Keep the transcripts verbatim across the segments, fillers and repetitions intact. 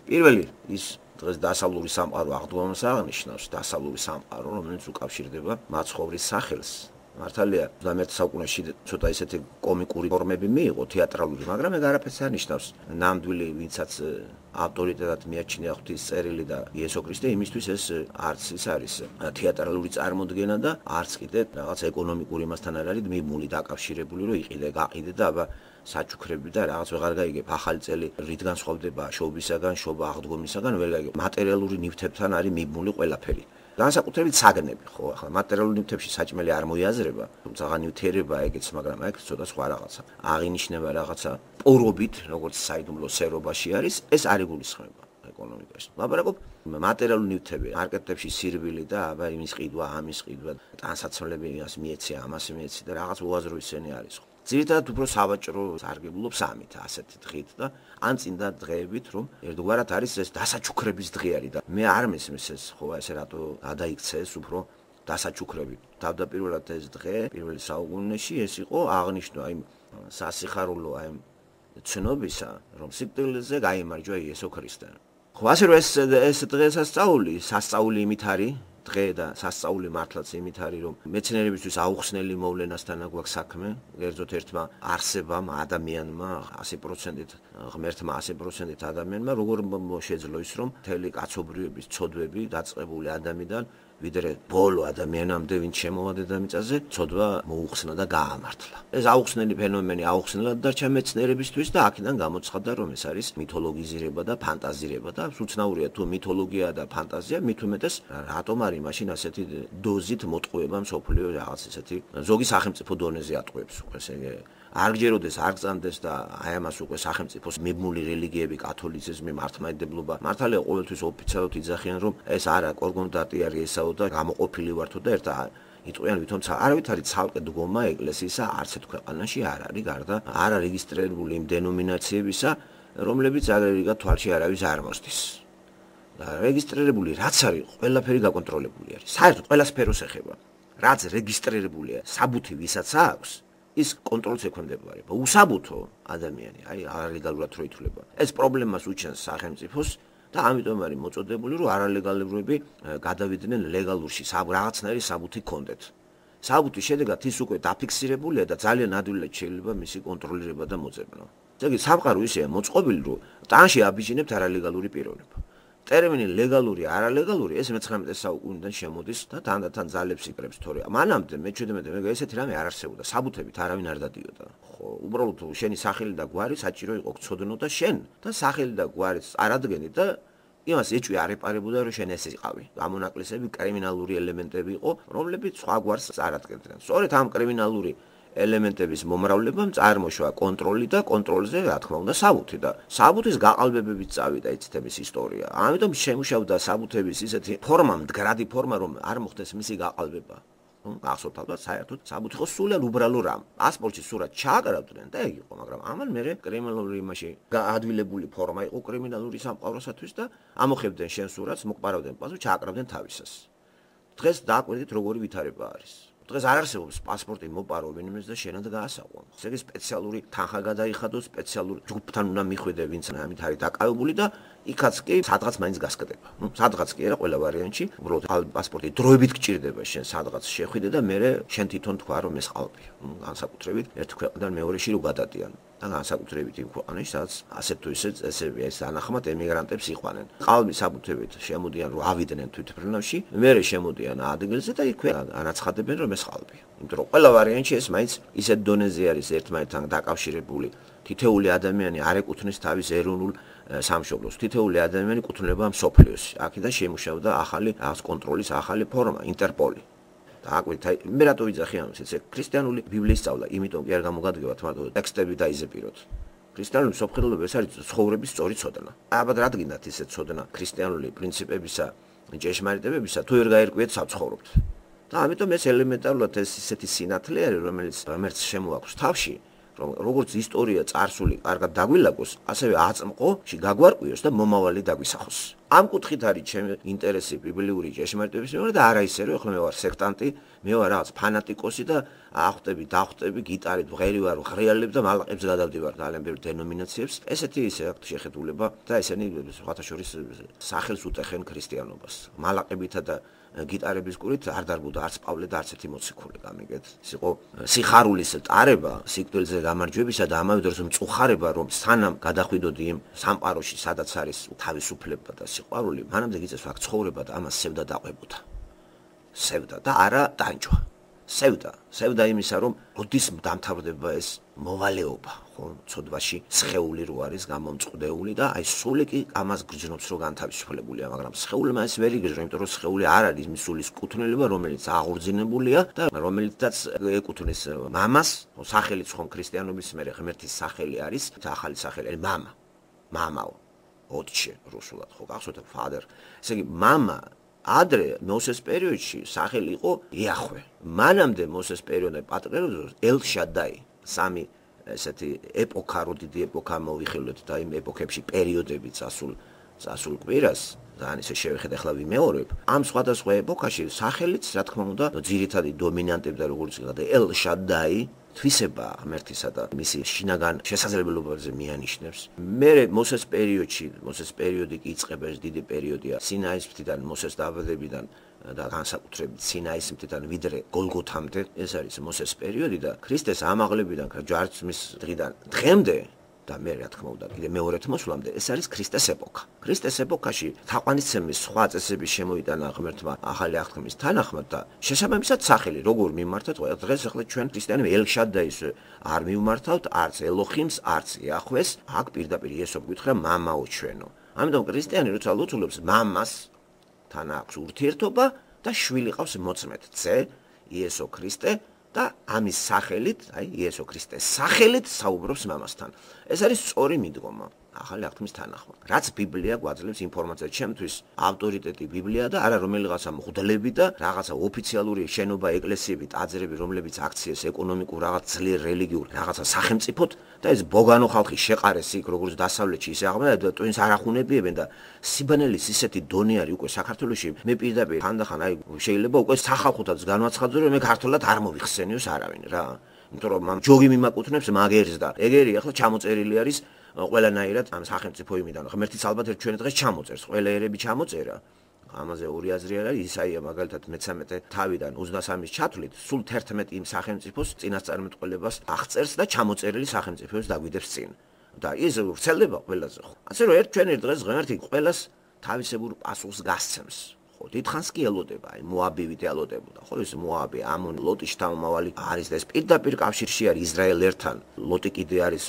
პირველი ის დღეს დასავლური სამყარო აღდგომას აღნიშნავს, დასავლური სამყარო, რომელიც უკავშირდება მაცხოვრის სახელს. მართალია ოცდამეერთე საუკუნეში ცოტა ისეთი კომიკური ფორმები მიიღო თეატრალური, მაგრამ ეგ არაფერს არ ნიშნავს. ნამდვილი ვინცაც ავტორიტეტად მიაჩნია ღვთის წერილი და იესო ქრისტე, იმისთვის ეს არც ის არის თეატრალური წარმოდგენა და არც კიდე რაღაც ეკონომიკური მასთან არ არის მიმული დაკავშირებული, რომ იყიდე, გაყიდე და აბა საჩუქრები და რაღაც ვეღარ გაიგებ. ახალი წელი რითგან სხვავდება შობისაგან, შობა აღდგომისაგან, ვერ გაიგებ. მატერიალური ნივთებთან არის მიმული ყველაფერი. განსაკუთრებით საგნები, ხო, ახლა მატერიალურ ნივთებში საჭმელი არ მოიაზრება, თუმცა ნივთიერება ეგეც, მაგრამ ეგ ცოტა სხვა რაღაცა. აღინიშნება რაღაცა პორობით, როგორც საიდუმლო სერობაში არის, ეს არ იგულისხმება ეკონომიკაში. ლაპარაკობ მატერიალურ ნივთები, მარკეტებში სირბილი და აბა იმის ყიდვა, ამის ყიდვა, ტანსაცმლები იმას მიეცი, ამას მიეცი და რაღაც უაზრო ისენი არის. ძირითადად უფრო სავაჭრო სარგებლობს ამით, ასეთი დღით და ან წინდა დღეებით, რომ ერთგვარად არის ეს დასაჩუქრების დღე არის და მე არ მესმის ეს, ხო, ესე რატო გადაიქცეს უფრო დასაჩუქრებით. თავდაპირველად ეს დღე პირველ საუკუნეში ეს იყო აღნიშნვა იმ სასიხარულო აი ცნობისა, რომ სიკვდილზე გაიმარჯვა იესო ქრისტე. ხო, ასე რომ ეს ეს დღესასწაული, სასწაული იმით არის დღე და სასწაული მართლაც იმით არის, რომ მეცნიერებისთვის აუხსნელი მოვლენასთან გვაქვს საქმე, კერძოდ ერთმა არსებამ, ადამიანმა, ასი პროცენტით, ღმერთმა ასი პროცენტით ადამიანმა, როგორ შეძლო ის, რომ მთელი კაცობრიობის ცოდვები დაწყებული ადამიანიდან ვიდრე ბოლო ადამიანამდე, ვინც შემოვა დედამიწაზე, ცოდვა მოუხსნა და გაამართლა. ეს აუხსნელი ფენომენი აუხსნელად დარჩა მეცნიერებისთვის და აქედან გამოცხადდა, რომ ეს არის მითოლოგიზირება და ფანტაზირება და უცნაურია თუ მითოლოგია და ფანტაზია, მით უმეტეს რატომ არის მაშინ ასეთი დოზით მოტყუება მსოფლიო რაღაც ესეთი ზოგი სახელმწიფო დონეზე ატყუებს უკვე ესე არ გჯეროდეს, არ გწამდეს და აი ამას უკვე სახელმწიფოს მიმული რელიგიები, კათოლიციზმი, მართლმადიდებლობა, მართალია ყოველთვის ოფიციალურად იძახიან, რომ ეს არა კორგონდატი არის ესაო და გამოყოფილი ვართო და ერთად იტყვიან ვითომ არავითარი ცალკე დგომა ეკლესიისა არც ერთ ქვეყანაში არ არის გარდა არ არეგისტრირებული იმ დენომინაციებისა, რომლებიც აგრეგა თვალში არავის არ მოსდის. და რეგისტრირებული რაც არის, ყველაფერი გაკონტროლებული არის. საერთოდ ყველა სფეროს ეხება. რაც რეგისტრირებულია, საბუთი ვისაც აქვს, ის კონტროლს ექვემდებარება. უსაბუთო ადამიანი, აი არალეგალურად რო ითვლება. ეს პრობლემას უჩენს სახელმწიფოს და ამიტომ არის მოწოდებული, რომ არალეგალურები გადავიდნენ ლეგალურში, რაღაცნაირი საბუთი კონდეთ. საბუთის შედეგად ის უკვე დაფიქსირებულია და ძალიან ადვილად შეიძლება მისი კონტროლირება და მოძებნა. ესე სამყარო ისეა მოწყობილი, რომ ტანში აბიჯინებთ არალეგალური პიროვნება. ტერმინი ლეგალური, არალეგალური ეს მეცხრამეტე საუკუნიდან შემოდის და თანდათან ძალებს იკრებს, თორე მანამდე მეჩვიდმეტე მე ესეთი რამე არ არსებობდა, საბუთებით არავინ არ დადიოდა. ხო, უბრალოდ შენი სახელი და გვარი საჭირო იყო გწოდნო და შენ და სახელი და გვარიც არადგენი და იმას ეჭვი არ ეპარებოდა, რომ შენ ესე იყავი. გამონაკლისები კრიმინალური ელემენტები იყო, რომლებიც სხვა გვარს არ ადგენდნენ. სწორედ ამ კრიმინალური ელემენტების მომრავლებამ წარმოშვა კონტროლი და კონტროლზე რა თქმა უნდა საბუთი და საბუთის გაყალბებებით წავიდა იცით ეს ისტორია. ამიტომ შემუშავდა საბუთების ისეთი ფორმა, მდგრადი ფორმა, რომ არ მოხდეს მისი გაყალბება. ახსოვთ ალბათ საერთოდ საბუთი ხო სულიერ უბრალო რამ. პასპორტში სურათ ჩააკრავდნენ და ეგ იყო, მაგრამ ამან მერე კრიმინალური იმაში გაადვილებული ფორმა იყო კრიმინალური სამყაროსათვის და ამოხებდნენ შენ სურათს, მოყარავდნენ პასპორტს, ჩააკრავდნენ თავისას. დღეს დააკვირდით როგორი ვითარება არის. დღეს არ არსებობს პასპორტი მოპარო ვინმეს და შენად გაასაყო. ესე იგი სპეციალური თანხა გადაიხადოს, სპეციალური ჯგუფთან უნდა მიხვიდე, ვინც ამით არის დაკავებული და იქაც კი სადღაც მაინც გასკდება. ნუ სადღაც კი არა ყველა ვარიანტში, უბრალოდ პასპორტი დროებით გჭირდება შენ სადღაც შეხვიდე და მერე შენ თვითონ თქვა რომ ეს ყალბია. ნუ განსაკუთრებით ერთ ქვეყნიდან მეორეში რო გადადიან. და განსაკუთრებით იმ ქვეყანაში, სადაც ასეთ თუ ისე წესები ეს ანახმად ემიგრანტებს იყვანენ. ყალბი საბუთებით შემოდიან რომ ავიდნენ თვითმფრინავში, მერე შემოდიან ადგილზე და იქვე ანაცხადებენ რომ ეს ყალბია. იმიტომ რომ ყველა ვარიანტში ეს მაინც ისეთ დონეზე არის ერთმანეთთან დაკავშირებული. თითოეული ადამიანი არ ეკუთვნის თავის ეროვნულ სამშობლოს. თითოეული ადამიანი კუთვნილება მსოფლიოს. აქედან შემუშავდა ახალი რაღაც კონტროლის ახალი ფორმა, ინტერპოლი. აკვირთ, აი მე რატო ვიძახი ამას, ეს ქრისტიანული ბიბლიის სწავლა, იმიტომ კი არ გამოგადგებათ მარტო ტექსტები დაიზეპიროთ. ქრისტიანული მსოფლმხედველობა ეს არის ცხოვრების სწორი ცოდნა. ალბათ რადგინდათ ისე ცოდნა ქრისტიანული პრინციპებისა, ჭეშმარიტებებისა, თუ ვერ გაერკვიეთ საცხოვრობთ. და ამიტომ ეს ელემენტარულად ეს ისეთი სინათლე არის, რომელიც ღმერთს შემოაქვს თავში, რომ როგორც ისტორია წარსული კარგად დაგვილაგოს, ასევე აწმყო, გაგვარკვიოს და მომავალი დაგვისახოს. ამ კუთხით არის ჩემი ინტერესი ბიბლიური ჭეშმარიტების მიმართ და არა ისე რომ ახლა მე ვარ სექტანტი, მე ვარ რაღაც ფანატიკოსი და ახვტები, დახვტები, გიტარით ვღერი ვარ, ღრიალებ და მალყებს გადავდივარ ძალიან ბევრ დენომინაციებს. ესეთი ისე აქვს შეხედულება და ესენი სხვათა შორის სახელს უტეხენ ქრისტიანობას. მალყებითა და გიტარების კურით არ დარბუდა არც პავლე და არც ერთი მოციქული გამიგეთ. ის იყო სიხარულის ტარება, სიკვდილზე გამარჯვებისა და ამავე დროს მწუხარება, რომ სანამ გადახვიდოდი იმ სამყაროში, სადაც არის თავისუფლება და სიყვარული, მანამდე გიწევს აქ ცხოვრება და ამას სევდა დაყვებოდა. სევდა და არა ტანჯვა. სევდა, სევდა იმისა, რომ როდის დამთავრდება ეს მოვალეობა, ხო, ცოდვაში სხეული რო არის გამომწყდეული და აი სული კი ამას გრძნობს, რომ განთავისუფლებულია, მაგრამ სხეულმა ეს ვერ იგრძნო, იმიტომ რომ სხეული არ არის მის სულის კუთვნილება, რომელიც აღორძინებულია და რომელიცაც ეკუთვნის მამას, სახელიც ხომ ქრისტიანობის მერე ღმერთის სახელი არის, ახალი სახელი არის მამა. მამაო, ოტჩე რუსულად ხო გახსოვთ father. ესე იგი მამა ადრე მოსეს პერიოდში სახელი იყო იახვე. მანამდე მოსეს პერიოდში პატრიარქოს ელ-შადაი. სამი ესეთი ეპოქა, რო დიდი ეპოქა მოვიხილოთ და იმ ეპოქებში პერიოდები წასულ წასულ კვირას ძალიან ისე შევხედე ახლა ვიმეორებ. ამ სხვადასხვა ეპოქაში სახელიც რა თქმა უნდა ძირითადი დომინანტებდა როგორც და ელ-შადაი თვისება ღმერთისა და მისი შინაგან შესაძლებლობებზე მიანიშნებს. მე მოსეს პერიოდში, მოსეს პერიოდი კი იწყება ეს დიდი პერიოდია სინაის მთიდან, მოსეს დაბადებიდან და განსაკუთრებით სინაის მთიდან ვიდრე გოლგოთამდე. ეს არის მოსეს პერიოდი და ქრისტეს ამაღლებიდან ჯვარცმის დღიდან დღემდე და მე რა თქმა უნდა კიდე მეორედ მოსვლამდე ეს არის ქრისტეს ეპოქა. ქრისტეს ეპოქაში თაყვანისცემის სხვა წესების შემოიტანა ღმერთმა ახალი აღთქმის თანახმად და შესაბამისად სახელი როგორ მიმართავთ ყველა დღეს ახლა ჩვენ ქრისტიანები ელ-შადაის არ მიმართავთ, არც ელოხიმს, არც იახვეს, აქ პირდაპირ იესო გვითხრა მამაო ჩვენო. ამიტომ ქრისტიანი როცა ლოცულობს მამას თან აქვს ურთიერთობა და შვილი ყავს მოწმედ ძე იესო ქრისტე და ამის სახელით, აი იესო ქრისტეს სახელით საუბრობს მამასთან. ეს არის სწორი მიდგომა ახალი აღთქმის თანახმად. რაც ბიბლია გვაძლევს ინფორმაციას, ჩემთვის ავტორიტეტი ბიბლია და არა რომელიღაცა მღვდლები და რაღაცა ოფიციალური შენობა, ეკლესიები, ტაძრები, რომლებიც აქციეს ეკონომიკურ რაღაც ძლიერ რელიგიურ რაღაცა სახელმწიფოდ და ეს ბოგანო ხალხი შეყარეს იქ როგორც დასავლეთში ისე აღმოჩნდა და ტვინს არ ახუნებიებენ და სიბანელის ისეთი დონე არის უკვე საქართველოში. მე პირდაპირ ხანდახან აი შეიძლება უკვე სახალხოთაც განვაცხადო რომ მე ქართულად არ მოიხსენიოს არავინ რა. იმიტომ რომ ამ ჯოგი მიმაკუთვნებს მაგერს და ეგერი ახლა ჩამოწერილი არის ყველანაირად ამ სახელმწიფო იმიდან. ღმერთიც ალბათ ერთ ჩვენ დღეს ჩამოწერს, ყველა ერები ჩამოწერა. ამაზე ორი აზრი არის, ისაია მაგალითად მეცამეტე თავიდან ოცდასამის ჩათვლით, სულ თერთმეტი იმ სახელმწიფოს წინასწარმეტყველებას აღწერს და ჩამოწერილი სახელმწიფოს დაგვიდებს წინ. და ის ვრცელდება ყველაზე ხო. ასე რომ ერთ ჩვენ ერთ დღეს ღმერთი ყველას თავისებურ პასუხს გასცემს. ხო, დიდხანს კი ელოდება, აი მოაბივით ელოდებოდა. ხო, ეს მოაბი, ამონი, ლოტის შთამომავალი არის და ეს პირდაპირ კავშირში არის ისრაელერთან. ლოტი კიდე არის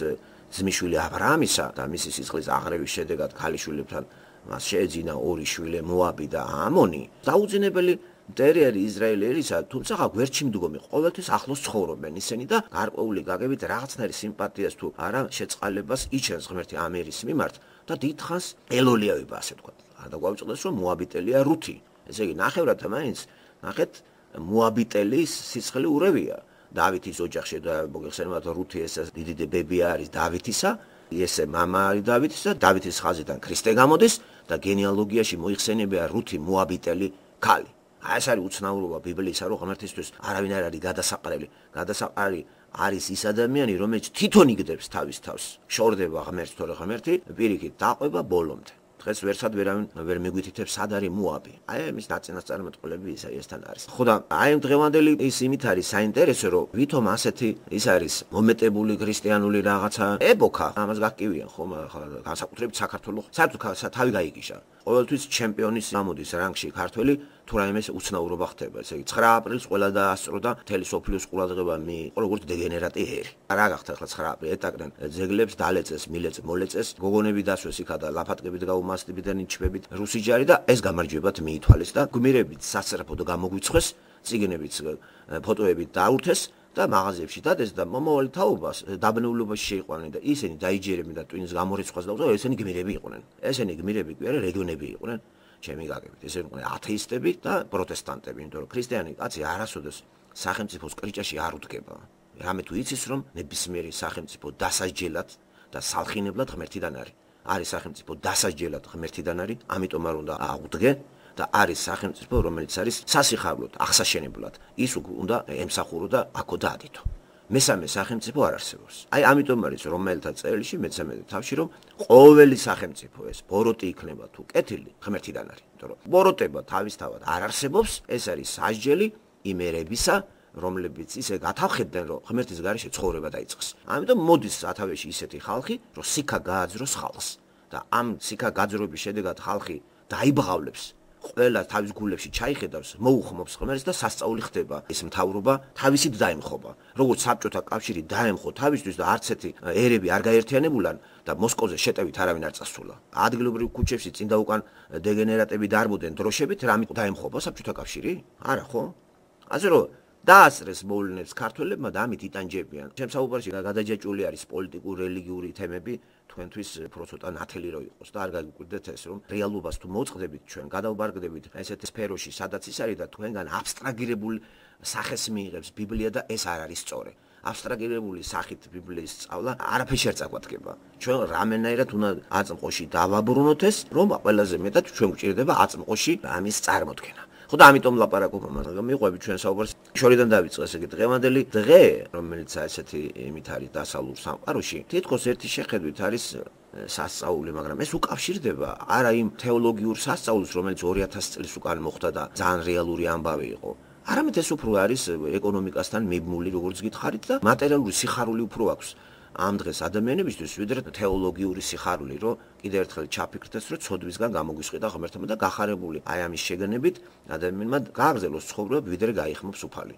ძმისშვილი აბრაამისა და მისი სისხლის აღრევის შედეგად ქალიშვილებთან მას შეეძინა ორი შვილი მოაბი და ამონი. დაუძინებელი მტერი არის ისრაელი ერისა, თუმცა გვერდში მდგომი ყოველთვის ახლოს ცხოვრობენ ისინი და გარკვეული გაგებით რაღაცნაირი სიმპათიას თუ არა შეწყალებას იჩენს ღმერთი ამ ერის მიმართ და დიდხანს ელოლიავება ასე თქვა. არ დაგვავიწყდეს რომ მოაბიტელია რუთი. ესე იგი ნახევრად მაინც ნახეთ მოაბიტელის სისხლი ურევია. დავითის ოჯახში და მოგეხსენებათ რუთი ეს დიდი დებები არის დავითისა, ესე მამა არის დავითისა, დავითის ხაზიდან ქრისტე გამოდის და გენეალოგიაში მოიხსენებია რუთი მოაბიტელი ქალი. აი ეს არის უცნაურობა ბიბლისა, რომ ღმერთისთვის არავინ არ არის გადასაყრელი. გადასაყრელი არის ის ადამიანი, რომელიც თვითონ იგდებს თავის თავს. შორდება ღმერთს, თორე ღმერთი პირიქით დაყვება ბოლომდე. დღეს ვერსად ვერავინ ვერ მიგვითითებს სად არის მოაბი. აი ამის ნაწინასწარმეტყველები ისაიასთან არის. ხო და აი დღევანდელი ის იმით არის საინტერესო, რომ ვითომ ასეთი ის არის მომეტებული ქრისტიანული რაღაცა ეპოქა. ამას გაკივიან ხომ ახლა განსაკუთრებით საქართველოს საერთოდ თავი გაიგიშა. ყოველთვის ჩემპიონის გამოდის რანგში ქართველი თუ რაიმე უცნაურობა ხდება. ესე იგი ცხრა აპრილს ყველა დაასწრო და მთელი სოფლიოს ყურადღება მიიღო როგორც დეგენერატი ჰერი. რა გახდა ახლა ცხრა აპრილი ეტაკდნენ ძეგლებს დალეწეს, მილეწეს, მოლეწეს, გოგონები დასვეს იქა და ლაფატკებით გაუმასტებიდან იჩვებით რუსი ჯარი და ეს გამარჯვებად მიითვალეს და გმირებით სასწრაფოდ გამოგვიცხეს, წიგნებით ფოტოებით დაურთეს და მაღაზიებში დადეს და მომავალი თაობას დაბნეულობაში შეიყვანენ და ისინი დაიჯერებდნენ და ტვინს გამორიცხავს და ესენი გმირები იყვნენ. ესენი გმირები კი არა რეგიონები იყვნენ. ჩემი გაგებით ესენი იყვნენ ათეისტები და პროტესტანტები, იმიტომ რომ ქრისტიანი კაცი არასოდეს სახელმწიფოს კრიჭაში არ უდგება. რამე თუ იცის რომ ნებისმიერი სახელმწიფო დასაჯელად და სალხინებლად ღმერთიდან არის. არის სახელმწიფო დასაჯელად ღმერთიდან არის, ამიტომ არ უნდა აღვდგე და არის სახელმწიფო, რომელიც არის სასიხარვლოდ, აღსაშენებლად. ის უნდა ემსახურო და აქო დაადიდო. მესამე სახელმწიფო არ არსებობს. აი ამიტომ არის რომელთა წერილში მეცემედე თავში რომ ყოველი სახელმწიფო ეს ბოროტი იქნება თუ კეთილი ღმერთიდან არის. იმიტომ რომ ბოროტება თავისთავად არ არსებობს, ეს არის სასჯელი იმ ერებისა, რომლებიც ისე გათავხედდნენ, რომ ღმერთის გარეშე ცხოვრება დაიწყეს. ამიტომ მოდის სათავეში ისეთი ხალხი, რომ სიქა გააძროს ხალხს და ამ სიქა გაძრობის შედეგად ხალხი დაიბღავლებს. ყველა თავის გულებში ჩაიხედავს, მოუხმობს ღმერთს და სასწაული ხდება. ეს მთავრობა თავისით დაემხობა. როგორც საბჭოთა კავშირი დაემხო თავისთვის და არც ერთი ერები არ გაერთიანებულან და მოსკოვზე შეტევით არავინ არ წასულა. ადგილობრივ ქუჩებში წინ და უკან დეგენერატები დარბოდნენ დროშებით, რამით დაემხობა საბჭოთა კავშირი? არა ხო? ასე რომ დაასწრეს მოვლენებს ქართველებმა და ამით იტანჯებიან. ჩემს საუბარში გადაჯაჭვული არის პოლიტიკური, რელიგიური თემები, თქვენთვის უფრო ცოტა ნათელი რო იყოს და არ გაგიკვირდეთ ეს რომ რეალობას თუ მოწყდებით ჩვენ, გადავბარგდებით ესეთ სფეროში, სადაც ის არის და თქვენგან აბსტრაგირებული სახეს მიიღებს ბიბლია და ეს არ არის სწორი. აბსტრაგირებული სახით ბიბლიის სწავლა არაფერში არ წაგვადგება. ჩვენ რამენაირად უნდა აწმყოში დავაბრუნოთ ეს, რომ ყველაზე მეტად ჩვენ გვჭირდება აწმყოში ამის წარმოქმნა. ხო და ამიტომ ლაპარაკობ მაგრამ მიყვები ჩვენ საუბარს შორიდან დავიწყეს ეგ დღევანდელი დღე რომელიც ესეთი იმით არის დასავლურ სამყაროში თითქოს ერთი შეხედვით არის სასწაული მაგრამ ეს უკავშირდება არა იმ თეოლოგიურ სასწაულს რომელიც ორი ათასი წლის უკან მოხდა და ძალიან რეალური ამბავი იყო არამედ ეს უფრო არის ეკონომიკასთან მიბმული როგორც გითხარით და მატერიალური სიხარული უფრო აქვს ამ დღეს ადამიანებისთვის ვიდრე თეოლოგიური სიხარული, რომ კიდევ ერთხელ ჩაფიქრდეს, რომ ცოდვისგან გამოგვისყიდა ღმერთმა და გახარებული აი ამის შეგანებით ადამიანმა გააგრძელოს ცხოვრება, ვიდრე გაიხმობს უფალი.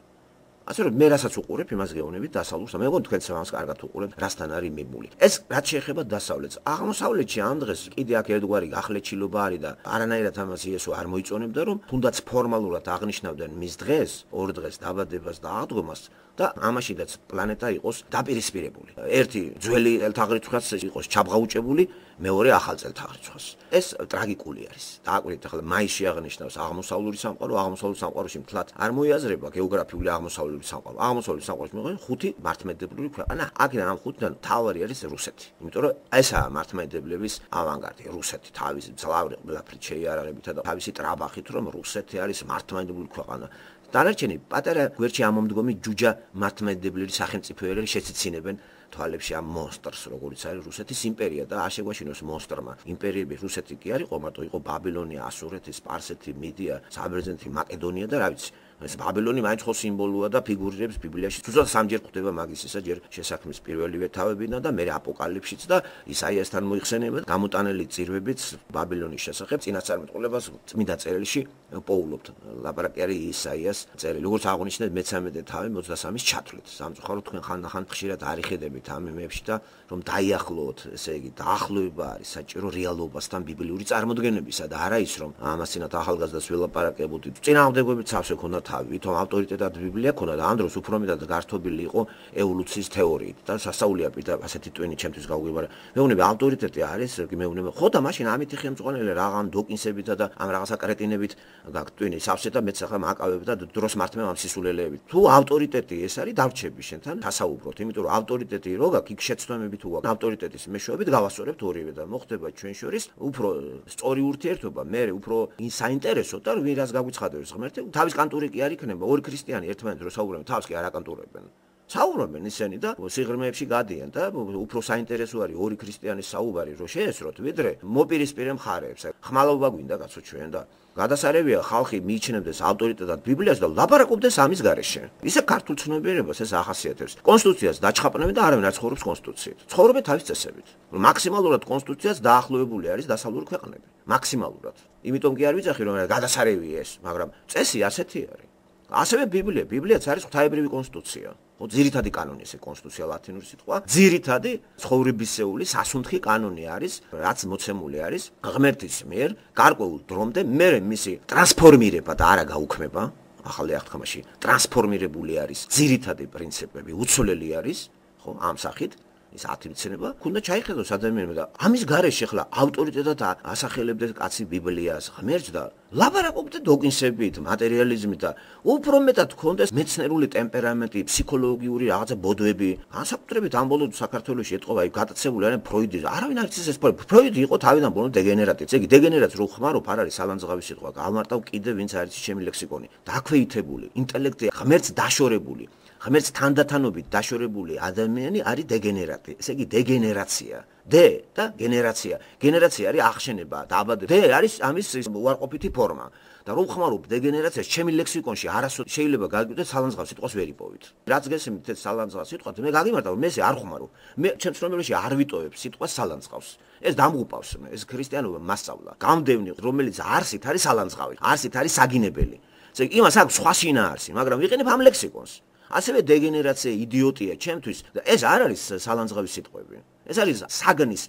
ასე რომ მე რასაც უყურებ, იმას გეუბნებით დასავლურს, მე მგონი თქვენც ამას კარგად უყურებთ, რასთან არის მიბმული. ეს რაც შეეხება დასავლეთს, აღმოსავლეთში ამ დღეს კიდე აქ ერთგვარი გახლეჩილობა არის და არანაირად ამას იესო არ მოიწონებდა, რომ თუნდაც ფორმალურად აღნიშნავდნენ მის დღეს, ორ დღეს დაბადებას და აღდგომას და ამაშიდაც პლანეტა იყოს დაპირისპირებული. ერთი ძველი წელთაღრიცხვაც იყოს ჩაბღაუჭებული, მეორე ახალ წელთაღრიცხვას. ეს ტრაგიკული არის. დააკვირდით ახლა მაისში აღნიშნავს აღმოსავლური სამყარო, აღმოსავლურ სამყაროში მთლად არ მოიაზრება გეოგრაფიული აღმოსავლური სამყარო. აღმოსავლური სამყაროში მიღება ხუთი მართლმადიდებლური ქვეყანა. აქედან ამ ხუთიდან მთავარი არის რუსეთი. იმიტომ რომ ესაა მართლმადიდებლების ავანგარდი, რუსეთი თავისი მძლავრი ყველაფრით შეიარაღებითა და თავისი ტრაბახით, რომ რუსეთი არის მართლმადიდებლური ქვეყანა. დანარჩენი პატარა გვერდში ამომდგომი ჯუჯა მართლმადიდებლური სახელმწიფოები შეციცინებენ თვალებში ამ მონსტრს როგორც არის რუსეთის იმპერია და აშეგვაშინოს მონსტრმა იმპერიები რუსეთი კი არ იყო მარტო იყო ბაბილონია ასურეთი სპარსეთი მიდია საბერძნეთი მაკედონია და რა ვიცი ეს ბაბილონი მაინც ხო სიმბოლოა და ფიგურირებს ბიბლიაში თუმცა სამჯერ ხვდება მაგის ისა ჯერ შესაქმნის პირველივე თავებიდან და მერე აპოკალიფშიც და ისაიასთან მოიხსენება გამოტანილი წირვებით ბაბილონის შესახებ წინასწარმეტყველებას წმინდა წერილში პოულობთ ლაპარაკი არის ისაიას წერილი როგორც აღნიშნეთ მეცამეტე თავი ოცდასამის ჩათვლით სამწუხაროდ თქვენ ხანდახან ხშირად არიხედებით ამ იმებში და რომ დაიახლოვოთ ესე იგი დაახლოება არის საჭირო რეალობასთან ბიბლიური წარმოდგენებისა და არა ის რომ ამასინათ ახალგაზრდას ველაპარაკებოდი წინააღმდეგობებით სავსე ქონდა ვითომ ავტორიტეტად ბიბლია ქონდა და ამ დროს უფრო მეტად გართობილი იყო ევოლუციის თეორიით და სასწაულია პირდა ასეთი ტვინი ჩემთვის გავგვიბარა მეუბნები ავტორიტეტი არის მეუბნები ხო და მაშინ ამითი ხელმძღვანელი რაღაც დოკინსებითა და ამ რაღაცა კრეტინებით გაგტვინი სავსე და მეც ახლა მაკავებ და დროს მართმევ ამ სისულელეებით თუ ავტორიტეტი ეს არის დავრჩები შენთან დასაუბროთ იმიტომ რომ ავტორიტეტი რო გაქვს იქ შეცდომები თუ გაქვს ავტორიტეტის მეშვეობით გავასწორებთ ორივე და მოხდება ჩვენ შორის უფრო სწორი ურთიერთობა მე უფრო საინტერესო და ვინ რას გაგვიცხადებს ღმერთი თავის კანტური კი არ იქნება ორი ქრისტიანი ერთმანეთს რო საუბრობენ თავს კი არ აკანტურებენ საუბრობენ ისინი და სიღრმეებში გადიან და უფრო საინტერესო არის ორი ქრისტიანის საუბარი რო შეესროთ ვიდრე მოპირისპირე მხარეებს ხმალობა გვინდა კაცო ჩვენ და გადასარევია ხალხი მიიჩნევდეს ავტორიტეტად ბიბლიას და ლაპარაკობდეს ამის გარეშე ისე ქართულ ცნობიერებას ეს ახასიათებს კონსტიტუციას დაჩხაპნები და არავინ არ ცხოვრობს კონსტიტუციით ცხოვრობენ თავის წესებით მაქსიმალურად კონსტიტუციას დაახლოებული არის დასავლური ქვეყნები მაქსიმალურად იმიტომ კი არ ვიცახი რომ გადასარევია ეს მაგრამ წესი ასეთი არის ასევე ბიბლია ბიბლიაც არის ღვთაებრივი კონსტიტუცია ხო ძირითადი კანონი ესე კონსტიტუცია ლათინური სიტყვა ძირითადი ცხოვრებისეული სასუნთქი კანონი არის რაც მოცემული არის ღმერთის მიერ გარკვეულ დრომდე მე მისი ტრანსფორმირება და არა გაუქმება ახალი აღთქმაში ტრანსფორმირებული არის ძირითადი პრინციპები უცვლელი არის ხო ამ სახით ის ათივცნება, ქუნდა ჩაიხედოს ადამიანმა და ამის გარეშე ხლა ავტორიტეტად ასახელებდა კაცი ბიბლიას, ღმერთს და ლაბარაკობდა დოკინსებით, მატერიალიზმით და უფრო მეტად ქონდეს მეცნერული ტემპერამენტი, ფსიქოლოგიური რაღაცა ბოდვები. განსაკუთრებით ამ ბოლო საქართველოში ეთყობა იქ გატაცებული არიან ფროიდი. არავინ არ იცის ეს ფროიდი იყო თავიდან ბოლომდე დეგენერატი. ესე იგი დეგენერატს რო ხმარობ არ არის სალანძღავი სიტყვა. გავმარტავ კიდე ვინც არის ჩემი ლექსიკონი. დაქვეითებული, ინტელექტი ღმერთს დაშორებული. ღმერთს თანდათანობით დაშორებული ადამიანი არის დეგენერატი. ესე იგი დეგენერაცია. დე და გენერაცია. გენერაცია არის აღშენება, დააბადება. დე არის ამის უარყოფითი ფორმა. და რომ ხმარობ დეგენერაციას ჩემი ლექსიკონში არასოდეს შეიძლება გაგიკვირდეთ სალანძღავს სიტყვას ვერ იპოვით. რაც გესმით ეს სალანძღავს სიტყვა, მე გაგიმარტავ, მე ესე არ ხმარო. მე ჩემს ცნობიერებაში არ ვიტოვებ სიტყვას სალანძღავს. ეს დამღუპავს მე, ეს ქრისტიანობა მასწავლა. გამდევნი, რომელიც არსით არის სალანძღავი, არსით არის საგინებელი. ესე იგი იმას აქვს სხვა შინაარსი, მაგრამ ვიყენებ ამ ლექსიკონს. ასევე დეგენერაცია, იდიოტია ჩემთვის და ეს არ არის სალანძღავის სიტყვები. ეს არის საგნის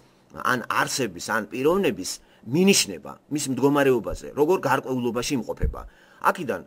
ან არსების ან პიროვნების მინიშნება მის მდგომარეობაზე, როგორ გარკვეულობაში იმყოფება. აქედან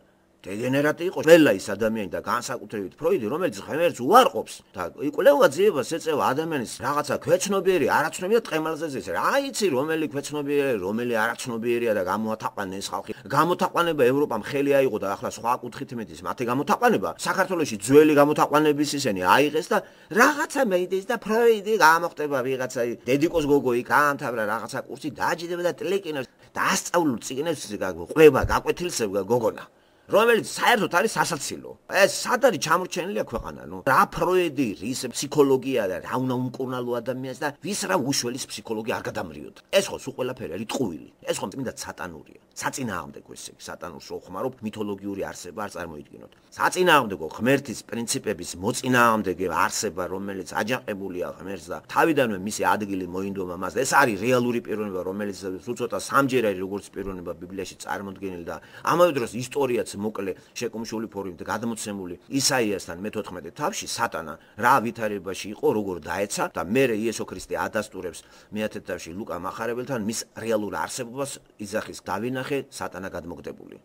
დეგენერატი იყო ყველა ის ადამიანი და განსაკუთრებით ფროიდი, რომელიც ღმერთს უარყოფს და იკვლევა ძიებას ეწევა ადამიანის რაღაცა ქვეცნობიერი, არაცნობიერი და ტყემალზე ზეს. რა იცი რომელი ქვეცნობიერი, რომელი არაცნობიერია და გამოათაყვანა ეს ხალხი. გამოთაყვანება ევროპამ ხელი აიღო და ახლა სხვა კუთხით მეტის მათე გამოთაყვანება საქართველოში ძველი გამოთაყვანების ისენი აიღეს და რაღაცა მეიდეს და ფროიდი გამოხდება ვიღაცა დედიკოს გოგო იქ აამთავრა რაღაცა კურსი დააჯდება და ტლეკინებს და ასწავლულ წიგნებს ყვება, გაკვეთილსება გოგონა. რომელიც საერთოდ არის სასაცილო. ეს სად არის ჩამორჩენილი ქვეყანა, ნუ რა ფროიდი, რის ფსიქოლოგია და რა უნდა უმკურნალო ადამიანს და ვის რა უშველის ფსიქოლოგია არ გადამრიოთ. ეს ხო სულ ყველაფერი არის ტყუილი. ეს ხო წმინდა სატანურია. საწინააღმდეგო ესე იგი, სატანურს რო ხმარობ, მითოლოგიური არსება არ წარმოიდგინოთ. საწინააღმდეგო ღმერთის პრინციპების მოწინააღმდეგე არსება, რომელიც აჯანყებულია ღმერთს და თავიდანვე მისი ადგილი მოინდომა მას. ეს არის რეალური პიროვნება, რომელიც სულ ცოტა სამჯერ არის როგორც პიროვნება ბიბლიაში წარმოდგენილი და ამავე დროს ისტორიაც მოკლე შეკუმშული ფორმით გადმოცემული ისაიასთან მეთოთხმეტე თავში სატანა რა ვითარებაში იყო, როგორ დაეცა და მერე იესო ქრისტე ადასტურებს მეათე თავში ლუკა მახარებელთან მის რეალურ არსებობას იძახის დავინახე სატანა გადმოგდებული.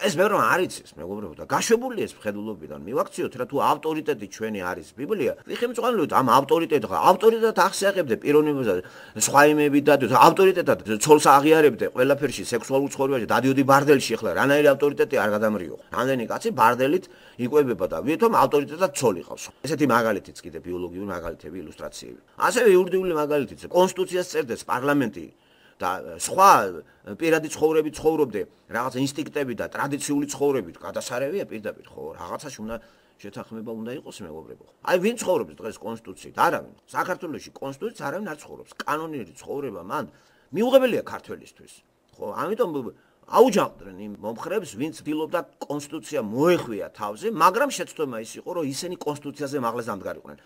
ეს მე რომ არ იცის მეგობრებო და გაშვებული ეს მხედველობიდან მივაქციოთ რა თუ ავტორიტეტი ჩვენი არის ბიბლია ვიხემწყვალოთ ამ ავტორიტეტს ავტორიტეტად ახსიახებდე პიროვნებაზე სხვა იმები და ავტორიტეტად ცოლს აღიარებდე ყველაფერში სექსუალურ ცხოვრებაში დადიოდი ბარდელში ახლა რანაირი ავტორიტეტი არ გადამრიო რამდენი კაცი ბარდელით იყვებება და ვითომ ავტორიტეტად ცოლი ყავს ესეთი მაგალითიც კიდე ბიოლოგიური მაგალითები ილუსტრაციები ასევე იურიდიული მაგალითიც კონსტიტუციას წერდეს პარლამენტი და სხვა პირადი ცხოვრებით ცხოვრობდე რაღაც ინსტინქტები და ტრადიციული ცხოვრებით გადასარევია პირდაპირ ხო რაღაცაში უნდა შეთანხმება უნდა იყოს მეგობრებო აი ვინ ცხოვრობს დღეს კონსტიტუციით არავინ საქართველოში კონსტიტუციით არავინ არ ცხოვრობს კანონიერი ცხოვრება მან მიუღებელია ქართველისთვის ხო ამიტომ აუჯანყდნენ იმ მომხრეებს ვინც ცდილობდა კონსტიტუცია მოეხვია თავზე მაგრამ შეცდომა ის იყო რომ ისინი კონსტიტუციაზე მაღლას დამდგარიყვნენ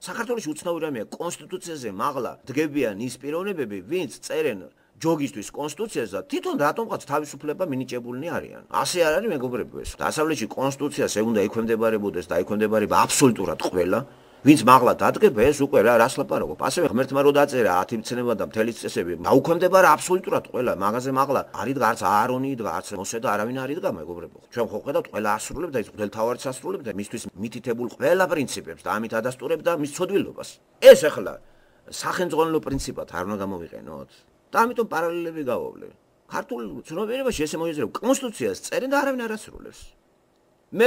საქართველოში უცნაური რამეა კონსტიტუციაზე მაღლა დგებიან ის პიროვნებები ვინც წერენ ჯოგისთვის კონსტიტუციას და თვითონ რატომღაც თავისუფლება მინიჭებულნი არიან. ასე არ არის მეგობრებო ეს. დასავლეთში კონსტიტუციას ეუნდა ექვემდებარებოდეს და ექვემდებარება აბსოლუტურად ყველა, ვინც მაღლა დადგება ეს უკვე რა რას ლაპარაკობ. ასევე ღმერთმა რო დაწერა ათი მცნება და მთელი წესები, დაუქვემდებარა აბსოლუტურად ყველა, მაგაზე მაღლა არის არც აარონი და არც მოსე და არავინ არ იდგა მეგობრებო. ჩვენ ხო ხედავთ ყველა ასრულებდა ის მღვდელთავარიც ასრულებდა მისთვის მითითებულ ყველა პრინციპებს და ამით ადასტურებდა მის ცოდვილობას. ეს ახლა სახელმწიფო პრინციპად არ უნდა გამოვიყენოთ. და ამიტომ პარალელები გავავლე. ქართულ ცნობიერებაში ესე მოიაზრება კონსტიტუციას წერენ და არავინ არ ასრულებს. მე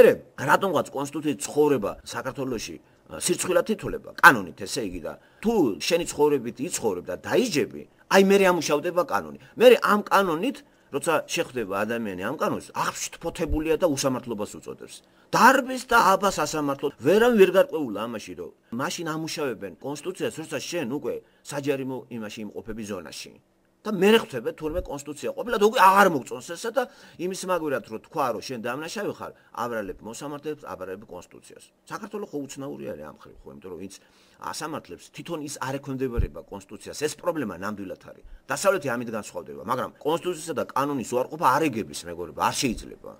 რატომღაც კონსტიტუციით ცხოვრება საქართველოში სირცხვილად თითოლება კანონით ესე იგი და თუ შენი ცხოვრებით იცხოვრებ და დაიჯები, აი მე ამუშავდება კანონი. მე ამ კანონით როცა შეხვდება ადამიანი ამ კანონს, აღშფოთებულია და უსამართლობას უწოდებს. დარბის და აბას ასამართლოდ ვერავინ ვერ გარკვეულა ამაში რომ მაშინ ამუშავებენ კონსტიტუციას, როცა შენ უკვე საჯარიმო იმაში იმყოფები ზონაში. და მე ხვდები თურმე კონსტიტუცია ყოფილად უკვე აღარ მოგწონს ესა და იმის მაგვირად რომ თქვა რომ შენ დამნაშავე ხარ, აბრალებ მოსამართლებს, აბრალებ კონსტიტუციას. საქართველოს ხო უცნაური არის ამ ხრივ, ხო, იმიტომ რომ ვინც ასამართლებს თვითონ ის არ ექვემდებარება კონსტიტუციას, ეს პრობლემა ნამდვილად არის. დასავლეთი ამით განსხვავდება, მაგრამ კონსტიტუციისა და კანონის უარყოფა არ ეგების მეგობრებო, არ შეიძლება.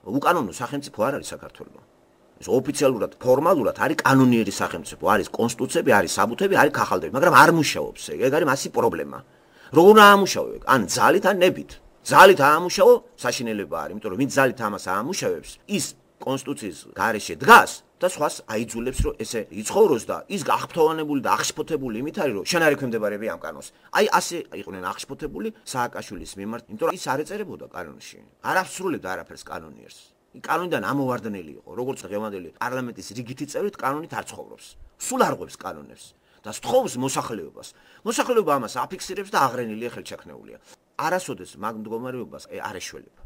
უკანონო სახელმწიფო არ არის საქართველო. ეს ოფიციალურად, ფორმალურად არის კანონიერი სახელმწიფო, არის კონსტიტუციები, არის საბუთები, არის ქაღალდები, მაგრამ არ მუშაობს ეგ. ეგ არის მასი პრობლემა. როგორ აამუშავებ? ან ძალით, ან ნებით. ძალით აამუშავო, საშინელება არის, იმიტომ რომ ვინც ძალით ამას აამუშავებს, ის კონსტიტუციის გარეშე დგას და სხვას აიძულებს რომ ესე იცხოვროს და ის აღფრთოვანებული და აღშფოთებული იმით არის რომ შენ არ ექვემდებარები ამ კანონს. აი ასე იყვნენ აღშფოთებული სააკაშვილის მიმართ, იმიტომ რომ ის არ ეწერებოდა კანონში. არ ასრულებდა არაფერს კანონიერს. კანონიდან ამოვარდნელი იყო, როგორც ღევანდელი პარლამენტის რიგითი წევრით კანონით არ ცხოვრობს. სულ არღვევს კანონებს და სთხოვს მოსახლეობას. მოსახლეობა ამას აფიქსირებს და აღრენილია ხელჩაქნეულია. არასოდეს მაგ მდგომარეობას არ ეშველება.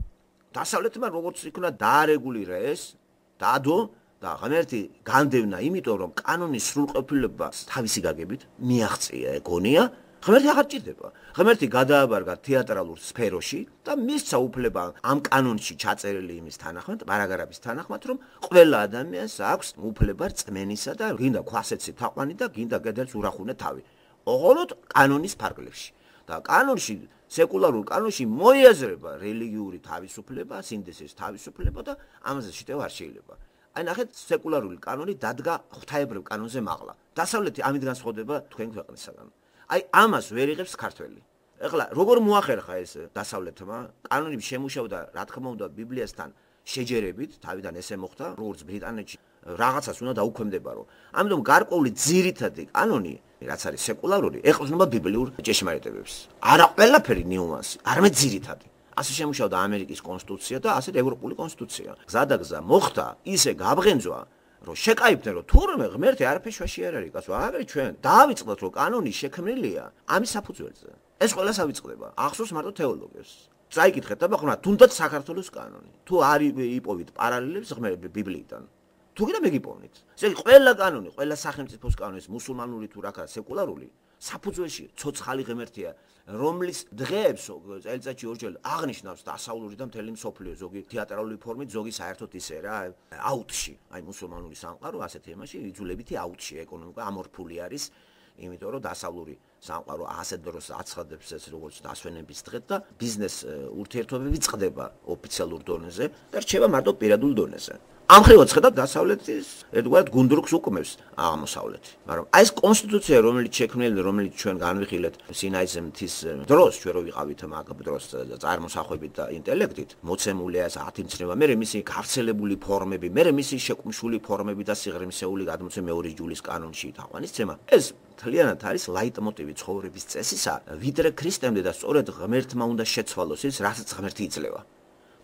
დასავლეთმა როგორც იქნა დაარეგულირა ეს, დაადო და ღმერთი განდევნა, იმიტომ რომ კანონის სრულყოფილება თავისი გაგებით მიაღწია ეგონია, ღმერთი აღარ ჭირდება. ღმერთი გადააბარგა თეატრალურ სფეროში და მისცა უფლება ამ კანონში ჩაწერილი იმის თანახმად, პარაგრაფის თანახმად, რომ ყველა ადამიანს აქვს უფლება რწმენისა და გინდა ქვასეცი თაყვანი და გინდა კიდეც ურახუნე თავი. ოღონდ კანონის ფარგლებში. და კანონში სეკულარულ კანონში მოიაზრება რელიგიური თავისუფლება, სინდისის თავისუფლება და ამაზე შეტევა არ შეიძლება. აი ნახეთ, სეკულარული კანონი დადგა ღვთაებრივ კანონზე მაღლა. დასავლეთი ამით განსხვავდება თქვენ ქვეყნისაგან. აი ამას ვერ იღებს ქართველი. ეხლა როგორ მოახერხა ეს დასავლეთმა? კანონი შემუშავდა, რა თქმა უნდა, ბიბლიასთან შეჯერებით, თავიდან ესე მოხდა, როგორც ბრიტანეთში რაღაცას უნდა დაუქვემდებარო. ამიტომ გარკვეული ძირითადი კანონი, რაც არის სეკულარული, ეყრდნობა ბიბლიურ ჭეშმარიტებებს. არა ყველაფერი ნიუანსი, არამედ ძირითადი. ასე შემუშავდა ამერიკის კონსტიტუცია და ასეთ ევროპული კონსტიტუცია. გზადაგზა მოხდა ისე გაბრენძვა, რომ შეკაიფდნენ, რომ თურმე ღმერთი არაფერ შუაში არ არის, კაცო, აგრე ჩვენ დაავიწყდათ, რომ კანონი შექმნილია ამის საფუძველზე. ეს ყველას ავიწყდება. ახსოვს მარტო თეოლოგებს. წაიკითხეთ და ბახმა, თუნდაც საქართველოს კანონი. თუ არ იპოვით პარალელებს ღმერთი ბიბლიიდან. თუ კიდე მეგიპოვნით. ესე იგი ყველა კანონი, ყველა სახელმწიფოს კანონი, მუსულმანური თუ რა ქარა, სეკულარული, საფუძველში ცოცხალი ღმერთია, რომლის დღეებს წელიწადში ორჯერ აღნიშნავს დასავლური და მთელი მსოფლიო, ზოგი თეატრალური ფორმით, ზოგი საერთოდ ისე რა, აუტში. აი მუსულმანური სამყარო ასეთ თემაში იძულებითი აუტში, ეკონომიკა ამორფული არის, იმიტომ რომ დასავლური სამყარო ასეთ დროს აცხადებს ეს როგორც დასვენების დღე და ბიზნეს ურთიერთობები წყდება ოფიციალურ დონეზე და რჩება მარტო პირადულ დონეზე. ამ ხრივაც ხედავთ დასავლეთის ერთგვარად გუნდრუქს უკმევს აღმოსავლეთი. მაგრამ აი ეს კონსტიტუცია, რომელიც შექმნილი, რომელიც ჩვენ განვიხილეთ სინაის მთის დროს, ჩვენ რო ვიყავით მაგ დროს წარმოსახვებით და ინტელექტით, მოცემულია ეს ათიმცნება, მე მისი გავრცელებული ფორმები, მე მისი შეკუმშული ფორმები და სიღრმისეული გადმოცემა მეორე ჯულის კანონში თაყვანისცემა. ეს მთლიანად არის ლაიტმოტივი ცხოვრების წესისა, ვიდრე ქრისტემდე და სწორედ ღმერთმა უნდა შეცვალოს ის, რასაც ღმერთი იძლევა.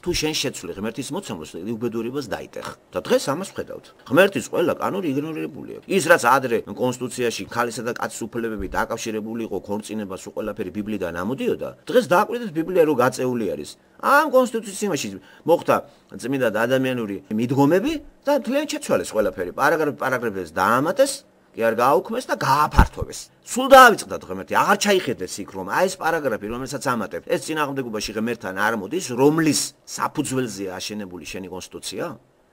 თუ შენ შეცვლი ღმერთის მოცემულს, უბედურებას დაიტეხ. და დღეს ამას ვხედავთ. ღმერთის ყველა კანონი იგნორირებულია. ის რაც ადრე კონსტიტუციაში ქალისა და კაცის უფლებები დაკავშირებული იყო ქორწინებას, ყველაფერი ბიბლიიდან ამოდიოდა. დღეს დააკვირდეთ ბიბლია რო გაწეული არის. ამ კონსტიტუციაში მოხდა წმინდა ადამიანური მიდგომები და მთლიანად შეცვალეს ყველაფერი. პარაგრაფ პარაგრაფებს დაამატეს. კი არ გააუქმეს და გააფართოვეს. სულ დაავიწყდათ ღმერთი, აღარ ჩაიხედეს იქ რომ აი ეს პარაგრაფი რომელსაც ამატებთ, ეს წინააღმდეგობაში ღმერთთან არ მოდის, რომლის საფუძველზეა აშენებული შენი კონსტიტუცია?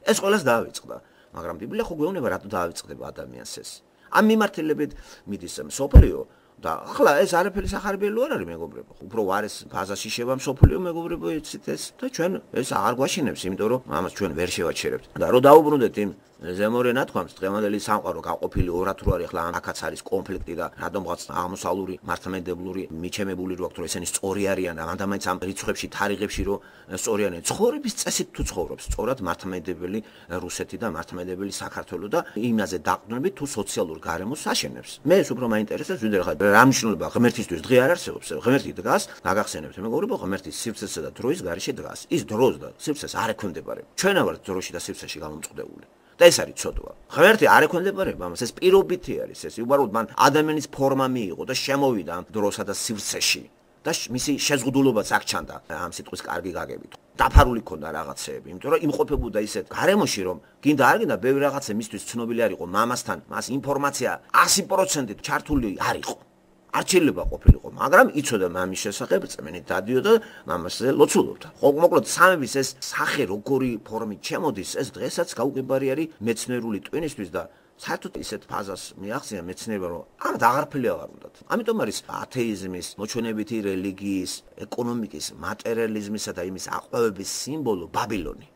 ეს ყველას დაავიწყდა. მაგრამ ბიბლია ხო გვეუბნება რატო დაავიწყდება ადამიანს ეს? ამ მიმართულებით მიდის მსოფლიო და ახლა ეს არაფერი სახარბიელო არ არის მეგობრებო. უფრო ვარეს ფაზაში შევა მსოფლიო მეგობრებო, იცით ეს და ჩვენ ეს აღარ გვაშინებს, იმიტომ რომ ამას ჩვენ ვერ შევაჩერებთ. და რო დაუბრუნდეთ იმ ზემორე ნათქვამს, დღევანდელი სამყარო გაყოფილი ორად რო არის, ახლა აქაც არის კონფლიქტი და რადგანაც აღმოსავლური მართლმადიდებლური მიჩემებული რო აქვს, რომ ესენი სწორი არიან და მანდამაინც ამ რიცხვებში, თარიღებში რო სწორი არიან, ცხოვრების წესით თუ ცხოვრობს, სწორად მართლმადიდებელი რუსეთი და მართლმადიდებელი საქართველო და იმაზე დაყრდნობით თუ სოციალურ გარემოს აშენებს. მე ეს უფრო მაინტერესებს, ვიდრე ხა რა მნიშვნელობა ღმერთისთვის დღე არ არსებობს. ღმერთი დგას, გაგახსენებთ მეგობრებო, ღმერთი სივრცესა და დროის გარეშე დგას. ის დროს და სივრცეს არ ექვემდებარება. ჩვენ ვართ დროში და სივრცეში გამომწყდეული. და ეს არის ცოდვა. ღმერთი არ ექვემდებარება ამას, ეს პირობითი არის, ეს უბრალოდ მან ადამიანის ფორმა მიიღო და შემოვიდა ამ დროსა და სივრცეში და მისი შეზღუდულობაც აქ ჩანდა ამ სიტყვის კარგი გაგებით. დაფარული ქონდა რაღაცეები, იმიტომ რომ იმყოფებოდა ისეთ გარემოში, რომ გინდა არ გინდა ბევრი რაღაცა მისთვის ცნობილი არ იყო მამასთან, მას ინფორმაცია sto პროცენტით ჩართული არ იყო. არ შეიძლება ყოფილიყო, მაგრამ იცოდა მამის შესახებ, წმენით დადიოდა, მამასზე ლოცულობდა. ხო, მოკლედ სამების ეს სახე როგორი ფორმით შემოდის, ეს დღესაც გაუგებარი არის მეცნიერული ტვინისთვის და საერთოდ ისეთ ფაზას მიაღწია მეცნიერება, რომ ამ აღარფილი აღარ უნდათ. ამიტომ არის ათეიზმის, მოჩვენებითი რელიგიის, ეკონომიკის, მატერიალიზმისა და იმის აყვავების სიმბოლო ბაბილონი.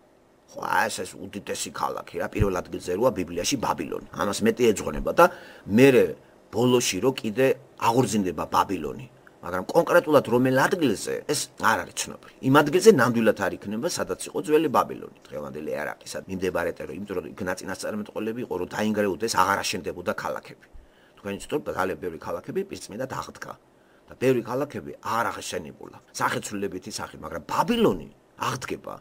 ხო, ეს ეს უდიდესი ქალაქი რა, პირველ ადგილზე როა ბიბლიაში ბაბილონი. ამას მეტი ეძღვნება და მე ბოლოში რო კიდე აღორძინდება ბაბილონი. მაგრამ კონკრეტულად რომელ ადგილზე ეს არ არის ცნობილი. იმ ადგილზე ნამდვილად არ იქნება, სადაც იყო ძველი ბაბილონი, დღევანდელი ერაყი, სად მიმდებარე ტერო, იმიტომ რომ იქ ნაწინასწარმეტყველები იყო, რომ დაინგრეუდეს, აღარ აშენდებოდა ქალაქები. თქვენ იცით, რომ ძალიან ბევრი ქალაქები პირწმინდად აღდგა და ბევრი ქალაქები არ აღშენებულა. სახეცვლილებითი სახით, მაგრამ ბაბილონი აღდგება.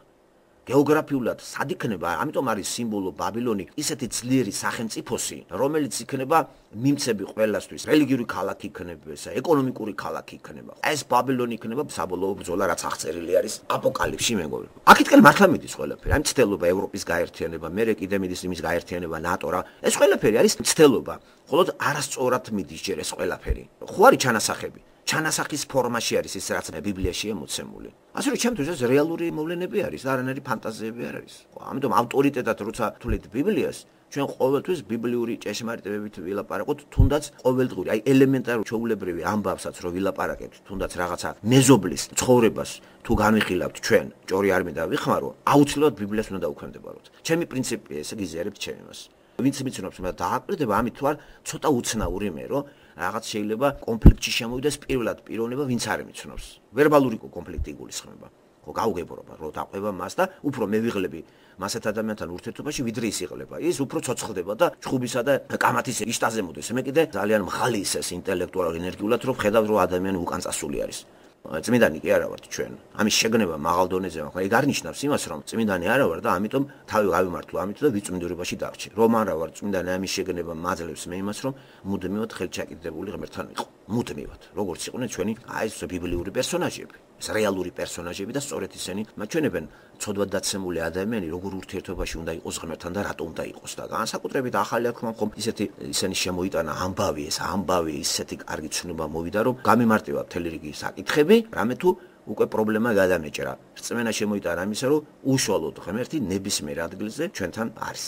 გეოგრაფიულად სად იქნება, ამიტომ არის სიმბოლო ბაბილონი, ისეთი ძლიერი სახელმწიფოსი, რომელიც იქნება მიმცები ყველასთვის, რელიგიური ქალაქი იქნება, ეკონომიკური ქალაქი იქნება. ეს ბაბილონი იქნება საბოლოო ბრძოლა, რაც აღწერილი არის აპოკალიფსში, მეგობრებო. აქეთკენ მართლა მიდის ყველაფერი. ამ ცდელობა ევროპის გაერთიანება, მერე კიდე მიდის იმის გაერთიანება ნატო რა. ეს ყველაფერი არის ცდელობა. მხოლოდ არასწორად მიდის ჯერ ეს ყველაფერი. ხო არის ჩანასახები. ჩანასახის ფორმაში არის ის რაც ბიბლიაშია მოცემული. ასე რომ ჩემთვის ეს რეალური მოვლენები არის და არანაირი ფანტაზიები არ არის. ამიტომ ავტორიტეტად როცა თulit ბიბლიას, ჩვენ ყოველთვის ბიბლიური ჭეშმარიტებებით ვილაპარაკოთ, თუნდაც ყოველდღიური, აი ელემენტარული ჩვეულებრივი ამბავსაც რო ვილაპარაკებთ, თუნდაც რაღაცა მეზობლის ცხოვრებას თუ განვიხილავთ ჩვენ, ჭორი არ მინდა ვიხმარო, აუცილებლად ბიბლიას უნდა დაუქვემდებაროთ. ჩემი პრინციპია ესე გიზიარებთ ჩემ იმას. ვინც მიცნობს მე დააკვირდება ამით თუ არ ცოტა უცნაური მე რომ რაღაც შეიძლება კონფლიქტში შემოვიდეს პირველად პიროვნება ვინც არ მიცნობს. ვერბალური კონფლიქტი იგულისხმება. ხო გაუგებრობა რომ დაყვება მას და უფრო მე ვიღლები მასეთ ადამიანთან ურთიერთობაში ვიდრე ის იღლება. ის უფრო ცოცხლდება და ჩხუბისა და კამათის იშტაზე მოდის. მე კიდე ძალიან მაღალი ის ეს ინტელექტუალურ ენერგიულად რომ ხედავ რომ ადამიანი უკან წასული არის. წმინდანი კი არა ვართ ჩვენ. ამის შეგნება მაღალ დონეზე მაქვს. ეგ არ ნიშნავს იმას რომ წმინდანი არა ვარ და ამიტომ თავი გავიმართლო ამით და ვიწმინდურობაში დარჩი. რომ არა ვარ წმინდანი ამის შეგნება მაძლევს მე იმას რომ მუდმივად ხელჩაკიდებული ღმერთთან ვიყო. მუდმივად. როგორც იყვნენ ჩვენი აი ეს ბიბლიური პერსონაჟები. ეს რეალური პერსონაჟები და სწორედ ისინი მაჩვენებენ ცოდვად დაცემული ადამიანი როგორ ურთიერთობაში უნდა იყოს ღმერთთან და რატო უნდა იყოს და განსაკუთრებით ახალი აქმა ხომ ისეთი ისინი შემოიტანა ამბავი ეს ამბავი ისეთი კარგი ცნობა მოვიდა რომ გამიმარტივა მთელი რიგი საკითხები რამე თუ უკვე პრობლემა გადამეჭრა რწმენა შემოიტანა იმისა რომ უშუალოდ ღმერთი ნებისმიერ ადგილზე ჩვენთან არის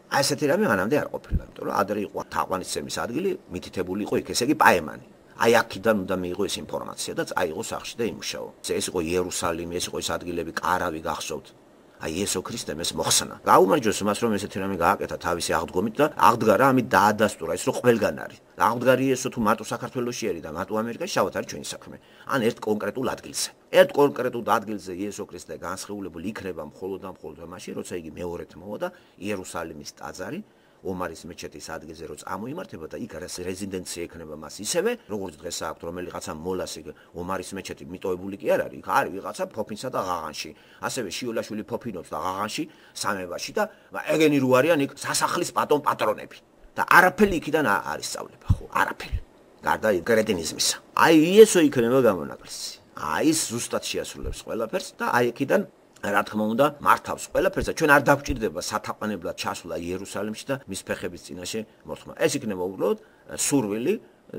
აი ესეთი რამე მანამდე არ ყოფილა იმიტომ რომ ადრე იყო თაყვანისცემის ადგილი მითითებული იყო იქ ესე იგი პაემანი აი აქიდან უნდა მიიღო ეს ინფორმაცია და აიღო სახში და იმუშაო. ეს იყო იერუსალიმი, ეს იყო ეს ადგილები, კარავი გახსოვთ. აი იესო ქრისტემ ეს მოხსნა. გაუმარჯოს მას რომ ესეთი რამე გააკეთა თავისი აღდგომით და აღდგა რა ამით დაადასტურა ის რომ ყველგან არის. აღდგარი ესო თუ მარტო საქართველოში არის და მარტო ამერიკაში შავად არის ჩვენი საქმე. ან ერთ კონკრეტულ ადგილზე. ერთ კონკრეტულ ადგილზე იესო ქრისტე განსხეულებული იქნება მხოლოდ და მხოლოდ მაშინ, როცა იგი მეორედ მოვა და იერუსალიმის ტაძარი ომარის მეჩეთის ადგილზე რო წამოიმართება და იქ არის რეზიდენცია ექნება მას ისევე როგორც დღეს აქვს რომელიღაცა მოლას იქ ომარის მეჩეთი მიტოვებული კი არ არის იქ არის ვიღაცა ფოფინსა და ღაღანში ასევე შიოლაშვილი ფოფინობს და ღაღანში სამებაში და ეგენი რო არიან იქ სასახლის პატონ პატრონები და არაფერი იქიდან არ ისწავლება ხო არაფერი გარდა კრეტინიზმისა აი იესო იქნება გამონაკლისი აი ის ზუსტად შეასრულებს ყველაფერს და აი იქიდან რა თქმა უნდა მართავს ყველაფერს და ჩვენ არ დაგვჭირდება სათაყვანებლად ჩასვლა იერუსალიმში და მის ფეხების წინაშე მოხმა. ეს იქნება უბრალოდ სურვილი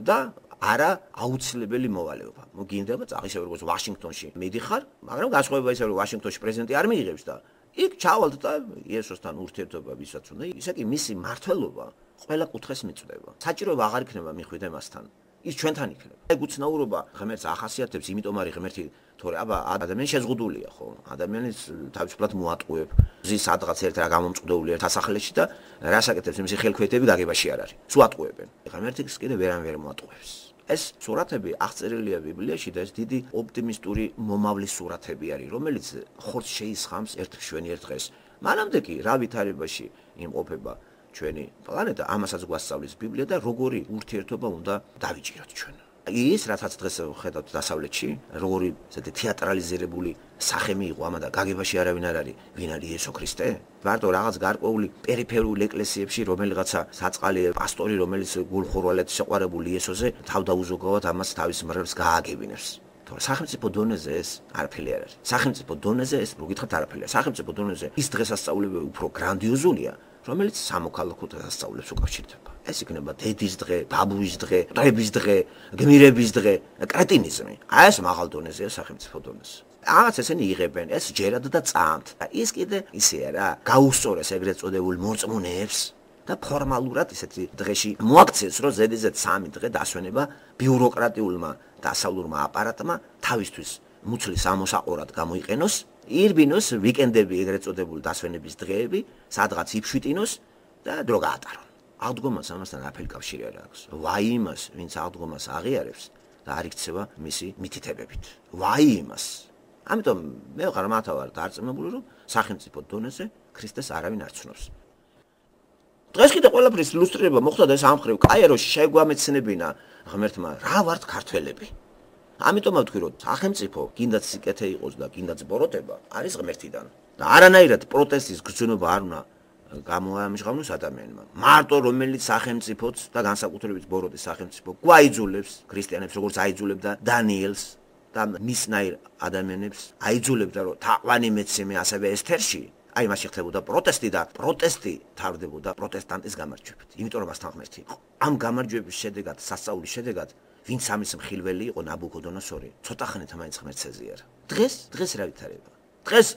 და არა აუცილებელი მოვალეობა. მოგინდება წაღისევ როგორც ვაშინგტონში მიდიხარ, მაგრამ განსხვავება ისე რომ ვაშინგტონში პრეზიდენტი არ მიიღებს და იქ ჩავალთ და იესოსთან ურთიერთობა ვისაც უნდა, ისე კი მისი მართლობა ყველა კუთხეს მიწვდება. საჭიროება აღარ იქნება მიხვიდე მასთან. ის ჩვენთან იქნება. ეგ უცნაურობა ღმერთს ახასიათებს, იმიტომ არის ღმერთი თორე აბა ადამიანი შეზღუდულია ხო? ადამიანის თავისუფლად მოატყუებ. ზის სადღაც ერთ რა გამომწყდეული ერთ ასახლეში და რას აკეთებს იმისი ხელქვეითები გაგებაში არ არის. სულ ატყუებენ. ღმერთს კიდე ვერან ვერ მოატყუებს. ეს სურათები აღწერილია ბიბლიაში და ეს დიდი ოპტიმისტური მომავლის სურათები არის, რომელიც ხორცს შეისხამს ერთ შვენიერ დღეს. მანამდე კი რა ვითარებაში იმყოფება ჩვენი პლანეტა, ამასაც გვასწავლის ბიბლია და როგორი ურთიერთობა უნდა დავიჭიროთ ჩვენ. ის რასაც დღეს ხედავთ დასავლეთში, როგორი ესეთი თეატრალიზირებული სახე მიიღო ამა და გაგებაში არავინ არ არის, ვინ არის იესო ქრისტე? მარტო რაღაც გარკვეული პერიფერულ ეკლესიებში რომელიღაცა საწყალი პასტორი, რომელიც გულხურვალედ შეყვარებული იესოზე თავდაუზოგავად ამას თავის მრევლს გააგებინებს. თორე სახელმწიფო დონეზე ეს არაფერი არ არის. სახელმწიფო დონეზე ეს მოგითხრათ არაფერია. სახელმწიფო დონეზე ის დღესასწაულები უფრო გრანდიოზულია. რომელიც სამოქალაქო დასწავლებს უკავშირდება. ეს იქნება დედის დღე, ბაბუის დღე, დრების დღე, გმირების დღე, კრეტინიზმი. აი ეს მაღალ დონეზეა სახელმწიფო დონეზე. რაღაც ესენი იღებენ, ეს ჯერად და წამთ. ის კიდე ისეა რა, გაუსწორეს ეგრეთ წოდებულ მორწმუნეებს და ფორმალურად ისეთი დღეში მოაქცეს, რომ ზედიზედ სამი დღე დასვენება ბიუროკრატიულმა დასავლურმა აპარატმა თავისთვის მუცლის ამოსაყორად გამოიყენოს. ირბინოს ვიკენდები ეგრეთ წოდებული დასვენების დღეები, სადღაც იფშვიტინოს და დრო გაატარონ. აღდგომას ამასთან არაფერი კავშირი არ აქვს. ვაი იმას, ვინც აღდგომას აღიარებს და არ იქცევა მისი მითითებებით. ვაი იმას. ამიტომ მე ვხარ მათა ვარ დარწმუნებული, რომ სახელმწიფო დონეზე ქრისტეს არავინ არ ცნობს. დღეს კიდე ყველაფრის ილუსტრირება მოხდა და ეს ამხრივ კაიროში შეგვამეცნებინა ღმერთმა რა ვართ ქართველები. ამიტომ ვთქვი, რომ სახელმწიფო კიდაც სიკეთე იყოს და კიდაც ბოროტება არის ღმერთიდან. და არანაირად პროტესტის გრძნობა არ უნდა გამოამჟღავნოს ადამიანმა. მარტო რომელიც სახელმწიფოც და განსაკუთრებით ბოროტის სახელმწიფო გვაიძულებს ქრისტიანებს, როგორც აიძულებდა დანიელს და მისნაირ ადამიანებს აიძულებდა, რომ თაყვანი მეცემე ასევე ესთერში. აი მასში ხდებოდა პროტესტი და პროტესტი თავდებოდა პროტესტანტის გამარჯვებით. იმიტომ რომ მასთან ღმერთი იყო. ამ გამარჯვების შედეგად, სასწაულის შედეგად, ვინც ამის მხილველი იყო ნაბუქოდონოსორი, ცოტა ხნით მაინც ღმერთს ეზიარა. დღეს, დღეს რა ვითარება? დღეს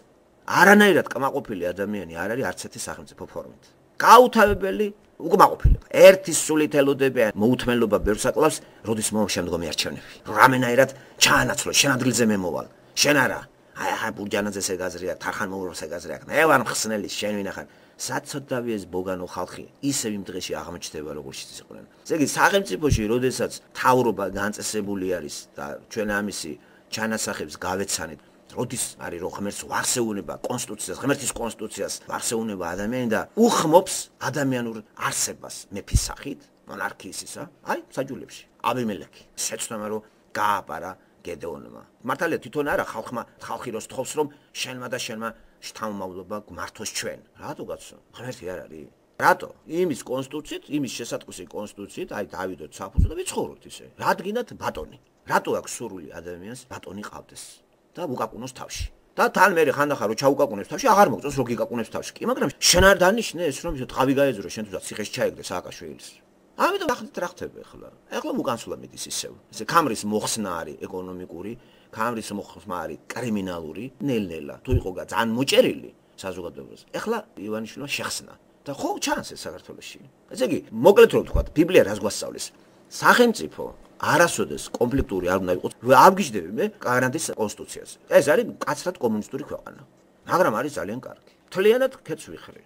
არანაირად კმაყოფილი ადამიანი არ არის არც ერთი სახელმწიფო ფორმით. გაუთავებელი უკმაყოფილება. ერთის სულით ელოდებიან მოუთმენლობა ბევრს აკლავს, როდის მოვა შემდგომი არჩევნები. რამენაირად ჩაანაცვლო, შენ ადგილზე მე მოვალ. შენ არა. აი ახლა ბურჯანაძეს ეგაზრია, თარხან მოუროს ეგაზრია. მე ვარ მხსნელი, შენ ვინ ახარ? საცოდავი ეს ბოგანო ხალხი ისევ იმ დღეში აღმოჩნდება როგორც იყვნენ. ესე იგი სახელმწიფოში, როდესაც თავრობა განწესებული არის და ჩვენ ამისი ჩანასახებს გავეცანით, როდის არის რომ ღმერთს ვახსეუნება კონსტიტუციას, ღმერთის კონსტიტუციას ვახსეუნება ადამიანი და უხმობს ადამიანურ არსებას მეფის სახით, მონარქიის ისა, აი საჯულებში. აბიმელექი შეცდომა რომ გააპარა გედეონმა. მართალია თვითონ არა ხალხმა ხალხი როს თხოვს რომ შენმა და შენმა შთამომავლობა გმართოს ჩვენ. რატო კაცო? ღმერთი არ არის? რატო? იმის კონსტიტუციით, იმის შესატყვისი კონსტიტუციით, აი დავიდოთ საფუძვლა და ვიცხოვროთ ისე. რადგანაც ბატონი. რატო აქვს სურვილი ადამიანს ბატონი ყავდეს და უკაკუნოს თავში. და თან მე ხანდახან რო ჩაუკაკუნებს თავში, აღარ მოგწონს რო გიკაკუნებს თავში. კი, მაგრამ შენ არ დანიშნე ეს რომ თავი გაეძრო შენ თუნდაც ციხეში ჩაიგდე სააკაშვილის. ამიტომ ახლა რა ხდება ახლა? ახლა უკანსვლა მიდის ისევ. ესე ქამრის მოხსნა არის ეკონომიკური, ქამრის მოხსნა არის კრიმინალური, ნელ-ნელა. თუ იყო ძალიან მოჭერილი საზოგადოებას. ახლა ივანიშვილმა შეხსნა. და ხო ჩანს ეს საქართველოში. ესე იგი, მოკლედ რომ ვთქვა, ბიბლია რას გვასწავლის? სახელმწიფო არასოდეს კონფლიქტური არ უნდა იყოს. ავგიჟდები მე კანადის კონსტიტუციაზე. ეს არის კაცრად კომუნისტური ქვეყანა. მაგრამ არის ძალიან კარგი. თლიანად ქეთს ვიხრი.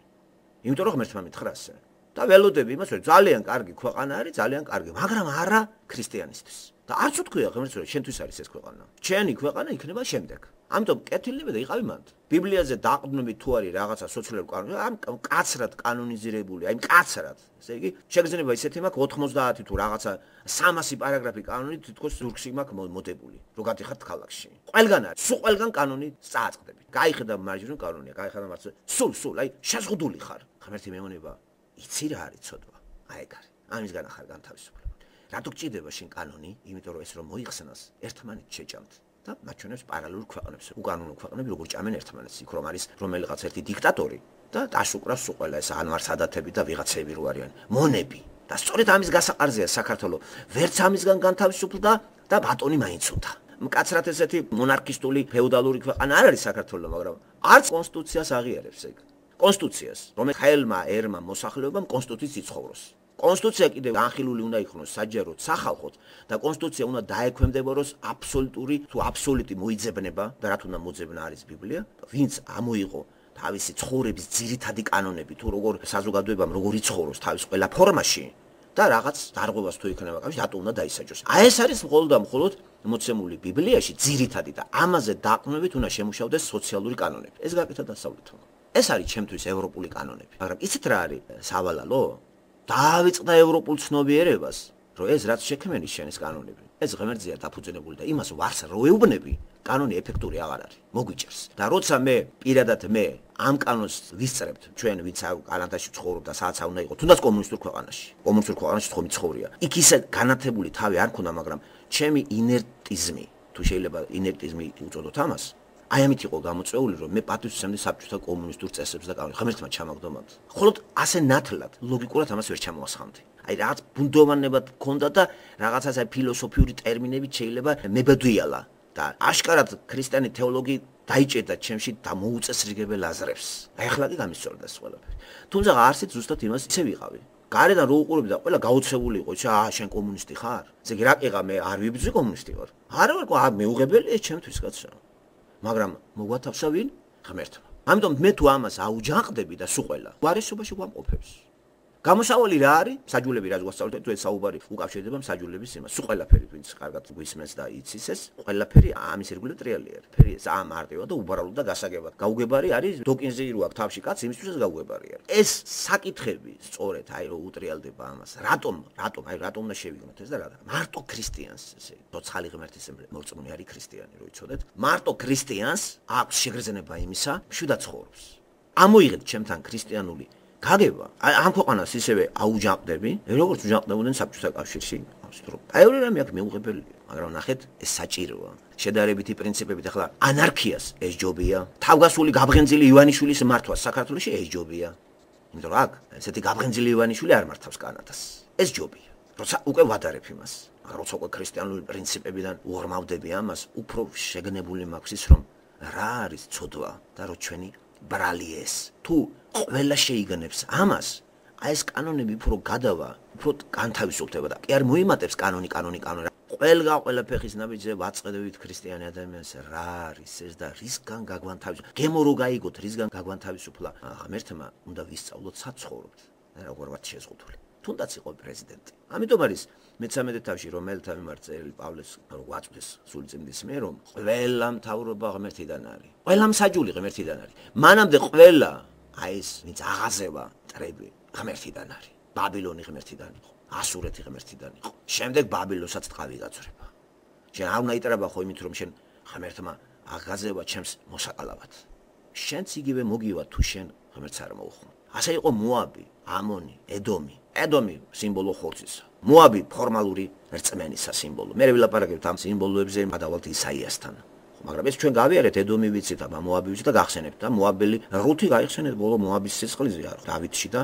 იმიტომ რომ ღმერთმა მითხრა ასე. და ველოდები იმას რომ ძალიან კარგი ქვეყანა არის, ძალიან კარგი, მაგრამ არა ქრისტიანისთვის. და არც უთქვია ღმერთს რომ შენთვის არის ეს ქვეყანა. ჩემი ქვეყანა იქნება შემდეგ. ამიტომ კეთილდება და იყავი მანდ. ბიბლიაზე დაყრდნობით თუ არის რაღაცა სოციალური კანონი, ამ კაცრად კანონიზირებული, აი კაცრად. ესე იგი, შეგრძნება ისეთი მაქვს ოთხმოცდაათი თუ რაღაცა სამასი პარაგრაფი კანონი თითქოს ზურგში მაქვს მოდებული, რო გადიხართ ქალაქში. ყველგან არის, სულ ყველგან კანონი წააწყდები. გაიხედა მარჯვნივ კანონია, გაიხედა მარცხნივ. სულ, სულ, აი შეზღუდული ხარ. ღმერთი მეუბნება, იცი რა არის ცოდვა? აი ეგ არის. ამისგან ახარ განთავისუფლება. რატო გჭირდება შენ კანონი? იმიტომ რომ ეს რომ მოიხსნას, ერთმანეთს შეჭამთ. და მაჩვენებს პარალელურ ქვეყნებს. უკანონო ქვეყნები როგორ ჭამენ ერთმანეთს, იქ რომ არის რომელიღაც ერთი დიქტატორი და დაშუკრავს სულ ყველა ეს ანვარს ადათები და ვიღაცები რო არიან. მონები. და სწორედ ამის გასაყარზეა საქართველოს. ვერც ამისგან განთავისუფლდა და ბატონი მაინც უნდა. მკაცრად ესეთი მონარქისტული феოდალური ქვეყანა არ არის საქართველოს, მაგრამ არც კონსტიტუციას აღიარებს ეგ. კონსტიტუციას, რომელიც ხელმა ერმა მოსახლეობამ კონსტიტუციის იცხოვროს. კონსტიტუცია კიდევ განხილული უნდა იქნოს საჯაროდ სახალხოდ და კონსტიტუცია უნდა დაექვემდებაროს აბსოლუტური თუ აბსოლუტი მოიძებნება და რა თუნდა მოძებნა არის ბიბლია, ვინც ამოიღო თავისი ცხოვრების ძირითადი კანონები თუ როგორ საზოგადოებამ როგორ იცხოვროს თავის ყველა ფორმაში და რაღაც დარღვევას თუ იქნება კავშირი, რატო უნდა დაისაჯოს. აი ეს არის მხოლოდ და მხოლოდ მოცემული ბიბლიაში ძირითადი და ამაზე დაყრდნობით უნდა შემუშავდეს სოციალური კანონები. ეს გაკეთა დასავლეთმა. ეს არის ჩემთვის ევროპული კანონები. მაგრამ იცით რა არის სავალალო? დაავიწყდა ევროპულ ცნობიერებას, რომ ეს რაც შექმნის შენის კანონები. ეს ღმერთზეა დაფუძნებული და იმას ვარს რო ეუბნები, კანონი ეფექტური აღარ არის. მოგვიჭერს. და როცა მე პირადად მე ამ კანონს ვისწრებთ, ჩვენ ვინც კანადაში ცხოვრობ და სადაც უნდა იყო, თუნდაც კომუნისტურ ქვეყანაში. კომუნისტურ ქვეყანაში თქო მიცხოვრია. იქ ისე განათებული თავი არ ქონდა, მაგრამ ჩემი ინერტიზმი, თუ შეიძლება ინერტიზმი უწოდოთ ამას, აი ამით იყო გამოწვეული, რომ მე პატივს ვსცემდი საბჭოთა კომუნისტურ წესებს და კანონებს. ღმერთმა ჩამაგდომად. ხოლოდ ასე ნათლად, ლოგიკურად ამას ვერ ჩამოვასხამდი. აი რაღაც ბუნდოვანება მქონდა და რაღაცას აი ფილოსოფიური ტერმინებით შეიძლება მებედვიალა და აშკარად ქრისტიანი თეოლოგი დაიჭერდა ჩემში და მოუწესრიგებელ აზრებს. აი ახლა კი გამისწორდა ეს ყველაფერი. თუმცა არსით ზუსტად იმას ისე ვიყავი. გარედან რო უყურებდი და ყველა გაოცებული იყო, ისა აა შენ კომუნისტი ხარ? ესე იგი რა ყიღა მე არ ვიბრძვი კომუნისტი ვარ. არა ვარ, მეუღებელია ჩემთვის კაცო. მაგრამ მოგვათავსა ვინ? ღმერთმა. ამიტომ მე თუ ამას აუჯანყდები და სულ ყველა გვარესობაში გვამყოფებს. გამოსავალი რა არის? საჯულები რაც გვასწავლეთ, თუ ეს საუბარი უკავშირდება საჯულების იმას. სულ ყველაფერი ვინც კარგად გვისმენს და იცის ეს, ყველაფერი ამის ირგვლივ ტრიალია. ფერი ამ მარტივად და უბარალოდ და გასაგებად. გაუგებარი არის დოკინზე რო აქვს თავში კაც, იმისთვის ეს გაუგებარი არის. ეს საკითხები სწორედ აი რო უტრიალდება ამას. რატომ? რატომ? აი რატომ და შევიგნოთ ეს და რა? მარტო ქრისტიანს ესე ცოცხალი ღმერთის მორწმუნე არის ქრისტიანი, რო იცოდეთ. მარტო ქრისტიანს აქვს შეგრძნება იმისა, მშვიდად ცხოვრობს. ამოიღეთ ჩემთან ქრისტიანული გაგება. ამ ქვეყანას ისევე აუჯანყდები, როგორც უჯანყდებოდნენ საბჭოთა კავშირში. აი ორი რამე აქ მეუღებელია, მაგრამ ნახეთ, ეს საჭიროა. შედარებითი პრინციპებით ახლა ანარქიას ეს ჯობია. თავგასული გაბრენძილი ივანიშვილის მართვა საქართველოში ეს ჯობია. იმიტომ რომ აქ ესეთი გაბრენძილი ივანიშვილი არ მართავს კანადას. ეს ჯობია. როცა უკვე ვადარებ იმას, მაგრამ როცა უკვე ქრისტიანული პრინციპებიდან უღრმავდები ამას, უფრო შეგნებული მაქვს ის რომ რა არის ცოდვა და რო ჩვენი ბრალი ეს. თუ ყველა შეიგნებს ამას, აი ეს კანონები უფრო გადავა, უფრო განთავისუფლდება და კი არ მოიმატებს კანონი, კანონი, კანონი. ყველგა ყველა ფეხის ნაბიჯზე ვაწყდებით ქრისტიანი ადამიანს რა არის ეს და რისგან გაგვანთავისუფლა. გემო რო გაიგოთ, რისგან გაგვანთავისუფლა. ღმერთმა უნდა ვისწავლოთ საცხოვროთ. როგორ ვართ შეზღუდული. თუნდაც იყო პრეზიდენტი. ამიტომ არის მეთერთმეტე თავში რომელთა მიმართ წერილი პავლეს რო გვაწვდეს სულწმინდის მიერ რომ ყველა მთავრობა ღმერთიდან არის. ყველა მსაჯული ღმერთიდან არის. მანამდე ყველა აი ეს ვინც აღაზევა ტრები ღმერთიდან არის. ბაბილონი ღმერთიდან იყო. ასურეთი ღმერთიდან იყო. შემდეგ ბაბილოსაც ტყავი გაწვრება. შენ არ უნდა იტრება ხო იმით რომ შენ ღმერთმა აღაზევა ჩემს მოსაკალავად. შენც იგივე მოგივა თუ შენ ღმერთს არ მოუხმო. ასე იყო მოაბი, ამონი, ედომი. ედომი სიმბოლო ხორცისა. მოაბი ფორმალური რწმენისა სიმბოლო. მე ვილაპარაკებ ამ სიმბოლოებზე გადავალთ ისაიასთან. მაგრამ ეს ჩვენ გავიარეთ ედომი ვიცით და მოაბი ვიცით და გახსენებთ და მოაბელი რუთი გაიხსენეთ ბოლო მოაბის სისხლზე არ დავითში და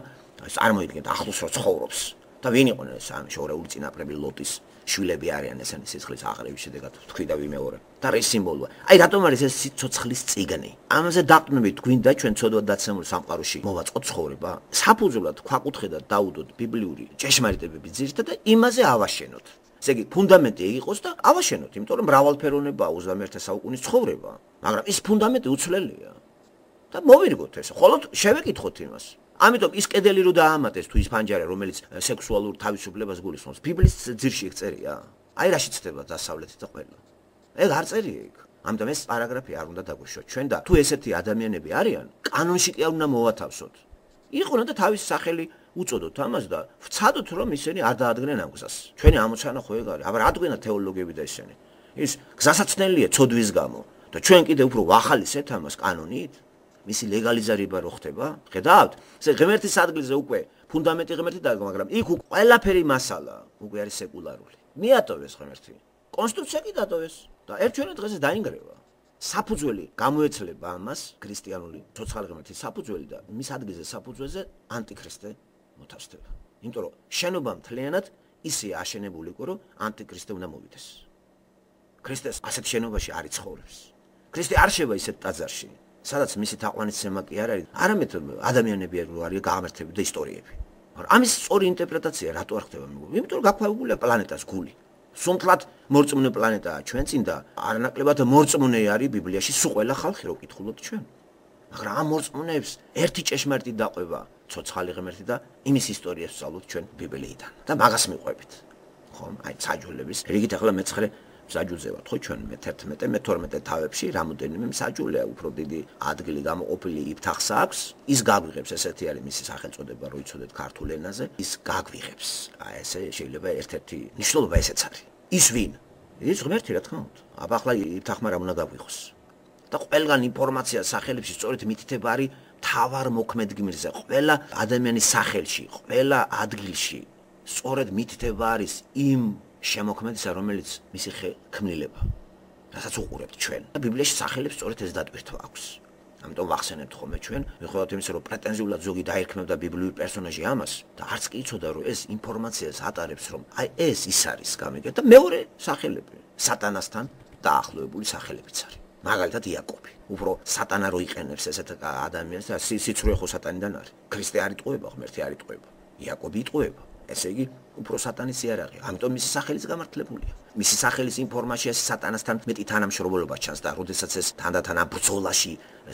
წარმოიდგინეთ ახლოს რო ცხოვრობს. და ვინ იყო ეს ამ შორეული წინაპრები ლოტის შვილები არიან ესენი სისხლის აღრევის შედეგად თქვი და ვიმეორე. და ეს სიმბოლოა. აი რატომ არის ეს სიცოცხლის წიგნი? ამაზე დაყნობით გვინდა ჩვენ ცოდვად დაცემული სამყაროში მოვაწყოთ ცხოვრება. საფუძვლად ქვაკუთხედა დაუდოთ ბიბლიური ჭეშმარიტებები ძირითადად და იმაზე ავაშენოთ. ესე იგი ფუნდამენტი იყოს და ავაშენოთ, იმიტომ რომ მრავალფეროვნებაა ოცდამეერთე საუკუნის ცხოვრება. მაგრამ ის ფუნდამენტი უცვლელია. და მოვირგოთ ეს. ხოლოდ შევეკითხოთ იმას. ამიტომ ის კედელი რო დაამატეს თუ ის ფანჯარა რომელიც სექსუალურ თავისუფლებას გულისხმობს ბიბლის ძირში ეგ წერია აი რაში ცდება დასავლეთით და ყველა ეგ არ წერია ეგ ამიტომ ეს პარაგრაფი არ უნდა დაგვიშვათ ჩვენ და თუ ესეთი ადამიანები არიან კანონში კი არ უნდა მოვათავსოთ იყვნენ და თავის სახელი უწოდოთ ამას და ვცადოთ რომ ისინი არ დაადგენენ ამ გზას ჩვენი ამოცანა ხო ეგ არის აბა რა დგენა თეოლოგები და ისინი ის გზასაცნელია ცოდვის გამო და ჩვენ კიდე უფრო ვახალისეთ ამას კანონით მისი ლეგალიზება რო ხდება, ხედავთ? ესე ღმერთის ადგილზე უკვე ფუნდამენტი ღმერთი დადგა, მაგრამ იქ უკვე ყველაფერი მასალა უკვე არის სეკულარული. მიატოვეს ღმერთი. კონსტიტუცია კი დატოვეს და ერთგვარად დღეზე დაინგრევა. საფუძველი გამოეცლება ამას ქრისტიანული ცოცხალი ღმერთის საფუძველი და მის ადგილზე საფუძველზე ანტიქრისტე მოთავსდება. იმიტომ რომ შენობა მთლიანად ისე აშენებული იყო, რომ ანტიქრისტე უნდა მოვიდეს. ქრისტეს ასეთ შენობაში არ იცხოვრებს. ქრისტე არ შევა ისეთ ტაძარში. სადაც მისი თაყვანისცემა კი არ არის, არამედ ადამიანები რო არის გაამერთები და ისტორიები. მაგრამ ამის სწორი ინტერპრეტაცია რატო არ ხდება? იმიტომ რომ გაქვავებულია პლანეტას გული. სუნთლად მორწმუნე პლანეტაა ჩვენ წინ და არანაკლებად მორწმუნე არის ბიბლიაში სულ ყველა ხალხი რო ვკითხულობთ ჩვენ. მაგრამ ამ მორწმუნეებს ერთი ჭეშმარიტი დაყვება ცოცხალი ღმერთი და იმის ისტორიას ვსწავლობთ ჩვენ ბიბლიიდან და მაგას მიყვებით. ხო, აი საჯულების რიგით ახლა მეცხრე საჯულზე ვართ ხო ჩვენ მეთერთმეტე მეთორმეტე თავებში რამოდენიმე საჯულია უფრო დიდი ადგილი გამოყოფილი იფთახს აქვს ის გაგვიღებს ესეთი არის მისი სახელწოდება რო იცოდეთ ქართულ ენაზე ის გაგვიღებს აი ესე შეიძლება ერთ-ერთი ნიშნულობა ესეც არის ის ვინ ის ღმერთი რა თქმა უნდა აბა ახლა იფთახმა რა უნდა გაგვიღოს და ყველგან ინფორმაცია სახელებში სწორედ მითითება არის თავარ მოქმედ გმირზე ყველა ადამიანის სახელში ყველა ადგილში სწორედ მითითება არის იმ შემოქმედისა რომელიც მისი ქმნილება რასაც უყურებთ ჩვენ და ბიბლიაში სახელებს სწორედ ეს დატვირთვა აქვს ამიტომ ვახსენებთ ხოლმე ჩვენ მიუხედავად იმისა რომ პრეტენზიულად ზოგი დაერქმევდა ბიბლიური პერსონაჟი ამას და არც კი იცოდა რომ ეს ინფორმაციას ატარებს რომ აი ეს ის არის გამიგეთ და მეორე სახელები სატანასთან დაახლოებული სახელებიც არის მაგალითად იაკობი უფრო სატანა რო იყენებს ესეთ ადამიანს და სიცრუე ხო სატანიდან არის ქრისტე არ იტყუება ღმერთი არ იტყუება იაკობი იტყუება ესე იგი უფრო სატანის იარაღი. ამიტომ მისი სახელიც გამართლებულია. მისი სახელის ინფორმაცია სატანასთან მეტი თანამშრომლობა ჩანს და როდესაც ეს თანდათან ამ ბრძოლაში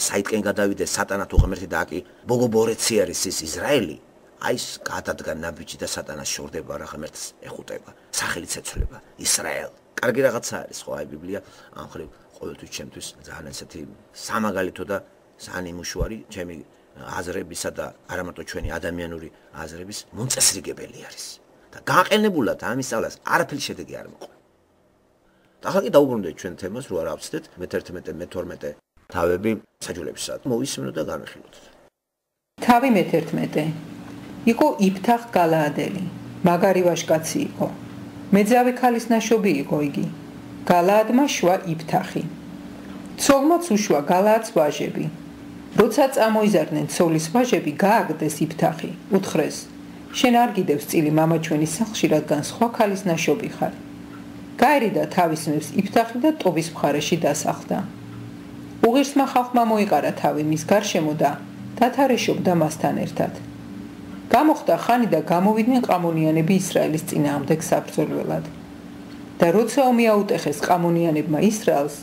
საიტკენ გადავიდეს სატანა თუ ღმერთი და აკი ბოგობორეცი არის ის ისრაელი, აი ეს გადადგა ნაბიჯი და სატანას შორდება რა ღმერთს ეხუტება სახელიც ეცვლება ისრაელ კარგი რაღაცა არის ხო აი ბიბლია ამ ხრივ ყოველთვის ჩემთვის ძალიან ესეთი სამაგალითო და ძალიან იმუშვარი ჩემი აზრებისა და არა მარტო ჩვენი ადამიანური აზრების მონწესრიგებელი არის და გააყენებულად ამის სწავლას არაფერი შედეგი არ მოყვა და ახლა კი დაუბრუნდეთ ჩვენ თემას რო არ ავწდეთ მეთერთმეტე მეთორმეტე თავები საჯულებისა მოვისმინოთ და განვიხილოთ თავი მეთერთმეტე იყო იფთახ გალაადელი მაგარი ვაჟკაცი იყო მეძავი ქალის ნაშობი იყო იგი გალაადმა შვა იფთახი ცოლმაც უშვა გალაადს ვაჟები როცა წამოიზარდნენ ცოლის ვაჟები გააგდეს იფთახი უთხრეს შენ არ გიდევს წილი მამა ჩვენის სახლში რადგან სხვა ქალის ნაშობი ხარ გაერიდა თავის მებს იფთახი და ტობის მხარეში დასახლდა უღირსმა ხალხმა მოიყარა თავი მის გარშემო და დათარეშობდა მასთან ერთად გამოხდა ხანი და გამოვიდნენ ყამონიანები ისრაელის წინააღმდეგ საბრძოლველად და როცა ომი აუტეხეს ყამონიანებმა ისრაელს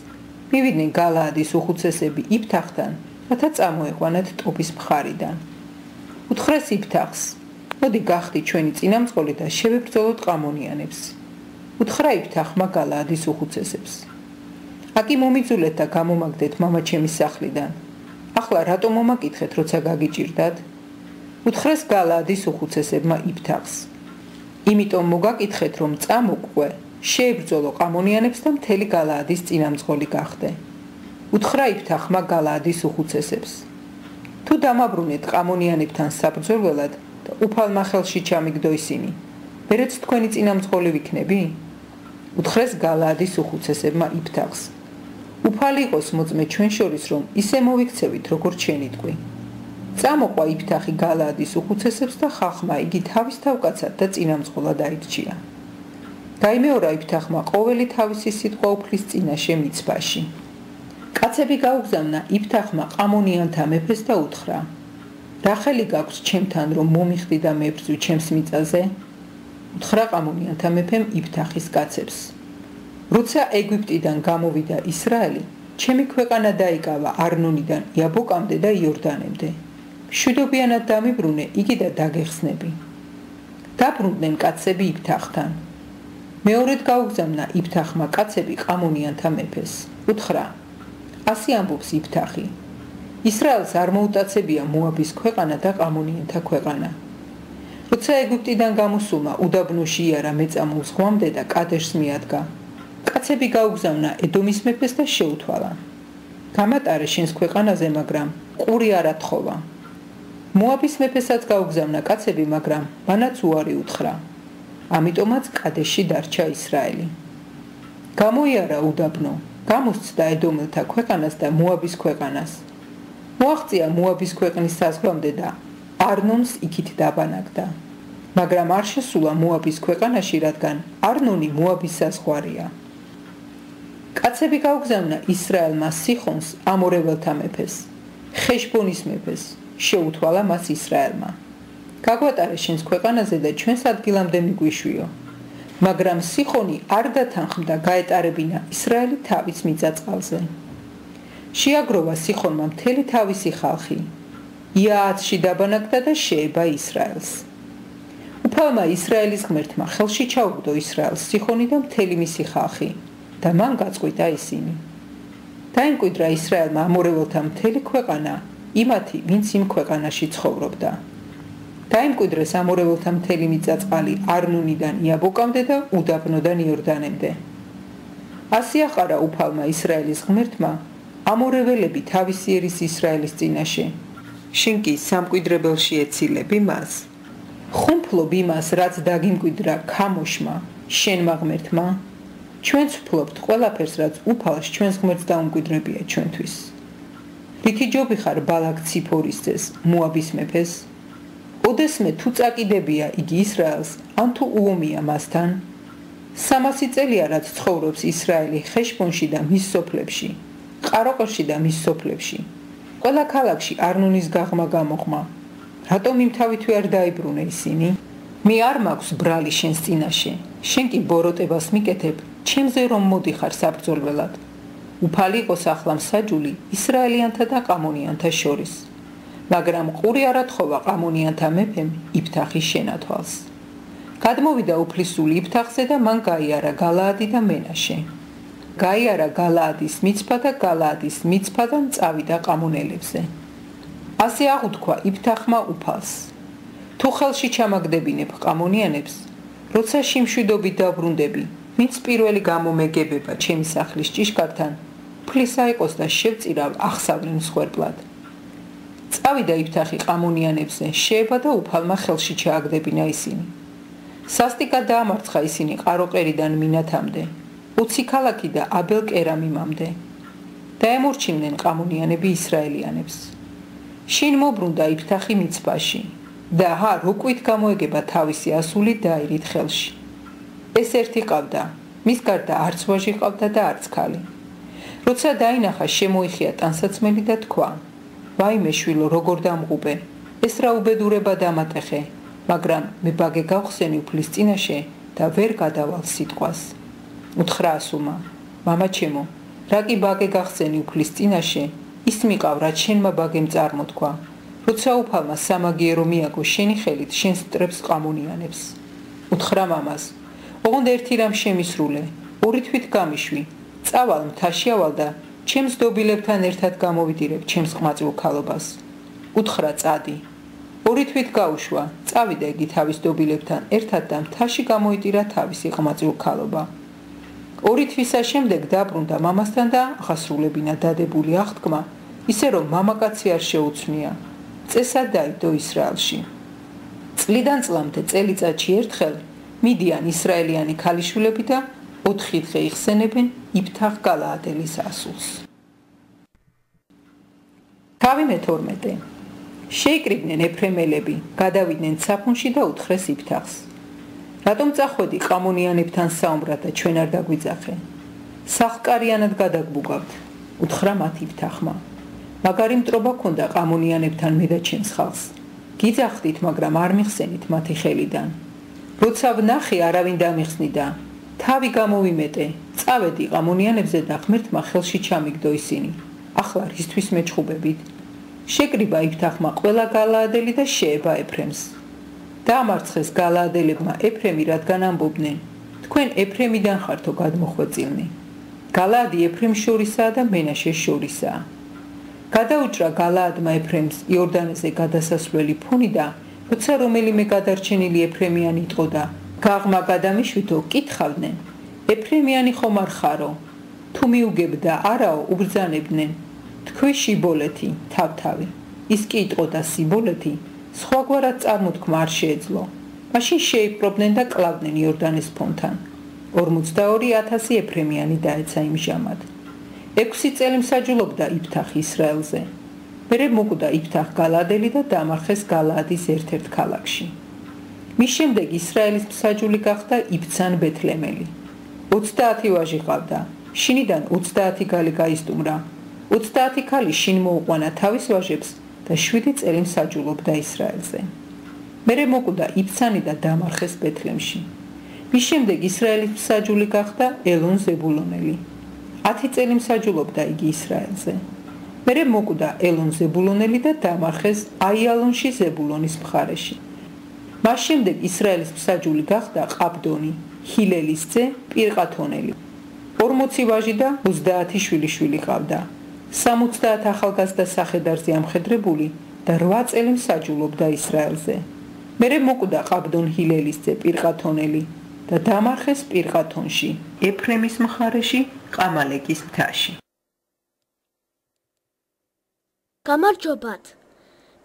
მივიდნენ გალაადის უხუცესები იფთახთან რათა წამოეყვანათ ტობის მხარიდან უთხრეს იფთახს მოდი გახდი ჩვენი წინამძღოლი და შევებრძოლოთ ყამონიანებს უთხრა იფთახმა გალაადის უხუცესებს აკი მომიძულეთ და გამომაგდეთ მამაჩემის სახლიდან ახლა რატომ მომაკითხეთ როცა გაგიჭირდათ უთხრეს გალაადის უხუცესებმა იფთახს იმიტომ მოგაკითხეთ რომ წამოყვე შეებრძოლო ყამონიანებს და მთელი გალაადის წინამძღოლი გახდე უთხრა იფთახმა გალაადის უხუცესებს თუ დამაბრუნეთ ყამონიანებთან საბრძოლველად და უფალმა ხელში ჩამიგდო ისინი ვერაც თქვენი წინამძღოლი ვიქნები უთხრეს გალაადის უხუცესებმა იფთახს უფალი იყოს მოწმე ჩვენ შორის რომ ისე მოვიქცევით როგორც შენი თქვი წამოყვა იფთახი გალაადის უხუცესებს და ხალხმა იგი თავის თავკაცად და წინამძღოლად აირჩია გაიმეორა იფთახმა ყოველი თავისი სიტყვა უფლის წინაშე მიცვაში კაცები გაუგზავნა იფთახმა ყამონიანთა მეფეს და უთხრა რა ხელი გაქვს ჩემთან რომ მომიხდი და მებრძვი ჩემს მიწაზე უთხრა ყამონიანთა მეფემ იფთახის კაცებს როცა ეგვიპტიდან გამოვიდა ისრაელი ჩემი ქვეყანა დაიკავა არნონიდან იაბოკამდე და იორდანემდე მშვიდობიანად დამიბრუნე იგი და დაგეხსნები დაბრუნდნენ კაცები იფთახთან მეორედ გაუგზავნა იფთახმა კაცები ყამონიანთა მეფეს უთხრა ასე ამბობს იფთახი ისრაელს არ მოუტაცებია მოაბის ქვეყანა და ყამონიანთა ქვეყანა როცა ეგვიპტიდან გამოსულმა უდაბნოში იარა მეწამულ ზღვამდე და კადეშს მიადგა კაცები გაუგზავნა ედომის მეფეს და შეუთვალა გამატარე შენს ქვეყანაზე მაგრამ ყური არ ათხოვა მოაბის მეფესაც გაუგზავნა კაცები მაგრამ მანაც უარი უთხრა ამიტომაც კადეშში დარჩა ისრაელი გამოიარა უდაბნო გამოსცდა ედომელთა ქვეყანას და მოაბის ქვეყანას მოაღწია მოაბის ქვეყნის საზღვამდე და არნონს იქით დაბანაკდა მაგრამ არ შესულა მოაბის ქვეყანაში რადგან არნონი მოაბის საზღვარია კაცები გაუგზავნა ისრაელმა სიხონს ამორეველთა მეფეს ხეშბონის მეფეს შეუთვალა მას ისრაელმა გაგვატარე შენს ქვეყანაზე და ჩვენს ადგილამდე მიგვიშვიო მაგრამ სიხონი არ დათანხმდა გაეტარებინა ისრაელი თავის მიწა-წყალზე შეაგროვა სიხონმა მთელი თავისი ხალხი იააცში დაბანაკდა და შეება ისრაელს უფალმა ისრაელის ღმერთმა ხელში ჩაუგდო ისრაელს სიხონი და მთელი მისი ხალხი და მან გაწყვიტა ისინი დაიმკვიდრა ისრაელმა ამორეველთა მთელი ქვეყანა იმათი ვინც იმ ქვეყანაში ცხოვრობდა დაიმკვიდრეს ამორეველთა მთელი მიწა-წყალი არნონიდან იაბოკამდე და უდაბნოდან იორდანემდე ასე აყარა უფალმა ისრაელის ღმერთმა ამორეველები თავისი ერის ისრაელის წინაშე შენ კი სამკვიდრებელში ეცილები მას ხუმფლობ იმას რაც დაგიმკვიდრა ქამოშმა შენმა ღმერთმა ჩვენც ვფლობთ ყველაფერს რაც უფალს ჩვენს ღმერთს დაუმკვიდრებია ჩვენთვის რითი ჯობი ხარ ბალაკ ციფორის ძეს მოაბის მეფეს ოდესმე თუ წაკიდებია იგი ისრაელს ან თუ უომია მასთან სამასი წელია რაც ცხოვრობს ისრაელი ხეშბონში და მის სოფლებში ყაროყოში და მის სოფლებში ყველა ქალაქში არნონის გაღმა გამოღმა რატომ იმთავითვე არ დაიბრუნე ისინი მე არ მაქვს ბრალი შენს წინაშე შენ კი ბოროტებას მიკეთებ ჩემზე რომ მოდიხარ საბრძოლველად უფალი იყოს ახლა მსაჯული ისრაელიანთა და ყამონიანთა შორის მაგრამ ყური არ ათხოვა ყამონიანთა მეფემ იფთახის შენათვალს. გადმოვიდა უფლისული იფთახზე და მან გაიარა გალაადი და მენაშე. გაიარა გალაადის მიცფა და გალაადის მიცფადან წავიდა ყამონელებზე. ასე აღუთქვა იფთახმა უფალს: თუ ხელში ჩამაგდებინებ ყამონიანებს, როცა შიმშვიდობით დაბრუნდები, ვინც პირველი გამომეგებება ჩემი სახლის ჭიშკართან, ფლისა იყოს და შევწირავ ახსავრენ მსხვერპლად. წავიდა იფთახი ყამონიანებზე, შეება და უფალმა ხელში ჩააგდებინა ისინი. სასტიკად დაამარცხა ისინი ყაროყერიდან მინათამდე, უცი ქალაქი და აბელ-კერამიმამდე. დაემორჩილნენ ყამონიანები ისრაელიანებს. შინ მობრუნდა იფთახი მიცფაში და ჰა როკვით გამოეგება თავისი ასული დაირით ხელში. ეს ერთი ყავდა, მის გარდა არც ვაჟი ყავდა და არც ქალი. როცა დაინახა, შემოიხია ტანსაცმელი და თქვა: ვაიმე შვილო, როგორ დამღუბე, ეს რა უბედურება დამატეხე, მაგრამ მე ბაგე გავხსენი უფლის წინაშე და ვერ გადავალ სიტყვას. უთხრა ასულმა: მამა ჩემო, რა კი ბაგე გახსენი უფლის წინაშე, ის მიყავ, რაც შენმა ბაგემ წარმოთქვა, როცა უფალმა სამაგიერო მიაგო შენი ხელით შენს მტრებს ყამონიანებს. უთხრა მამას: ოღონდ ერთი რამ შემისრულე, ორი თვით გამიშვი, წავალ მთაში ავალ და ჩემს დობილებთან ერთად გამოვიდირებ ჩემს ყმაწვილ ქალობას. უთხრა წადი. ორი თვით გაუშვა, წავიდა იგი თავის დობილებთან ერთად და მთაში გამოიტირა თავისი ყმაწვილ ქალობა. ორი თვისა შემდეგ დაბრუნდა მამასთან და ახასრულებინა დადებული აღთქმა, ისე რომ მამაკაცი არ შეუცვნია. წესად დაიდო ისრაელში. წლიდან წლამდე წელიწადში ერთხელ მიდიან ისრაელიანი ქალიშვილები და ოთხი დღე იხსენებენ იფთახ გალაადელის ასულს. თავი მეთორმეტე. შეიკრიბნენ ეფრემელები, გადავიდნენ საფუნში და უთხრეს იფთახს: რატომ წახვედი ყამონიანებთან საუბრად და ჩვენ არ დაგვიძახე? სახკარიანად გადაგბუგავთ. უთხრა მათ იფთახმა: მაგარი მტრობა ქონდა ყამონიანებთან მე და ჩემს ხალხს. გიძახდით, მაგრამ არ მიხსენით მათი ხელიდან. როცა ვნახე, არავინ დამიხსნიდა. თავი გამოვიმეტე, წავედი ყამონიანებზე და ღმერთმა ხელში ჩამიგდო ისინი. ახლა რისთვის მეჩხუბებით? შეკრიბა იფთახმა ყველა გალაადელი და შეება ეფრემს. დაამარცხეს გალაადელებმა ეფრემი, რადგან ამბობდნენ: თქვენ ეფრემიდან ხართო გადმოხვეწილნი. გალაადი ეფრემს შორისაა და მენაშეს შორისაა. გადაუჭრა გალაადმა ეფრემს იორდანეზე გადასასვლელი ფუნი და როცა რომელიმე გადარჩენილი ეფრემიანი იტყო და გაღმა გადამიშვითო, კითხავდნენ: ეფრემიანი ხომ არ ხარო? თუ მიუგებ და არაო, უბრძანებდნენ: თქვი შიბოლეთი, თავთავი. ის კი იტყო და სიბოლეთი, სხვაგვარად წარმოთქმა არ შეეძლო. მაშინ შეიპყრობდნენ და კლავდნენ იორდანეს ფონთან. ორმოცდაორი ათასი ეფრემიანი დაეცა იმჟამად. ექვსი წელი მსაჯულობდა იფთახ ისრაელზე. მერე მოკვდა იფთახ გალაადელი და დამარხეს გალაადის ერთ-ერთ ქალაქში. მის შემდეგ ისრაელის მსაჯული გახდა იბცან ბეთლემელი. ოცდაათი ვაჟი ყავდა, შინიდან ოცდაათი ქალი გაისტუმრა. ოცდაათი ქალი შინ მოუყვანა თავის ვაჟებს და შვიდი წელი მსაჯულობდა ისრაელზე. მერე მოკვდა იბცანი და დამარხეს ბეთლემში. მის შემდეგ ისრაელის მსაჯული გახდა ელონ ზებულონელი. ათი წელი მსაჯულობდა იგი ისრაელზე. მერე მოკვდა ელონ ზებულონელი და დამარხეს აიალონში ზებულონის მხარეში. მას შემდეგ ისრაელის მსაჯული გახდა ყაბდონი, ჰილელის ძე პირყათონელი. ორმოცი ვაჟი და ოცდაათი შვილიშვილი ყავდა. სამოცდაათ ახალგაზრდა სახედარზე ამხედრებული და რვა წელი მსაჯულობდა ისრაელზე. მერე მოკვდა ყაბდონ ჰილელის ძე პირყათონელი და დამარხეს პირყათონში, ეფრემის მხარეში, ყამალეკის მთაში. გამარჯობათ!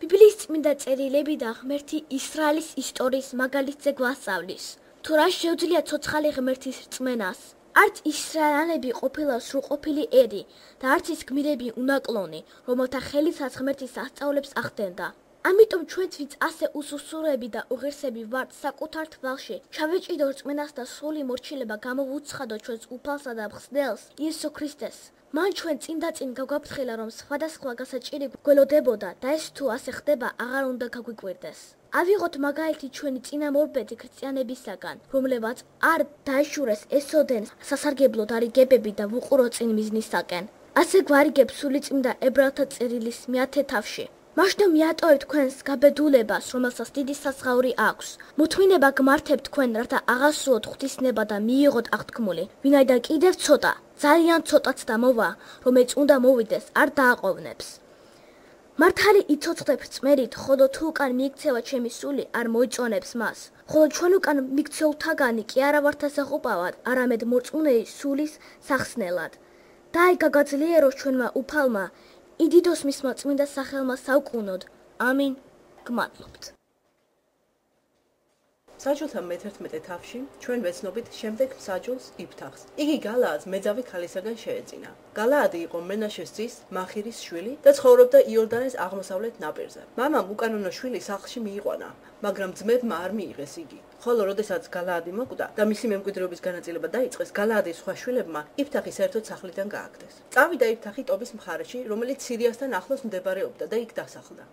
ბიბლიის წმინდა წერილები და ღმერთი ისრაელის ისტორიის მაგალითზე გვასწავლის, თუ რა შეუძლია ცოცხალი ღმერთის რწმენას. არც ისრაელიანები ყოფილა სრულყოფილი ერი და არც ის გმირები უნაკლონი, რომელთა ხელითაც ღმერთი სასწაულებს ახდენდა. ამიტომ ჩვენც ვინც ასე უსუსურები და უღირსები ვართ საკუთარ თვალში, ჩავეჭიდო რწმენას და სრული მორჩილება გამოვუცხადო ჩვენს უფალსა და მხსნელს, იესო ქრისტეს. მან ჩვენ წინ და წინ გაგვაფრთხილა, რომ სხვადასხვა გასაჭირი გველოდებოდა და ეს თუ ასე ხდება, აღარ უნდა გაგვიკვირდეს. ავიღოთ მაგალითი ჩვენი წინამორბედი ქრისტიანებისაგან, რომლებაც არ დაეშურეს ესოდენ სასარგებლო დარიგებები და ვუყურო წინ მიზნისაკენ. ასე გვარიგებს სული წმინდა ებრაელთა წერილის მეათე თავში. მაშინ მიატოვებ თქვენს გაბედულებას, რომელსაც დიდი საზღაური აქვს. მოთმინება გმართებ თქვენ, რათა აღასრულოთ ღვთისნება და მიიღოთ აღთქმული. ვინაიდან კიდევ ცოტა, ძალიან ცოტაც და მოვა, რომელიც უნდა მოვიდეს, არ დააყოვნებს. მართალი იცოცხლებ წმერით, ხოლო თუ უკან მიიქცევა ჩემი სული, არ მოიწონებს მას. ხოლო ჩვენ უკან მიქცეულთაგანი კი არა ვართ ასაყუპავად, არამედ მორწმუნეი სულის სახსნელად. და აი გაგაძლიეროს ჩვენმა უფალმა, იდიდოს მისმა წმინდა სახელმა საუკუნოდ. ამინ. გმადლობთ. საჯულთა მეთერთმეტე თავში ჩვენ ვეცნობით შემდეგ საჯულს იფთახს. იგი გალაადს მეძავი ქალისაგან შეეძინა. გალაადი იყო მენაშეს ძის მაჰირის შვილი და ცხოვრობდა იორდანეს აღმოსავლეთ ნაპირზე. მამამ უკანონო შვილი სახლში მიიყვანა, მაგრამ ძმებმა არ მიიღეს იგი. ხოლო როდესაც გალაადი მოკვდა და მისი მემკვიდრეობის განაწილება დაიწყეს, გალაადის სხვა შვილებმა იფთახი საერთოდ სახლიდან გააგდეს. წავიდა იფთახი ტობის მხარეში, რომელიც სირიასთან ახლოს მდებარეობდა და იქ დასახლდა.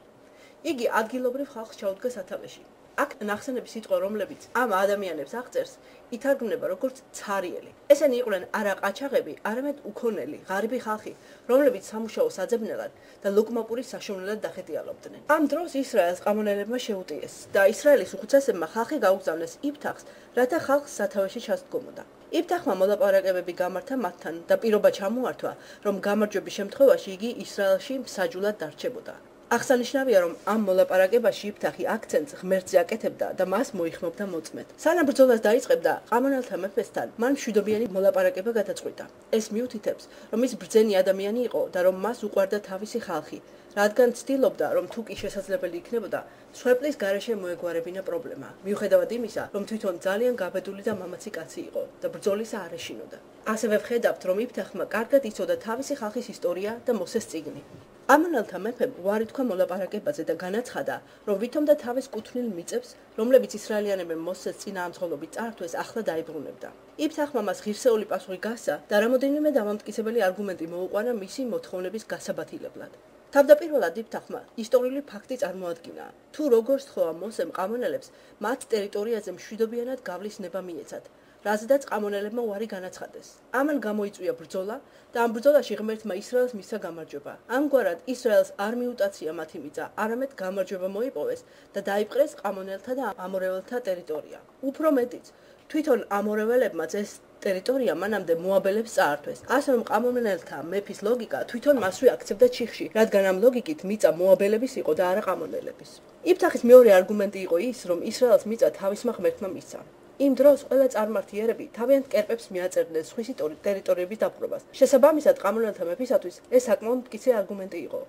იგი ადგილობრივ ხალხს ჩაუდგა სათავეში. აქ ნახსენების სიტყვა, რომლებიც ამ ადამიანებს აღწერს, ითარგმნება როგორც ცარიელი. ესენი იყვნენ არა ყაჩაღები, არამედ უქონელი, ღარიბი ხალხი, რომლებიც სამუშაოს აძებნელად და ლოკმაპურის საშოვნელად დახეტიალობდნენ. ამ დროს ისრაელს ყამონელებმა შეუტიეს და ისრაელის უხუცესებმა ხალხი გაუგზავნეს იფთახს, რათა ხალხს სათავეში ჩასდგომოდა. იფთახმა მოლაპარაკებები გამართა მათთან და პირობა ჩამოართვა, რომ გამარჯვების შემთხვევაში იგი ისრაელში მსაჯულად დარჩებოდა. აღსანიშნავია, რომ ამ მოლაპარაკებაში იფთახი აქცენტს ღმერთზე აკეთებდა და მას მოიხმობდა მოწმედ. სანამ ბრძოლას დაიწყებდა ყამონელთა მეფესთან, მან მშვიდობიანი მოლაპარაკება გადაწყვიტა. ეს მიუთითებს, რომ ის ბრძენი ადამიანი იყო და რომ მას უყვარდა თავისი ხალხი, რადგან ცდილობდა, რომ თუ კი შესაძლებელი იქნებოდა, სვეპლის გარეშე მოეგვარებინა პრობლემა. მიუხედავად იმისა, რომ თვითონ ძალიან გაბედული და მამაცი კაცი იყო და ბრძოლისა არ ეშინოდა. ასევე ვხედავთ, რომ იფთახმა კარგად იცოდა თავისი ხალხის ისტორია და მოსეს წიგნი. ამონელთა მეფემ უარი თქვა მოლაპარაკებაზე და განაცხადა, რომ ვითომდა თავის კუთვნილ მიწებს, რომლებიც ისრაელიანებმა მოსეს წინააღმდეგობით წართვეს, ახლა დაიბრუნებდა. იფთახმა მას ღირსეული პასუხი გასცა და რამოდენიმე დამამტკიცებელი არგუმენტი მოუყვანა მისი მოთხოვნების გასაბათილებლად. თავდაპირველად იფთახმა ისტორიული ფაქტი წარმოადგინა, თუ როგორ სთხოვა მოსემ ყამონელებს მათ ტერიტორიაზე მშვიდობიანად გავლის ნება მიეცათ, რაზედაც ყამონელებმა უარი განაცხადეს. ამან გამოიწვია ბრძოლა და ამ ბრძოლაში ღმერთმა ისრაელს მისცა გამარჯვება. ამგვარად ისრაელს არ მიუტაცია მათი მიწა, არამედ გამარჯვება მოიპოვეს და დაიპყრეს ყამონელთა და ამორეველთა ტერიტორია. უფრო მეტიც, თვითონ ამორეველებმაც ეს ტერიტორია მანამდე მოაბელებს წაართვეს. ასე რომ ყამონელთა მეფის ლოგიკა თვითონ მასვე აქცევდა ჩიხში, რადგან ამ ლოგიკით მიწა მოაბელების იყო და არა ყამონელების. იფთახის მეორე არგუმენტი იყო ის, რომ ისრაელს მიწა თავისმა ღმერთმა მისცა. იმ დროს ყველა წარმართიერები თავიანთ კერპებს მიაწერდნენ სხვისი ტერიტორიების დაპყრობას. შესაბამისად, ყამონელთა მეფისათვის ეს საკმაოდ მტკიცე არგუმენტი იყო.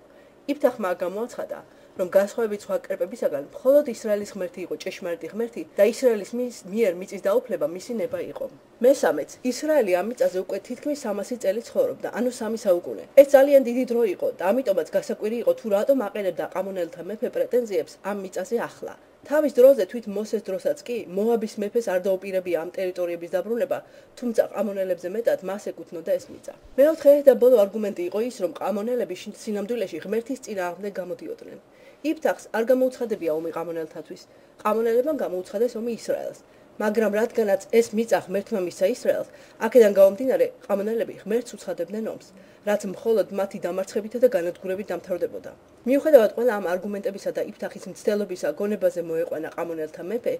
იფთახმა გამოაცხადა, რომ განსხვავებით სხვა კერპებისაგან, მხოლოდ ისრაელის ღმერთი იყო ჭეშმარიტი ღმერთი და ისრაელის მიერ მიწის დაუფლება მისი ნება იყო. მესამეც, ისრაელი ამ მიწაზე უკვე თითქმის სამასი წელი ცხოვრობდა, ანუ სამი საუკუნე. ეს ძალიან დიდი დრო იყო და ამიტომაც გასაკვირი იყო თუ რატომ აყენებდა ყამონელთა მეფე პრეტენზიებს ამ მიწაზე ახლა. თავის დროზე თვით მოსეს დროსაც კი მოაბის მეფეს არ დაუპირებია ამ ტერიტორიების დაბრუნება, თუმცა ყამონელებზე მეტად მას ეკუთვნოდა ეს მიწა. მეოთხე და ბოლო არგუმენტი იყო ის, რომ ყამონელები სინამდვილეში ღმერთის წინააღმდეგ გამოდიოდნენ. იფთახს არ გამოუცხადებია ომი ყამონელთათვის, ყამონელებმა გამოუცხადეს ომი ისრაელს. მაგრამ რადგანაც ეს მიწა ღმერთმა მისცა ისრაელს, აქედან გამომდინარე ყამონელები ღმერთს უცხადებდნენ ომს, რაც მხოლოდ მათი დამარცხებითა და განადგურებით დამთავრდებოდა. მიუხედავად ყველა ამ არგუმენტებისა და იფთახის მცდელობისა გონებაზე მოეყვანა ყამონელთა მეფე,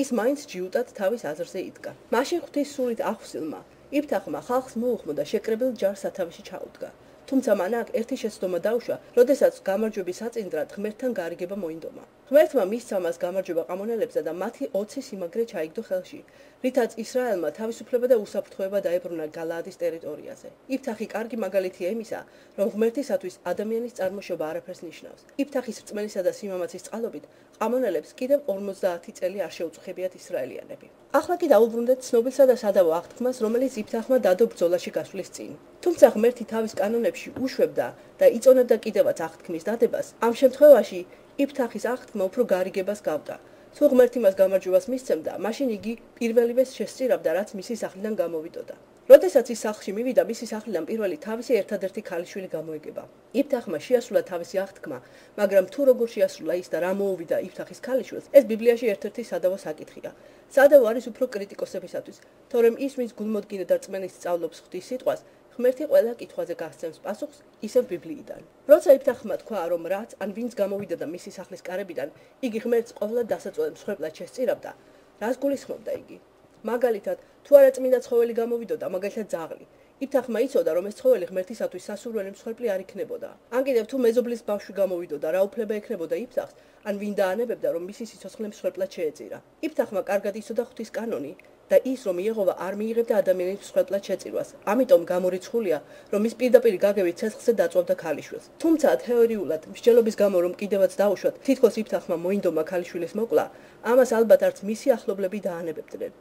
ის მაინც ჯიუტად თავის აზრზე იდგა. მაშინ ღვთის სულით ახსილმა იფთახმა ხალხს მოუხმო და შეკრებილ ჯარს სათავეში ჩაუდგა. თუმცა მან აქ ერთი შეცდომა დაუშვა, როდესაც გამარჯვების საწინდრად ღმერთთან გარიგება მოინდომა. ღმერთმა მისცა მას გამარჯვება ყამონელებზე და მათი ოცი სიმაგრე ჩაიგდო ხელში, რითაც ისრაელმა თავისუფლება და უსაფრთხოება დაებრუნა გალაადის ტერიტორიაზე. იფთახი კარგი მაგალითია იმისა, რომ ღმერთისათვის ადამიანის წარმოშობა არაფერს ნიშნავს. იფთახის რწმენისა და სიმამაცის წყალობით ყამონელებს კიდევ ორმოცდაათი წელი არ შეუწყებიათ ისრაელიანები. ახლა კი დაუბრუნდეთ ცნობილსა და სადავო აღთქმას, რომელიც იფთახმა დადო ბრძოლაში გასვლის წინ. თუმცა ღმერთი თავის კანონებში უშვებდა და იწონებდა კიდევაც აღთქმის დადებას, ამ შემთხვევაში იფთახის აღთქმა უფრო გარიგებას გავდა. თუ ღმერთი მას გამარჯვებას მისცემდა, მაშინ იგი პირველივეს შესწირავდა, რაც მისი სახლიდან გამოვიდოდა. როდესაც ის სახლში მივიდა, მისი სახლიდან პირველი თავისი ერთადერთი ქალიშვილი გამოეგება. იფთახმა შეასრულა თავისი აღთქმა, მაგრამ თუ როგორ შეასრულა ის და რა მოუვიდა იფთახის ქალიშვილს, ეს ბიბლიაში ერთ-ერთი სადავო საკითხია. სადავო არის უფრო კრიტიკოსებისათვის, თორემ ის, ვინც გულმოდგინე და რწმენით სწავლობს ღვთის სიტყვას, ღმერთი ყველა კითხვაზე გასცემს პასუხს ისევ ბიბლიიდან. როცა იფთახმა თქვა, რომ რაც ან ვინც გამოვიდა და მისი სახლის კარებიდან, იგი ღმერთს ყოველად დასაწვევად მსხვერპლად შესწირავდა, რას გულისხმობდა იგი? მაგალითად, თუ არა წმინდა ცხოველი გამოვიდოდა, მაგალითად ძაღლი, იფთახმა იცოდა, რომ ეს ცხოველი ღმერთისათვის სასურველი მსხვერპლი არ იქნებოდა. ან კიდევ თუ მეზობლის ბავშვი გამოვიდოდა, რა უფლება ექნებოდა იფთახს, ან ვინ დაანებებდა, რომ მისი სიცოცხლე მსხვერპლად შეეწირა. იფთახმა კარგად იცოდა ღვთის კანონი და ის, რომ იეჰოვა არ მიიღებდა ადამიანის მსხვერპლად შეწირვას. ამიტომ გამორიცხულია, რომ ის პირდაპირ გაგებით ცეცხლზე დაწვავდა ქალიშვილს. თუმცა თეორიულად, მსჯელობის გამო რომ კიდევაც დაუშვათ, თითქოს იფთახმა მოინდომა ქალიშვილის მოკლა, ამას ალბათ არც მისი ახლობლები დაანებებდნენ.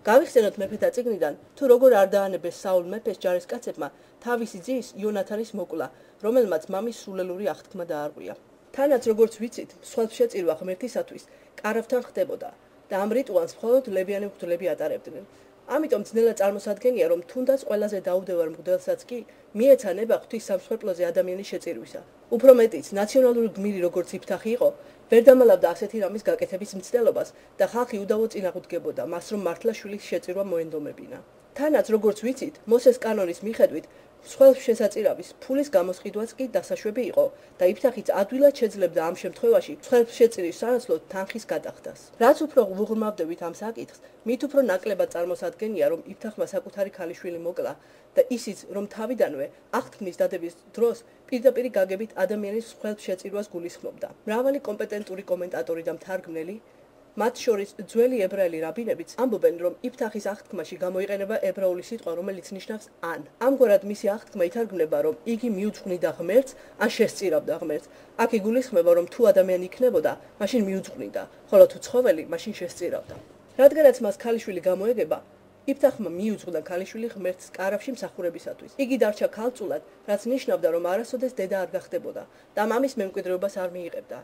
გავიხსენოთ მეფეთა წიგნიდან, თუ როგორ არ დაანებეს საულ მეფეს ჯარისკაცებმა თავისი ძის იონათანის მოკლა, რომელმაც მამის სულელური აღთქმა დაარღვია. თანაც როგორც ვიცით, მსხვერპლ შეწირვა ღმერთისათვის კარავთან ხდებოდა და ამ რიტუალს მხოლოდ ლებიანი მღვდლები ატარებდნენ. ამიტომ ძნელად წარმოსადგენია, რომ თუნდაც ყველაზე დაუდევარ მღვდელსაც კი მიეცა ნება ღვთის სამსხვერპლოზე ადამიანის შეწირვისა. უფრო მეტიც, ნაციონალური გმირი როგორც იფთახი იყო, ვერ დამალავდა ასეთი რამის გაკეთების მცდელობას და ხალხი უდავოდ წინააღმდეგებოდა მას, რომ მართლა შვილის შეწირვა მოენდომებინა. თანაც როგორც ვიცით, მოსეს კანონის მიხედვით, მსხვერპლ შესაწირავის ფულის გამოსყიდვაც კი დასაშვები იყო და იფთახიც ადვილად შეძლებდა ამ შემთხვევაში მსხვერპლ შეწირის სანაცვლოდ თანხის გადახდას. რაც უფრო ვუღრმავდებით ამ საკითხს, მით უფრო ნაკლებად წარმოსადგენია, რომ იფთახმა საკუთარი ქალიშვილი მოკლა და ისიც, რომ თავიდანვე აღთქმის დადების დროს პირდაპირ გაგებით ადამიანის მსხვერპლ შეწირვას გულისხმობდა. მრავალი კომპეტენტური კომენტატორი და მთარგმნელი, მათ შორის ძველი ებრაელი რაბინებიც ამბობენ, რომ იფთახის აღთქმაში გამოიყენება ებრაული სიტყვა, რომელიც ნიშნავს ან. ამგვარად მისი აღთქმა ითარგმნება, რომ იგი მიუძღვნიდა ღმერთს, ან შესწირავდა ღმერთს. აქ იგულისხმება, რომ თუ ადამიანი იქნებოდა, მაშინ მიუძღვნიდა, ხოლო თუ ცხოველი, მაშინ შესწირავდა. რადგანაც მას ქალიშვილი გამოეგება, იფთახმა მიუძღვნა ქალიშვილი ღმერთს კარავში მსახურებისათვის. იგი დარჩა ქალწულად, რაც ნიშნავდა, რომ არასოდეს დედა არ გახდებოდა და მამის მემკვიდრეობას არ მიიღებდა.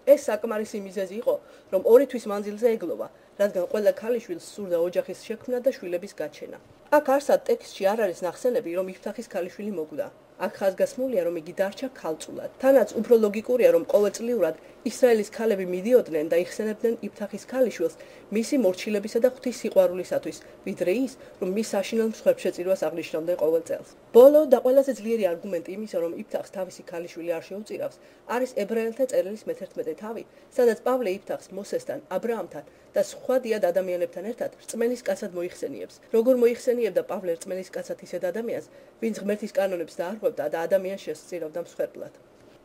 ეს საკმარისი მიზეზი იყო, რომ ორი თვის მანძილზე ეგლოვა, რადგან ყველა ქალიშვილს სურდა ოჯახის შექმნა და შვილების გაჩენა. აქ არსად ტექსტში არ არის ნახსენები, რომ იფთახის ქალიშვილი მოკვდა. აქ ხაზგასმულია, რომ იგი დარჩა ქალწულად. თანაც უფრო ლოგიკურია, რომ ყოველწლიურად ისრაელის ქალები მიდიოდნენ და იხსენებდნენ იფთახის ქალიშვილს მისი მორჩილებისა და ღვთის სიყვარულისათვის, ვიდრე ის, რომ მის საშინელ მსხვერპლ შეწირვას აღნიშნავდნენ ყოველ წელს. ბოლო და ყველაზე ძლიერი არგუმენტი იმისა, რომ იფთახს თავისი ქალიშვილი არ შეუწირავს, არის ებრაელთა წერილის მეთერთმეტე თავი, სადაც პავლე იფთახს მოსესთან, აბრაამთან და სხვა დიად ადამიანებთან ერთად რწმენის კაცად მოიხსენიებს. როგორ მოიხსენიებდა პავლე რწმენის კაცად ისეთ ადამიანს, ვინც ღმერთის კანონებს დაარღვევდა და ადამიანს შესწირავდა მსხვერპლად.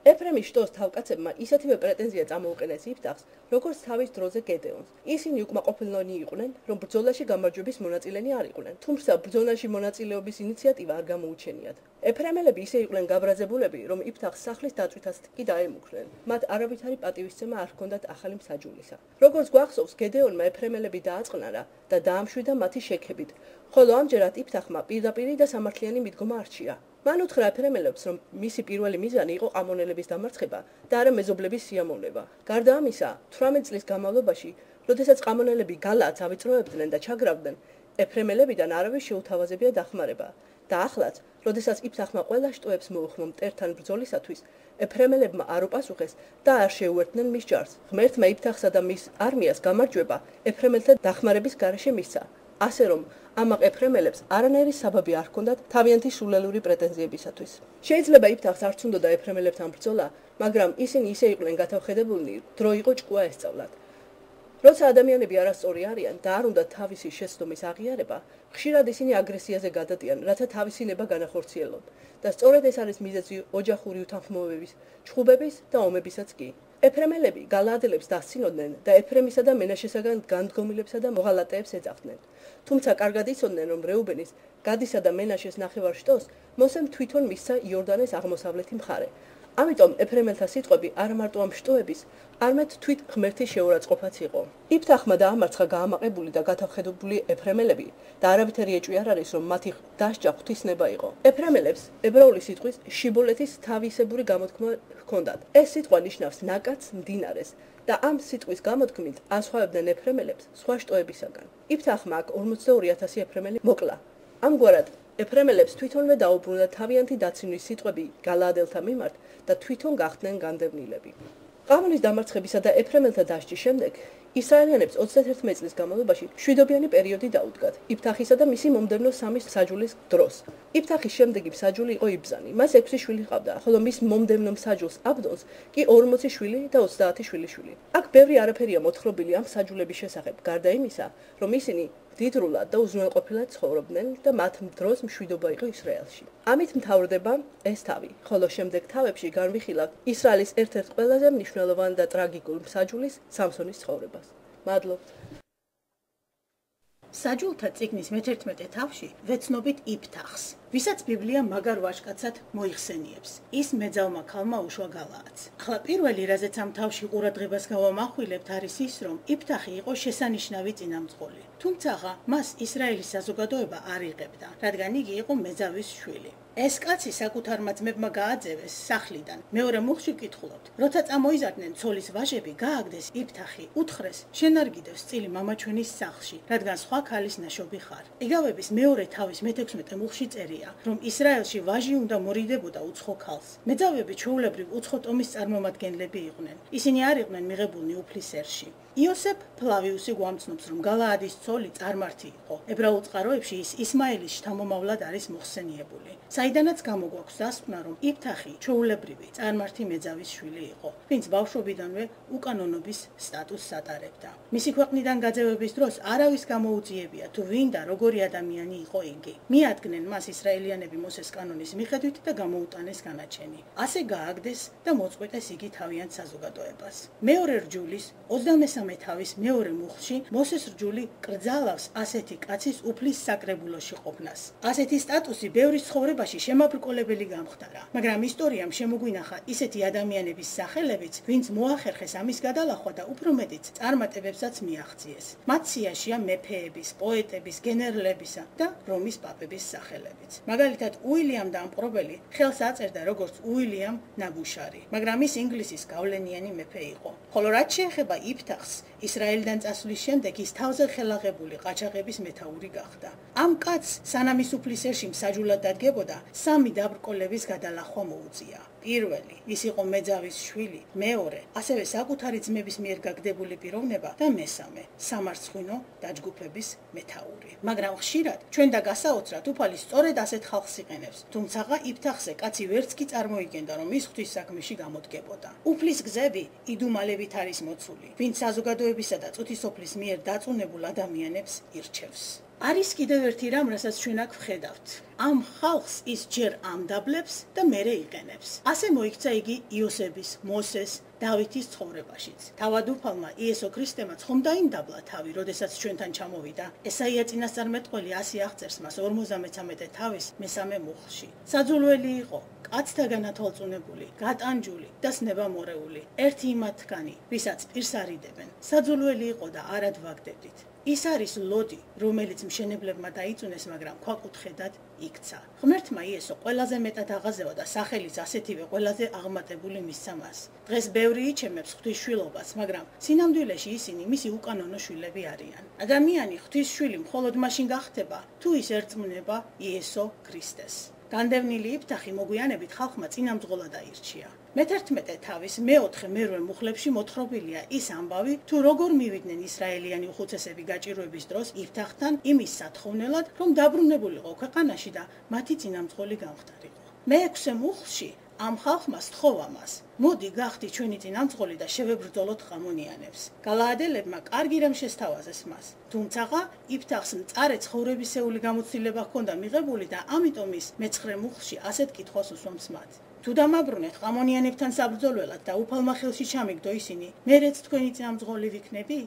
ეფრემის შტოს თავკაცებმა ისეთივე პრეტენზია წამოუყენეს იფთახს, როგორც თავის დროზე გედეონს. ისინი უკმაყოფილონი იყვნენ, რომ ბრძოლაში გამარჯვების მონაწილენი არ იყვნენ, თუმცა ბრძოლაში მონაწილეობის ინიციატივა არ გამოუჩენიათ. ეფრემელები ისე იყვნენ გაბრაზებულები, რომ იფთახს სახლის დაწვითაც კი დაემუქრნენ. მათ არავითარი პატივისცემა არ ჰქონდათ ახალი მსაჯულისა. როგორც გვახსოვს, გედეონმა ეფრემელები დააწყნარა და დაამშვიდა მათი შექებით, ხოლო ამჯერად იფთახმა პირდაპირ და სამართლიანი მიდგომა არჩია. მან უთხრა ეფრემელებს, რომ მისი პირველი მიზანი იყო ყამონელების დამარცხება და არა მეზობლების სიამოვნება. გარდა ამისა, თვრამეტ წლის განმავლობაში, როდესაც ყამონელები გალაადს ავიწროებდნენ და ჩაგრავდნენ, ეფრემელებიდან არავის შეუთავაზებია დახმარება. და ახლაც, როდესაც იფთახმა ყველა შტოებს მოუხმო მტერთან ბრძოლისათვის, ეფრემელებმა არ უპასუხეს და არ შეუერთდნენ მის ჯარს. ღმერთმა იფთახსა და მის არმიას გამარჯვება ეფრემელთა დახმარების გარეშე მისცა. ასე რომ, ამაყ ეფრემელებს არანაირი საბაბი არ ჰქონდათ თავიანთი სულელური პრეტენზიებისათვის. შეიძლება იფთახს არც უნდოდა ეფრემელებთან ბრძოლა, მაგრამ ისინი ისე იყვნენ გათავხედებულნი, დრო იყო ჭკუა ესწავლათ. როცა ადამიანები არასწორი არიან და არ უნდათ თავისი შეცდომის აღიარება, ხშირად ისინი აგრესიაზე გადადიან, რათა თავისი ნება განახორციელონ. და სწორედ ეს არის მიზეზი ოჯახური უთანხმოებების, ჩხუბების და ომებისაც კი. ეფრემელები გალაადელებს დასცინოდნენ და ეფრემისა და მენაშესაგან განდგომილებსა და მოღალატეებს ეძახდნენ. თუმცა კარგად იცოდნენ, რომ რეუბენის, გადისა და მენაშეს ნახევარ შტოს მოსემ თვითონ მისცა იორდანეს აღმოსავლეთი მხარე. ამიტომ ეფრემელთა სიტყვები არ მარტო ამ შტოების, არამედ თვით ღმერთის შეურაცხყოფაც იყო. იფთახმა დაამარცხა გაამაყებული და გათავხედებული ეფრემელები და არავითარი ეჭვი არ არის, რომ მათი დასჯა ღვთისნება იყო. ეფრემელებს ებრაული სიტყვის შიბოლეთის თავისებური გამოთქმა ჰქონდათ. ეს სიტყვა ნიშნავს ნაკადს, მდინარეს და ამ სიტყვის გამოთქმით ასხვავებდნენ ეფრემელებს სხვა შტოებისაგან. იფთახმა აქ ორმოცდაორი ათასი ეფრემელი მოკლა. ამგვარად, ეფრემელებს თვითონვე დაუბრუნდა თავიანთი დაცინვის სიტყვები გალაადელთა მიმართ და თვითონ გახდნენ განდევნილები. ყავმის დამარცხებისა და ეფრემელთა დასჯის შემდეგ ისრაელიანებს ოცდაერთი წლის განმავლობაში მშვიდობიანი პერიოდი დაუდგათ იფთახისა და მისი მომდევნო სამი მსაჯულის დროს. იფთახის შემდეგი მსაჯული იყო იბზანი. მას ექვსი შვილი ჰყავდა, ხოლო მის მომდევნო მსაჯულს აბდონს კი ორმოცი შვილი და ოცდაათი შვილიშვილი. აქ ბევრი არაფერია მოთხრობილი ამ მსაჯულების შესახებ, გარდა იმისა, რომ ისინი დიდრულად და უზრუნველყოფილად ცხოვრობდნენ და მათ დროს მშვიდობა იყო ისრაელში. ამით მთავრდება ეს თავი, ხოლო შემდეგ თავებში განვიხილავთ ისრაელის ერთ-ერთ ყველაზე მნიშვნელოვან და ტრაგიკულ მსაჯულის სამსონის ცხოვრებას. მადლობთ. საჯულთა წიგნის მეთერთმეტე თავში ვეცნობით იფთახს, ვისაც ბიბლია მაგარ ვაჟკაცად მოიხსენიებს. ის მეძავმა ქალმა უშვა გალაადს. ახლა პირველი, რაზეც ამ თავში ყურადღებას გავამახვილებთ, არის ის, რომ იფთახი იყო შესანიშნავი წინამძღოლი. თუმცა მას ისრაელის საზოგადოება არ იღებდა, რადგან იგი იყო მეძავის შვილი. ეს კაცი საკუთარმა ძმებმა გააძევეს სახლიდან. მეორე მუხლში ვკითხულობთ, როცა წამოიზარდნენ ცოლის ვაჟები, გააგდეს იფთახი, უთხრეს, შენ არ გიდევს წილი მამაჩვენის სახლში, რადგან სხვა ქალის ნაშობი ხარ. იგავების მეორე თავის მეთექვსმეტე მუხლში წერია, რომ ისრაელში ვაჟი უნდა მორიდებოდა უცხო ქალს. მეძავები ჩვეულებრივ უცხო ტომის წარმომადგენლები იყვნენ. ისინი არ იყვნენ მიღებულნი უფლის ერში. იოსებ ფლავიუსი გვამცნობს, რომ გალაადის ცოლი წარმართი იყო. ებრაულ წყაროებში ის ისმაელის შთამომავლად არის მოხსენიებული. საიდანაც გამოგვაქვს დასკვნა, რომ იფთახი ჩვეულებრივი წარმართი მეძავის შვილი იყო, ვინც ბავშვობიდანვე უკანონობის სტატუსს ატარებდა. მისი ქვეყნიდან გაძევების დროს არავის გამოუძიებია, თუ ვინ და როგორი ადამიანი იყო იგი. მიადგნენ მას ისრაელიანები მოსეს კანონის მიხედვით და გამოუტანეს განაჩენი. ასე გააგდეს და მოწყვეტეს იგი თავიანთ საზოგადოებას. მეორე რჯულის ოცდამესამე თავის მეორე მუხლში მოსეს რჯული კრძალავს ასეთი კაცის უფლის საკრებულოში ყოფნას. ასეთი სტატუსი ბევრი ცხოვრებაში შემაბრკოლებელი გამხდარა, მაგრამ ისტორიამ შემოგვინახა ისეთი ადამიანების სახელებიც, ვინც მოახერხეს ამის გადალახვა და უფრო მეტიც წარმატებებსაც მიაღწიეს. მათ სიაშია მეფეების, პოეტების, გენერლებისა და რომის პაპების სახელებიც. მაგალითად, უილიამ დამპყრობელი ხელს აწერდა როგორც უილიამ ნაბუშარი, მაგრამ ის ინგლისის გავლენიანი მეფე იყო. ხოლო რაც შეეხება იფთახს, ისრაელიდან წასვლის შემდეგ ის თავზე ხელაღებული ყაჩაღების მეთაური გახდა. ამ კაცს სანამ ის უფლის ერში მსაჯულად დადგებოდა, სამი დაბრკოლების გადალახვა მოუწია. პირველი, ის იყო მეძავის შვილი, მეორე, ასევე საკუთარი ძმების მიერ გაგდებული პიროვნება და მესამე, სამარცხვინო დაჯგუფების მეთაური. მაგრამ ხშირად ჩვენ და გასაოცრად უფალი სწორედ ასეთ ხალხს იყენებს, თუმცა იფთახზე კაცი ვერც კი წარმოიგენდა, რომ ის ღვთის საქმეში გამოდგებოდა. უფლის გზები იდუმალებით არის მოცული, ვინც საზოგადოებისა და წუთისოფლის მიერ დაწუნებულ ადამიანებს ირჩევს. არის კიდევ ერთი რამ, რასაც ჩვენ აქ ვხედავთ. ამ ხალხს ის ჯერ ამდაბლებს და მერე იყენებს. ასე მოიქცა იგი იოსების, მოსეს, დავითის ცხოვრებაშიც. თავად უფალმა იესო ქრისტემაც ხომ დაიმდაბლა თავი, როდესაც ჩვენთან ჩამოვიდა. ესაია წინასწარმეტყველი ასე აღწერს მას ორმოცდამეცამეტე თავის მესამე მუხლში. საძულველი იყო, კაცთაგან ათვალწუნებული, გატანჯული და სნებამორეული. ერთი იმათგანი, ვისაც პირს არიდებენ. საძულველი იყო და არად ვაგდებდით. ის არის ლოდი, რომელიც მშენებლებმა დაიწუნეს, მაგრამ ქვაკუთხედად იქცა. ღმერთმა იესო ყველაზე მეტად აღაზევა და სახელიც ასეთივე ყველაზე აღმატებული მისცა მას. დღეს ბევრი იჩემებს ღვთისშვილობას, მაგრამ სინამდვილეში ისინი მისი უკანონო შვილები არიან. ადამიანი ღვთის შვილი მხოლოდ მაშინ გახდება, თუ ის ერწმუნება იესო ქრისტეს. განდევნილი იფთახი მოგვიანებით ხალხმა წინამძღოლად აირჩია. მეთერთმეტე თავის მეოთხე მერვე მუხლებში მოთხრობილია ის ამბავი, თუ როგორ მივიდნენ ისრაელიანი უხუცესები გაჭირვების დროს იფთახთან იმის სათხოვნელად, რომ დაბრუნებულიყო ქვეყანაში და მათი წინამძღოლი გამხდარიყო. მეექვსე მუხლში ამ ხალხმა სთხოვა მას, მოდი გახდი ჩვენი წინამძღოლი და შევებრძოლოთ ყამონიანებს. გალაადელებმა კარგი რამ შესთავაზეს მას, თუმცა იფთახს მწარე ცხოვრებისეული გამოცდილება ჰქონდა მიღებული და ამიტომ ის მეცხრე მუხლში ასეთ კითხვას უსვამს მათ. თუ დამაბრუნეთ ყამონიანებთან საბრძოლველად და უფალმა ხელში ჩამიგდო ისინი, მერეც თქვენი წინამძღოლი ვიქნები?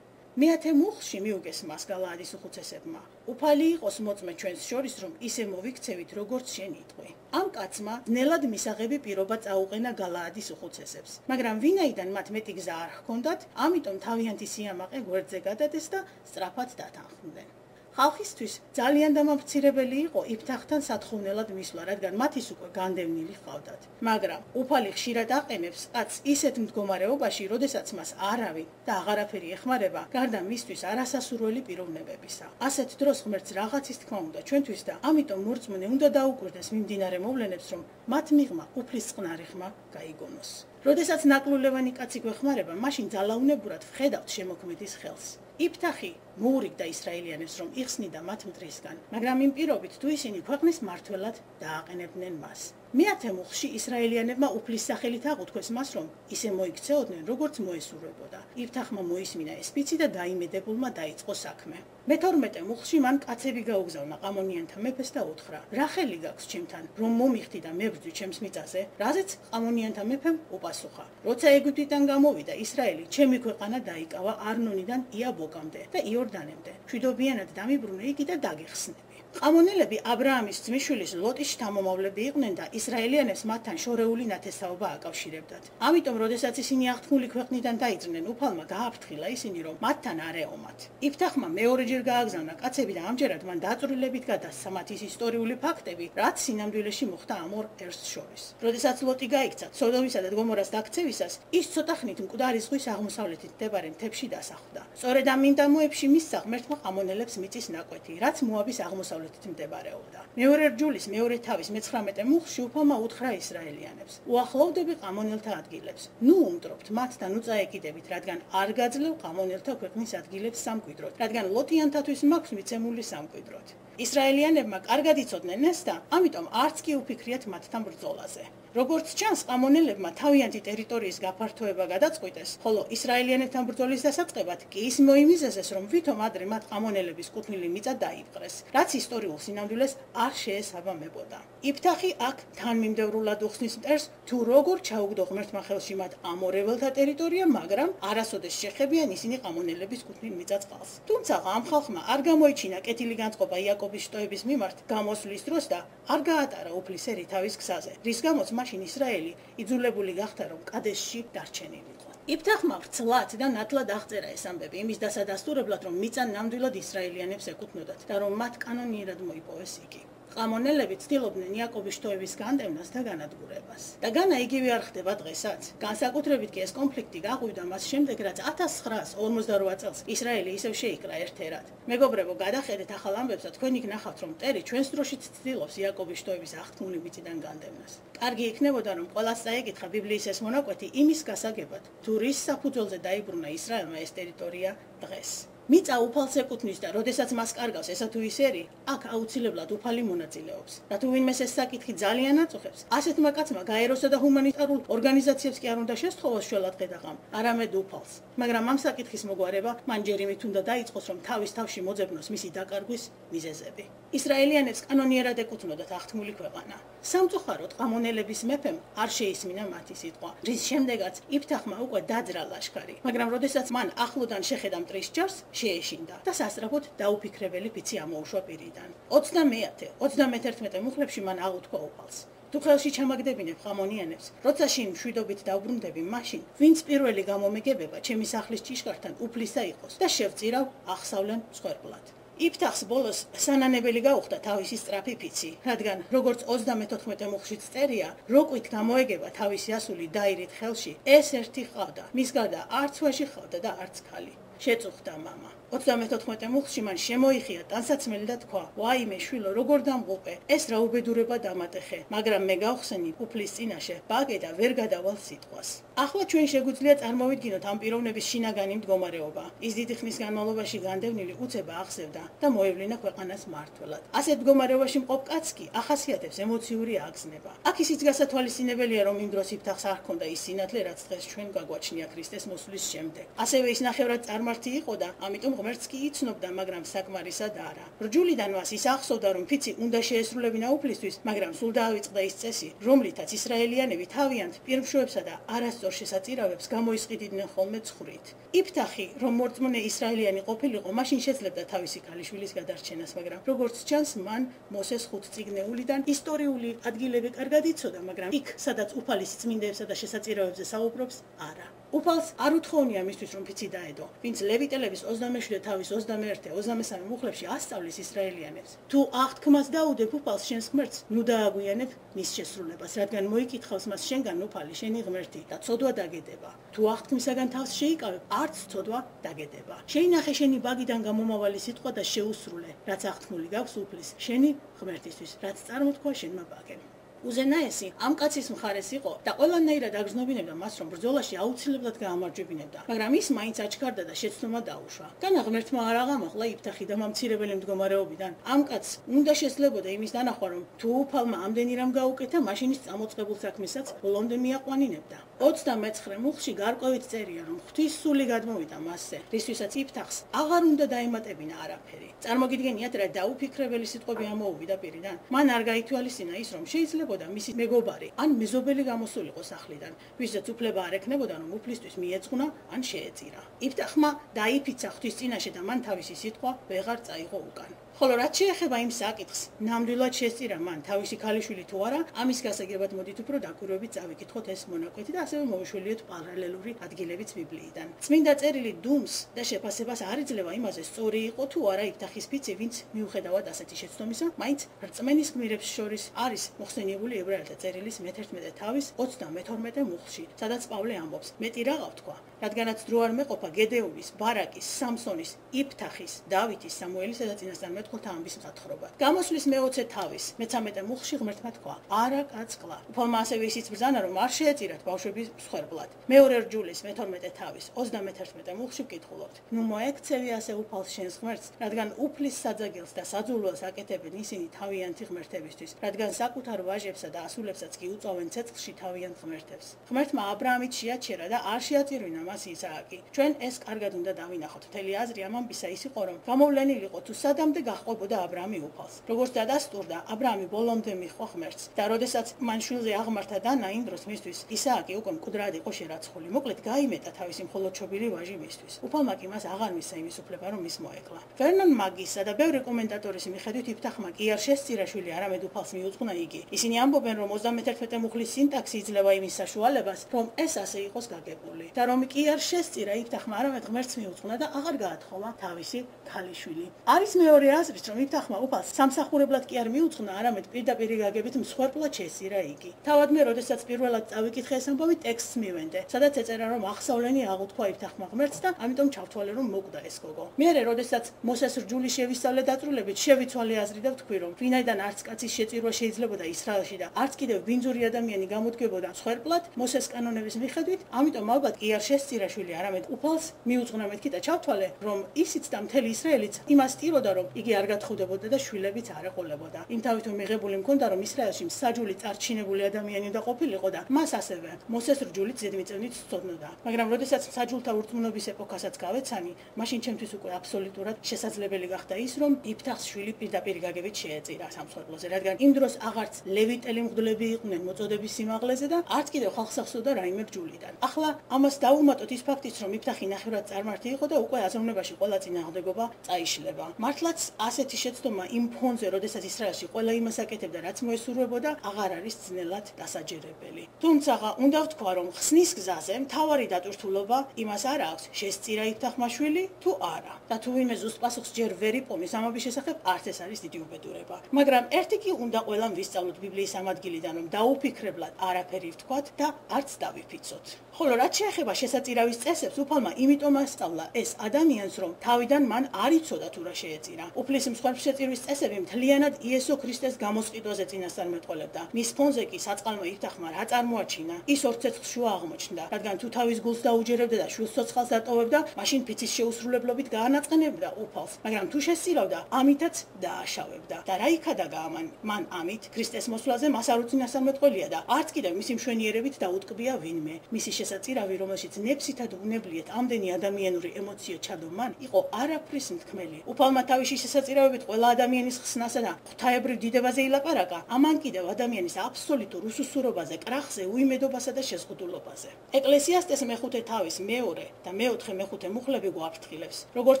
მეათე მუხლში მიუგეს მას გალაადის უხუცესებმა. უფალი იყოს მოწმე ჩვენს შორის, რომ ისე მოვიქცევით, როგორც შენ იტყვი. ამ კაცმა ძნელად მისაღები პირობა წაუყენა გალაადის უხუცესებს, მაგრამ ვინაიდან მათ მეტი გზა არ ჰქონდათ, ამიტომ თავიანთი სიამაყე გვერდზე გადადეს და სწრაფად დათანხმდნენ. ხალხისთვის ძალიან დამამფცირებელი იყო იფთახთან სათხოვნელად მისვლა, რადგან მათ ის უკვე განდევნილი ჰყავდათ. მაგრამ უფალი ხშირად აყენებს კაცს ისეთ მდგომარეობაში, როდესაც მას არავინ და აღარაფერი ეხმარება, გარდა მისთვის არასასურველი პიროვნებებისა. ასეთ დროს ღმერთს რაღაცის თქმა უნდა ჩვენთვის და ამიტომ მორწმუნე უნდა დაუკვირდეს მიმდინარე მოვლენებს, რომ მათ მიღმა უფლის წყნარი ხმა გაიგონოს. როდესაც ნაკლულევანი კაცი გვეხმარება, მაშინ ძალაუნებურად ვხედავთ შემოქმედის ხელს. იფთახი მოურიგდა ისრაელიანებს, რომ იხსნიდა მათ მტრისგან, მაგრამ იმ პირობით თუ ისინი ქვეყნის მმართველად დააყენებდნენ მას. მეათე მუხლში ისრაელიანებმა უფლის სახელით აღუთქვეს მას, რომ ისე მოიქცეოდნენ, როგორც მოესურვებოდა. იფთახმა მოისმინა ეს ფიცი და დაიმედებულმა დაიწყო საქმე. მეთორმეტე მუხლში მან კაცები გაუგზავნა ყამონიანთა მეფეს და უთხრა: რა ხელი გაქვს ჩემთან, რომ მომიხდი და მებრძვი ჩემს მიწაზე? რაზეც ყამონიანთა მეფემ უპასუხა: როცა ეგვიპტიდან გამოვიდა ისრაელი, ჩემი ქვეყანა დაიკავა არნონიდან იაბოკამდე და იორდანემდე. მშვიდობიანად დამიბრუნე იგი და დაგეხსნები. ყამონელები აბრაამის ძმისშვილის ლოტის შთამომავლები იყვნენ და ისრაელიანებს მათთან შორეული ნათესაობა აკავშირებდათ. ამიტომ, როდესაც ისინი აღთქმული ქვეყნიდან დაიძრნენ, უფალმა გააფრთხილა ისინი, რომ მათთან არ ეომათ. იფთახმა მეორეჯერ გააგზავნა კაცები და ამჯერად მან დაწვრილებით გადასცა მათ ის ისტორიული ფაქტები, რაც სინამდვილეში მოხდა ამ ორ ერს შორის. როდესაც ლოტი გაიქცა სოდომისა და გომორას დაქცევისას, ის ცოტა ხნით მკვდარი ზღვის აღმოსავლეთით მდებარე მთებში დასახლდა. სწორედ ამ მინდამოებში მისცა ღმერთმა ყამონელებს მიწის ნაკვეთი, რაც მოაბის აღმოსავლეთით მდებარეობდა. მეორე რჯულის მეორე თავის მეცხრამეტე მუხლში უფალმა უთხრა ისრაელიანებს: უახლოვდები ყამონელთა ადგილებს. ნუ უმტრობთ მათთან უწაეკიდებით, რადგან არ გაძლევ ყამონელთა ქვეყნის ადგილებს სამკვიდროდ, რადგან ლოტიანთათვის მაქვს მიცემული სამკვიდროდ. ისრაელიანებმა კარგად იცოდნენ ეს და ამიტომ არც კი უფიქრიათ მათთან ბრძოლაზე. როგორც ჩანს, ყამონელებმა თავიანთი ტერიტორიის გაფართოება გადაწყვიტეს, ხოლო ისრაელიანებთან ბრძოლის დასაწყებად კი ის მოიმიზეზეს, რომ ვითომ ადრე მათ ყამონელების კუთვნილი მიწა დაიპყრეს, რაც ისტორიულ სინამდვილეს არ შეესაბამებოდა. იფთახი აქ თანმიმდევრულად უხსნის მტერს, თუ როგორ ჩაუგდო ღმერთმა ხელში მათ ამორეველთა ტერიტორია, მაგრამ არასოდეს შეხებიან ისინი ყამონელების კუთვნილ მიწა-წყალს. თუმცა ამ ხალხმა არ გამოიჩინა კეთილი განწყობა იაკობის შტოების მიმართ გამოსვლის დროს და არ გაატარა უფლისერი თავის გზაზე, რის გამოც მაშინ ისრაელი იძულებული გახდა, რომ კადესში დარჩენილიყო. იფთახმა ვრცლად და ნათლად აღწერა ეს ამბები იმის დასადასტურებლად, რომ მიწა ნამდვილად ისრაელიანებს ეკუთვნოდათ და რომ მათ კანონიერად მოიპოვეს იგი. ყამონელები ცდილობდნენ იაკობის შტოების განდევნას და განადგურებას. და განა იგივე არ ხდება დღესაც. განსაკუთრებით კი ეს კონფლიქტი გაღვივდა მას შემდეგ, რაც ათას ცხრაას ორმოცდარვა წელს ისრაელი ისევ შეიკრა ერთ-ერთად. მეგობრებო, გადახედეთ ახალ ამბებს და თქვენ იქნახავთ, რომ მტერი ჩვენს დროშიც ცდილობს იაკობის შტოების აღთქმული მიწიდან განდევნას. კარგი იქნებოდა, რომ ყველას წაეკითხა ბიბლიის ეს მონაკვეთი იმის გასაგებად, თუ რის საფუძველზე დაიბრუნა ისრაელმა ეს ტერიტორია დღეს. მიწა უფალს ეკუთვნის და როდესაც მას კარგავს ესა თუ ის ერი, აქ აუცილებლად უფალი მონაწილეობს. და თუ ვინმეს ეს საკითხი ძალიან აწუხებს, ასეთმა კაცმა გაეროსა და ჰუმანიტარულ ორგანიზაციებს კი არ უნდა შესთხოვოს შველად ხედაღამ, არამედ უფალს. მაგრამ ამ საკითხის მოგვარება მან ჯერიმით უნდა დაიწყოს, რომ თავის თავში მოძებნოს მისი დაკარგვის მიზეზები. ისრაელიანებს კანონიერად ეკუთვნოდათ აღთქმული ქვეყანა. სამწუხაროდ ყამონელების მეფემ არ შეისმინა მათი სიტყვა, რის შემდეგაც იფთახმა უკვე დაძრა ლაშქარი, მაგრამ როდესაც მან ახლოდან შეხედა მტრის ჯარს, შეეშინდა და სასწრაფოდ დაუფიქრებელი ფიცი ამოუშვა პირიდან. ოცდამეათე, ოცდამეთერთმეტე მუხლებში მან აღუთქვა უფალს: თუ ხელში ჩამაგდებინებ ყამონიანებს, როცა შინ მშვიდობით დავბრუნდები, მაშინ ვინც პირველი გამომეგებება ჩემი სახლის ჭიშკართან უფლისა იყოს და შევწირავ ახსავლენ მსხვერპლად. იფთახს ბოლოს სანანებელი გაუხდა თავისი სწრაფი ფიცი, რადგან როგორც ოცდამეთოთხმეტე მუხლშიც წერია, როგვით გამოეგება თავისი ასული დაირით ხელში, ეს ერთი ჰყავდა, მის გარდა არც ვაჟი ჰყავდა და არც ქალი. შეწუხდა მამა. ოცდამეთოთხმეტე მუხლში მან შემოიხია ტანსაცმელი და თქვა: ვაიმე შვილო, როგორ დამღუყე, ეს რა უბედურება დამატეხე, მაგრამ მე გავხსენი უფლის წინაშე, ბაგე და ვერ გადავალ სიტყვას. ახლა ჩვენ შეგვიძლია წარმოვიდგინოთ ამ პიროვნების შინაგანი მდგომარეობა. ის დიდი ხნის განმავლობაში განდევნილი უცება აღზევდა და მოევლინა ქვეყანას მმართველად. ასეთ მდგომარეობაში მყოფ კაცს კი ახასიათებს ემოციური აგზნება. აქ ისიც გასათვალისწინებელია, რომ იმ დროს იფთახს არ ჰქონდა ის სინათლე, რაც დღეს ჩვენ გაგვაჩნია ქრისტეს მოსვლის შემდეგ. ასევე ის ნახევრად წარმართი იყო და ამიტომ ღმერთს კი იცნობდა, მაგრამ საკმარისად არა. რჯულიდან მას ის ახსოვდა, რომ ფიცი უნდა შეესრულებინა უფლისთვის, მაგრამ სულ დაავიწყდა ის წესი, რომლითაც ისრაელიანები თავიანთ პირმშოებსა და არასწორ შესაწირავებს გამოისყიდიდნენ ხოლმე ცხრით. იფთახი, რომ მორწმუნე ისრაელიანი ყოფილიყო, მაშინ შეძლებდა თავისი ქალიშვილის გადარჩენას, მაგრამ როგორც ჩანს, მან მოსეს ხუთწიგნეულიდან ისტორიული ადგილები კარგად იცოდა, მაგრამ იქ, სადაც უფალის წმინდებსა და შესაწირავებზე საუბრობს, არა. უფალს არ უთხოვნია მისთვის, რომ ფიცი დაედო, ვინც ლევიტელების ოცდამეშვიდე თავის ოცდამეერთე ოცდამესამე მუხლებში ასწავლის ისრაელიანებს. თუ აღთქმას დაუდებ უფალს შენს ღმერთს, ნუ დააგვიანებ მის შესრულებას, რადგან მოიკითხავს მას შენგან უფალი, შენი ღმერთი და ცოდვა დაგედება. თუ აღთქმისაგან თავს შეიკავებ, არც ცოდვა დაგედება. შეინახე შენი ბაგიდან გამომავალი სიტყვა და შეუსრულე, რაც აღთქმული გაქვს უფლის, შენი ღმერთისთვის, რაც წარმოთქვა შენმა ბაგემ. უზენაესი ამ კაცის მხარეს იყო და ყველანაირად აგრძნობინებდა მას, რომ ბრძოლაში აუცილებლად გაამარჯვებინებდა, მაგრამ ის მაინც აჩქარდა და შეცდომა დაუშვა. განა ღმერთმა არ აღამოხლა იფთახი და მამცირებელი მდგომარეობიდან. ამ კაცს უნდა შესძლებოდა იმის დანახვა, რომ თუ უფალმა ამდენი რამ გაუკეთა, მაშინ ის წამოწყებულ საქმესაც ბოლომდე მიაყვანინებდა. ოცდამეცხრე მუხლში გარკვევით წერია, რომ ღვთის სული გადმოვიდა მასზე, რისთვისაც იფთახს აღარ უნდა დაემატებინა არაფერი. წარმოგიდგენიათ, რა დაუფიქრებელი სიტყვები ამოუვიდა პირიდან. მან არ გაითვალისწინა ის, რომ შეიძლებოდა მისი მეგობარი ან მეზობელი გამოსულიყო სახლიდან, ვისაც უფლება არ ექნებოდა, რომ უფლისთვის მიეძღვნა ან შეეწირა. იფთახმა დაიფიცა ღვთის წინაშე და მან თავისი სიტყვა ვეღარ წაიღო უკან. ხოლო რაც შეეხება იმ საკითხს, ნამდვილად შესწირა მან თავისი ქალიშვილი თუ არა, ამის გასაგებად მოდით უფრო დაკვირვებით წავიკითხოთ ეს მონაკვეთი და ასევე მოვიშველიოთ პარალელური ადგილებიც ბიბლიიდან. წმინდა წერილი დუმს და შეფასებას არ იძლევა იმაზე, სწორი იყო თუ არა იფთახის ფიცი, ვინც მიუხედავად ასეთი შეცდომისა, მაინც რწმენის გმირებს შორის არის მოხსენიებული ებრაელთა წერილის მეთერთმეტე თავის ოცდამეთორმეტე მუხლში, სადაც პავლე ამბობს: მეტი რაღა ვთქვა, რადგანაც დრო არ მეყოფა გედეონის, ბარაკის, სამსონის, იფთახის, დავითის, სამუელისა და წინასწარ მეთქოლთა ამბის მსათხრობად. გამოსვლის მეოცე თავის მეთერთმეტე მუხლში ღმერთმა თქვა: არა კაცკლა. უფალმა ასევე ისიც ბრძანა, რომ არ შეეწირათ ბავშვების მსხვერპლად. მეორე რჯულის მეთორმეტე თავის ოცდამეთერთმეტე მუხლში ვკითხულობთ: ნუ მოექცევი ასე უფალს შენს ღმერთს, რადგან უფლის საძაგელს და საძულველს აკეთებენ ისინი თავიანთი ღმერთებისთვის, რადგან საკუთარ ვაჟებსა და ასულებსაც კი უწოვენ ცეცხლში თავიანთ ღმერთებს. ღმერთმა აბრაამით შეაჩერა და არ შეაწირვინა მას ისააკი. ჩვენ ეს კარგად უნდა დავინახოთ. მთელი აზრი ამ ამბისა ის იყო, რომ გამოვლენილიყო თუ სადამდე გაჰყვებოდა აბრაამი უფალს. როგორც დადასტურდა, აბრაამი ბოლომდე მიჰყვა ღმერთს და როდესაც მან შვილზე აღმართა დანა, იმ დროს მისთვის ისააკი უკვე მკვდრად იყო შერაცხული. მოკლედ გაიმეტა თავისი მხოლოდშობილი ვაჟი მისთვის. უფალმა კი მას აღარ მისცა იმის უფლება, რომ ის მოეკლა. ვერნონ მაგისა და ბევრი კომენტატორის მიხედვით იფთახმა კი არ შესწირა შვილი, არამედ უფალს მიუძღვნა იგი. ისინი ამბობენ, რომ ოცდამეთერთმეტე მუხლის სინტაქსი იძლევა იმის საშუალებას, რომ ეს ასე იყოს გაგებული და რომ კი არ შესწირა იფთახმა, არამედ ღმერთს მიუძღვნა და აღარ გაათხოვა თავისი ქალიშვილი. არის მეორე აზრიც, რომ იფთახმა უფალს სამსახურებლად კი არ მიუძღვნა, არამედ პირდაპირ გაგებით მსხვერპლად შესწირა იგი. თავად მე, როდესაც პირველად წავიკითხე ეს ამბავი, ტექსტს მივენდე, სადაც ეწერა, რომ აღსავლენი აღუთქვა იფთახმა ღმერთს და ამიტომ ჩავთვალე, რომ მოკვდა ეს გოგო. მერე, როდესაც მოსეს რჯული შევისწავლე დაწვრილებით, შევიცვალე აზრი და ვთქვი, რომ ვინაიდან არც კაცის შეწირვა შეიძლებოდა ისრაელში და არც კიდევ ბინძური ადამიანი გამოდგებოდა მსხვერპლად მოსეს კანონების მიხედვით, ამიტომ ალბათ კი არ შესწირა შვილი, არამედ უფალს მიუძღვნა. მეთქი და ჩავთვალე, რომ ისიც და მთელი ისრაელიც იმას ტიროდა, რომ იგი არ გათხოვდებოდა და შვილებიც არ ეყოლებოდა. იმ თავითო მიღებული მქონდა, რომ ისრაელში მსაჯული წარჩინებული ადამიანი უნდა ყოფილიყო და მას ასევე მოსეს რჯულით ზედმიწევნით სცოდნოდა. მაგრამ როდესაც მსაჯულთა ურწმუნობის ეპოქასაც გავეცანი, მაშინ ჩემთვის უკვე აბსოლუტურად შესაძლებელი გახდა ის, რომ იფთახს შვილი პირდაპირ გაგებით შეეწირა სამსხვერპლოზე, რადგან იმ დროს აღარც ლევიტელი მღვდლები იყვნენ მოწოდების სიმაღლეზე და არც კიდევ ხალხს ახსოვდა რაიმე რჯულიდან. ახლა ამას დავუმატოთ ის ფაქტიც, რომ იფთახი ნახევრად წარმართი იყო და უკვე აზროვნებაში ყველა წინააღმდეგობა წაიშლება. მართლაც ასეთი შეცდომა იმ ფონზე, როდესაც ისრაელში ყველა იმას აკეთებდა, რაც მოესურვებოდა, აღარ არის ძნელად დასაჯერებელი. თუმცა უნდა ვთქვა, რომ ხსნის გზაზე მთავარი დატვირთულობა იმას არ აქვს, შესწირა იფთახმა შვილი თუ არა. და თუ ვინმე ზუსტ პასუხს ჯერ ვერ იპოვნის ამობის შესახებ, არც ეს არის დიდი უბედურება. მაგრამ ერთი კი უნდა ყველამ ვისწავლოთ ბიბლიის ამ ადგილიდან, რომ დაუფიქრებლად არაფერი ვთქვათ და არც დავიფიცოთ. ხოლო რაც შეეხება შესაწირავის წესებს, უფალმა იმიტომ ასწავლა ეს ადამიანს, რომ თავიდან მან არ იცოდა თუ რა შეეწირა. უფლის მსხვერპლ შეწირვის წესები მთლიანად იესო ქრისტეს გამოსყიდვაზე წინასწარმეტყველებდა. მის ფონზე კი საწყალმა იფთახმა რა წარმოაჩინა, ის ორ ცეცხლს შუა აღმოჩნდა, რადგან თუ თავის გულს დაუჯერებდა და შვილს ცოცხალს დატოვებდა, მაშინ ფიცის შეუსრულებლობით გაანაწყენებდა უფალს, მაგრამ თუ შესწირავდა, ამითაც დააშავებდა. და რა იქადაგა ამან? მან ამით ქრისტეს მოსვლაზე მას არ უწინასწარმეტყველია და არც კიდევ მისი მშვენიერებით დაუტკბია ვინმე. მისი შესაწირავი, რომელშიც ნებსითად უნებლიეთ ამდენი ადამიანური ემოციო ჩადო მან, იყო არაფრის მთქმელი. უფალმა თავისი შესაწირავებით ყველა ადამიანის ხსნასა და ღვთაებრივ დიდებაზე ილაპარაკა, ამან კიდევ ადამიანის აბსოლუტურ უსუსურობაზე, კრახზე, უიმედობასა და შეზღუდულობაზე. ეკლესიასტეს მეხუთე თავის მეორე და მეოთხე მეხუთე მუხლები გვაფრთხილებს. როგორც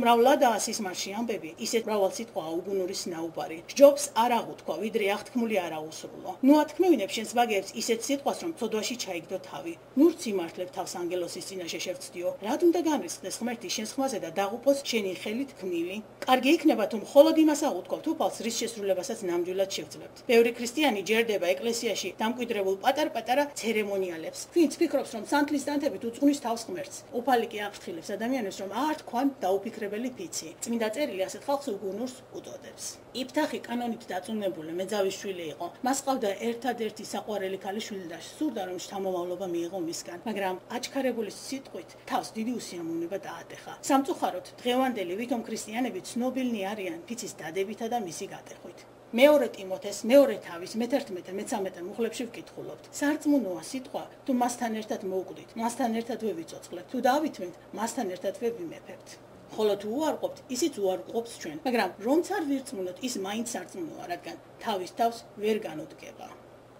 მრავლადაა სისმარში ამბები, ისეთ მრავალ სიტყვაა უგუნური სნაუბარი. სჯობს არ აღუთქვა, ვიდრე აღთქმული არ აუსრულო. ნუ ათქმევინებ შენს ვაგებს ისეთ სიტყვას, რომ ცოდვაში ჩაიგდო თავი. ნურც იმართლებ თავს ანგელოსის წინ წინაშე შევწდიო. რად უნდა განრისხდეს ღმერთი შენს ხმაზე და დაღუპოს შენი ხელით გმილი? კარგი იქნება თუ მხოლოდ იმას აღვთქვათ უფალს, რის შესრულებასაც ნამდვილად შევძლებთ. ბევრი ქრისტიანი ჯერდება ეკლესიაში დამკვიდრებულ პატარ-პატარა ცერემონიალებს. ვინც ფიქრობს, რომ სანთლის დანთებით უძღვნის თავს ღმერთს. უფალი კი აფრთხილებს ადამიანებს, რომ არ თქვან დაუფიქრებელი ფიცი. წმინდა წერილი ასეთ ხალხს უგუნურს უწოდებს. იფთახი კანონით დაწუნებული მეძავის შვილი იყო. მას ყავდა ერთადერთი საყვარელი ქალიშვილი და სურდა, რომ შთამომავლობა მიიღო მისგან, მაგრამ აჩქარებული სიტყვით თავს დიდი უსიამოვნება დაატეხა. სამწუხაროდ, დღევანდელი ვითომ ქრისტიანები ცნობილნი არიან ფიცის დადებითა და მისი გატეხვით. მეორე ტიმოთეს, მეორე თავის, მეთერთმეტე, მეცამეტე მუხლებში ვკითხულობთ. სარწმუნოა სიტყვა, თუ მასთან ერთად მოვკვდით, მასთან ერთად ვევიწოწყლებთ, თუ დავითმევთ, მასთან ერთად ვევიმეფებთ. ხოლო თუ უარყოფთ, ისიც უარყოფს ჩვენ, მაგრამ რომც არ ვირწმუნოთ, ის მაინც სარწმუნოა, რადგან თავის თავს ვერ განუდგება.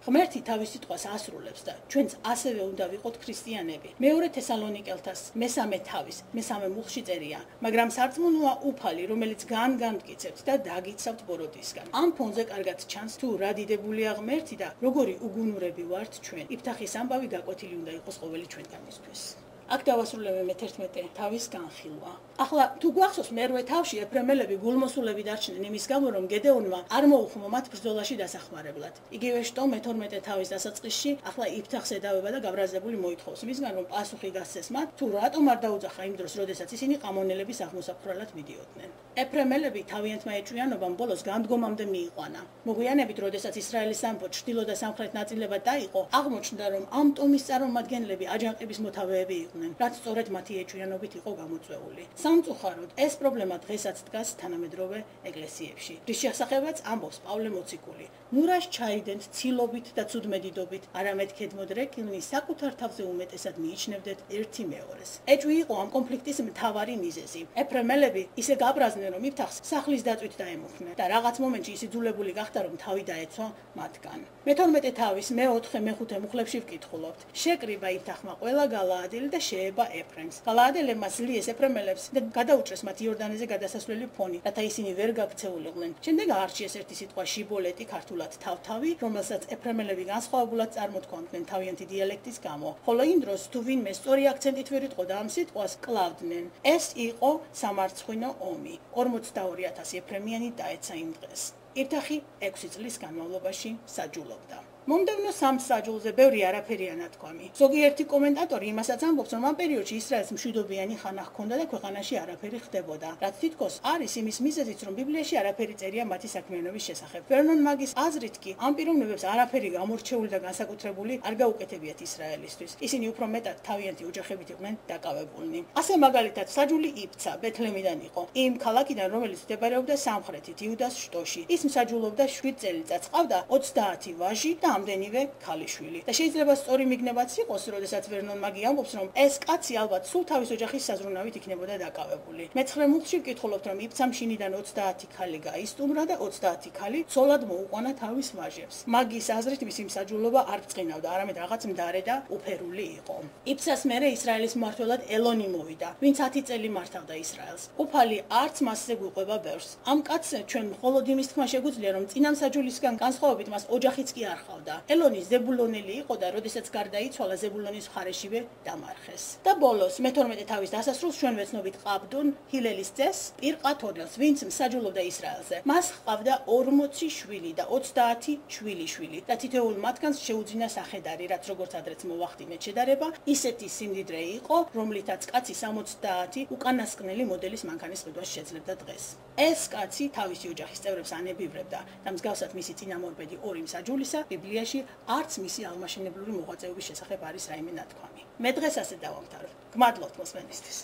ღმერთი თავის სიტყვას ასრულებს და ჩვენც ასევე უნდა ვიყოთ ქრისტიანები. მეორე თესალონიკელთას მესამე თავის, მესამე მუხლში წერია, მაგრამ სარწმუნოა უფალი, რომელიც განგამტკიცებთ და დაგიცავთ ბოროტისგან. ამ ფონზე კარგად ჩანს, თუ რა დიდებულია ღმერთი და როგორი უგუნურები ვართ ჩვენ. იფთახის ამბავი გაკვეთილი უნდა იყოს ყოველი ჩვენგანისთვის. აქ დავასრულებე მეთერთმეტე თავის განხილვა. ახლა თუ გვახსოვს მერვე თავში ეფრემელები გულმოსულები დარჩნენ იმის გამო, რომ გედეონმა არ მოუხმო მათ ბრძოლაში დასახმარებლად. იგივე შტო მეთორმეტე თავის დასაწყისში ახლა იფთახს ედავება და გაბრაზებული მოითხოვს მისგან, რომ პასუხი გასცეს მათ, თუ რატომ არ დაუძახა იმ დროს, როდესაც ისინი ყამონელების აღმოსაფხრალად მიდიოდნენ. ეფრემელები თავიანთმა ეჭვიანობამ ბოლოს განდგომამდე მიიყვანა. მოგვიანებით, როდესაც ისრაელის სამეფო ჩრდილო და სამხრეთ ნაწილებად დაიყო, აღმოჩნდა, რომ ამ ტომის წარმომადგენლები აჯანყების მოთავეები იყვნენ, რაც სწორედ მათი ეჭვიანობით იყო გამოწვეული. სამწუხაროდ, ეს პრობლემა დღესაც დგას თანამედროვე ეკლესიებში. რის შესახებაც ამბობს პავლე მოციქული. ნუ რას ჩაიდენთ ცილობით და ცუდმედიდობით, არამედ ქედმოდრეკილნი საკუთარ თავზე უმეტესად მიიჩნევდეთ ერთი მეორეს. ეჭვი იყო ამ კონფლიქტის მთავარი მიზეზი. ეფრემელები ისე გაბრაზდნენ, რომ იფთახს სახლის დაწვით დაემუხნენ და რაღაც მომენტში ის იძულებული გახდა, რომ თავი დაეცვა მათგან. მეთორმეტე თავის მეოთხე მეხუთე მუხლებში ვკითხულობთ. შეკრიბა იფთახმა ყველა გალაადელი და შეება ეფრემს. გალაადელებმა ზლიეს ეფრემელებს და გადაუჭრეს მათ იორდანეზე გადასასვლელი ფონი, რათა ისინი ვერ გაქცეულიყვნენ. შემდეგ აარჩიეს ერთი სიტყვა შიბოლეტი, ქართულად თავთავი, რომელსაც ეფრემელები განსხვავებულად წარმოთქვამდნენ თავიანთი დიალექტის გამო. ხოლო იმ დროს თუ ვინმე სწორი აქცენტით ვერ იტყოდა ამ სიტყვას, კლავდნენ. ეს იყო სამარცხვინო ომი. ორმოცდაორი ათასი ეფრემიანი დაეცა იმ დღეს. იფთახი ექვსი წლის განმავლობაში საჯულობდა. მომდევნო სამ საჯულზე ბევრი არაფერია ნათქვამი. ზოგიერთი კომენტატორი იმასაც ამბობს, რომ ამ პერიოდში ისრაელს მშვიდობიანი ხანა ჰქონდა და ქვეყანაში არაფერი ხდებოდა. რაც თითქოს არის იმის მიზეზიც, რომ ბიბლიაში არაფერი წერია მათი საქმიანობის შესახებ. ვერნონ მაგის აზრით კი ამ პიროვნებებს არაფერი გამორჩეული და განსაკუთრებული არ გაუკეთებიათ ისრაელისთვის. ისინი უფრო მეტად თავიანთი ოჯახებით იყვნენ დაკავებულნი. ასე მაგალითად საჯული იფცა ბეთლემიდან იყო, იმ ქალაქიდან, რომელიც მდებარეობდა სამხრეთით იუდას შტოში. ის მსაჯულობდა შვიდ წელიწადს, ყავდა ოცდაათი ვაჟი და ამდენივე ქალიშვილი. და შეიძლება სწორი მიგნებაც იყოს, როდესაც ვერნონ მაგი ამბობს, რომ ეს კაცი ალბათ სულ თავის ოჯახის საზრუნავით იქნებოდა დაკავებული. მეცხრე მუხლში ვკითხულობთ, რომ იფცამ შინიდან ოცდაათი ქალი გაისტუმრა და ოცდაათი ქალი ცოლად მოუყვანა თავის ვაჟებს. მაგის აზრით მისი მსაჯულობა არ ბრწყინავდა, არამედ რაღაც მდარე და უფერული იყო. იფცას მერე ისრაელის მმართველად ელონი მოვიდა, ვინც ათი წელი მართავდა ისრაელს. უფალი არც მასზე გვიყვება ბევრს. ამ კაცს ჩვენ მხოლოდ იმის თქმა შეგვიძლია, რომ წინა მსაჯულისგან განსხვავებით მას ოჯახიც კი არ ჰყავდა. ელონი ზებულონელი იყო და როდესაც გარდაიცვალა ზებულონის მხარეშივე დამარხეს. და ბოლოს მეთორმეტე თავის დასასრულს ჩვენ ვეცნობით ყაბდონ ჰილელის ძეს პირყათონელს, ვინც მსაჯულობდა ისრაელზე. მას ჰყავდა ორმოცი შვილი და ოცდაათი შვილიშვილი და თითოეულ მათგანს შეუძინა სახედარი, რაც როგორც ადრეც მოვახდინეთ შედარება, ისეთი სიმდიდრე იყო, რომლითაც კაცი სამოცდაათი უკანასკნელი მოდელის მანქანის ყიდვას შეძლებდა დღეს. ეს კაცი თავისი ოჯახის წევრებს ანებივრებდა და მსგავსად მისი წინამორბედი ორი მსაჯულისა ბიბლიაში არც მისი აღმაშენებლური მოღვაწეობის შესახებ არის რაიმე ნათქვამი. მე დღეს ასე დავამთავრებ. გმადლობთ მოსმენისთვის.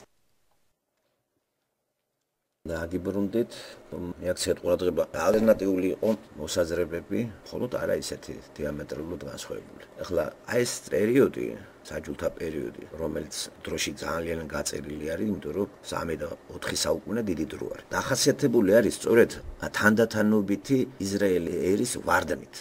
დაგიბრუნდით, მეაქცეთ ყურადღება ალტერნატიული იყო მოსაზრებები, მხოლოდ არა ისეთი დიამეტრალურად განსხვავებული. ახლა აი ეს პერიოდი, საჯულთა პერიოდი, რომელიც დროში ძალიან გაწერილი არის, იმიტომ რომ სამი და ოთხი საუკუნე დიდი დრო არის. დახასიათებული არის სწორედ თანდათანობითი ისრაელი ერის ვარდნით.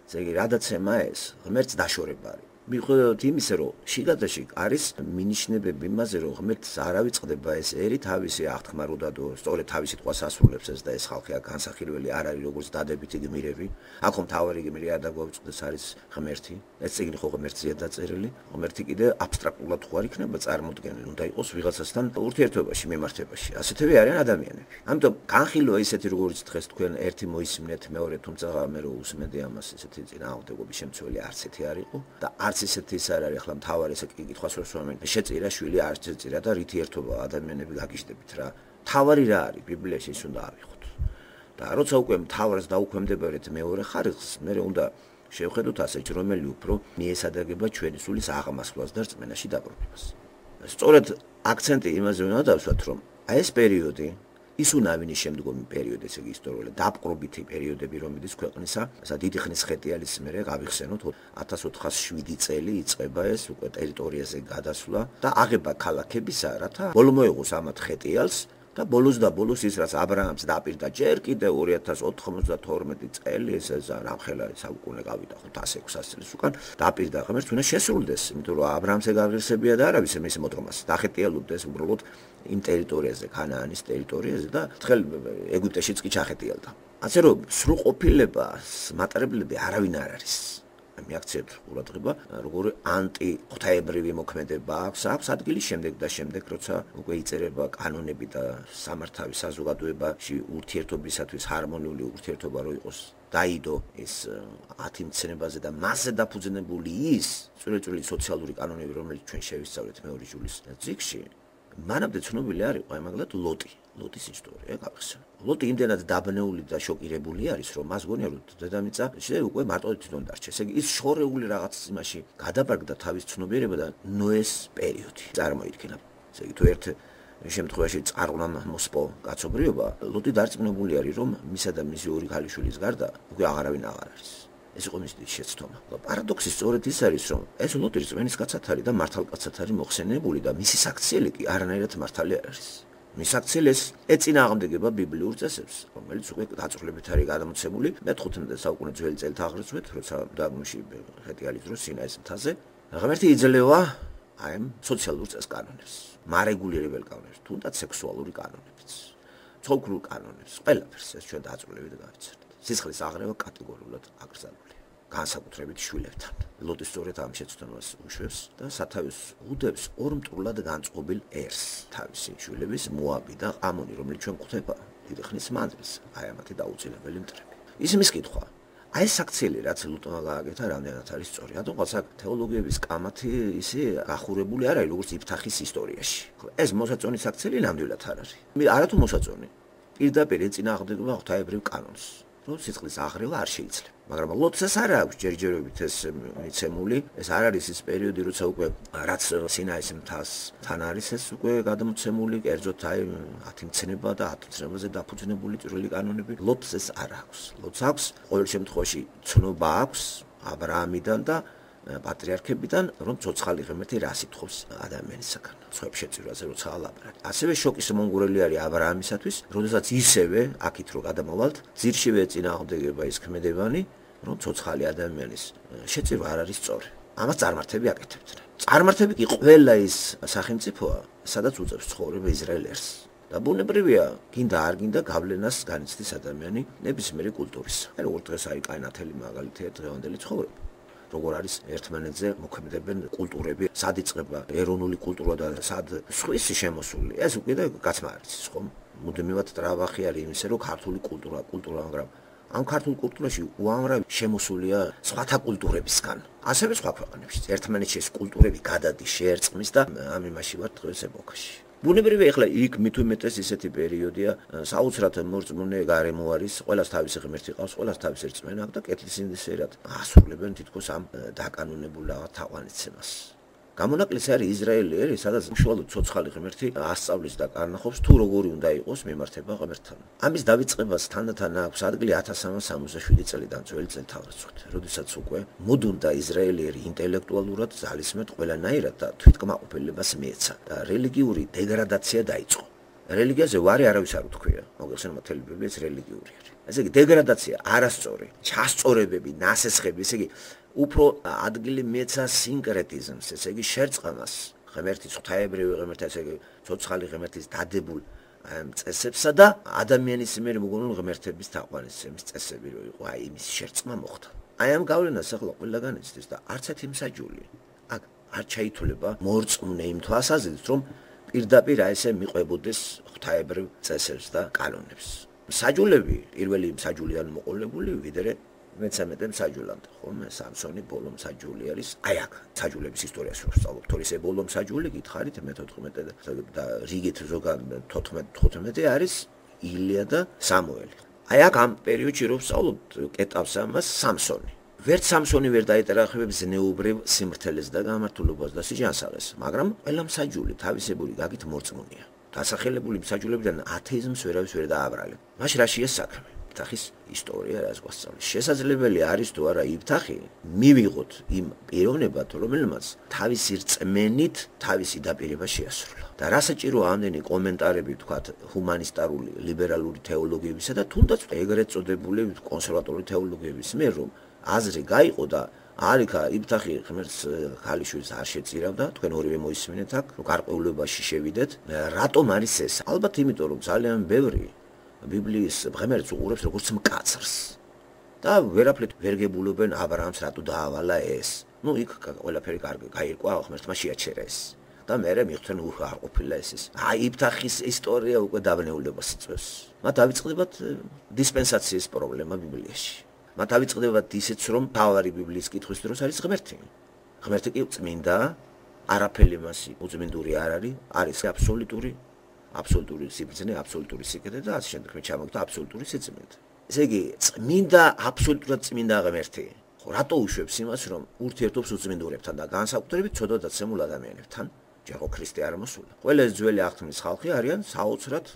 ესე იგი, რადაც ემა ეს, ღმერთს დაშორება არის. მიუხედავად იმისა, რომ შიგადაში არის მინიშნებები იმაზე, რომ ღმერთს არ ავიწყდება ეს ერი თავისი აღთქმარუდადო, სწორედ თავისი თვალს ასრულებს ეს და ეს ხალხი განსახილველი არ არის როგორც დადებითი გმირები. აქ მთავარი გმირი არ დაგვაუწყდეს არის ღმერთი. ეს წიგნი ხო ღმერთზეა დაწერილი. ღმერთი კიდე აბსტრაქტულად ხო არ იქნება წარმოდგენილი, უნდა იყოს ვიღაცასთან ურთიერთობაში, მიმართებაში. ასეთები არიან ადამიანები. ამიტომ განხილვა ისეთი როგორც დღეს თქვენ ერთი მოისმინეთ მეორე, თუმცა მე რო უსმენდი ამას ესეთი წინააღმდეგობის შემცველი არც ერთი არ იყო და არც ისეთი ის არ არის, ახლა მთავარი ესე კითხვას რო სვამენ. შეწირა შვილი არ შეწირა და რითი ერთობა ადამიანები გაგიჟდებით რა. მთავარი რა არის ბიბლიაში ის უნდა ავიღოთ. და როცა უკვე მთავარს დაუქვემდებარეთ მეორე ხარისხს, მე უნდა შევხედოთ ასეთ რომელი უფრო მიესადაგება ჩვენი სულის აღმასვლას და რწმენაში დაბრუნებას. სწორედ აქცენტი იმაზე უნდა დავსვათ, რომ აი ეს პერიოდი ის უნავინის შემდგომი პერიოდი, ესე იგი ისტორიული დაპყრობითი პერიოდები, რომელიც ქვეყნისა, ესა დიდი ხნის ხეტიალის მერე გავიხსენოთ, ათას ოთხას შვიდი წელი იწყება ეს უკვე ტერიტორიაზე გადასვლა და აღება ქალაქებისა, რათა ბოლო მოეღოს ამათ ხეტიალს და ბოლოს და ბოლოს ის რაც აბრაამს დაპირდა ჯერ კიდე ორი ათას ოთხმოცდათორმეტი წელი ეს ზამხელა საუკუნე გავიდა ხუთას ექვსას წელს უკან დაპირდა ღმერთს უნდა შესრულდეს, იმიტომ რომ აბრაამს ეგარგრისებია და არავის მის მოთხრობას დახეტიალუდეს უბრალოდ იმ ტერიტორიაზე, ქანაანის ტერიტორიაზე და თხელ ეგვიპტეშიც კი ჩახეტიალდა. ასე რომ სრულყოფილებას მატარებლები არავინ არ არის. მიაქცევთ ყურადღება, როგორი ანტი ღვთაებრივი მოქმედება აქვს, აქვს ადგილი შემდეგ და შემდეგ, როცა უკვე იწერება კანონები და სამართავი საზოგადოებაში ურთიერთობისათვის ჰარმონიული ურთიერთობა რო იყოს დაიდო ეს ათი მცნებაზე და მასზე დაფუძნებული ის წვრილ-წვრილი სოციალური კანონები, რომელიც ჩვენ შევისწავლეთ მეორე ჯულის წიგნში, მანამდე ცნობილი არ იყო ამაგლად ლოტი, ლოტის ისტორია გავიხსენე. ლოტი იმდენად დაბნეული და შოკირებული არის, რომ მას გონია რომ დედამიწა შეიძლება უკვე მარტივად თვითონ დარჩეს. ესე იგი ის შორეული რაღაც იმაში გადაბარგდა თავის ცნობიერება და ნოეს პერიოდი წარმოიდგინა. ესე იგი თუ ერთ შემთხვევაში წარღვნამ მოსპო კაცობრიობა, ლოტი დარწმუნებული არის, რომ მისა და მისი ორი ქალიშვილის გარდა უკვე აღარავინ აღარ არის. ეს იყო მისი შეცდომა. პარადოქსი სწორედ ის არის, რომ ეს ლოტი რწმენის კაცად არის და მართალკაცად არის მოხსენებული და მისი საქციელი კი არანაირად მართალი არ არის. მის საქციელს ეწინააღმდეგება ბიბლიურ წესებს, რომელიც უკვე დაწვრილებით არის გადამოცემული მეთხუთმეტე საუკუნის ძველი წელთაღრიცხვით, როცა დაგმოში ხეტიალის დროს სინაის მთაზე ღმერთი იძლევა აი ამ სოციალურ წეს კანონებს, მარეგულირებელ კანონებს, თუნდაც სექსუალური კანონებიც, ცოლქრულ კანონებს, ყველაფერს ეს ჩვენ დაწვრილებით გავიცერთ. სისხლის აღრევა კატეგორიულად აკრძალულია, განსაკუთრებით შვილებთან. ლოტი სწორედ ამ შეცდომას უშვებს და სათავეს უდევს ორ მტრულად განწყობილ ერს, თავისი შვილების მოაბი და ამონი, რომელიც ჩვენ გვხვდება დიდი ხნის მანძილზე, აი ამათი დაუცილებელი მტრები. ისმის კითხვა, აი ეს საქციელი რაც ლოტმა გააკეთა, რამდენად არის სწორი? რადგან საკ თეოლოგიების კამათი ისე გახურებული არ არის როგორც იფთახის ისტორიაში. ეს მოსაწონი საქციელი ნამდვილად არ არის. არათუ მოსაწონი, პირდაპირ ეწინააღმდეგება ღვთაებრივ კანონს. რომ სიცხლის აღრევა არ შეიძლება. მაგრამ ლოტს არ აქვს ჯერჯერობით ეს მიცემული, ეს არ არის ის პერიოდი, როცა უკვე რაც სინაის მთას თან არის ეს უკვე გადამოცემული, კერძოდ აი ათი მცნება და ათი მცნებაზე დაფუძნებული წვრილი კანონები. ლოტს ეს არ აქვს. ლოტს აქვს ყოველ შემთხვევაში ცნობა აქვს აბრაამიდან და პატრიარქებიდან, რომ ცოცხალი ღმერთი რა სიტყვებს ადამიანისაგან, სხვებს შეწირვაზე როცა ალაბრაკ. ასევე შოკის მომგვრელი არის აბრაამისათვის, როდესაც ისევე აქით რო გადამოვალთ, ძირშივე ეწინააღმდეგება ის ქმედებანი, რომ ცოცხალი ადამიანის შეწირვა არ არის სწორი. ამას წარმართები აკეთებდნენ. წარმართები კი ყველა ის სახელმწიფოა, სადაც უწევს ცხოვრება ისრაელს. და ბუნებრივია, გინდა არ გინდა გავლენას განიცდის ადამიანი ნებისმიერი კულტურის. აი როგორ დღეს არის კაინათელი მაგალითია დღევანდელი ცხოვრება. როგორ არის ერთმანეთზე მოქმედებენ კულტურები, სად იწყება ეროვნული კულტურა და სად სხვისი შემოსული. ეს უკვე გაცმა არის, ხო? მუდმივად ტრავახი არის იმისა, რომ ქართული კულტურა, კულტურა, მაგრამ ამ ქართულ კულტურაში უამრავი შემოსულია სხვათა კულტურებისგან. ასევე სხვა ქვეყნებში. ერთმანეთში ეს კულტურები გადადის, შეერწყმის და ამ იმაში ვარ დღეს ეპოქაში. ბუნებრივია, ეხლა იქ მით უმეტეს ისეთი პერიოდია, საოცრად მორწმუნე გარემო არის, ყველას თავისი ღმერთი ყავს, ყველას თავისი რწმენა აქვს და კეთილსინდისერად ასრულებენ თითქოს ამ დაკანონებულ რაღაც თაყვანიცემას. გამონაკლისი არის ისრაელი, სადაც უშუალოდ ცოცხალი ღმერთი ასწავლის და კარნახობს თუ როგორი უნდა იყოს მიმართება ღმერთთან. ამის დავიწყებას თანდათან აქვს ადგილი ათას სამას სამოცდაშვიდი წელიდან ძველი წელთაღრიცხვით, როდესაც უკვე მოდუნდა ისრაელიერი ინტელექტუალურად ძალისმედ ყველანაირად და თვითკმაყოფილებას მიეცა და რელიგიური დეგრადაცია დაიწყო. რელიგიაზე ვარი არავის არ უთქვია. მოგეხსენება მთელი ბიბლიაც რელიგიური არის. ესე იგი დეგრადაცია, არასწორი, ჩასწორებები, ნასესხები, ესე იგი უფრო ადგილი მიეცა სინკრეტიზმს, ესე იგი შერწყმას, ღმერთის ღვთაებრივი ღმერთის, ესე იგი ცოცხალი ღმერთის დადებულ წესებსა და ადამიანის მიერ მოგონილ ღმერთების თაყვანისცემის წესები რო იყო, აი იმის შერწყმა მოხდა. აი ამ გავლენას ახლა ყველგან იცდის და არც ერთი მსაჯული აქ არ ჩაითვლება მორწმუნე იმ თვალსაზრისით, რომ პირდაპირ აი ესე მიყვებოდეს ღვთაებრივ წესებს და კანონებს. მსაჯულები, პირველი მსაჯული არ მოყოლებული ვიდრე მესამე მსაჯულამდე, ხოლმე სამსონი ბოლო მსაჯული არის. აი აქ მსაჯულების ისტორიას რო ვსწავლობთ, თორე ბოლო მსაჯული გითხარით მეთოთხმეტე და რიგით ზოგადად თოთხმეტე არის ილია და სამუელი. აი აქ ამ პერიოდში რო ვსწავლობთ კეტავს ამას სამსონი. ვერც სამსონი ვერ დაეტერახებებს ზნეობრივ სიმართლეს და გამართულობას და სიჯანსაღეს, მაგრამ ყველა მსაჯული თავისებური გაგით მორწმუნეა. დასახელებული მსაჯულებიდან ათეიზმს ვერავის ვერ დააბრალებს. მაშინ რა შეეს საქმე? იფთახის ისტორია რას გვასწავლის. შესაძლებელი არის თუ არა იფთახი მივიღოთ იმ პიროვნებად, რომელმაც თავისი რწმენით თავისი დაპირება შეასრულა. და რა საჭირო ამდენი კომენტარები თქვათ ჰუმანისტარული ლიბერალური თეოლოგიებისა და თუნდაც ეგრეთ წოდებული კონსერვატორული თეოლოგიების მიერ რომ აზრი გაიყო და არიქა იფთახი ღმერთს ქალიშვილს არ შეწირავდა, თქვენ ორივე მოისმინეთ აქ, რომ გარკვეულებაში შევიდეთ. რატომ არის ეს? ალბათ იმიტომ რომ ძალიან ბევრი ბიბლიის ღმერთს უყურებს როგორც მკაცრს. და ვერაფრით ვერ გებულობენ აბრაამს რატო დაავალა ეს. ნუ იქ ყველაფერი კარგი გაირკვა, ღმერთმა შეაჩერა ეს. და მერე მიხვდნენ უხ არ ყოფილა ეს. აი იფთახის ისტორია უკვე დავნეულებას იწვევს. მათ დავიწყდებათ დისპენსაციის პრობლემა ბიბლიაში. მათ დავიწყდებათ ისიც რომ თავარი ბიბლიის კითხვის დროს არის ღმერთი. ღმერთი კი წმინდა, არაფერი მასი უწმინდური არ არის, არის აბსოლუტური აბსოლუტური სიბრძნე, აბსოლუტური სიკეთე და ასე შემდეგ მე ჩამოგდა აბსოლუტური სიწმინდე. ესე იგი, წმინდა, აბსოლუტურად წმინდა ღმერთი. ხო, რატო უშვებს იმას, რომ ურთიერთობს უწმინდურებთან და განსაკუთრებით ცოდვა დაცემულ ადამიანებთან, ჯერო ქრისტე არ მოსულა. ყველა ძველი აღთქმის ხალხი არიან საოცრად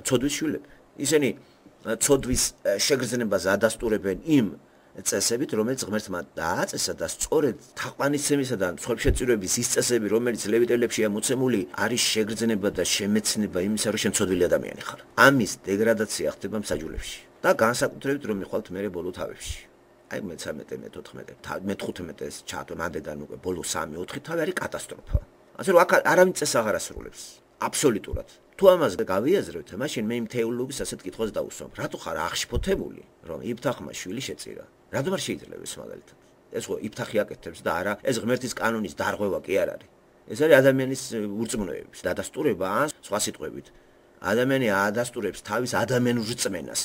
ცოდვის შვილები. ისინი ცოდვის შეგრძნებას ადასტურებენ იმ წესებით, რომელიც ღმერთმა დააწესა და სწორედ თაყვანისცემისა და მსხვერპლშეწირვების ის წესები, რომელიც ლევიტელებშია მოცემული, არის შეგრძნება და შემეცნება იმისა, რომ შენ ცოდვილი ადამიანი ხარ. ამის დეგრადაცია ხდება მსაჯულებში და განსაკუთრებით რომ მიხვალთ მერე ბოლო თავებში. აი მესამე, მეთოთხმეტე, მეთხუთმეტეს ჩათო მანდიდან უკვე ბოლო სამი ოთხი თავი არის კატასტროფა. ასე რომ აქ არავინ წესს აღარ ასრულებს. აბსოლუტურად. თუ ამას გავიაზრებთ, მაშინ მე იმ თეოლოგის ასეთ კითხვას დავუსვამ. რატო ხარ აღშფოთებული, რომ იფთახმა შვილი შეწირა? რატომ არ შეიძლება ეს მაგალითად? ეს ხო იფთახი აკეთებს და არა ეს ღმერთის კანონის დარღვევა კი არ არის. ეს არის ადამიანის ურწმუნოების დადასტურება ან სხვა სიტყვებით. ადამიანი ადასტურებს თავის ადამიანურ რწმენას.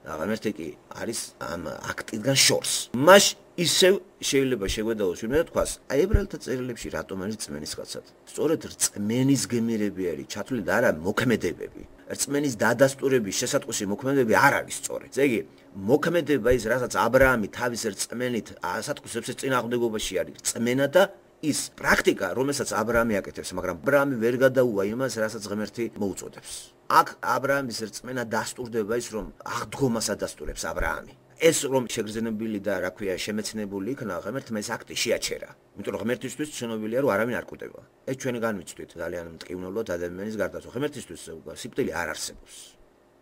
და ღმერთი კი არის ამ აქტიდან შორს. მას ისევ შეიძლება შეგვედაოს ვინმე და თქვას, აი ებრაელთა წერილებში რატომ არის რწმენის კაცად? სწორედ რწმენის გმირები არის ჩათვლილი და არა მოქმედებები. რწმენის დადასტურების შესატყვისი მოქმედებები არ არის სწორედ. ესე იგი, მოქმედება ის, რასაც აბრაამი თავის რწმენით ასატყვისებს წინააღმდეგობაში არის რწმენა და ის პრაქტიკა, რომელსაც აბრაამი აკეთებს, მაგრამ აბრაამი ვერ გადაუვა იმას, რასაც ღმერთი მოუწოდებს. აქ აბრაამის რწმენა დასტურდება ის, რომ აღდგომას ადასტურებს აბრაამი. ეს რომ შეგრძნებული და რა ქვია შემეცნებული იქნა, ღმერთმა ეს აქტი შეაჩერა. იმიტომ რომ ღმერთისთვის ცნობილია, რომ არავინ არ კვდება. ეს ჩვენ განვიცდით ძალიან მტკივნეულად ადამიანის გარდაცვალ. ღმერთისთვის სიკვდილი არ არსებობს.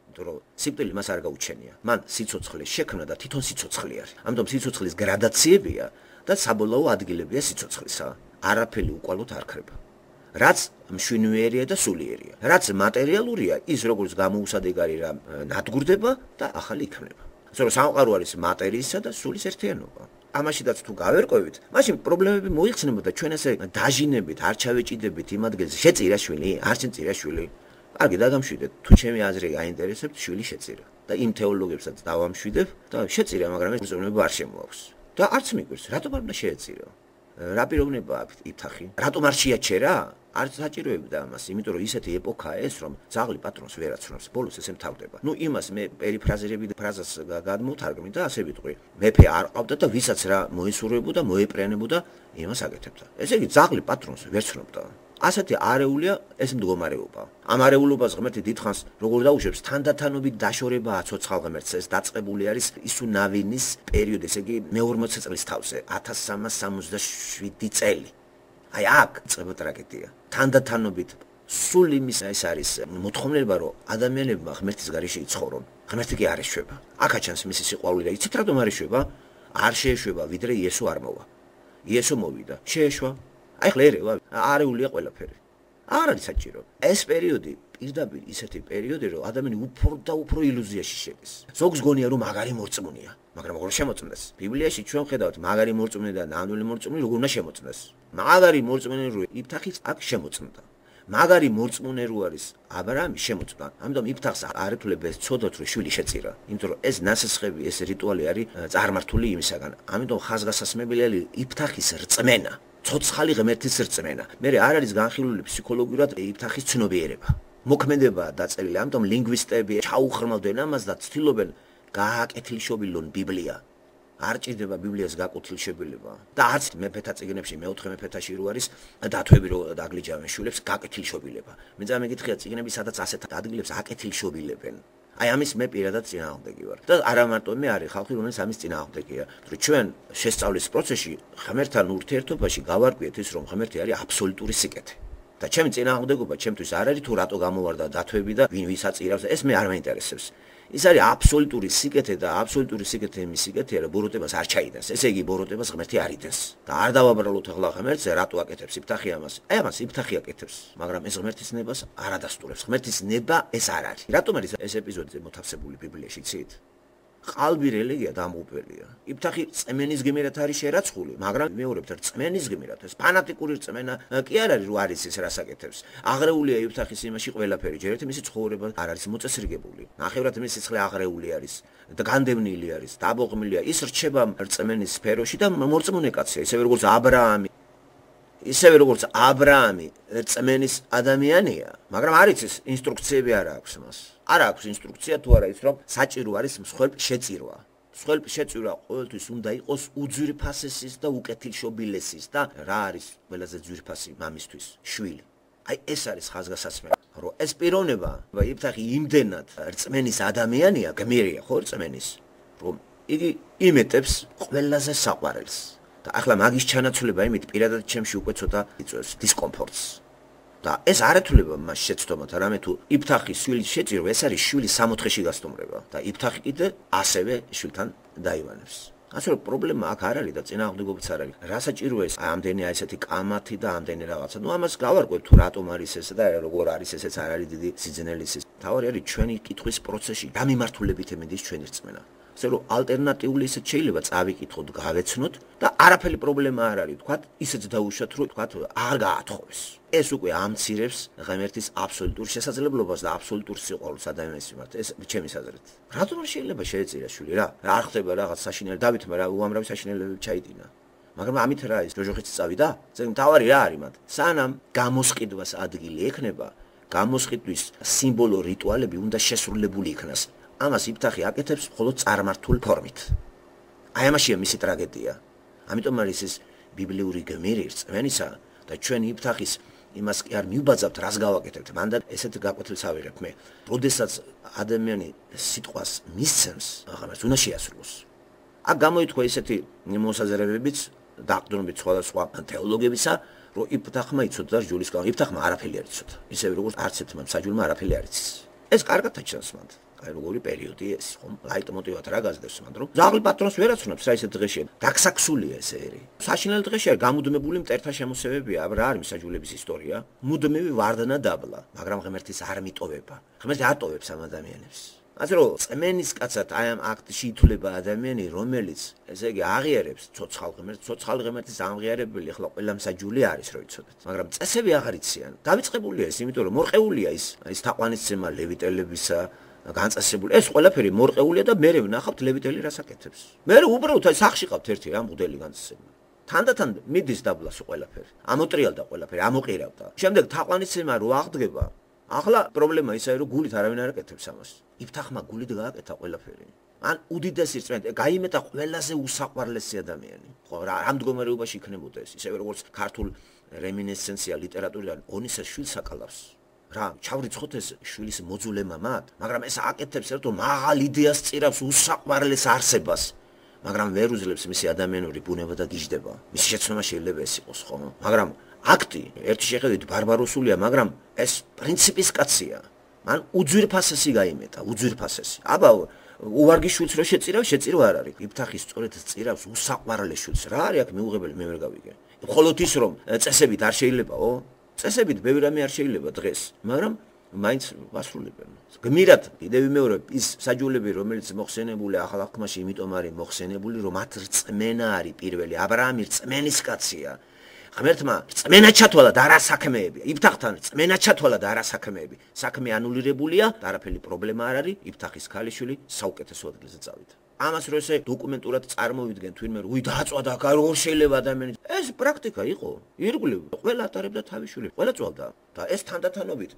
იმიტომ რომ სიკვდილი მას არ გაუჩენია. მან სიცოცხლე შექმნა და თვითონ სიცოცხლე არის. ამიტომ სიცოცხლის გრადაციებია და საბოლოო ადგილებია სიცოცხლისა. არაფერი უკვალოდ არ ქრება. რაც მშვენიერია და სულიერია. რაც მატერიალურია, ის როგორც გამოუსადეგარი რა ნადგურდება და ახალი იქნება. ასე რომ სამყარო არის მატერიისა და სულის ერთიანობა. ამაშიდაც თუ გავერკვევით, მაშინ პრობლემები მოიხსნებოდა ჩვენ ესე დაჟინებით, არ ჩავეჭიდებით იმ ადგილზე. შეწირა შვილი, არ შეწირა შვილი. კარგი, დაგამშვიდეთ. თუ ჩემი აზრი გაინტერესებთ, შვილი შეწირა. და იმ თეოლოგებსაც დავამშვიდებ და შეწირა, მაგრამ ეს პრობლემა არ შემოაქვს. და არც მიგვირს, რატომ არ უნდა შეეწირო? რა პიროვნება აქვს იფთახი? რატომ არ შეაჩერა? არ საჭიროებდა ამას, იმიტომ რომ ისეთი ეპოქაა ეს, რომ ძაღლი პატრონს ვერ აცნობს, ბოლოს ესე მთავრდება. ნუ იმას მე პერიფრაზირები და ფრაზას გადმოვთარგმნი და ასე ვიტყვი. მეფე არ ყავდა და ვისაც რა მოისურვებოდა, მოეპრიანებოდა, იმას აკეთებდა. ესე იგი ძაღლი პატრონს ვერ ცნობდა. ასეთი არეულია ეს მდგომარეობა. ამ არეულობას ღმერთი დიდხანს როგორ დაუშვებს, თანდათანობით დაშორებაა ცოცხალ ღმერთს, ეს დაწყებული არის ისუნავინის პერიოდი, ესე იგი მეორმოცე წლის თავზე, ათას სამას სამოცდაშვიდი წელი. აი აქ წება ტრაგედია. თანდათანობით სულ იმის ეს არის მოთხოვნილება, რომ ადამიანებმა ღმერთის გარეშე იცხოვრონ. ღმერთი კი არ ეშვება. აქა ჩანს მისი სიყვარული და იცით რატომ არ ეშვება? არ შეეშვება, ვიდრე იესო არ მოვა. იესო მოვიდა, შეეშვა. აი ხლა ერევა, არეულია ყველაფერი. არ არის საჭირო. ეს პერიოდი პირდაპირ ისეთი პერიოდი, რომ ადამიანი უფრო და უფრო ილუზიაში შედის. ზოგს გონია, რომ მაგარი მორწმუნეა, მაგრამ როგორ შემოწმდეს? ბიბლიაში ჩვენ ხედავთ მაგარი მორწმუნე და ნამდვილი მორწმუნე როგორ უნდა შემოწმდეს. მაგარი მორწმუნე რო იფთახის აქ შემოწმდა. მაგარი მორწმუნე რო არის აბრაამი შემოწმდა. ამიტომ იფთახს არ ეთვლება ეს ცოდოთ, რომ შვილი შეწირა. იმიტომ რომ ეს ნასესხები, ეს რიტუალი არის წარმართული იმისაგან. ამიტომ ხაზგასასმებელია იფთახის რწმენა. ცოცხალი ღმერთის რწმენა. მე არ არის განხილული ფსიქოლოგიურად იფთახის ცნობიერება. მოქმედება დაწერილი, ამიტომ ლინგვისტები ჩაუხრმავდნენ ამას და ცდილობენ გააკეთილშობილონ ბიბლია. არ ჭირდება ბიბლიას გაკუთილშობილება. და არც მეფეთა წიგნებში, მეოთხე მეფეთაში რო არის დათვები რო დაგლიჯავენ შვილებს გაკეთილშობილება. მე წამეკითხია წიგნები, სადაც ასეთ ადგილებს აკეთილშობილებენ. აი ამის მე პირადად წინააღმდეგი ვარ. და არა მარტო მე არის ხალხი, რომელიც ამის წინააღმდეგია. თუ ჩვენ შესწავლის პროცესში ღმერთთან ურთიერთობაში გავარკვიეთ ის, რომ ღმერთი არის აბსოლუტური სიკეთე. და ჩემი წინააღმდეგობა ჩემთვის არ არის თუ რატო გამოვარდა დათვები და ვინ ვისაც ირავს, ეს მე არ მაინტერესებს. ის არის აბსოლუტური სიკეთე და აბსოლუტური სიკეთე იმის სიკეთეა, რომ ბოროტებას არ ჩაიდენს. ესე იგი ბოროტებას ღმერთი არ იდენს. და არ დავაბრალოთ ახლა ღმერთზე, რატო აკეთებს იფთახი ამას? აი ამას იფთახი აკეთებს, მაგრამ ეს ღმერთის ნებას არ ადასტურებს. ღმერთის ნება ეს არ არის. რატომ არის ეს ეპიზოდზე მოთავსებული ბიბლიაში, იცით? ყალბი რელიგია დამღუპველია. იფთახი წმენის გმირად არის შერაცხული, მაგრამ მეორებთ რწმენის გმირად. ეს ფანატიკური რწმენა კი არ არის, რომ არის ის რას აკეთებს. აღრეულია იფთახის იმაში ყველაფერი, ჯერ ერთი მისი ცხოვრება არ არის მოწესრიგებული. ნახევრად მისი სიცხლე აღრეული არის და განდევნილი არის, დაბოღმილია. ის რჩება რწმენის სფეროში და მორწმუნე კაცია, ისევე როგორც აბრაამი. ისევე როგორც აბრაამი რწმენის ადამიანია, მაგრამ არ იცის ინსტრუქციები არ აქვს მას. არ აქვს ინსტრუქცია თუ არა ის, რომ საჭირო არის მსხვერპლ შეწირვა. მსხვერპლ შეწირვა ყოველთვის უნდა იყოს უძვირფასესის და უკეთილშობილესის და რა არის ყველაზე ძვირფასი მამისთვის? შვილი. აი ეს არის ხაზგასაცმელი, რომ ეს პიროვნება, იფთახი იმდენად რწმენის ადამიანია, გმირია ხო რწმენის, რომ იგი იმეტებს ყველაზე საყვარელს. და ახლა მაგის ჩანაცვლება იმით პირადად ჩემში უკვე ცოტა იწვევს დისკომფორტს. და ეს არ ეთვლება მას შეცდომად, არამედ თუ იფთახის შვილის შეწირვა, ეს არის შვილის სამოთხეში გასტუმრება და იფთახი კიდე ასევე შვილთან დაივანებს. ასე რომ პრობლემა აქ არ არის და წინააღმდეგობაც არ არის. რა საჭიროა ეს ამდენი აი ესეთი კამათი და ამდენი რაღაცა. ნუ ამას გავარკვევ თუ რატომ არის ეს და როგორ არის ესეც არ არის დიდი სიძნელის. თავი არის ჩვენი კითხვის პროცესში რა მიმართულებით ემედის ჩვენი რწმენა. ასე რომ ალტერნატიული ისეთ შეიძლება წავიკითხოთ, გავეცნოთ და არაფერი პრობლემა არ არის. თქვათ ისეც დაუშვათ, რომ თქვათ არ გაათხოვეს. ეს უკვე ამცირებს ღმერთის აბსოლუტურ შესაძლებლობას და აბსოლუტურ სიყვარულს ადამიანის მიმართ. ეს ჩემის აზრით. რატომ არ შეიძლება შეეწირა შვილი რა? არ ხდება რაღაც საშინელი დავითმა რა უამრავი საშინელებები ჩაიდინა. მაგრამ ამით რა ის ჯოჯოხიც წავიდა? ზენ თავარი რა არის მათ? სანამ გამოსყიდვას ადგილი ექნება, გამოსყიდვის სიმბოლო რიტუალები უნდა შესრულებული იქნას. ამას იფთახი აკეთებს მხოლოდ წარმართულ ფორმით. აი ამაშია მისი ტრაგედია. ამიტომ არის ეს ბიბლიური გმირი რწმენისა და ჩვენ იფთახის იმას კი არ მივბაძავთ, რას გავაკეთებთ. მანდ ესეთ გაკვეთილს ავიღებ მე. როდესაც ადამიანი სიტყვას მისცემს, აღარც უნდა შეასრულოს. აქ გამოითქვა ესეთი მოსაზრებებიც დაყრდნობებით სხვადასხვა თეოლოგებისა, რომ იფთახმა იცოდა ჯულის გამო. იფთახმა არაფერი არ იცოდა. ისევე როგორც არც ერთმა მსაჯულმა არაფერი არ იცის. ეს კარგად აჩვენს მანდ. აი როგორი პერიოდი ეს ხომ ლაიტმოტივად რა გაზრდებს მანდ რომ ზაღლი პატრონს ვერ აცნობს რა ისეთ დღეში დაგსაქსულია ეს ერი საშინელი დღეში არ გამუდმებული მტერთა შემოსევებია აბა რა არის მსაჯულების ისტორია მუდმივი ვარდნა დაბლა მაგრამ ღმერთის არ მიტოვება ღმერთი ატოვებს ამ ადამიანებს ასე რომ წმენის კაცად აი ამ აქტში ითვლება ადამიანი რომელიც ესე იგი აღიარებს ცოცხალ ღმერთს ცოცხალ ღმერთის ამღიარებელი ახლა ყველა მსაჯული არის რო იცოდეთ მაგრამ წესები აღარ იციან დავიწყებულია ეს იმიტომ რომ მორყეულია ის ის თაყვანისცემა ლევიტელებისა განწესებული ეს ყველაფერი მორყეულია და მე ვნახავთ ლევიტელი რას აკეთებს მე უბრალოდ აი სახში ყავთ ერთი რა მღვდელი განწესებული თანდათან მიდის დაბლას ყველაფერი ამოტრიალდა ყველაფერი ამოყირავდა შემდეგ თაყვანისცემა რო აღდგება ახლა პრობლემა ისაა რომ გულით არავინ არ აკეთებს ამას იფთახმა გულით გააკეთა ყველაფერი ან უდიდესი რწმენით გაიმეტა ყველაზე უსაყვარლესი ადამიანი ხო რა ამ მდგომარეობაში იქნებოდა ეს ისევე როგორც ქართულ რემინესცენცია ლიტერატურიდან ონისეს შვილს აკალავს რა ჩავრიცხოთ ეს შვილის მოძულე მამად მაგრამ ეს აკეთებს ერთო მაღალ იდეას წირავს უსაყვარლეს არსებას მაგრამ ვერ უძლებს მისი ადამიანური ბუნება და გიждდება მისი შეცნობა შეიძლება ეს იყოს ხო მაგრამ აქტი ერთი შეხედვით ბარბაროსულია, მაგრამ ეს პრინციპის კაცია. მან უძვირფასესი გაიმეტა, უძვირფასესი. აბა უვარგი შვილს რო შეწირავ, შეწირვა არ არის. იფთახი სწორედ წირავს უსაყვარლე შვილს. რა არის აქ მეუღებელი, მე ვერ გავიგე. მხოლოდ ის რომ წესებით არ შეიძლებაო? წესებით ბევრი რამე არ შეიძლება დღეს, მაგრამ მაინც ვასრულებენ. გმირად კიდევ ვიმეორებ, ის საჯულები, რომელიც მოხსენებული ახალ აღთქმაში, იმიტომ არის მოხსენებული, რომ მათ რწმენა არის პირველი. აბრაამი რწმენის კაცია. ღმერთმა რწმენა ჩათვალა და არა საქმეები. იფთახთან რწმენა ჩათვალა და არა საქმეები. საქმე ანულირებულია და არაფერი პრობლემა არ არის. იფთახის ქალიშვილი საუკეთესო ადგილზე წავიდა. ამას რო ესე დოკუმენტურად წარმოვიდგენ თვითონ მე, უი დააწვა და როგორ შეიძლება ადამიანი. ეს პრაქტიკა იყო. ირგვლივ ყველა ატარებდა თავის შვილებს, ყველა წვალდა და ეს თანდათანობით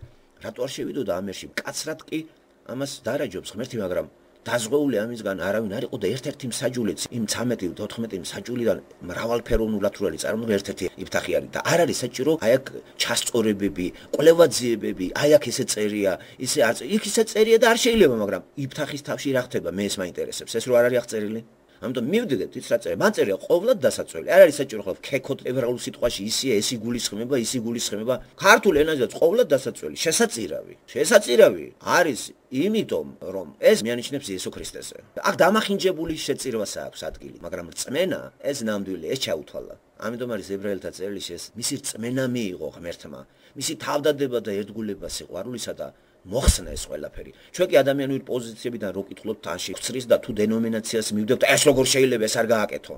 რატო არ შევიდოდა ამერში? კაცრად კი ამას დარაჯობს ღმერთი, მაგრამ დაზღვეული ამისგან არავინ არ იყო და ერთ-ერთი მსაჯულიც იმ ცამეტი თოთხმეტი მსაჯულიდან მრავალფეროვნულად რო არის წარმოდგენილი ერთ-ერთი იფთახი არის და არ არის საჭირო აი აქ ჩასწორებები, კვლევაძიებები, აი აქ ესე წერია, ისე არ იქ ისე წერია და არ შეიძლება, მაგრამ იფთახის თავში რა ხდება, მე ეს მაინტერესებს, ეს რო არ არის აღწერილი. ამიტომ მივდიდეთ ის რა წერია, მან წერია ყოვლად დასაწველი. არ არის საჭირო ხოლმე ქექოთ ებრაულ სიტყვაში ისია, ესი გულისხმება, ისი გულისხმება. ქართულ ენაზეც ყოვლად დასაწველი, შესაწირავი. შესაწირავი არის იმიტომ, რომ ეს მიანიშნებს იესო ქრისტესზე. აქ დამახინჯებული შეწირვას აქვს ადგილი, მაგრამ რწმენა ეს ნამდვილი, ეს ჩაუთვალა. ამიტომ არის ებრაელთა წერილში ეს მისი რწმენა მიიღო ღმერთმა, მისი თავდადება და ერთგულება სიყვარულისა და მოხსნა ეს ყველაფერი. ჩვენ კი ადამიანური პოზიციებიდან რო კითხულობთ თანში, ხსრის და თუ დენომინაციას მივდებთ, ეს როგორ შეიძლება ეს არ გააკეთო?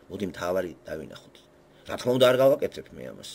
მოდი მთავარი დავინახოთ. რა თქმა უნდა არ გავაკეთებ მე ამას.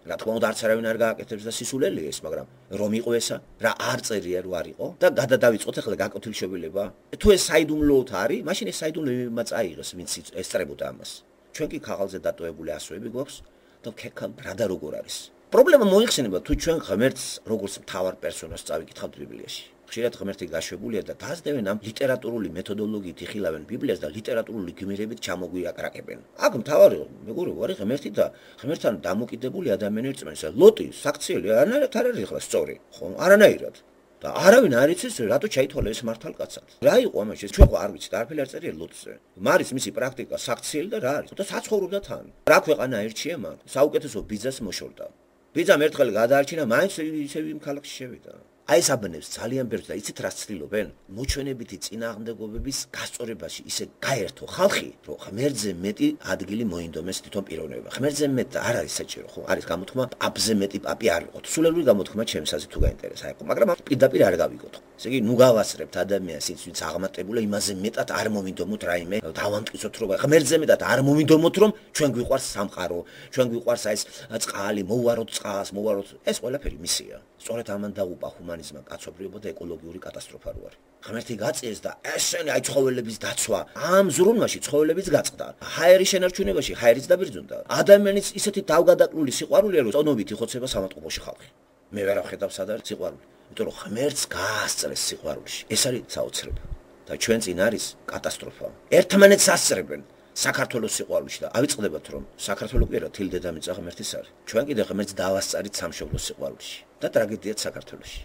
რა თქმა უნდა არც არავინ არ გააკეთებს და სისულელია ეს, მაგრამ რომ იყო ესა, რა არ წერია რო არ იყო და გადადავიწყოთ ახლა გაკეთილშობილება. თუ ეს საიდუმლოოდ არის, მაშინ ეს საიდუმლოებმა წაიღეს, ვინც ესწრებოდა ამას. ჩვენ კი ქაღალზე დატოვებული ასოები გვაქვს და ქექამ რა და როგორ არის. პრობლემა მოიხსენება თუ ჩვენ ღმერთს როგორც მთავარ პერსონაჟს წავიკითხავთ ბიბლიაში. ხშირად ღმერთი გაშვებულია და დაძდევენ ამ ლიტერატურული მეთოდოლოგიით იხილავენ ბიბლიას და ლიტერატურული გმირებით ჩამოგვიაკრაკებენ. აქ მთავარი მეგობრებო არის ღმერთი და ღმერთთან დამოკიდებული ადამიანის რწმენა. ლოტი საქციელი არანაირად არ არის ახლა სწორი, ხო? არანაირად. და არავინ არ იცის რატო ჩაითვალა ეს მართალკაცად. რა იყო ამაში? ჩვენ ხო არ ვიცით, არაფერი არ წერია ლოტზე. მარის მისი პრაქტიკა საქციელი და რა არის? და საცხოვრობდა თან. რა ქვეყანა ერჩია მან? საუკეთესო ბიძას მოშორდა. ბიძამ ერთხელ გადაარჩინა, მაინც ისევ იმ ქალაქში შევიდა. აი ეს აბნევს ძალიან ბევრს და იცით რა ცდილობენ? მოჩვენებითი წინააღმდეგობების გასწორებაში ისე გაერთო ხალხი, რომ ღმერთზე მეტი ადგილი მოინდომეს თვითონ პიროვნებებმა. ღმერთზე მეტ არ არის საჭირო, ხო? არის გამოთქმა, პაპზე მეტი პაპი არ ვიყოთ. სულელური გამოთქმა ჩემს აზრით თუ გაინტერესა იყო, მაგრამ პირდაპირ არ გავიგოთ. ესე იგი, ნუ გავასწრებთ ადამიანს ის, ვინც აღმატებულა, იმაზე მეტად არ მომინდომოთ რაიმე, დავამტკიცოთ რომ ღმერთზე მეტად არ მომინდომოთ, რომ ჩვენ გვიყვარს სამყარო, ჩვენ გვიყვარს აი ეს წყალი, მოვაროთ წყალს, მოვაროთ, ეს ყველაფერი მისია. სწორედ ამან დაუპა ჰუმანიზმმა კაცობრიობა და ეკოლოგიური კატასტროფა რო არის. ღმერთი გაწიეს და ესენი აი ცხოველების დაცვა, ამ ზრუნვაში ცხოველებიც გაწყდა. ჰაერის შენარჩუნებაში ჰაერიც დაბერძნდა. ადამიანის ისეთი თავგადაკლული სიყვარულია, რომ წონობით იხოცება სამატყუპოში ხალხი. მე ვერ ვხედავ სად არის სიყვარული, იმიტომ რომ ღმერთს გაასწრეს სიყვარულში. ეს არის საოცრება და ჩვენ წინ არის კატასტროფა. ერთმანეთს ასწრებენ. საქართველოს სიყვარულში და ავიწყდებათ რომ საქართველოს კი არა თილ დედამიწა ღმერთის არის. ჩვენ კიდე ღმერთს დავასწარით სამშობლოს სიყვარულში და ტრაგედიად საქართველოში.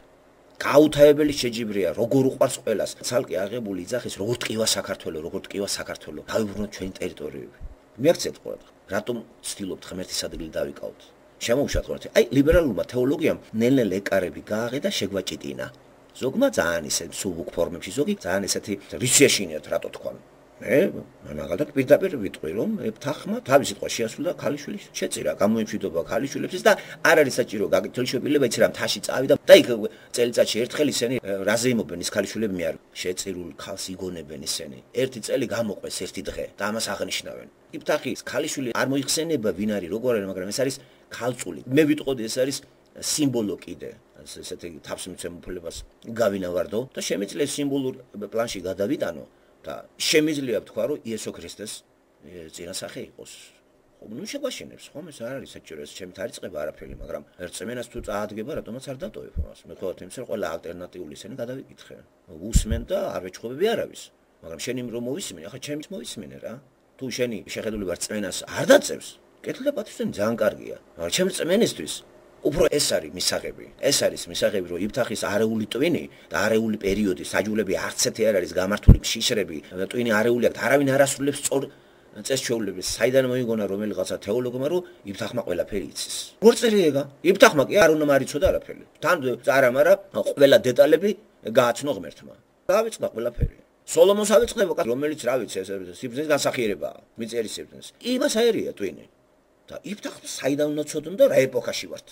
გაუთავებელი შეჯიბრია როგორ უყვარს ყველას. ცალკე აღებული იძახის როგორ ტკივა საქართველოს, როგორ ტკივა საქართველოს. დავიბრუნოთ ჩვენი ტერიტორიები. მიაქცეთ ყველა. რატომ ცდილობთ ღმერთის ადგილი დავიკავოთ? შემოუშვათ ღმერთი. აი ლიბერალურმა თეოლოგიამ ნელ-ნელ ეკარები გააღე და შეგვაჭიტინა. ზოგმა ძალიან ისე სუბუქ ფორმებში, ზოგი ძალიან ესეთი რისიაშინიათ რატო თქვა. მე მაგალითად პირდაპირ ვიტყვი რომ იფთახმა თავის სიტყვა შეასრულა ქალიშვილის შეწირა გამოიმშვიდობა ქალიშვილებს და არ არის საჭირო გაგითილშობილება იცი რა მთაში წავიდა და იქ წელიწადში ერთხელ ისინი რაზე იმობენ ის ქალიშვილები მე არ შეწირულ ქალს იგონებენ ისინი ერთი წელი გამოყვეს ერთი დღე და ამას აღნიშნავენ იფთახის ქალიშვილი არ მოიხსენება ვინ არის როგორ არის მაგრამ ეს არის ქალწული მე ვიტყოდი ეს არის სიმბოლო კიდე ესეთი თავსმცემულებას გავინავარდო და შემიძლია სიმბოლურ პლანში გადავიტანო და შემიძლია ვთქვა რომ იესო ქრისტეს წინასახე იყოს. ხო, ნუ შეგვაშენებს, ხომ ეს არ არის საჭირო, ეს ჩემით არ იწყება არაფერი, მაგრამ რწმენას თუ წაადგება, რატომაც არ დატოვებ ამას. მე ხო თემს რომ ყველა ალტერნატიული ისენი გადავიკითხე. უსმენ და არ ვეჩხობები არავის. მაგრამ შენი რომ მოვისმინე, ახლა ჩემით მოვისმინე რა. თუ შენი შეხედულება რწმენას არ დაწევს, კეთილ და პატივისცემი ძალიან კარგია. მაგრამ ჩემ რწმენისთვის უფრო ეს არის მისაღები. ეს არის მისაღები, რომ იფთახის არეული ტვინი და არეული პერიოდი საჯულები არც ერთი არ არის გამართული შიშრები, ტვინი არეული აქვს, არავინ არ ასრულებს სწორ წესჩვეულების საიდან მოიგონა რომელიღაცა თეოლოგმა რომ იფთახმა ყველაფერი იცის. როგორ წერიეგა? იფთახმა კი არ უნდა მარიცოდა არაფერი. თან წარამარა ყველა დეტალები გააცნო ღმერთმა. დავიწყდა ყველაფერი. სოლომონს ავიწყდება, რომელიც რა ვიცი, ეს სიბრძნის განსახიერებაა, მიწერის სიბრძნის. იმას აერია ტვინი. და იფთახმა საიდან უნდა ცოდონ და რა ეპოქაში ვართ.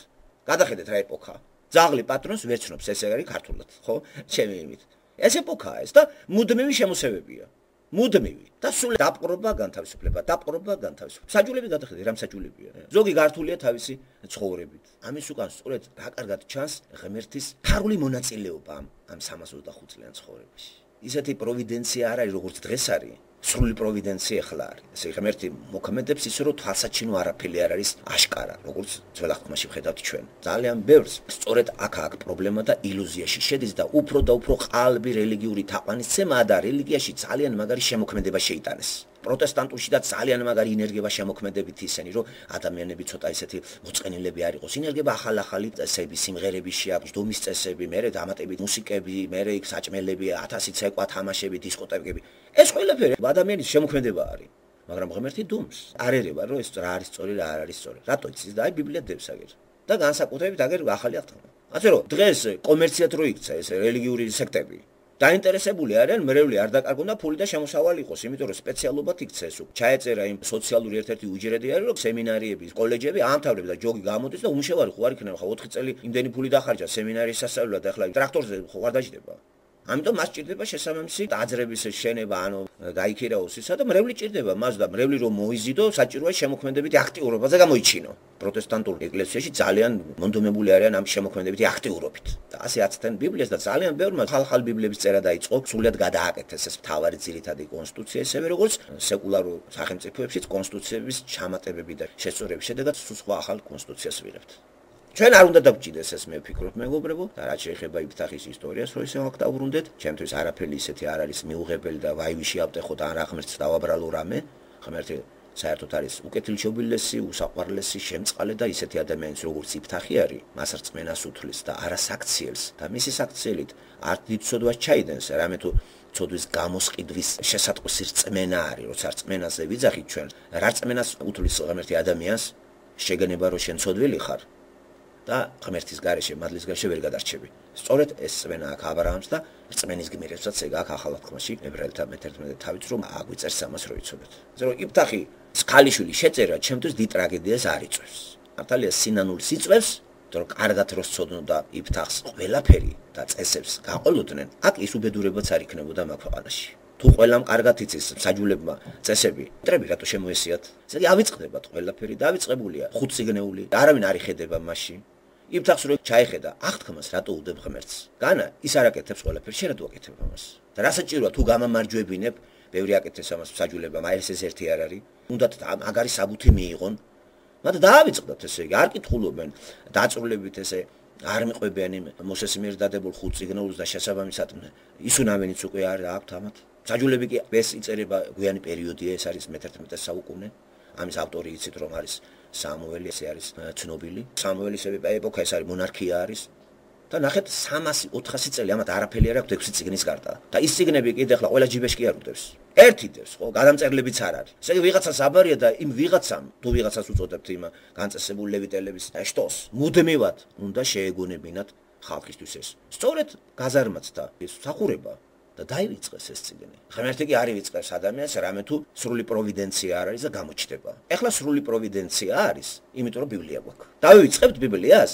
გადახედეთ რა ეპოქა. ძაღლი პატრონს ვერ ცნობს, ესე არის ქართულად, ხო? ჩემი იმით. ეს ეპოქაა ეს და მუდმივი შემოსევებია. მუდმივი და სულ დაპყრობა განთავისუფლება, დაპყრობა განთავისუფლება. საჯულები გადახედეთ, რამ საჯულებია. ზოგი გართულია თავისი ცხოვრებით. ამის უკან სწორედ რა კარგად ჩანს ღმერთის ფარული მონაწილეობა ამ სამას ოცდახუთ წლიან ცხოვრებაში. ისეთი პროვიდენცია არ არის, როგორც დღეს არის. სრული პროვიდენცია ახლა არის. ესე ღმერთი მოქმედებს ისე რომ თვალსაჩინო არაფერი არ არის აშკარა, როგორც ძველ აღთქმაში ვხედავთ ჩვენ. ძალიან ბევრს სწორედ აქ აქ პრობლემა და ილუზიაში შედის და უფრო და უფრო ყალბი რელიგიური თაყვანისცემა და რელიგიაში ძალიან მაგარი შემოქმედება შეიტანეს. პროტესტანტულში და ძალიან მაგარი ინერგება შემოქმედებით ისენი, რომ ადამიანები ცოტა ისეთი მოწყენილები არ იყოს. ინერგება ახალ-ახალი წესები, სიმღერები შეაქვს, დომის წესები, მერე დამატებით მუსიკები, მერე იქ საჭმელები, ათასი ცეკვა, თამაშები, დისკოტეკები. ეს ყველაფერი ადამიანის შემოქმედება არის. მაგრამ ღმერთი დუმს არ ერევა, რომ ეს რა არის სწორი, რა არ არის სწორი. რატო იცის და აი ბიბლია დებს აგერ. და განსაკუთრებით აგერ ახალი აღთქმა. ასე რომ დღეს კომერციად რო იქცა ეს რელიგიური სექტები დაინტერესებული არიან მრევლი არ დაკარგონ და ფული და შემოსავალი იყოს, იმიტომ რომ სპეციალობად იქცა ეს. ჩაეწერა იმ სოციალური ერთ-ერთი უჯრედი არის, რომ სემინარიები, კოლეჯები აამთავრებს და ჯოგი გამოდის და უმშევარი ხო არ იქნება, ხო ოთხი წელი იმდენი ფული დახარჯა სემინარიის სასწავლებლად და ახლა ტრაქტორზე ხო არ დაждდება. ამიტომ მას ჭირდება შესაბამისი დაძრების შენება, ანუ გაიქირაოს ისა და მრევლი ჭირდება მას და მრევლი რომ მოიზიდო, საჭიროა შემოქმედებითი აქტიურობაზე გამოიჩინო. პროტესტანტულ ეკლესიაში ძალიან მონდომებული არიან ამ შემოქმედებითი აქტიურობით. და ასე აცდენ ბიბლიას და ძალიან ბევრმა ხალხალ ბიბლიების წერა დაიწყო, სრულად გადააკეთეს ეს მთავარი ძირითადი კონსტიტუცია, ისევე როგორც სეკულარულ სახელმწიფოებშიც კონსტიტუციების ჩამატებები და შესწორების შედეგად სულ სხვა ახალ კონსტიტუციას ვიღებთ. ჩვენ არ უნდა დავჭიდეს ეს მე ვფიქრობ მეგობრებო და რაც შეეხება იფთახის ისტორიას რო ისე აქ დავბრუნდეთ ჩემთვის არაფერი ისეთი არ არის მიუღებელი და ვაივიში ავტეხოთ ან რა ღმერთს დავაბრალო რამე ღმერთი საერთოდ არის უკეთილშობილესი უსაყვარლესი შემწყალე და ისეთი ადამიანის როგორც იფთახი არის მას რწმენას უთვლის და არასაქციელს და მისი საქციელით არ დიდ ცოდვას ჩაიდენს რამე თუ ცოდვის გამოსყიდვის შესატყვისი რწმენა არის როცა რწმენაზე ვიძახით ჩვენ რა რწმენას უთვლის ღმერთი ადამიანს შეგენება რომ შენ ცოდვილი ხარ და ღმერთის გარეშე მადლის გარეშე ვერ გადარჩები. სწორედ ეს რწმენა აქვს აბრაამს და რწმენის გმირებსაც ეგ აქვს ახალ აღთქმაში ებრაელთა მეთერთმეტე თავით რომ აგვიწერს ამას რო იცოდეთ. ასე რომ იფთახი ქალიშვილი შეწერა ჩემთვის დიდ ტრაგედიას არ იწვევს. მართალია სინანულ სიწვევს, რომ კარგად რო სწოდნო და იფთახს ყველაფერი და წესებს გაყოლოდნენ, აქ ის უბედურებაც არ იქნებოდა მაგ ქვეყანაში. თუ ყველამ კარგად იცის საჯულებმა წესები, ტრები რატო შემოესიათ? ესე იგი ავიწყდებათ ყველაფერი და ავიწყებულია ხუთ სიგნეული, არავინ არ იხედება მასში. იფთახს რო ჩაიხედა, აღთქმას რატო უდებ ღმერთს? განა ის არ აკეთებს ყველაფერს, შენ რატო აკეთებ ამას? და რა საჭიროა თუ გამამარჯვებინებ, ბევრი აკეთებს ამას საჯულებამ, აი ეს ეს ერთი არ არის. უნდათ მაგარი საბუთი მიიღონ. მათ დაავიწყდათ ესე იგი, არ კითხულობენ დაწვრილებით ესე არ მიყვებიან იმ მოსეს მიერ დადებულ ხუთ სიგნალს და შესაბამისად ისუნავენიც უკვე არ აქვთ ამათ. საჯულები კი ეს იწერება გვიანი პერიოდია, ეს არის მეთერთმეტე საუკუნე. ამის ავტორი იცით რომ არის სამუელი, ესე არის ცნობილი. სამუელის ეპოქა ეს არის მონარქია არის. და ნახეთ სამასი ოთხასი წელი ამათ არაფერი არ აქვს ექვსი წიგნის გარდა. და ის წიგნები კიდე ახლა ყველა ჯიბეში კი არ უდევს. ერთი დევს, ხო, გადამწერლებიც არ არის. ესე იგი ვიღაცას აბარია და იმ ვიღაცამ, თუ ვიღაცას უწოდებთ იმ განწესებულ ლევიტელების შტოს, მუდმივად უნდა შეეგონებინათ ხალხისთვის ეს. სწორედ გაზარმაცდა ეს სახურება და დაივიწყეს ეს წიგნი. ღმერთი კი არ ივიწყებს ადამიანს, რამე თუ სრული პროვიდენცია არ არის და გამოჩნდება. ეხლა სრული პროვიდენცია არის, იმიტომ რომ ბიბლია გვაქვს. დავივიწყებთ ბიბლიას.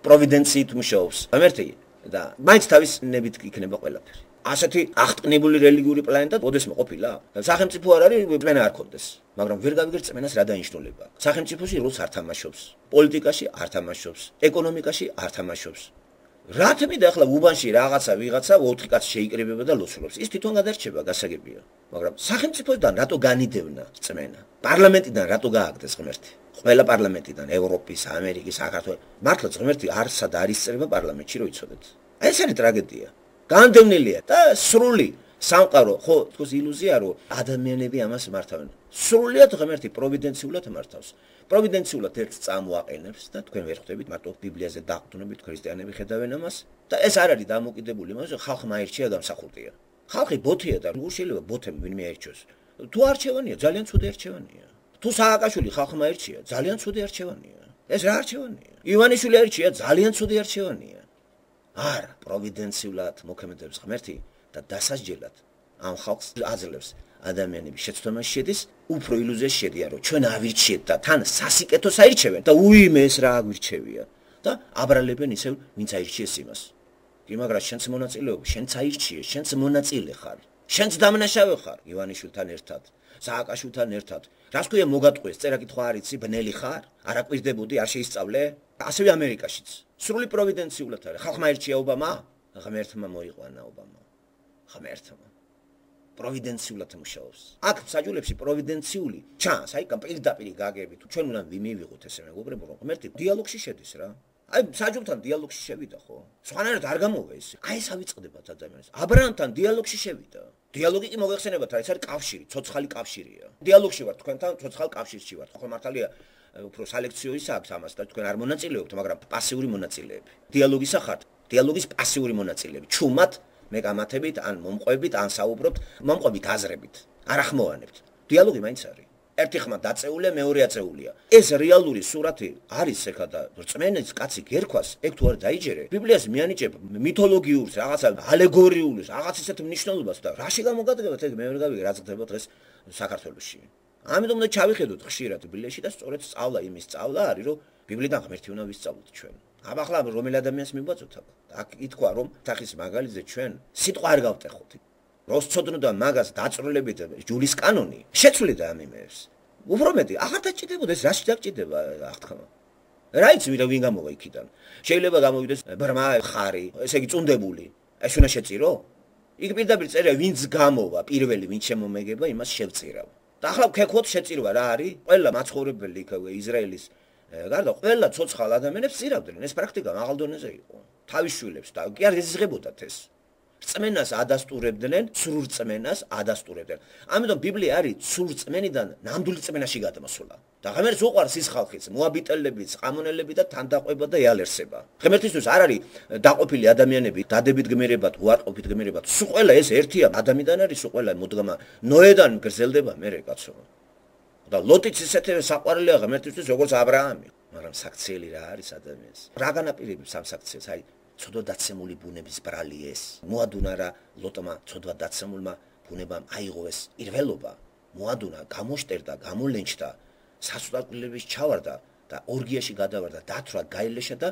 პროვიდენციით მუშაობს ღმერთი და მაინც თავის ნებით იქნება ყველაფერი. ასეთი აღტკნებული რელიგიური პლანეტა ოდესმე ყოფილა? სახელმწიფო არ არის, რწმენა არ ქონდეს. მაგრამ ვერ გავიგებ რწმენას რა დანიშნულება. სახელმწიფოში როლს არ თამაშობს, პოლიტიკაში არ თამაშობს, ეკონომიკაში არ თამაშობს. რა თქმიდა ახლა უბანში რაღაცა ვიღაცა ოთხი კაცი შეიკრიბება და ლოცულობს. ის თვითონ გადარჩება, გასაგებია. მაგრამ სახელმწიფოდან რატო განიდევნა რწმენა? პარლამენტიდან რატო გააგდეს ღმერთი? ყველა პარლამენტიდან, ევროპის, ამერიკის, საქართველოს. მართლაც ღმერთი არსად არის წერება პარლამენტში, რო იცოდეთ. ეს არის ტრაგედია. განდევნილია და სრული სამყარო, ხო, თქოს ილუზია რომ ადამიანები ამას მართავენ. სრულიად ღმერთი პროვიდენციულად მართავს. პროვიდენციულად ერთ წამოაყენებს და თქვენ ვერ ხვდებით მარტო ბიბლიაზე დაყრდნობით ქრისტიანები ხედავენ ამას და ეს არ არის დამოკიდებული იმაზე, ხალხმა აირჩია გამსახურდია. ხალხი ბოთია და როგორ შეიძლება ბოთემ ვინმე აირჩიოს? თუ არჩევანია, ძალიან ცუდი არჩევანია. თუ სააკაშვილი ხალხმა ერჩია, ძალიან ცუდი არჩევანია. ეს რა არჩევანია? ივანიშვილი ერჩია, ძალიან ცუდი არჩევანია. არა, პროვიდენციულად მოქმედებს ღმერთი და დასასჯელად ამ ხალხს აძლევს ადამიანების შეცდომაში შედის, უფრო ილუზიაში შედიან, რომ ჩვენ ავირჩიეთ და თან სასიკეთოს აირჩევენ და უიმე ეს რა აგვირჩევია და აბრალებენ ისევ, ვინც აირჩიეს იმას. კი, მაგრამ შენც მონაწილეობ, შენც აირჩიეს, შენც მონაწილე ხარ. შენც დამნაშავე ხარ ივანიშვილთან ერთად, სააკაშვილთან ერთად. რას ქვია მოგატყვეს, წერა-კითხვა არ იცი, ბნელი ხარ? არ აკვირდებოდი, არ შეისწავლე? ასევე ამერიკაშიც. სრული პროვიდენციულად არის. ხალხმა ერჩია ობამა, ღმერთმა მოიყვანა ობამა. ღმერთმა. პროვიდენციულად მუშაობს. აქ საჯულებში პროვიდენციული ჩანს, აი პირდაპირ გაგები თუ ჩვენ უნდა ვიმივიღოთ ესე მეგობრებო, რომ ღმერთი დიალოგში შედის რა. აი საჯულთან დიალოგში შევიდა ხო? სხვანაირად არ გამოვა ეს. აი ეს ავიწყდებათ ადამიანს. აბრაამთან დიალოგში შევიდა. დიალოგი კი მოგეხსენებათ, რა, ეს არის კავშირი, ცოცხალი კავშირია. დიალოგში ვარ თქვენთან, ცოცხალ კავშირში ვარ. ხო მართალია, უფრო სალექციო ის აქვს ამას და თქვენ არ მონაწილეობთ, მაგრამ პასიური მონაწილეები. დიალოგისა ხართ, დიალოგის პასიური მონაწილეები. ჩუმად მეკამათებით, ან მომყვებით, ან საუბრობთ, მომყვებით აზრებით. არ ახმოვანებთ. დიალოგი მაინც არის. ერთი ხმა დაწეულია, მეორე აწეულია. ეს რეალური სურათი არის ეხლა და რწმენის კაცი გერქვას, ეგ თუ არ დაიჯერე, ბიბლიას მიანიჭებ მითოლოგიურს, რაღაცა ალეგორიულს, რაღაც ისეთ მნიშვნელობას და რაში გამოგადგებათ ეგ მე ვერ გავიგე რა ხდება დღეს საქართველოში. ამიტომ უნდა ჩავიხედოთ ხშირად ბიბლიაში და სწორედ სწავლა იმის სწავლა არის, რომ ბიბლიიდან ღმერთი უნდა ვისწავლოთ ჩვენ. აბა ახლა რომელ ადამიანს მივბაწოთ აქ? აქ ითქვა რომ თახის მაგალითზე ჩვენ სიტყვა არ გავტეხოთ. როს ცოდნოდა მაგას დაწვრილებით ჯულის კანონი შეცვლიდა ამ იმებს. უფრო მეტი აღარ დაჭიდებოდა ეს რაში დაგჭიდება აღთქმა. რა იცი ვინ ვინ გამოვა იქიდან. შეიძლება გამოვიდეს ბრმა ხარი, ესე იგი წუნდებული. ეს უნდა შეწირო? იქ პირდაპირ წერია ვინც გამოვა პირველი ვინ შემომეგება იმას შევწირავ. და ახლა ვქექვოთ შეწირვა რა არის? ყველა მაცხოვრებელი იქ ისრაელის გარდა ყველა ცოცხალ ადამიანებს წირავდნენ. ეს პრაქტიკა მაღალ დონეზე იყო. თავის შვილებს და კი არ ეზღებოდათ ეს. რწმენას ადასტურებდნენ, სრულ რწმენას ადასტურებდნენ. ამიტომ ბიბლია არის სრულ რწმენიდან ნამდვილი რწმენაში გადმოსვლა. და ღმერთს უყვარს ის ხალხიც, მოაბიტელებიც, ყამონელები და თანდაყვება და ეალერსება. ღმერთისთვის არ არის დაყოფილი ადამიანები, დადებით გმირება, უარყოფით გმირება. სულ ყველა ეს ერთია, ადამიანიდან არის სულ ყველა მოდგმა. ნოედან გრძელდება მერე კაცო. და ლოტიც ისეთივე საყვარელია ღმერთისთვის, როგორც აბრაამი. მაგრამ საქციელი რა არის ადამიანს? რა განაპირობებს ამ საქციელს? აი ცოდვა დაცემული ბუნების ბრალი ეს. მოადუნა რა ლოტმა ცოდვა დაცემულმა ბუნებამ აიღო ეს პირველობა. მოადუნა, გამოშტერდა, გამოლენჩდა, სასწაულების ჩავარდა და ორგიაში გადავარდა, დათვრა, გაილეშა და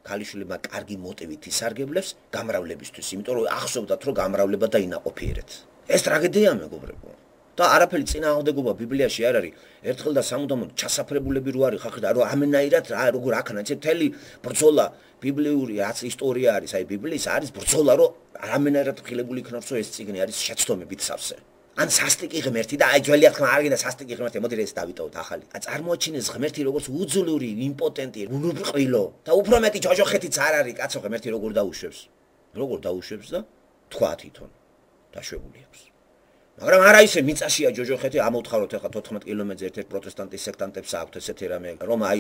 ქალიშვილებმა კარგი მოტივით ისარგებლებს გამრავლებისთვის, იმიტომ რომ ახსოვდათ რომ გამრავლება და ინაყოფიერეთ. ეს ტრაგედია მეგობრებო. და არაფერი წინააღმდეგობა ბიბლიაში არ არის. ერთხელ და სამუდამოდ ჩასაფრებულები რო არის ხალხი და რო ამენაირად რა როგორ აქნა ეს მთელი ბრძოლა ბიბლიური რაც ისტორია არის, აი ბიბლიის არის ბრძოლა რო ამენაირად ხილებული იქნებს რომ ეს წიგნი არის შეცდომებით სავსე. ან სასტიკი ღმერთი და აი ძველი ახლა არ გინდა სასტიკი ღმერთი, მოდი ეს დავიტოვოთ ახალი. აი წარმოაჩინეს ღმერთი როგორც უძლური, იმპოტენტი, უნუბრყვილო და უფრო მეტი ჯოჯოხეთიც არ არის კაცო ღმერთი როგორ დაუშვებს. როგორ დაუშვებს და თქვა თვითონ დაშვებული აქვს. მაგრამ არა ისე მიწაშია ჯოჯოხეთი ამოთხაროთ ახლა თოთხმეტ კილომეტრზე ერთ-ერთ პროტესტანტის სექტანტებს აქვს ესეთი რამე რომ აი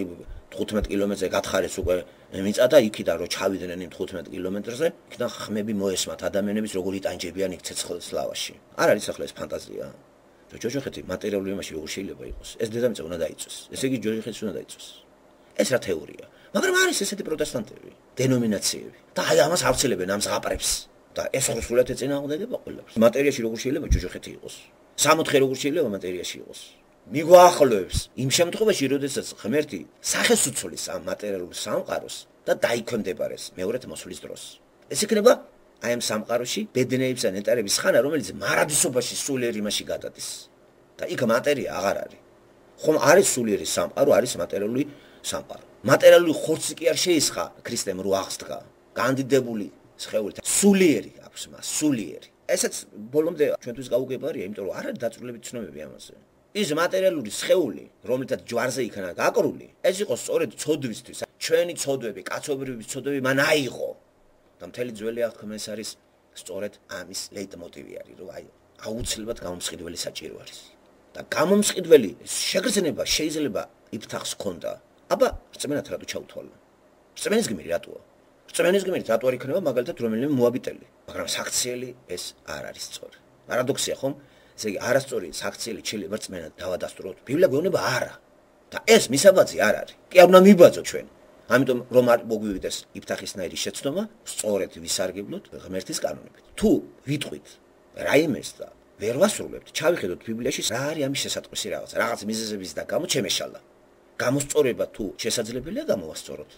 თხუთმეტ კილომეტრზე გათხარეს უკვე მიწა და იქიდან რო ჩავიდნენ იმ თხუთმეტ კილომეტრზე იქიდან ხმები მოესმათ ადამიანების როგორ იტანჯებიან იქ ცეცხლის ლავაში. არ არის ახლა ეს ფანტაზია. ჯოჯოხეთი მატერიალური იმაში როგორ შეიძლება იყოს. ეს დედამიწა უნდა დაიწვეს. ესე იგი ჯოჯოხეთს უნდა დაიწვეს. ეს რა თეორია. მაგრამ არის ესეთი პროტესტანტები, დენომინაციები და აი ამას ავრცელებენ ამ ზღაპრებს. და ეს სრულად ეწინააღმდეგება ყველაფერს. მატერიაში როგორ შეიძლება ჯოჯოხეთი იყოს? სამოთხე როგორ შეიძლება მატერიაში იყოს? მიგვაახლოებს იმ შემთხვევაში, როდესაც ღმერთი სახეს უცვლის ამ მატერიალურ სამყაროს და დაიქვემდებარეს მეორეთ მოსვლის დროს. ეს იქნება აი ამ სამყაროში ბედნიერებისა ნეტარების ხანა, რომელიც მარადისობაში სულიერ იმაში გადადის. და იქ მატერია აღარ არის. ხომ არის სულიერი სამყარო, არის მატერიალური სამყარო. მატერიალური ხორცი კი არ შეისხა ქრისტემ რო აღსდგა. განდიდებული სხეული სულიერი აქვს მას, სულიერი. ესეც ბოლომდე ჩვენთვის გაუგებარია, იმიტომ რომ არ არის დაწვრილებით ცნობები ამაზე. ის მატერიალური სხეული, რომელთაც ჯვარზე იქნა გაკრული, ეს იყო სწორედ ცოდვისთვის. ჩვენი ცოდვები, კაცობრიობის ცოდვები მან აიღო. და მთელი ძველი აღთქმა ეს არის სწორედ ამის ლეიტმოტივი არის, რომ აი აუცილებლად გამომსყიდველი საჭირო არის. და გამომსყიდველი შეგრძნება შეიძლება იფთახს ქონდა. აბა რწმენად რატო ჩაუთვალო? რწმენის გმირი რატოა? რწმენის გმირით რატო არ იქნება მაგალითად რომელიმე მოაბიტელი, მაგრამ საქციელი ეს არ არის სწორი. პარადოქსია ხომ? ესე იგი არასწორი საქციელი ჩილება რწმენა დავადასტუროთ. ბიბლია გვეუბნება არა. და ეს მისაბაძი არ არის. კი არ უნდა მიბაძოთ ჩვენ. ამიტომ რომ არ მოგვივიდეს იფთახისნაირი შეცდომა, სწორედ ვისარგებლოთ ღმერთის კანონებით. თუ ვიტყვით რაიმეს და ვერ ვასრულებთ, ჩავიხედოთ ბიბლიაში რა არის ამის შესატყვისი რაღაცა, რაღაც მიზეზების და გამო ჩემეშალა. გამოსწორება თუ შესაძლებელია გამოვასწოროთ.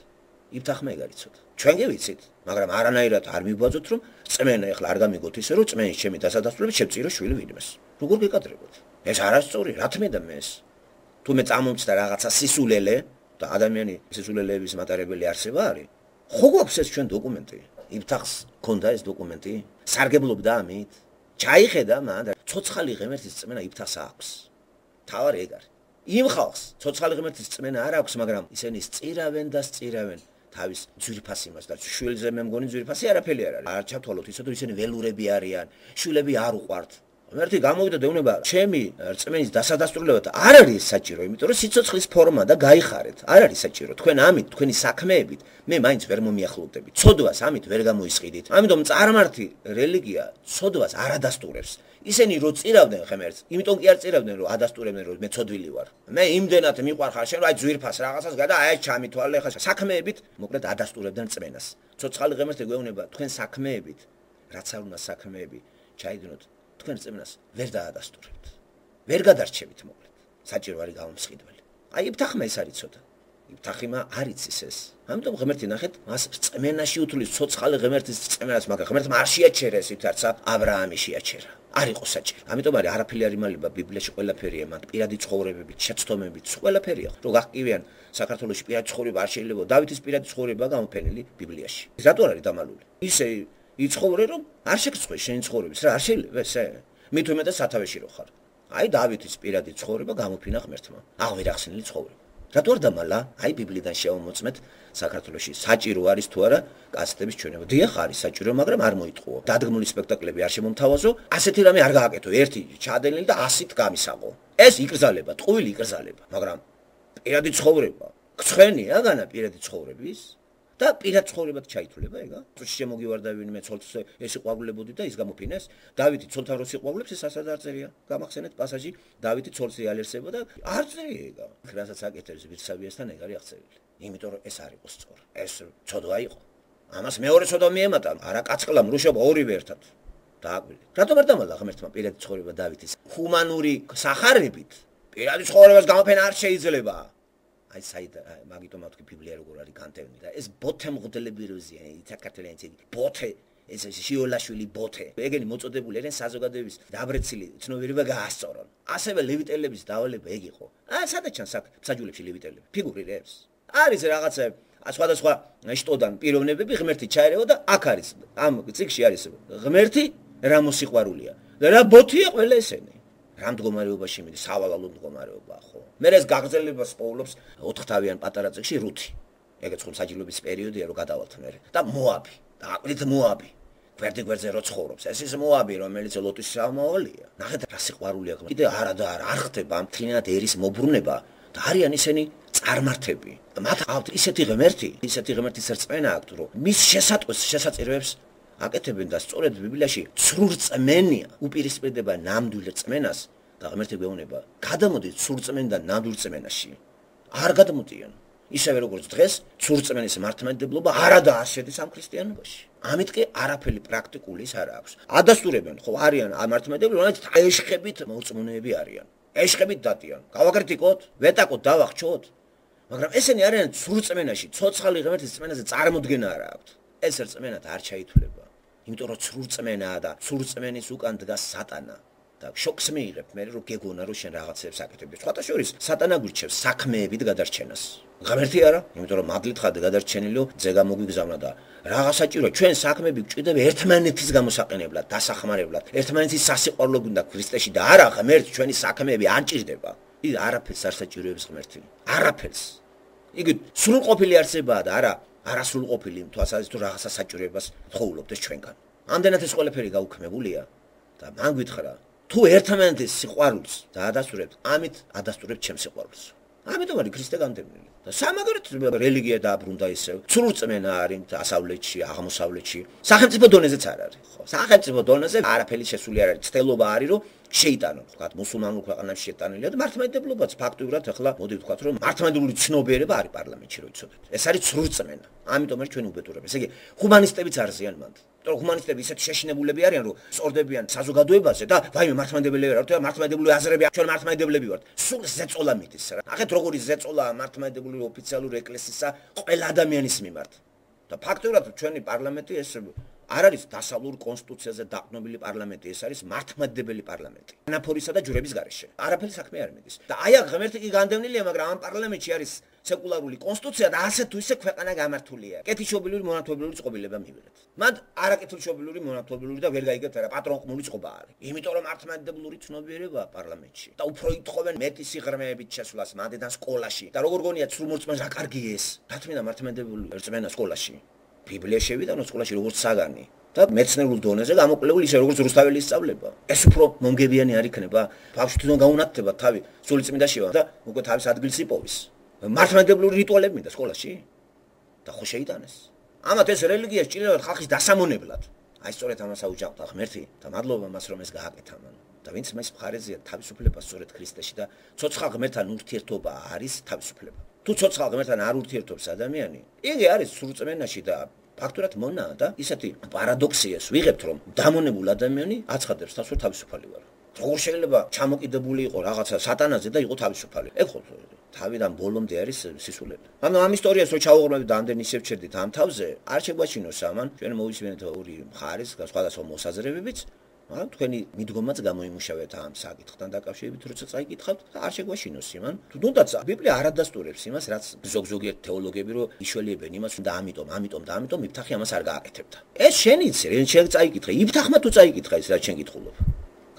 იფთახმა ეგ არის ცოტა. ჩვენ კი ვიცით, მაგრამ არანაირად არ მიბაძოთ რომ წმენა ეხლა არ გამიგოთ ისე რომ წმენის ჩემი დასადასტურებით შევწირო შვილი ვინმეს. როგორ გეკადრებოთ? ეს არასწორი, რა თმედა მეს. თუ მე წამომწდა რაღაცა სისულელე და ადამიანი სისულელეების მატარებელი არსება არის, ხო გვაქვს ეს ჩვენ დოკუმენტი? იფთახს ქონდა ეს დოკუმენტი? სარგებლობდა ამით? ჩაიხედა მან და ცოცხალი ღმერთის წმენა იფთახს აქვს. თავარი ეგ არის. იმ ხალხს ცოცხალი ღმერთის წმენა არ აქვს, მაგრამ ისინი სწირავენ და სწირავენ თავის ძვირფას იმას და შვილზე მე მგონი ძვირფასი არაფერი არ არის. არ ჩავთვალოთ ისე რომ ისინი ველურები არიან, შვილები არ უყვართ. ღმერთი გამოვიდა და ეუბნება, ჩემი რწმენის დასადასტურებლად არ არის საჭირო, იმიტომ რომ სიცოცხლის ფორმა და გაიხარეთ. არ არის საჭირო. თქვენ ამით, თქვენი საქმეებით მე მაინც ვერ მომიახლოვდები. ცოდვას ამით ვერ გამოისყიდით. ამიტომ წარმართი რელიგია ცოდვას არ ადასტურებს. ისინი რო წირავდნენ ღმერთს, იმიტომ კი არ წირავდნენ რომ ადასტურებდნენ რომ მე ცოდვილი ვარ. მე იმდენად მიყვარხარ შენ რომ აი ძვირფას რაღაცას გადა აი ჩამითვალე ხა საქმეებით მოკლედ ადასტურებდნენ წმენას. ცოცხალი ღმერთი გვეუბნება თქვენ საქმეებით, რაც არ უნდა საქმეები ჩაიდნოთ თქვენ წმენას ვერ დაადასტურებთ. ვერ გადარჩებით მოკლედ. საჭირო არის გამომსყიდველი. აი იფთახმა ეს არის ცოტა. იფთახიმა არ იცის ეს. ამიტომ ღმერთი ნახეთ, მას წმენაში უთulis ცოცხალი ღმერთის წმენას, მაგრამ ღმერთმა არ შეაჩერა ეს ვითარცა აბრაამი შეაჩერა. არ იყო საჭირო. ამიტომ არის არაფერი არ იმალება ბიბლიაში ყველაფერია მათ პირადი ცხოვრებებით, შეცდომებით, ყველაფერია. რო გახკივიან საქართველოში პირადი ცხოვრება არ შეიძლება, დავითის პირადი ცხოვრება გამოფენილი ბიბლიაში. რატო არის დამალული? ისე იცხოვრე რომ არ შეგწყვე შენი ცხოვრების რა არ შეიძლება ესე? მით უმეტეს სათავეში რო ხარ. აი დავითის პირადი ცხოვრება გამოფინა ღმერთმა. აღვირახსენილი ცხოვრება. რატო არ დამალა? აი ბიბლიდან შევამოწმეთ საქართველოში საჭირო არის თუ არა კასეტების ჩვენება. დიახ არის საჭირო, მაგრამ არ მოიტყუო. დადგმული სპექტაკლები არ შემომთავაზო, ასეთი რამე არ გააკეთო. ერთი ჩადენილი და ასით გამისაღო. ეს იკრძალება, ტყუილი იკრძალება, მაგრამ პირადი ცხოვრება გცხენია განა პირადი ცხოვრების და პირად ცხოვრებად ჩაითვლება ეგა. შემოგივარდა ვინმე ცოლს ეს იყვავილებოდი და ის გამოფინეს. დავითი ცოლთან რო სიყვავილებს ეს ასად არ წერია. გამახსენეთ პასაჟი, დავითი ცოლს იალერსება და არ წერია ეგა. რასაც აკეთებს ვირსავიასთან ეგ არის აღწერილი. იმიტომ რომ ეს არ იყო სწორი. ეს ცოდვა იყო. ამას მეორე ცოდვა მიემატა, არა კაცხლა მრუშობა ორივე ერთად. დააკვირდით. რატომ არ დამალა ღმერთმა პირადი ცხოვრება დავითის? ჰუმანური სახარებით პირადი ცხოვრებას გამოფენა არ შეიძლება. აი საით მაგიტომ მათი ბიბლია როგორ არის განტევნილი და ეს ბოთე მღდელები როზია საქართველოს ბოთე ეს შიოლაშვილი ბოთე ეგენი მოწოდებული არიან საზოგადოების დაბრეცილი ცნობიერება გაასწორონ ასევე ლევიტელების დავალება ეგ იყო აა სადაც ჩანს აქ მსაჯულებში ლევიტელები ფიგურირებს არის რაღაცა სხვადასხვა შტოდან პიროვნებები ღმერთი ჩაერევა და აქ არის ამ წიგში არის ღმერთი რა მოსიყვარულია და რა ბოთია ყველა ესენი რამ მდგომარეობაში მიდის სავალალო მდგომარეობა ხო მე ეს გაგრძელებას პოულობს ოთხთავიან პატარა წიგში რუთი ეგეც ხომ საჯილობის პერიოდია რომ გადავალთ მე და მოაბი და აკვირით მოაბი გვერდი გვერდზე რო ცხოვრობს ეს ის მოაბი რომელიც ლოტის სამავალია ნახეთ რა სიყვარულია კიდე არა და არა არ ხდება ამ თლიანად ერის მობრუნება და არიან ისინი წარმართები მათ აქვთ ისეთი ღმერთი ისეთი ღმერთის რწმენა აქვთ რომ მის შესატყვეს შესაძლებლებს აკეთებენ და სწორედ ბიბლიაში ცრუ რწმენია უპირისპირდება ნამდვილ რწმენას და ღმერთი გვეუბნება გადამოდით ცრუ რწმენიდან ნამდვილ რწმენაში არ გადმოდიან ისევე როგორც დღეს ცრუ რწმენის მართლმადიდებლობა არადა არ შედის ამ ქრისტიანობაში ამით კი არაფერი პრაქტიკული ის არ აქვს ადასტურებენ ხო არიან ამ მართლმადიდებლები რომელიც ეშხებით მოწმუნეები არიან ეშხებით დადიან გავაკრიტიკოთ ვეტაკოთ დავახჩოთ მაგრამ ესენი არიან ცრუ რწმენაში ცოცხალი ღმერთის რწმენაზე წარმოდგენა არ აქვს ეს რწმენად არ ჩაითვლება იმიტომ რომ ცრუ რწმენაა და ცრუ რწმენის უკან დგას სატანა და შოკს მიიღებ მე რომ გეგონა რომ შენ რაღაცებს აკეთებ სხვათა შორის სატანა გვირჩევს საქმეებით გადარჩენას ღმერთი არა იმიტომ რომ მადლით ხარ გადარჩენილო ძეგა მოგვიგზავნა და რაღაც საჭირო ჩვენ საქმეები გვჭირდება ერთმანეთის გამოსაყენებლად დასახმარებლად ერთმანეთის სასიყვარულო გვინდა ქრისტეში და არა ღმერთი ჩვენი საქმეები არ ჭირდება ის არაფერს არ საჭიროებს ღმერთი არაფერს იგი სრულყოფილი არსებაა და არა არასრულყოფილი თვალსაზრისით თუ რაღაცა საჭიროებას თხოვლობდეს ჩვენგან ამდენად ეს ყველაფერი გაუქმებულია და მან გითხრა თუ ერთმანეთის სიყვარულს დაადასტურებთ ამით ადასტურებთ ჩემს სიყვარულს ამიტომ არის ქრისტე განდევნილი და სამაგერად რელიგია დააბრუნდა ისევ. ცრურწმენა არის დასავლეთში, აღმოსავლეთში. სახელმწიფო დონეზეც არ არის, ხო? სახელმწიფო დონეზე არაფერი შესული არ არის. ცდელობა არის, რომ შეიტანონ, ვთქვათ, მუსულმანურ ქვეყანაში შეტანილია და მართლმადიდებლობაც ფაქტურად ახლა მოდი ვთქვათ, რომ მართლმადიდებლური ცნობიერება არის პარლამენტში, რო იცოდეთ. ეს არის ცრურწმენა. ამიტომ არის ჩვენი უბედურება. ესე იგი, ჰუმანისტებიც არზიან მანდ. რომ ჰუმანისტები ისეთი შეშინებულები არიან, რომ სწორდებიან საზოგადოებაზე და ვაიმე მართლმადიდებლები ვართ, და მართლმადიდებლური აზრები ჩვენ მართლმადიდებლები ვართ. სულ ზეწოლა მიდის რა. ახეთ როგორი ზეწოლა მართლმადიდებლური ოფიციალური ეკლესიისა ყველა ადამიანის მიმართ. და ფაქტობრივად ჩვენი პარლამენტი ეს არ არის დასავლურ კონსტიტუციაზე დაყრდნობილი პარლამენტი, ეს არის მართლმადიდებელი პარლამენტი. ანაფორისა და ჯვრების გარეშე. არაფერი საქმე არ მიდის. და აი აქ ღმერთი კი განდევნილია, მაგრამ ამ პარლამენტში არის სეკულარული კონსტიტუცია და ასე თუ ისე ქვეყანა გამართულია. კეთილშობილური მონათმობლიური წყობილება მივიღეთ. მან არაკეთილშობილური მონათმობლიური და ვერ გაიგებთ რა პატრონყმული წყობა არის. იმიტომ რომ მართლმადიდებლური ცნობიერება პარლამენტში და უფრო ითხოვენ მეტი სიღრმეებით შესვლას მანდიდან სკოლაში. და როგორ გონიათ სრულმორწმენს რა კარგი ეს? დათმინა მართლმადიდებლური რწმენა სკოლაში. ბიბლია შევიდანო სკოლაში როგორც საგანი და მეცნიერულ დონეზე გამოკვლეული ისე როგორც რუსთაველი ისწავლება. ეს უფრო მომგებიანი არ იქნება. ბავშვი თვითონ გაუნათდება თავი სულიწმინდაშივა და უკვე თავის ადგილს იპოვის. მართლმადიდებლური რიტუალები მინდა სკოლაში და ხო შეიტანეს. ამათ ეს რელიგია სჭირდება ხალხის დასამონებლად. აი სწორედ ამას აუჯანყდა ღმერთი და მადლობა მას რომ ეს გააკეთა მან. და ვინც მას მხარეზეა თავისუფლება სწორედ ქრისტეში და ცოცხალ ღმერთთან ურთიერთობა არის თავისუფლება. თუ ცოცხალ ღმერთთან არ ურთიერთობს ადამიანი, იგი არის სრულწმენაში და ფაქტურად მონაა და ისეთი პარადოქსიას ვიღებთ, რომ დამონებულ ადამიანი აცხადებს თავს რომ თავისუფალი ვარ. როგორ შეიძლება ჩამოკიდებული იყო რაღაცა სატანაზე და იყო თავისუფალი? ეგ ხო თავიდან ბოლომდე არის სისულელე. ანუ ამ ისტორიას რო ჩავუღრმევთ და ამდენ ისევ ჩერდით ამ თავზე, არ შეგვაჩინოს ამან, ჩვენ მოვისმენთ ორი მხარის სხვადასხვა მოსაზრებებიც, მაგრამ თქვენი მიდგომაც გამოიმუშავეთ ამ საკითხთან დაკავშირებით, როცა წაიკითხავთ და არ შეგვაშინოს იმან. თუნდაც ბიბლია არ ადასტურებს იმას, რაც ზოგ-ზოგიერთ თეოლოგები რო იშველიებენ იმას და ამიტომ, ამიტომ და ამიტომ იფთახი ამას არ გააკეთებდა. ეს შენ იცი, რენ შენ წაიკითხე, იფთახმა თუ წაიკითხა ის რაც შენ გითხულობ.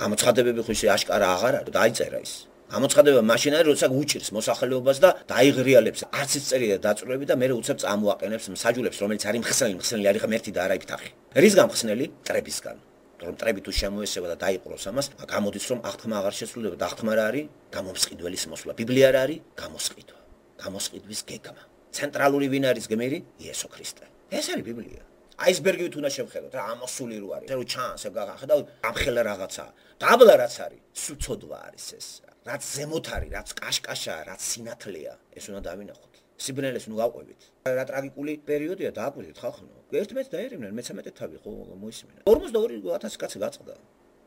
გამოცხადებები ხო ისე აშკარა აღარ არის, დაიწერა ის. გამოცხადება მაშინ არის, როცა უჭირს მოსახლეობას და დაიღრიალებს არც ის წერია დაწვრები და მეორე უცებ წამოაყენებს მსაჯულებს, რომელიც არის მხსნელი, მხსნელი არის ღმერთი და არა იფთახი. რისგან მხსნელი? ტრებისგან. რომ ტრები თუ შემოესება და დაიყროს ამას, გამოდის რომ აღთქმა აღარ შესრულდება და აღთქმა რა არის? გამომსყიდველის მოსვლა. ბიბლია რა არის? გამოსყიდვა. გამოსყიდვის გეგმა. ცენტრალური ვინ არის გმირი? იესო ქრისტე. ეს არის ბიბლია. აისბერგივით უნდა შევხედოთ რა ამოსული რო არის. რო ჩანს ეგ გახედავ ამხელა რაღაცა. დაბლა რაც არის, სუცოდვა არის ეს. რაც ზემოთ არის, რაც კაშკაშაა, რაც სინათლეა, ეს უნდა დავინახოთ. სიბნელეს ნუ გავყვებით. რა ტრაგიკული პერიოდია დააკვირდით ხალხო. ერთმეც დაერევნენ, მეცამეტე თავი ხო მოისმინა. ორმოცდაორი ათასი კაცი გაწყდა.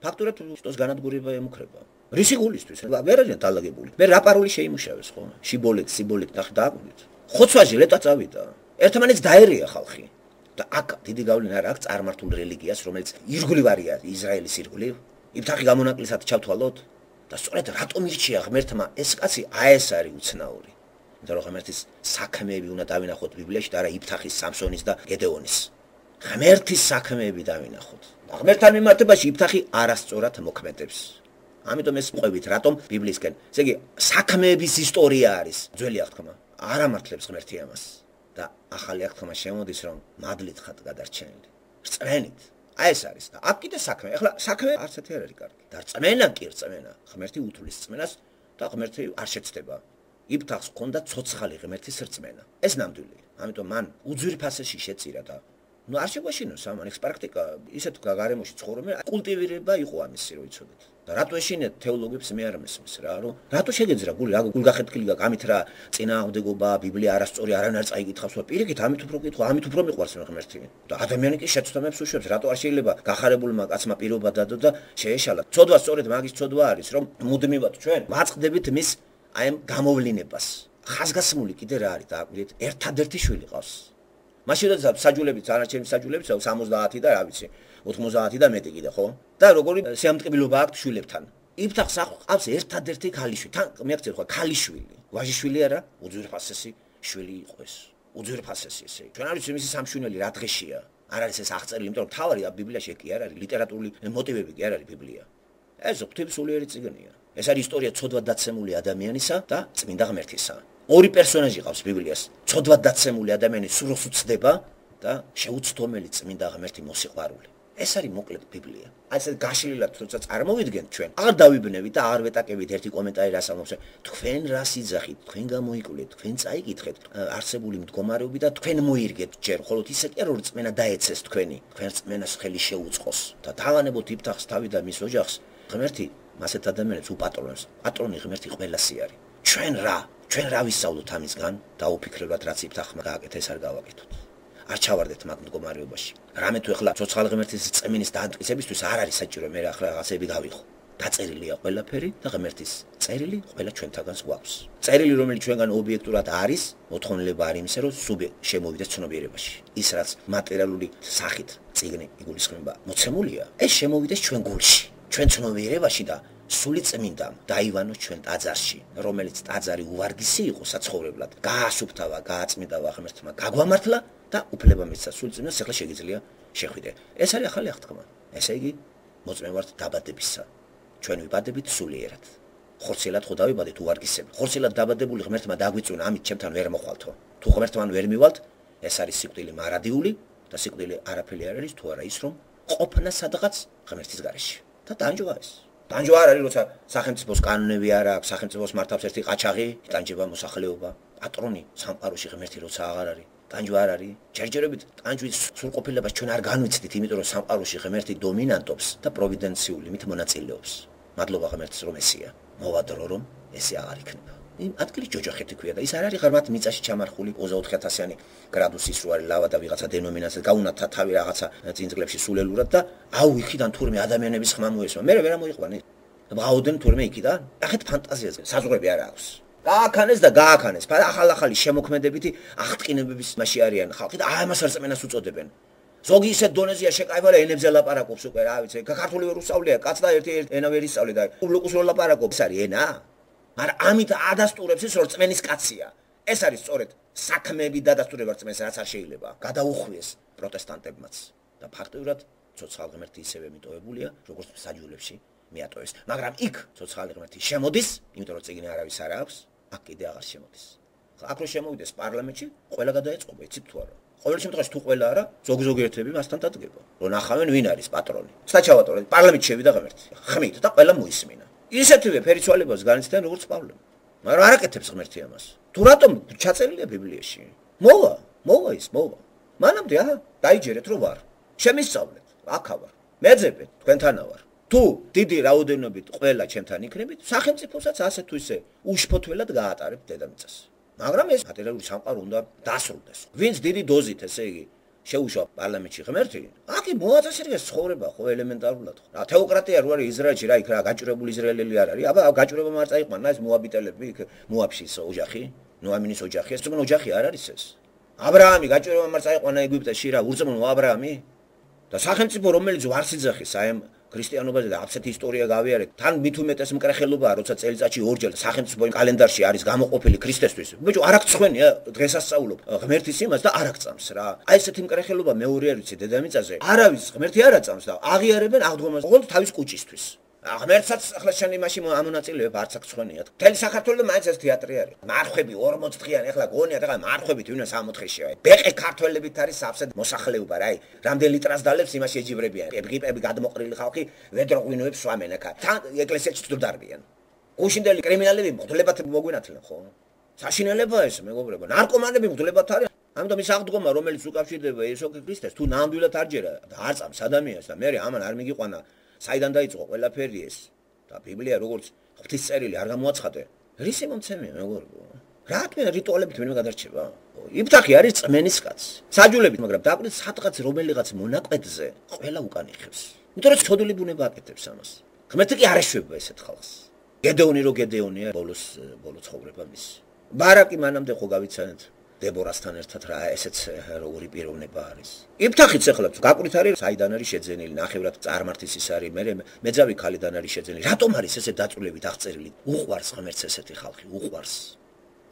ფაქტურად შტოს განადგურება ემუქრება. რისი გულისთვის? ვერ არიან დალაგებული. მე რა პაროლი შეიმუშავეს ხო? შიბოლეთ, სიბოლეთ ნახე დააკვირდით. ხოცვაჟი ლეტა წავიდა. ერთმანეთს დაერია ხალხი. და აქ დიდი გავლენა არ აქვს წარმართულ რელიგიას, რომელიც ირგვლივ არის ისრაელის ირგვლივ. იფთახი გამონაკლისად ჩავთვალოთ და სწორედ რატომ ირჩია ღმერთმა ეს კაცი? აი ეს არის უცნაური. იმიტომ რომ ღმერთის საქმეები უნდა დავინახოთ ბიბლიაში და არა იფთახის, სამსონის და გედეონის. ღმერთის საქმეები დავინახოთ. ღმერთთან მიმართებაში იფთახი არასწორად მოქმედებს. ამიტომ ეს ყვებით, რატომ ბიბლიისკენ. ესე იგი, საქმეების ისტორია არის ძველი აღთქმა. არ ამართლებს ღმერთი ამას. და ახალი აღთქმა შემოდის, რომ მადლით ხართ გადარჩენილი. რწმენით. აი ეს არის და აქ კიდე საქმე. ახლა საქმე არც ერთი არ არის კარგი. და რწმენა კი რწმენა. ღმერთი უთulis რწმენას და ღმერთი არ შეცდება. იფთახს ჰქონდა ცოცხალი ღმერთის რწმენა. ეს ნამდვილია. ამიტომ მან უძვირფასეში შეწირა და ნუ არ შეგვაშინოს ამან ეს პრაქტიკა ისეთ გარემოში ცხოვრობენ, კულტივირება იყო ამისი, რო იცოდეთ. და რატო ეშინეთ თეოლოგებს მე არ მესმის რა, რომ რატო შეგეძრა გული, რა გულგახეთქილი გაქვს, ამით რა წინააღმდეგობა, ბიბლია არასწორი, არანაირ არ წაიკითხავს, რა პირიქით, ამით უფრო კითხვა, ამით უფრო მიყვარს მე ღმერთი. და ადამიანი კი შეცდომებს უშვებს, რატო არ შეიძლება გახარებულმა კაცმა პირობა დადო და შეეშალა. ცოდვა სწორედ მაგის ცოდვა არის, რომ მუდმივად ჩვენ ვაწყდებით მის აი ამ გამოვლინებას. ხაზგასმული კიდე რა არის დააკვირდით, ერთადერთი შვილი ყავს. მაშინ როდესაც საჯულებით, არაჩემი საჯულებით, სამოცდაათი და რა ვიცი, ოთხმოცდაათი და მეტი კიდე, ხო? და როგორი შეამტკბილობა აქვს შვილებთან. იფთახს ყავს ერთადერთი ქალიშვილი. თან მექცევ ხო, ქალიშვილი. ვაჟიშვილი არა, უძვირფასესი შვილი იყო ეს. უძვირფასესი ესე. ჩვენ არ ვიცი მისი სამშვენელი რა დღეშია. არ არის ეს აღწერილი, იმიტომ რომ თავარი ბიბლიაში კი არ არის, ლიტერატურული მოტივები კი არ არის ბიბლია. ეს ღვთისმსულიერი წიგნია. ეს არის ისტორია ცოდვად დაცემული ადამიანისა და წმინდა ღმერთისა. ორი პერსონაჟი ყავს ბიბლიას. ცოდვად დაცემული ადამიანი სურს უცდება და შეუცდომელი წმინდა ღმერთი მოსიყვარული. ეს არის მოკლედ ბიბლია. აი ეს გაშლილად თორსა წარმოვიდგენთ ჩვენ. აღარ დავიბნევით და აღარ ვეტაკებით ერთი კომენტარი რას ამბობს. თქვენ რას იძახით? თქვენ გამოიკვლეთ, თქვენ წაიკითხეთ არსებული მდგომარეობი და თქვენ მოირგეთ ჯერ, ხოლო ისე კი არ რომ რწმენა დაეცეს თქვენი. თქვენ რწმენას ხელი შეუწყოს და დავანებოთ იფთახს თავი და მის ოჯახს. ღმერთი მასეთ ადამიანებს უპატრონებს. პატრონი ღმერთი ყველასი არის. ჩვენ რა? ჩვენ რა ვისწავლოთ ამისგან? დაუფიქრებად რაც იფთახმა გააკეთა ეს არ გავაკეთოთ. არ ჩავარდეთ მაგ მდგომარეობაში. რამე თუ ეხლა ცოცხალი ღმერთის წმინის დაანტკიცებისთვის არ არის საჭირო მე ახლა რაღაცები გავიხო. დაწერილია ყველაფერი და ღმერთის წერილი ყველა ჩვენთაგანს გვაქვს. წერილი რომელიც ჩვენგან ობიექტურად არის, მოთხოვნილება არის იმისა, რომ სუბიექტ შემოვიდეს ცნობიერებაში. ის რაც მატერიალური სახით წიგნი იგულისხმება, მოცემულია, ეს შემოვიდეს ჩვენ გულში, ჩვენ ცნობიერებაში და სული წმინდამ დაივანოს ჩვენ ტაძარში, რომელიც ტაძარი უვარგისი იყო საცხოვრებლად, გაასუფთავა, გააწმინდავა ღმერთმა, გაგვამართლა და უფლება მისცა სული წმინდას, ახლა შეგიძლია შეხვიდე. ეს არის ახალი აღთქმა. ესე იგი, მოწმე ვართ დაბადებისა. ჩვენ ვიბადებით სულიერად. ხორცელად ხო დავიბადეთ უვარგისები. ხორცელად დაბადებული ღმერთმა დაგვიწუნა, ამით ჩემთან ვერ მოხვალთო. თუ ღმერთთან ვერ მივალთ, ეს არის სიკვდილი მარადიული და სიკვდილი არაფერი არ არის თუ არა ის რომ ყოფნა სადღაც ღმერთის გარეშე. და ტანჯვა ეს. ტანჯვა არ არის, როცა სახელმწიფოს კანონები არ აქვს, სახელმწიფოს მართავს ერთი ყაჩაღი, ტანჯვა მოსახლეობა, პატრონი სამყაროში ღმერთი როცა აღარ არის. ტანჯვა არ არის. ჯერჯერობით ტანჯვის სრულყოფილებას ჩვენ არ განვიცდით, იმიტომ რომ სამყაროში ღმერთი დომინანტობს და პროვიდენციული მით მონაწილეობს. მადლობა ღმერთს რომ ესეა. მოვადრო რომ ესე აღარ იქნება. იმ ადგილი ჯოჯოხეთი ქვია და ის არ არის ღარმად მიწაში ჩამარხული ოცდაოთხი ათასიანი გრადუსის რო არის ლავა და ვიღაცა დენომინაცია გაუნათა თავი რაღაცა წინწკლებში სულელურად და აუ იქიდან თურმე ადამიანების ხმა მოესმა. მე ვერ ამოიყვანე. ბღაოდენ თურმე იქიდან. ახეთ ფანტაზიაზე საზღვრები არ აქვს. გააქანეს და გააქანეს. ახალ-ახალი შემოქმედებითი აღტკინებების მასში არიან ხალხი და აი ამას რწმენას უწოდებენ. ზოგი ისეთ დონეზეა შეკაივა და ენებზე ლაპარაკობს უკვე რა ვიცი. ქართული ვერ უსწავლია, კაც და ერთი ენა ვერ ისწავლე და ლუკუს რო ლაპარაკობს, არის ენა. მაგრამ ამით ადასტურებს ის რომ რწმენის კაცია. ეს არის სწორედ საქმეები დადასტურება რწმენს რაც არ შეიძლება. გადაუხვიეს პროტესტანტებმაც და ფაქტობრივად ცოცხალი ღმერთი ისევე მიტოვებულია, როგორც საჯულებში მიატოვეს. მაგრამ იქ ცოცხალი ღმერთი შემოდის, იმიტომ რომ წიგნი არავის არ აქვს, აქ კიდე აღარ შემოდის. აქ რო შემოვიდეს პარლამენტში, ყველა გადაეწყობა, იცით თუ არა? ყოველ შემთხვევაში თუ ყველა არა, ზოგი-ზოგი ერთები მასთან დადგება. რომ ნახავენ ვინ არის პატრონი. საჩავატო პარლამენტში შევიდა ღმერთი. ხმით და ყველა მოისმინა. ისეთივე ფერიცვალებას განიცდიან როგორც პავლე. მაგრამ არ აკეთებს ღმერთი ამას. თუ რატომ ჩაწერილია ბიბლიაში? მოვა, მოვა ის, მოვა. მანამდე აჰა, დაიჯერეთ რომ ვარ. შემისწავლეთ, აქა ვარ. მეძებეთ, თქვენთანა ვარ. თუ დიდი რაოდენობით ყველა ჩემთან იქნებით, სახელმწიფოსაც ასე თუ ისე უშფოთველად გაატარებთ დედამიწას. მაგრამ ეს მატერიალური სამყარო უნდა დასრულდეს. ვინც დიდი დოზით, ესე იგი, შეუშვა პარლამენტში ღმერთი, აქ მოაწესრიგეს ცხოვრება ხო ელემენტარულად ხო. რა თეოკრატია რო არის ისრაელში, რა იქ რა გაჭირებული ისრაელელი არ არის. აბა გაჭირება არ წაიყვანა ეს მოაბიტელები, იქ მოაბში ის ოჯახი, ნოამინის ოჯახი, ეს ძმო ოჯახი არ არის ეს. აბრაამი გაჭირება არ წაიყვანა ეგვიპტეში რა, ურწმუნო აბრაამი და სახელმწიფო რომელიც ვარს იძახის აი ამ ქრისტიანობაზე და აბსოლუტი ისტორია გავიარეთ. თან მით უმეტეს მკრეხელობაა, როცა წელიწადში ორჯერ სახელმწიფო კალენდარში არის გამოყოფილი ქრისტესთვის. ბიჭო, არ აქცხვენია დღესასწაულობ ღმერთის იმას და არ აქწამს რა. აი ესეთი მკრეხელობა მეორე არ ვიცი დედამიწაზე. არავის ღმერთი არ აწამს და აღიარებენ აღდგომას ყოველ თავის კუჭისთვის. ღმერთსაც ახლა შენ იმაში ამონაწილეებ არც აქცხვენიათ. მთელი საქართველოს მაინც ეს თეატრი არის. მარხვები ორმოც დღიანი ახლა გონიათ ახლა მარხვებით ვინმე სამოთხეში. ბეყე ქართველებით არის აფსად მოსახლეობა რა. აი რამდენ ლიტრას დალებს იმაში ეჯიბრებიან. პეპი-პეპი გადმოყრილი ხალხი ვედროღვინოებს სვამენ აქ. თან ეკლესიაში წდარბიან. გუშინდელი კრიმინალები მღვდლებად მოგვინათლენ ხო? საშინელებაა ეს მეგობრებო. ნარკომანები მღვდლებად არის. ამიტომ ის აღდგომა რომელიც უკავშირდება იესო ქრისტეს თუ ნამდვილად არ ჯერა და არ წამს ადამიანს და მე ამან არ მიგიყვანა საიდან დაიწყო ყველაფერი ეს და ბიბლია როგორც ღვთის წერილი არ გამოაცხადე. რისი მომცემია მეგობრებო? რატომ რიტუალებით ვინმე გადარჩება? იფთახი არის წმენის კაცი. საჯულებით, მაგრამ დაკვირდით სადღაც რომელიღაც მონაკვეთზე ყველა უკან იხევს. იმიტომ რომ ცოდული ბუნება აკეთებს ამას. ღმერთი კი არ ეშვება ესეთ ხალხს. გედეონი რო გედეონია ბოლოს ბოლო ცხოვრება მის. ბარაკი მანამდე ხო გავიცანეთ დებორასთან ერთად რა ესეც როგორი პიროვნება არის. იფთახიც ახლა გაკვირდით არის საიდან არის შეძენილი, ნახევრად წარმართის ის არის, მე მეძავი ქალიდან არის შეძენილი. რატომ არის ესე დაწვრილებით აღწერილი? უყვარს ღმერთს ესეთი ხალხი, უყვარს.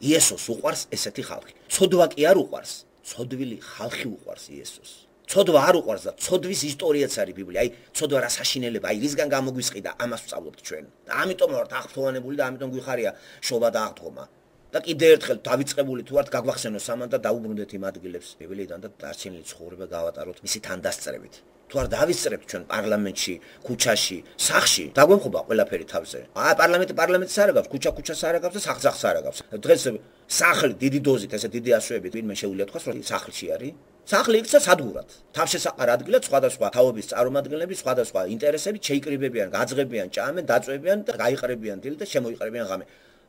იესოს უყვარს ესეთი ხალხი. ცოდვა კი არ უყვარს, ცოდვილი ხალხი უყვარს იესოს. ცოდვა არ უყვარს და ცოდვის ისტორიაც არის ბიბლია. აი ცოდვა რა საშინელება, აი რისგან გამოგვისყიდა, ამას ვსწავლობთ ჩვენ. და ამიტომ ვართ აღფრთოვანებული და ამიტომ გვიხარია შობა და აღდგომა. და კიდე ერთხელ დავიწყებული თუ ვართ გაგვახსენოს ამან და დაუბრუნდეთ იმ ადგილებს ბიბლიიდან და დარჩენილი ცხოვრება გავატაროთ მისი თანდასწრებით. თუ არ დავისწრებთ ჩვენ პარლამენტში, ქუჩაში, სახლში, დაგვემხობა ყველაფერი თავზე. აა პარლამენტი პარლამენტს არ აგავს, ქუჩა ქუჩას არ აგავს და სახლს სახლს არ აგავს. დღეს სახლი დიდი დოზით, ესე დიდი ასოებით ვინმე შეუძლია თქვას, რომ სახლში არის. სახლი იქცა სადგურად. თავშესაყარ ადგილად სხვადასხვა თაობის წარმომადგენლები, სხვადასხვა ინტერესებით შეიკრიბებიან, გაძღებიან, ჭამენ, დაწვევიან და გაიყრებიან დილით და შემოიყრებიან ღამე.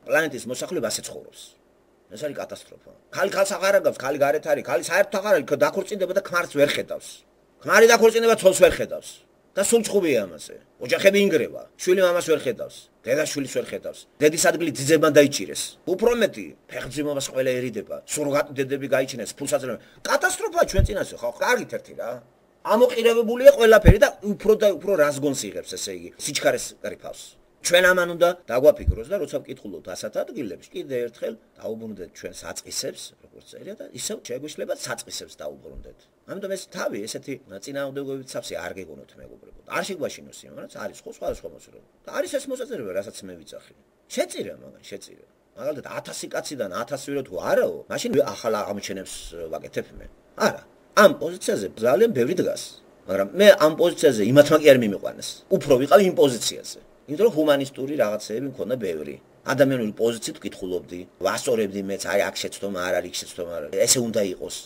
პლანეტის მოსახლეობა ასე ცხოვრობს. ეს არის კატასტროფა. ხალი ხალს აღარ აგავს, ხალი გარეთ არის, ხალი საერთოდ აღარ არის, დაქორწინდება და ქმარს ვერ ხედავს. ქმარი დაქორწინდება, ცოლს ვერ ხედავს. და სულ ჭხუბია ამაზე. ოჯახები ინგრევა, შვილი მამას ვერ ხედავს, დედა შვილს ვერ ხედავს. დედის ადგილი ძიძებმა დაიჭირეს. უფრო მეტი, ფეხმძიმობას ყველა ერიდება, სურგატ დედები გაიჩინეს, ფულს აძლევენ. კატასტროფაა ჩვენ წინაშე, ხო? კარგით ერთი რა. ამოყირებებულია ყველაფერი და უფრო და უფრო რაზგონს იღებს, ესე იგი, სიჩქარეს ყრიფავს. ჩვენ ამან უნდა დაგვაფიქროს და როცა ვკითხულობთ ასათ ადგილებს, კიდე ერთხელ დაუბრუნდეთ ჩვენ საწყისებს, როგორც წერია და ისევ შეგვეშლება საწყისებს დაუბრუნდეთ. ამიტომ ეს თავი ესეთი წინააღმდეგობებით სავსე არ გეგონოთ მეგობრებო. არ შეგვაშინოს იმ, რაც არის ხო სხვადასხვა მოძრაობა. და არის ეს მოსაწრება, რასაც მე ვიცახი. შეწირა მაგან, შეწირა. მაგალითად ათასი კაციდან ათასი ვირო თუ არაო, მაშინ ახალ აღმოჩენებს ვაკეთებ მე. არა, ამ პოზიციაზე ძალიან ბევრი დგას. მაგრამ მე ამ პოზიციაზე იმათმა კი არ მიმიყვანეს. უფრო ვიყავ იმ პოზიციაზე. იმიტომ რომ ჰუმანისტური რაღაცეები მქონდა ბევრი. ადამიანური პოზიციით ვკითხულობდი, ვასწორებდი მეც, აი აქ შეცდომა არ არის, იქ შეცდომა არ არის. ესე უნდა იყოს.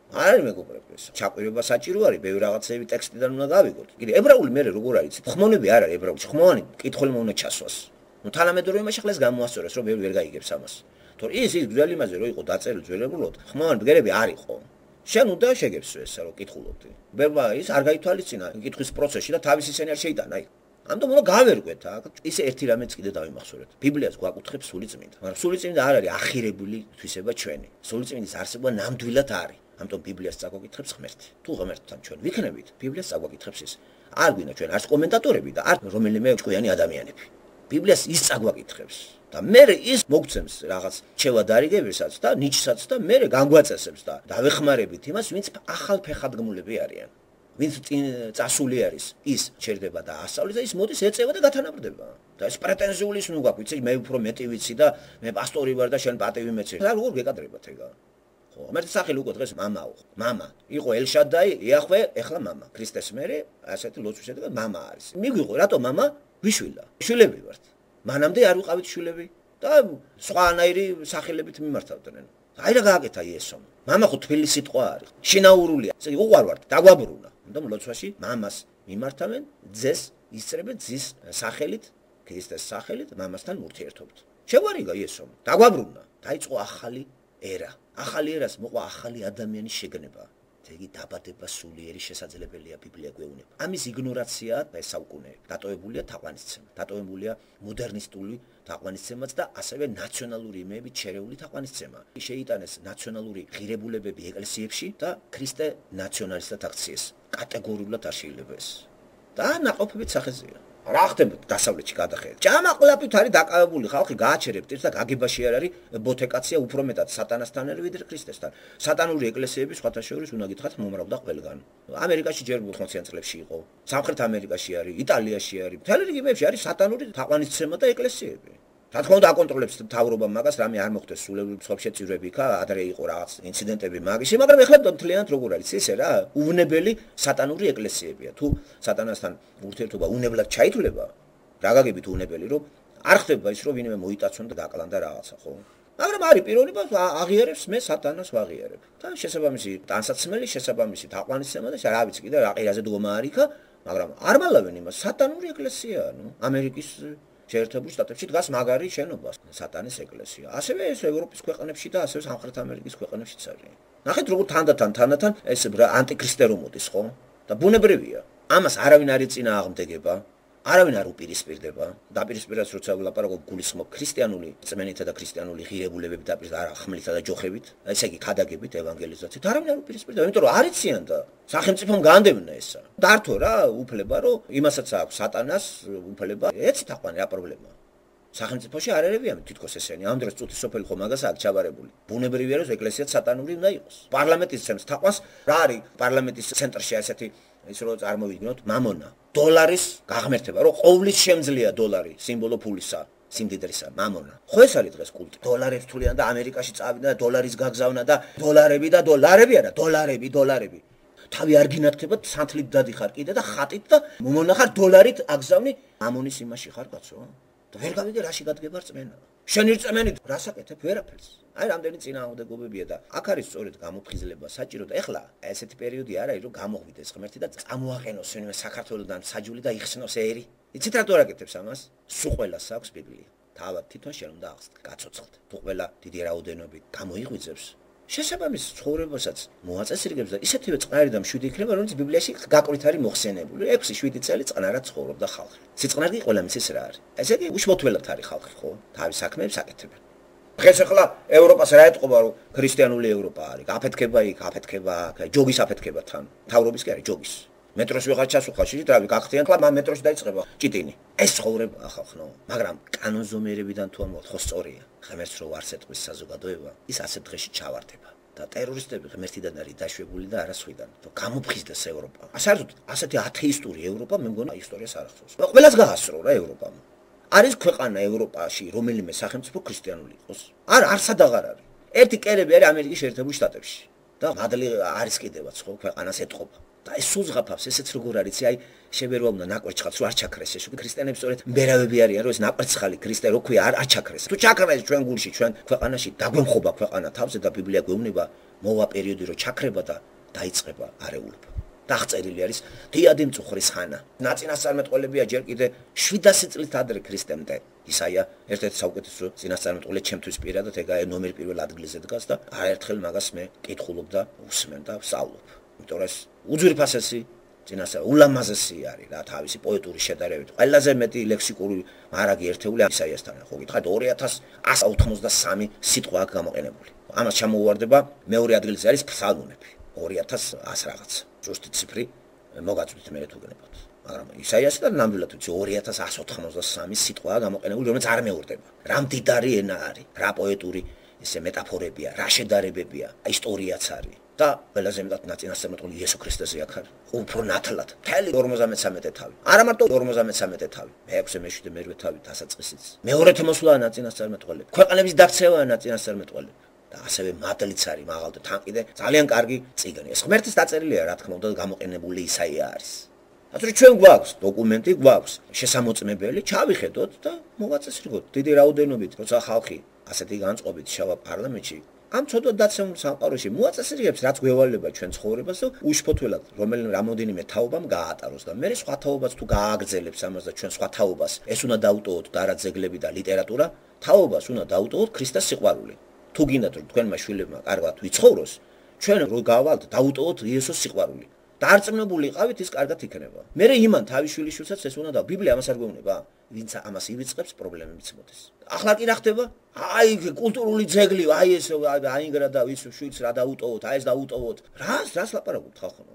არ არის მეგობრებო ეს. ჩაყვირება საჭირო არის, ბევრი რაღაცეები ტექსტიდან უნდა გავიგოთ. კიდე ებრაული მე როგორ არის? ხმონები არ არის ებრაული. ხმოვანი კითხველმა უნდა ჩასვას. ნუ თანამედროვე იმაში ხლეს გამოასწორეს, რომ ბევრი ვერ გაიგებს ამას. თორე ის ის ძველი იმაზე რო იყო დაწერილი ძველებურად, ხმოვანი ბგერები არ იყო. შენ უნდა შეგებსო ესა რომ კითხულობდი. ბევრმა ის არ გაითვალისწინა კითხვის პროცესში და თავის ისენი არ შეიტანა აი. ამიტომ უნდა გავერკვეთ აქ. ისე ერთი რამეც კიდე დავიმახსოვრეთ. ბიბლიას გვაკუთრებს სული წმინდა. მაგრამ სული წმინდა არ არის ახირებული თვისება ჩვენი. სული წმინდის არსება ნამდვილად არის. ამიტომ ბიბლიას წაგვაკითხებს ღმერთი. თუ ღმერთთან ჩვენ ვიქნებით, ბიბლიას წაგვაკითხებს ის. არ გვინდა ჩვენ არც კომენტატორები და არ რომელიმე ჭკვიანი ადამიანები. ბიბლიას ის წაგვაკითხებს. და მე ის მოგცემს რაღაც შევადარიგებისაც და ნიჩსაც და მე განგვაწესებს და დავეხმარებით იმას, ვინც ახალ ფეხადგმულები არიან. ვინც წასული არის, ის ჩერდება და ასწავლის და ის მოდის ეწევა და გათანაბრდება. და ეს პრეტენზიული ის ნუ გაქვს, ვიცი, მე უფრო მეტი ვიცი და მე პასტორი ვარ და შენ პატევი მეცე. რა როგორ გეკადრებათ ეგა? ხო, მერტ სახელი უკვე დღეს მამაო. მამა. იყო ელშადაი, იახვე, ეხლა მამა. ქრისტეს მერე, ასეთი ლოცვის შედეგად მამა არის. მიგვიყო, რატო მამა? ვიშვილა. შვილები ვართ. მანამდე არ ვიყავით შვილები და სხვანაირი სახელებით მიმართავდნენ. აი რა გააკეთა იესომ. მამა ხო თბილი სიტყვა არის. შინაურულია. ესე იგი უყვარ ვართ, დაგვაბრუნა. ამიტომ ლოცვაში მამას მიმართავენ, ძეს ისწრებენ ძის სახელით, ქრისტეს სახელით, მამასთან ურთიერთობთ. შეგვარიგა იესომ. დაგვაბრუნა. დაიწყო ახალი ერა. ახალი ერას მოყვა ახალი ადამიანის შეგნება. იგი დაბადება სულიერი შესაძლებელია ბიბლია გვეუბნება. ამის იგნორაციაა და საუკუნეები. დატოვებულია თაყვანისცემა. დატოვებულია მოდერნისტული თაყვანისცემაც და ასევე ნაციონალური იმეებით შერეული თაყვანისცემა. შეიტანეს ნაციონალური ღირებულებები ეკლესიებში და ქრისტე ნაციონალისტად აქციეს. კატეგორიულად არ შეიძლება ეს. და ნაყოფებით სახეზეა. რა ხდება დასავლეთში გადახედეთ. ჭამაყლაფით არის დაკავებული ხალხი გააჩერებთ და გაგებაში არ არის ბოთეკაცია უფრო მეტად სატანასთან არის ვიდრე ქრისტესთან. სატანური ეკლესიები სხვათა შორის უნდა გითხრათ მომრავდა ყველგან. ამერიკაში ჯერ ოთხმოციან წლებში იყო. სამხრეთ ამერიკაში არის, იტალიაში არის. მთელ რეგიონებში არის სატანური თაყვანისცემა და ეკლესიები. რა თქმა უნდა აკონტროლებს მთავრობამ მაგას, რამე არ მოხდეს სულელი მსხვერპლები იქა, ადრე იყო რაღაც ინციდენტები მაგისი, მაგრამ ეხლა მთლიანად როგორ არის ისე რა, უვნებელი სატანური ეკლესიებია. თუ სატანასთან ურთიერთობა უნებლად ჩაითვლება, რა გაგებით უნებელი, რომ არ ხდება ის, რომ ვინმე მოიტაცონ და გაკლან და რაღაცა, ხო? მაგრამ არის პიროვნება, აღიარებს მე სატანას ვაღიარებ. და შესაბამისი ტანსაცმელი, შესაბამისი თაყვანისცემა და რა ვიცი კიდე რა ყირაზე დგომა არის იქა, მაგრამ არ მალავენ იმას, სატანური ეკლესიაა, ნუ, ამერიკის შეერთებულ შტატებში დგას მაგარი შენობა, სატანის ეკლესია. ასევე ეს ევროპის ქვეყნებში და ასევე სამხრეთ ამერიკის ქვეყნებშიც არის. ნახეთ როგორ თანდათან თანდათან ეს ანტიქრისტე რომ მოდის, ხო? და ბუნებრივია. ამას არავინ არ ეწინააღმდეგება, არავინ არ უპირისპირდება. დაპირისპირებას როცა ვლაპარაკობ გულისხმობ ქრისტიანული წმენითა და ქრისტიანული ღირებულებებით დაპირისპირება, არა ხმლითა და ჯოხებით, ესე იგი ქადაგებით, ევანგელიზაციით, არავინ არ უპირისპირდება, იმიტომ რომ არ იციან და სახელმწიფომ განდევნა ესა. დართო რა უფლება, რომ იმასაც აქვს სატანას უფლება, ეცი თაყვანი რა პრობლემაა. სახელმწიფოში არ ერევიან თითქოს ესენი. ამ დროს წუთი სოფელი ხო მაგას აქვს ჩაბარებული. ბუნებრივია რომ ეკლესიაც სატანური უნდა იყოს. პარლამენტის ცემს თაყვანს, რა არის პარლამენტის ცენტრში ასეთი ის რო წარმოვიდგინოთ მამონა, დოლარის გაღმერთება, რომ ყოვლის შემძლეა დოლარი, სიმბოლო ფულისა, სიმდიდრისა, მამონა. ხო ეს არის დღეს კულტი. დოლარებს თვლიან და ამერიკაში წავიდა და დოლარის გაგზავნა და დოლარები და დოლარები არა, დოლარები, დოლარები. თავი არ გინათქება, სანთლით დადიხარ კიდე და ხატით და მომონახარ დოლარით აგზავნი ამონის იმაში ხარ კაცო. და ვერ გავიგე რაში გადგება რწმენა. შენი რწმენით რას აკეთებ? ვერაფერს. აი რამდენი წინააღმდეგობებია და აქ არის სწორედ გამოფხიზლება საჭირო და ეხლა ესეთი პერიოდი არ არის რომ გამოღვიდეს ღმერთი და წამოაყენოს ვინმე საქართველოსთან საჯული და იხსნოს ერი. იცით რატო არ აკეთებს ამას? სულ ყველას აქვს ბიბლია. თავად თვითონ შენ უნდა გაცოცხლდ. თუ ყველა დიდი რაოდენობით გამოიღვიძებს შესაბამის ცხოვრებასაც მოაწესრიგებს და ისეთივე წყნარი და მშვიდი იქნება, რომელიც ბიბლიაში გაკვით არის მოხსენებული. ექვსი შვიდი წელი წყნარად ცხოვრობდა ხალხი. სიწყნარი ყველა მისის რა არის. ესე იგი უშმოთველად არის ხალხი, ხო? თავის საქმეებს აკეთებენ. დღეს ახლა ევროპას რა ეთყობა, რომ ქრისტიანული ევროპა არის. აფეთქება იქ, აფეთქება აქ, ჯოგის აფეთქება თან. თავრობის კი არის ჯოგის. მეტროს ვიღარ ჩასუხა, შეიძლება რავი, გახდიან, ხლა მეტროში დაიწყება ჭიტინი. ეს ცხოვრება ხალხო, მაგრამ კანონზომიერებიდან თუ ამბობთ, ხო სწორია. ღმერთს რო არ სეტყვის საზოგადოება, ის ასეთ დღეში ჩავარდება. და ტერორისტები ღმერთიდან არის დაშვებული და არასხვიდან. რომ გამოფხიზდეს ევროპა. საერთოდ ასეთი ათეისტური ევროპა მე მგონა ისტორიას არ ახსოვს. ყველას გაასწრო რა ევროპამ. არის ქვეყანა ევროპაში, რომელიმე სახელმწიფო ქრისტიანული იყოს? არ არ სადაღარ არის. ერთი კერები არის ამერიკის შეერთებულ შტატებში. და მადლი არის კიდევაც ხო ქვეყანას ეთყობა. და ეს სულ ზღაფავს, ესეც როგორ არის, აი შებერვა უნდა ნაკვერცხალს რო არ ჩაქრეს, ეს უკვე ქრისტიანებს სწორედ მბერავები არიან, რომ ეს ნაკვერცხალი ქრისტე რო ქვია არ არ ჩაქრეს. თუ ჩაქრეს ჩვენ გულში, ჩვენ ქვეყანაში დაგვემხობა ქვეყანა თავზე და ბიბლია გვეუბნება მოვა პერიოდი რო ჩაქრება და დაიწყება არეულობა. დაღწერილი არის დიადი მწუხრის ხანა. ნაწინასწარმეტყველებია ჯერ კიდე შვიდასი წლით ადრე ქრისტემდე. ისაია ერთ-ერთი საუკეთესო წინასწარმეტყველი ჩემთვის პირადად ეგაა ნომერ პირველ ადგილზე დგას და არაერთხელ მაგას მე კითხულობ და უსმენ და ვსწავლობ. იმიტომ რომ ეს უძვირფასესი წინასწარ ულამაზესი არის რა თავისი პოეტური შედარებით. ყველაზე მეტი ლექსიკური მარაგი ერთეული ისაიასთან ხო გითხარით ორი ათას ასი ოცდამოცდასამი სიტყვა აქვს გამოყენებული. ამას ჩამოუვარდება მეორე ადგილზე არის ფსალმუნები. ორი ათას ასი რაღაც. ზუსტი ციფრი მოგაწვით მე თუ გნებოთ. მაგრამ ისაიასთან ნამდვილად ვიცი ორი ათას ასი ოცდამოცდასამი სიტყვაა გამოყენებული, რომელიც არ მეორდება. რა მდიდარი ენა არის, რა პოეტური ესე მეტაფორებია, რა შედარებებია, ისტორიაც არის. და ყველაზე მეტად ნაწინასწარმეტყველი იესო ქრისტეზე აქ არის. უფრო ნათლად. მთელი ორმოცდამეცამეტე თავი. არა მარტო ორმოცდამეცამეტე თავი. მეექვსე, მეშვიდე, მერვე თავი დასაწყისიც. მეორეთე მოსვლაა ნაწინასწარმეტყველები. ქვეყანების დაქცევაა ნაწინასწარმეტყველები. და ასევე მადლიც არის მაღალ და თან კიდე ძალიან კარგი წიგნი. ეს ღმერთის დაწერილია, რა თქმა უნდა, გამოყენებული ისაია არის. ასე ჩვენ გვაქვს დოკუმენტი, გვაქვს შესამოწმებელი, ჩავიხედოთ და მოვაწესრიგოთ. დიდი რაოდენობით, როცა ხალხი ასეთი განწყობით შევა პარლამენტში ამ ცოდვა დაცემულ სამყაროში მოაწესრიგებს რაც გვევალება ჩვენ ცხოვრებას და უშფოთველად რომელიმე რამოდენიმე თაობამ გაატაროს და მე სხვა თაობას თუ გააგრძელებს ამას და ჩვენ სხვა თაობას ეს უნდა დაუტოვოთ და არა ძეგლები და ლიტერატურა თაობას უნდა დაუტოვოთ ქრისტეს სიყვარული თუ გინდათ რომ თქვენმა შვილებმა კარგად ვიცხოვროს ჩვენ რო გავალთ დაუტოვოთ იესოს სიყვარული დარწმუნებული იყავით ის კარგად იქნება მე იმან თავის შვილიშვილსაც ეს უნდა და ბიბლია ამას არ გვეუბნება ვინც ამას ივიწყებს პრობლემებიც მოდის ახლა კი რა ხდება აი კულტურული ძეგლი აი ეს აინგრა და ვის შვილს რა დაუტოვოთ აი ეს დაუტოვოთ რას რას ლაპარაკობთ ხალხო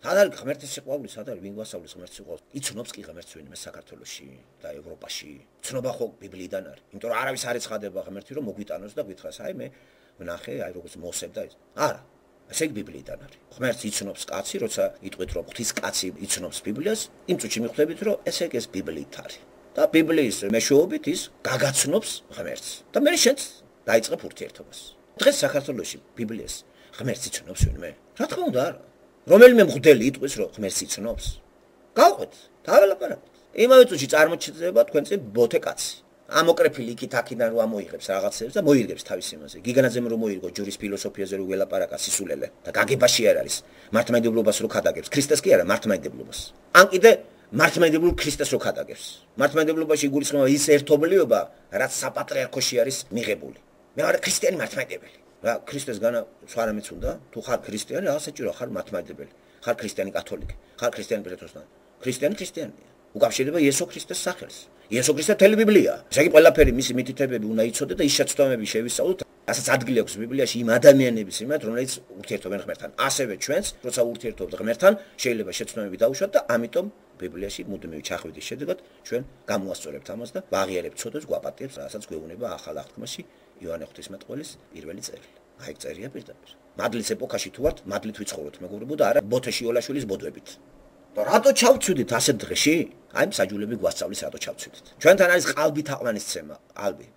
სად არის ღმერთის სიყვარული სად არის ვინ გვასწავლის ღმერთის სიყვარულს იცნობს კი ღმერთს ვინმე საქართველოში და ევროპაში ცნობა ხო ბიბლიიდან არის იმიტომ რომ არავის არ ეცხადება ღმერთი რომ მოგვიტანოს და გითხრას აი მე ვნახე აი როგორც მოსებ და არა ესე იგი ბიბლიიდან არის ღმერთს იცნობს კაცი როცა იტყვით რომ ღვთის კაცი იცნობს ბიბლიას იმ წუთში მიხვდებით რომ ესე იგი ეს ბიბლიით არის და ბიბლიის მეშვეობით ის გაგაცნობს ღმერთს და მე შენც დაიწყებ ურთიერთობას დღეს საქართველოში ბიბლიას ღმერთს იცნობს ვინმე რა თქმა უნდა არა რომელიმე მღვდელი იტყვის რომ ღმერთს იცნობს გავყვეთ დაველაპარაკოთ იმავე წუთში წარმოჩნდება თქვენ წინ ბოთე კაცი ამოკრეფილი იქით აქიდან რომ ამოიღებს რაღაცებს და მოირგებს თავის იმაზე გიგანაძემ რომ მოირგო ჯურის ფილოსოფიაზე რომ ველაპარაკა სისულელე და გაგებაში არ არის მართლმადიდებლობას რო ხადაგებს ქრისტეს კი არა მართლმადიდებლობას ან კიდე მართლმადიდებლურ ქრისტეს რო ხადაგებს მართლმადიდებლობაში იგულისხმება ის ერთობლიობა რაც საპატრიარქოში არის მიღებული მე ვარ ქრისტიანი მართლმადიდებელი რა ქრისტეს განა სხვა რამეც უნდა თუ ხარ ქრისტიანი რა საჭირო ხარ მართლმადიდებელი ხარ ქრისტიანი კათოლიკე ხარ ქრისტიანი პროტესტანტი ქრისტიანი ქრისტიანია უკავშირდება იესო ქრისტეს სახელს იესო ქრისტე თელი ბიბლია ესე იგი ყველაფერი მისი მითითებები უნდა იცოდე და ის შეცდომები შევისწავლოთ ასაც ადგილი აქვს ბიბლიაში იმ ადამიანების იმათ რომელიც ურთიერთობენ ღმერთთან ასევე ჩვენს როცა ურთიერთობთ ღმერთთან შეიძლება შეცდომები დაუშვათ და ამიტომ ბიბლიაში მუდმივი ჩახვედის შედეგად ჩვენ გამოასწორებთ ამას და ვაღიარებთ ცოდვას გვაპატიებს რასაც გვეუბნება ახალ აღთქმაში იოანე ღვთისმეტყველის პირველი წერილი აი ეს წერია პირდაპირ მადლის ეპოქაში თუ ვართ მადლით ვიცხოვროთ მეგობრებო და არა ბოთეში ოლაშვილის ბოდვებით და რატო ჩავცვიდით ასეთ დღეში აი მსაჯულები გვასწავლის რატო ჩავცვიდით ჩვენთან არის ყალბი თაყვანის ცემა ყალბი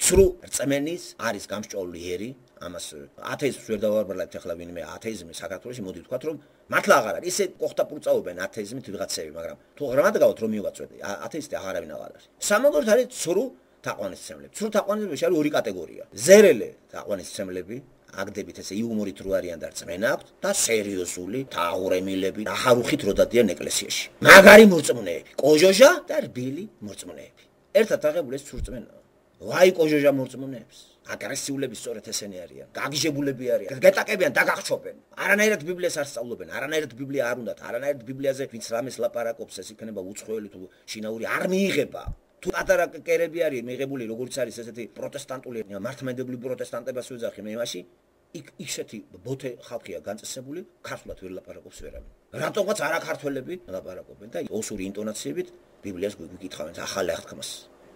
ცრუ რწმენის არის გამსჭვალული ერი ამას ათეიზმს ვერ დავარბალეთ ახლა ვინმე ათეიზმი საქართველოში მოდი ვთქვათ რომ მართლა აღარ არის ისე ყოხტაპურწაობენ ათეიზმით ვიღაცები მაგრამ თუ გრამატიკავთ რომ მივაწვედი ათეისტი აღარ არავინ აღარ არის სამაგორთ არის ცრუ თაყვანისმცემლები ცრუ თაყვანისმცემლებში არის ორი კატეგორია ზერელე თაყვანისმცემლები აგდებით ესე იუმორით რო არიან და რწმენა აქვთ და სერიოზული თაღურემილები ახარუხით რო დადიან ეკლესიაში მაგარი მორწმუნეები კოჟოჟა და რბილი მორწმუნეები ერთად აღებული ეს სურწმენა ვაი კოჟოჟა მორწმუნეებს აგრესიულები სწორედ ესენი არიან გაგიჟებულები არიან გეტაკებიან და გახჩობენ არანაირად ბიბლიას არ სწავლობენ არანაირად ბიბლია არ უნდათ არანაირად ბიბლიაზე ვინც რამეს ლაპარაკობს ეს იქნება უცხოელი თუ შინაური არ მიიღება თუ პატარა კერები არის მიღებული როგორც არის ესეთი პროტესტანტული მართლმადიდებლური პროტესტანტებას ვეძახი მე მაშინ იქ ისეთი ბოთე ხალხია განწესებული ქართულად ვერ ლაპარაკობს ვერავინ რატომაც არა ქართველები ლაპარაკობენ და ოსური ინტონაციებით ბიბლიას გვიკითხავენ ახალ აღთქმას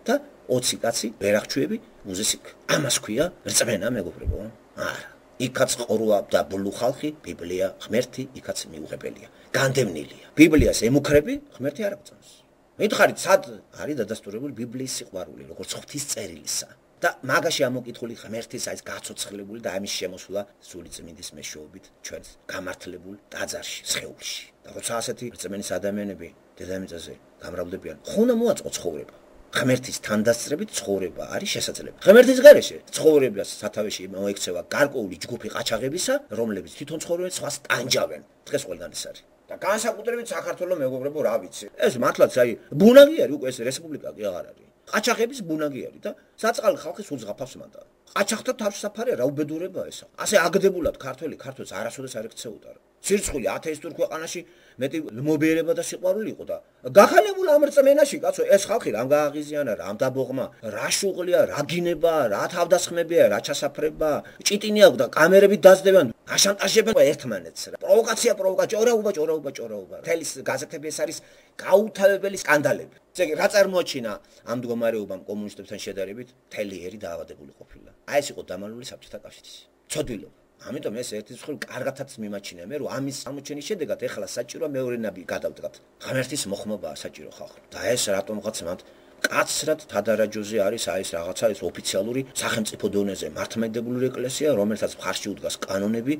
და ოცი კაცი ვერახჩუები მუზესიკ ამას ქვია რწმენა მეგობრებო არა იქაც ყრუა და ბლუ ხალხი ბიბლია ღმერთი იქაც მიუღებელია განდევნილია ბიბლიას ემუქრები ღმერთი არ აღწევს მითხარით სად არის დადასტურებული ბიბლიის სიყვარული როგორც ღვთის წერილისა და მაგაში ამოკითხული ღმერთის აი გაცოცხლებული და ამის შემოსვლა სული წმინდის მეშვეობით ჩვენს გამართლებულ ტაძარში სხეულში და როცა ასეთი რწმენის ადამიანები დედამიწაზე გამრავლდებიან ხო უნდა მოაწყო ცხოვრება ღმერთის თანდასწრებით ცხოვრება არის შესაძლებელი ღმერთის გარეშე ცხოვრებას სათავეში მოექცევა გარკვეული ჯგუფი ყაჩაღებისა რომლებიც თვითონ ცხოვრობენ სხვას ტანჯავენ დღეს ყველგან ეს არის და განსაკუთრებით საქართველოს მეგობრებო რა ვიცი ეს მართლაც აი ბუნაგი არის უკვე ეს რესპუბლიკა კი აღარ არის ყაჩაღების ბუნაგი არის და საწყალი ხალხი სულ ზღაფავს მანდა ყაჩაღთა თავშესაფარია რა უბედურებაა ეს ასე აგდებულად ქართველი ქართველს არასოდეს არ ექცეოდა რა ცირცხული ათეისტურ ქვეყანაში მეტი მობიერება და სიყვარული იყო და გახანებული ამ რწმენაში კაცო ეს ხალხი რამ გააღიზიანა რამ დაბოღმა რა შუღლია რა გინება რა თავდასხმებია რა ჩასაფრება ჭიტინი აქვს და კამერებით დაძდებიან აშანტაჟებენ ერთმანეთს რა პროვოკაცია პროვოკაცია ჭორაობა ჭორაობა ჭორაობა თელის გაზეთები ეს არის გაუთავებელი სკანდალები ესე იგი რა წარმოაჩინა ამ მდგომარეობამ კომუნისტებთან შედარებით თელიერი დაავადებული ყოფილა აი ეს იყო დამალული საბჭოთა კავშირის ცოდვილობა ამიტომ ეს ერთის მხრივ კარგათაც მიმაჩნია მე რომ ამის აღმოჩენის შედეგად ეხლა საჭიროა მეორე ნაბი გადავდგათ ღმერთის მოხმობაა საჭირო ხალხი და ეს რატომღაც მათ კაცრად თადარაჯოზე არის აი ეს რაღაცა ეს ოფიციალური სახელმწიფო დონეზე მართლმადიდებლური ეკლესია რომელსაც მხარში უდგას კანონები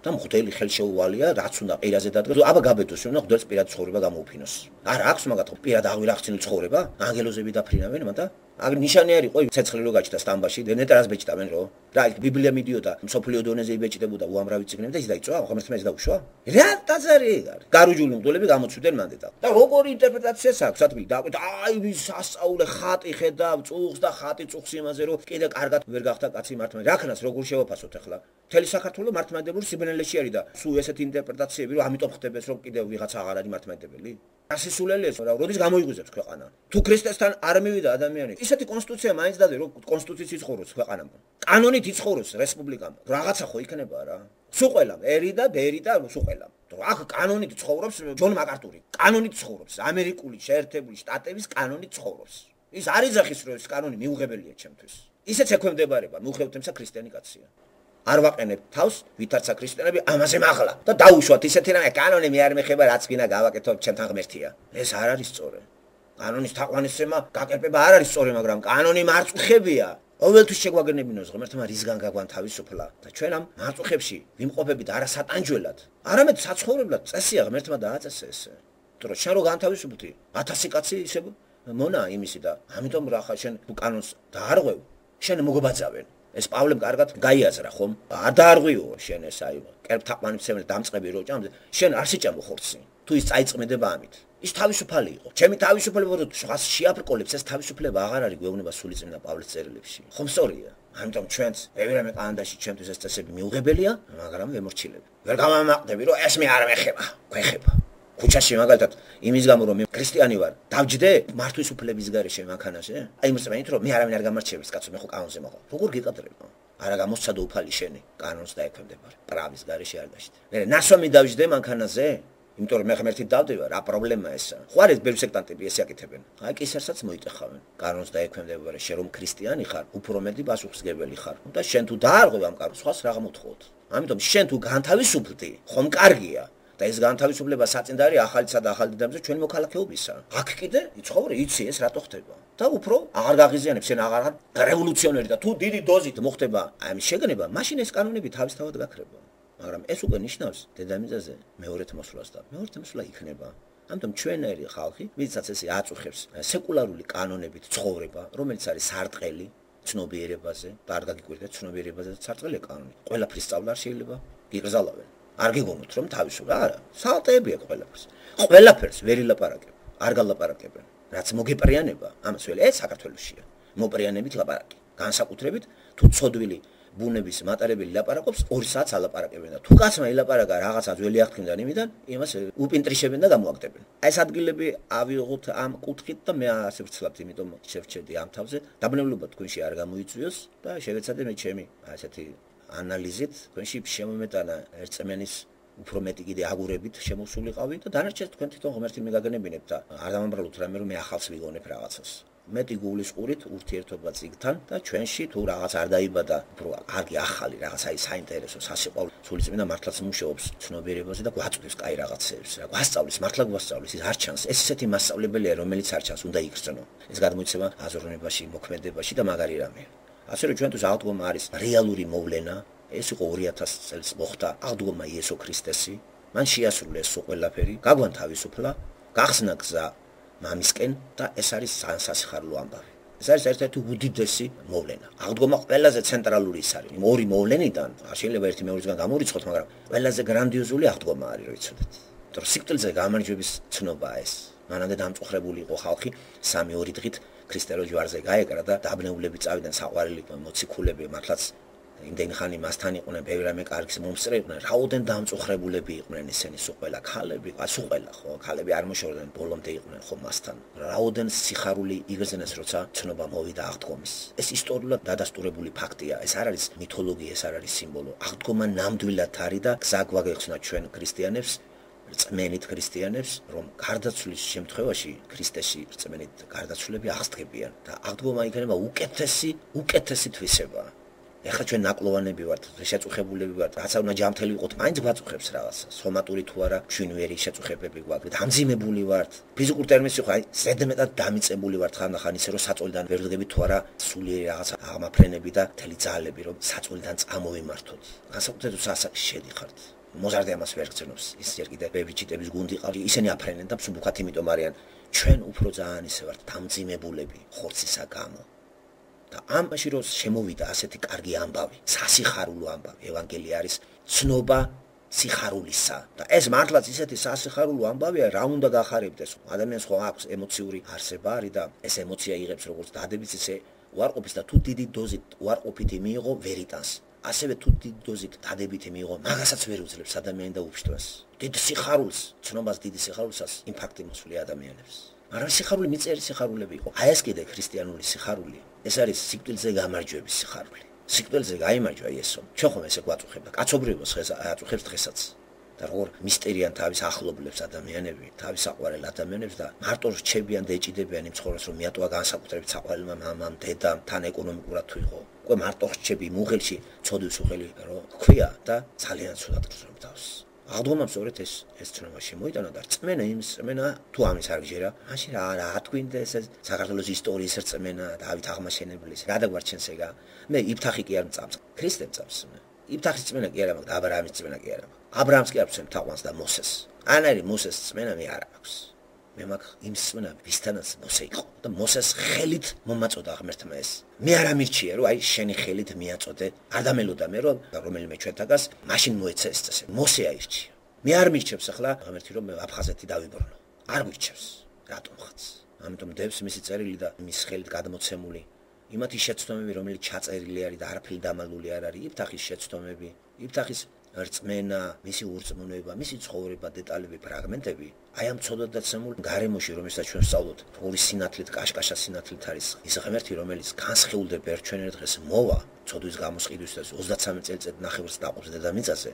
და მღვდელი ხელშეუვალია რაც უნდა პირაზე დადგას აბა გაბედოს რომ მღვდელს პირად ცხოვრება გამოუფინოს არა აქვს მაგათ პირად აღვირახცინო ცხოვრება ანგელოზები დაფრინავენ მანდა აგ ნიშანი არის ყო ცეცხლი რო გაჩნდა სტამბაში ნეტრას ბეჭდავენ რო რა ბიბლია მიდიოდა მსოფლიო დონეზე იბეჭდებოდა უამრავი წიგნები და ის დაიწვა ღმერთმა ეს დაუშვა რა ტაძარი არის გარუჯული მღვდლები გამოწვდნენ მანდედა და როგორი ინტერპრეტაციას აქვს სათბილი და აი ვის ასწაულე ხატი ხედავ წუხს და ხატი წუხს იმაზე რომ კიდე კარგად ვერ გახდა კაცი მართლა რაკნას როგორ შევაფასოთ ახლა მთელი საქართველოს მართლმადიდებლური სიბნელეში არის და სულ ესეთი ინტერპრეტაციები რომ ამიტომ ხდებეს რომ კიდე ვიღაც აღარ არის მართლმადიდებელი ასისულელი ეს რა როდის გამოიგუზებს ქვეყანა თუ ქრისტესთან არ მივიდა ადამიანი ისეთი კონსტიტუცია მაინც დადი რომ კონსტიტუციის იცხოვროს ქვეყანამ კანონით იცხოვროს რესპუბლიკამ რაღაცა ხო იქნება რა სულ ყველამ ერი და ბერი და სულ ყველამ აქ კანონით ცხოვრობს ჯონ მაკარტური კანონით ცხოვრობს ამერიკული შეერთებული შტატების კანონით ცხოვრობს ის არ იძახის რომ ეს კანონი მიუღებელია ჩემთვის ისეც ექვემდებარება მიუხედავად ქრისტიანი კაცია არ ვაყენებ თავს ვითარცა ქრისტიანები ამაზე მაღლა და დაუშვათ ისეთი რამე კანონი მე არ მეხება რაც გინდა გავაკეთო ჩემთან ღმერთია ეს არ არის სწორი კანონის თაყვანისცემა გაკერპება არ არის სწორი მაგრამ კანონი მარწუხებია ყოველთვის შეგვაგენებინოს ღმერთმა რისგან გაგვან თავისუფლა და ჩვენ ამ მარწუხებში ვიმყოფებით არა სატანჯველად არამედ საცხოვრებლად წესია ღმერთმა დააწესე ესე იმიტომ რომ შენ რო განთავისუფლდი ათასი კაცი ისე მონა იმისი და ამიტომ რა ხა შენ კანონს დაარღვევ შენ მოგობაძავენ ეს პავლემ კარგად გაიაზრა ხომ არ დაარღვიო შენ ეს აი კერპთაყვანისმცემელი დამწყები რო ჭამს შენ არ შეჭამო ხორცი თუ ის წაიწმედება ამით ის თავისუფალი იყო ჩემი თავისუფლება რო სხვას შეაბრკოლებს ეს თავისუფლება აღარ არის გვეუბნება სულიწმინდა პავლეს წერილებში ხომ სწორია ამიტომ ჩვენც ევერამე კანადაში ჩემთვის ეს წესები მიუღებელია მაგრამ ვემორჩილები ვერ გამამაყდები რომ ეს მე არ მეხება გვეხება ქუჩაში მაგალითად იმის გამო რომ მე ქრისტიანი ვარ დავჯდე მართვის უფლების გარეშე მანქანაზე აი მოსწმენით რომ მე არავინ არ გამარჩევს კაცო მე ხო კანონზე მაყავ როგორ გიყადრება არა გამოსცადო უფალი შენი კანონს დაექვემდებარე პრავის გარეშე არ დაშტე მე ნასვამი დავჯდე მანქანაზე იმიტომ რომ მე ღმერთით დავდება რა პრობლემაა ესა ხო არის ბევრი სექტანტები ესე აკეთებენ აი კისერსაც მოიტეხავენ კანონს დაექვემდებარე შენ რომ ქრისტიანი ხარ უფრო მეტი პასუხისმგებელი ხარ და შენ თუ დაარღვევ ამ კანონს სხვას რა გამოთხოვოთ ამიტომ შენ თუ განთავისუფლდი ხომ კარგია და ეს განთავისუფლება საწინდარი ახალისა და ახალ დედამზე ჩვენ მოქალაქეობისა აქ კიდე იცხოვრე იცი ეს რატო ხდება და უფრო აღარ გაღიზიანებს, შენ აღარ რევოლუციონერი და თუ დიდი დოზით მოხდება ამის შეგნება, მაშინ ეს კანონები თავისთავად გაქრება. მაგრამ ეს უკვე ნიშნავს დედამიწაზე მეორეთ მოსვლას და მეორეთ მოსვლა იქნება. ამიტომ ჩვენერი ხალხი, ვისაც ესე აწუხებს სეკულარული კანონებით ცხოვრება, რომელიც არის სარტყელი ცნობიერებაზე, და არ გაგიკვირდეთ ცნობიერებაზე სარტყელი კანონი. ყველაფრის სწავლა არ შეიძლება გიგზალავენ. არ გიგონოთ რომ თავისუფლად არა, სალტეები აქვს ყველაფერს. ყველაფერს ვერ ილაპარაკებ, არ გალაპარაკებენ. რაც მოგეპრიანება, ამას ველე ეს საქართველოსია. მოპრიანებით ლაპარაკი. განსაკუთრებით თუ ცოდვილი ბუნების მატარებელი ლაპარაკობს ორი საათს ალაპარაკებენ და თუ კაცმა ილაპარაკა რაღაცა ძველი აღთქმიდან იმიდან, იმას უპინტრიშებენ და გამოაკდებენ. აი ეს ადგილები ავიღოთ ამ კუთხით და მე ასე ვცლავთ, იმიტომ შევჩერდი ამ თავზე. დაბნელობა თქვენში არ გამოიწვიოს და შევეცადე მე ჩემი ასეთი ანალიზით თქვენში შემომეტანა ერწმენის უფრო მეტი კიდე აგურებით შემოსულიყავი და დანარჩენს თქვენ თვითონ ღმერთი მეგაგნებინებ და არ დამამბრალოთ რამე რომ მე ახალს ვიგონებ რაღაცას. მეტი გულისყურით ურთიერთობა წიგთან და ჩვენში თუ რაღაც არ დაიბადა უფრო კარგი ახალი რაღაც აი საინტერესო სასიყვარულო სულიწმინდა მართლაც მუშაობს ცნობიერებაზე და გვაწვდის კაი რაღაცებს რა გვასწავლის მართლა გვასწავლის ის არ ჩანს ეს ესეთი მასწავლებელია რომელიც არ ჩანს უნდა იგრძნო ეს გადმოიცემა აზროვნებაში მოქმედებაში და მაგარი რამეა ასე რომ ჩვენთვის აღდგომა არის რეალური მოვლენა ეს იყო ორი ათას წელს მოხდა აღდგომა იესო ქრისტესი მან შეასრულა ეს ყველაფერი გაგვან თავისუფლა გახსნა გზა მამისკენ და ეს არის სასიხარულო ამბავი. ეს არის ერთ-ერთი უდიდესი მოვლენა. აღდგომა ყველაზე ცენტრალური ის არის. ორი მოვლენიდან არ შეიძლება ერთი მეორისგან გამორიცხოთ, მაგრამ ყველაზე გრანდიოზული აღდგომა არის, რო იცოდეთ. იმიტომ რომ სიკვდილზე გამარჯვების ცნობაა ეს. მანამდე დამწუხრებული იყო ხალხი სამი ორი დღით ქრისტერო ჯვარზე გაეკრა და დაბნეულები წავიდნენ საყვარელი მოციქულები მართლაც იმდენი ხანი მასთან იყვნენ, ბევრი რამე კარგის მომსწრე იყვნენ, რაოდენ დამწუხრებულები იყვნენ ესენი სულ ყველა ქალები, სულ ყველა ხო, ქალები არ მოშორდნენ, ბოლომდე იყვნენ ხო მასთან. რაოდენ სიხარული იგრძნეს, როცა ცნობა მოვიდა აღდგომის. ეს ისტორიულად დადასტურებული ფაქტია, ეს არ არის მითოლოგია, ეს არ არის სიმბოლო. აღდგომა ნამდვილად არის და გზა გვაგეხსნა ჩვენ ქრისტიანებს, რწმენით ქრისტიანებს, რომ გარდაცვლის შემთხვევაში ქრისტეში რწმენით გარდაცვლები აღსდგებიან და აღდგომა იქნება უკეთესი, უკეთესი თვისება. ეხლა ჩვენ ნაკლოვანები ვართ, შეწუხებულები ვართ, რაცა უნდა ჯანმრთელი ვიყოთ, მაინც გვაწუხებს რაღაცა. სომატური თუ არა, ჩვინვერი შეწუხებები გვაქვს. დამძიმებული ვართ. ფიზიკურ ტერმინში ხო, აი, ზედმეტად დამიწებული ვართ ხანდახან ისე რომ საწოლიდან ვერ ვდგებით თუ არა, სულიერი რაღაცა აღმაფრენები და მთელი ძალები რომ საწოლიდან წამოვიმართოთ. განსაკუთრებით სასაკში შედიხართ. მოზარდი ამას ვერ გწნობს. ის ჯერ კიდე ბებიჩიტების გუნდი ყავი, ისინი აფრენენ და მსუბუქად იმიტომ არიან. ჩვენ უფრო ძალიან ისე ვართ დამძიმებულები ხორცისა გამო. და ამაში რომ შემოვიდა ასეთი კარგი ამბავი, სასიხარულო ამბავი, ევანგელია არის ცნობა სიხარულისა. და ეს მართლაც ისეთი სასიხარულო ამბავია, რა უნდა გახარებდეს. ადამიანს ხო აქვს ემოციური არსება არის და ეს ემოცია იღებს როგორც დადებიც ისე უარყოფის და თუ დიდი დოზით უარყოფითი მიიღო ვერიტანს. ასევე თუ დიდი დოზით დადებითი მიიღო, მაგასაც ვერ უძლებს ადამიანი და უფშტვას. დიდ სიხარულს, ცნობას დიდი სიხარულსაც იმპაქტი მოსვლია ადამიანებს. მაგრამ სიხარული მიწერი სიხარულები იყო. აი ეს კიდე ქრისტიანული სიხარული. ეს არის სიკვდილზე გამარჯვების სიხარული. სიკვდილზე გაიმარჯვა იესო. ჩვენ ხომ ესე გვაწუხებდა. კაცობრიობას ხეს აწუხებს დღესაც. და როგორ მისტერიან თავის ახლობლებს ადამიანები, თავის საყვარელ ადამიანებს და მარტო რჩებიან და ეჭიდებიან იმ ცხოვრებას რომ მიატოვა განსაკუთრებით საყვარელმა მამამ, დედამ, თან ეკონომიკურად თუ იყო. უკვე მარტო რჩები მუღელში ცოდვის უხელი რომ ქვია და ძალიან ცუდად გრძნობს. აღდგომამ სწორედ ეს ეს ცნობა შემოიტანა და რწმენა იმის რწმენა თუ ამის არ გჯერა მაშინ რა რა თქვინდა ეს საქართველოს ისტორიის რწმენა დავით აღმაშენებლის რა დაგვარჩენს ეგა მე იფთახი კი არ მწამს ქრისტე მწამს იფთახის რწმენა კი არა მაგრამ აბრაამის რწმენა კი არა აბრაამს კი არ მწემ თაყვანს და მოსეს ან არის მოსეს რწმენა მე არ აქვს მე მაგ იმ რწმენა ვისთანაც მოსე იყო და მოსეს ხელით მომაწოდა ღმერთმა ეს მე არ ამირჩია რომ აი შენი ხელით მიაწოდე არ დამელოდა მე რომ რომელიმე ჩვენთაგას მაშინ მოეცა ეს წესე მოსე აირჩია მე არ მირჩევს ახლა ღმერთი რომ მე აფხაზეთი დავიბრუნო არ მირჩევს რატომღაც ამიტომ დევს მისი წერილი და მის ხელით გადმოცემული იმათი შეცდომები რომელიც ჩაწერილი არის და არაფერი დამალული არ არის იფთახის შეცდომები იფთახის რწმენა, მისი ურწმუნება, მისი ცხოვრება, დეტალები, ფრაგმენტები, აი ამ ცოდვადაცემულ გარემოში, რომელსაც ჩვენ ვსწავლობთ, ორი სინათლით, კაშკაშა სინათლით არის ის ღმერთი, რომელიც განსხეულდება ერთ ჩვენ ერთ დღეს მოვა, ცოდვის გამოსყიდვისთვის ოცდაცამეტ წელიწად ნახევრს დაყობს დედამიწაზე,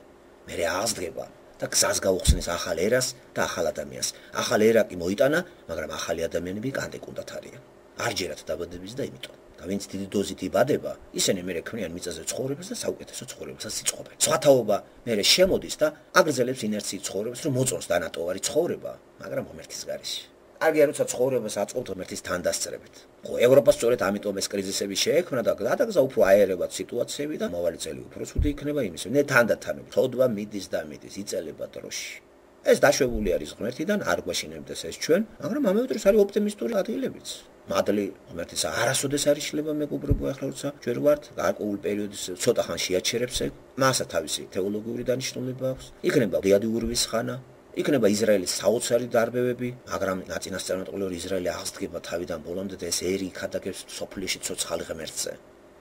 მერე აღსდგება და გზას გაუხსნის ახალ ერას და ახალ ადამიანს. ახალ ერა კი მოიტანა, მაგრამ ახალი ადამიანები კანდეკუნდათ არიან. არ ჯერათ დაბადების და იმიტომ ვინც დიდი დოზით იბადება, ისინი მერე ქმნიან მიწაზე ცხოვრებას და საუკეთესო ცხოვრებასაც იწყობენ. სხვათაობა მერე შემოდის და აგრძელებს ინერციით ცხოვრებას, რომ მოწონს დანატოვარი ცხოვრება, მაგრამ ღმერთის გარეშე. კარგია როცა ცხოვრებას აწყობთ ღმერთის თანდასწრებით. ხო, ევროპას სწორედ ამიტომ ეს კრიზისები შეექმნა და გადაგზა უფრო აერებად სიტუაციები და მოვალი წელი უფრო ცუდი იქნება იმის. ნე თანდათანობით ცოდვა მიდის და მიდის, იწელება დროში. ეს დაშვებული არის ღმერთიდან, არ გვაშინებდეს ეს ჩვენ, მაგრამ ამავე დროს არის ოპტიმისტური ადგილებიც. მადლი ღმერთის არასოდეს არ იშლება მეგობრებო, ახლა როცა ჩვენ ვართ გარკვეულ პერიოდის ცოტა ხან შეაჩერებს ეგ, მასა თავისი თეოლოგიური დანიშნულება აქვს. იქნება დიადიურვის ხანა, იქნება ისრაელის საოცარი დარბევები, მაგრამ ნაწინასწარმეტყველი რომ ისრაელი აღსდგება თავიდან ბოლომდე და ეს ერი იქადაგებს სოფლიოში ცოცხალი ღმერთზე.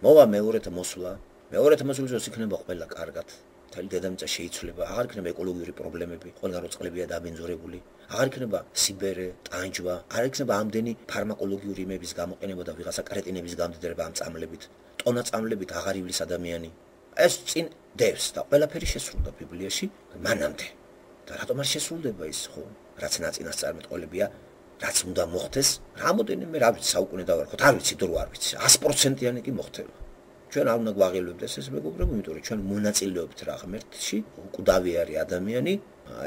მოვა მეორეთ მოსვლა, მეორეთ მოსვლას იქნება ყველა კარგად. მთელი დედამიწა შეიცვლება, აღარ იქნება ეკოლოგიური პრობლემები, ყველგან რო წყლებია დაბინძურებული, აღარ იქნება სიბერე, ტანჯვა, არ იქნება ამდენი ფარმაკოლოგიური იმების გამოყენება და ვიღაცა კრეტინების გამდიდრება ამ წამლებით, ტონა წამლებით აღარ ივლის ადამიანი. ეს წინ დევს და ყველაფერი შესრულდა ბიბლიაში მანამდე. და რატომ არ შესრულდება ის ხო? რაც ნაწინასწარმეტყველებია, რაც უნდა მოხდეს, რამოდენიმე რა ვიცი საუკუნე დავარქოთ, არ ვიცი დრო არ ვიცი, ას პროცენტიანი კი მოხდება. ჩვენ არ უნდა გვაღელვებდეს ეს მეგობრებო, იმიტომ რომ ჩვენ მონაწილეობთ რა ღმერთში, უკვდავი არის ადამიანი,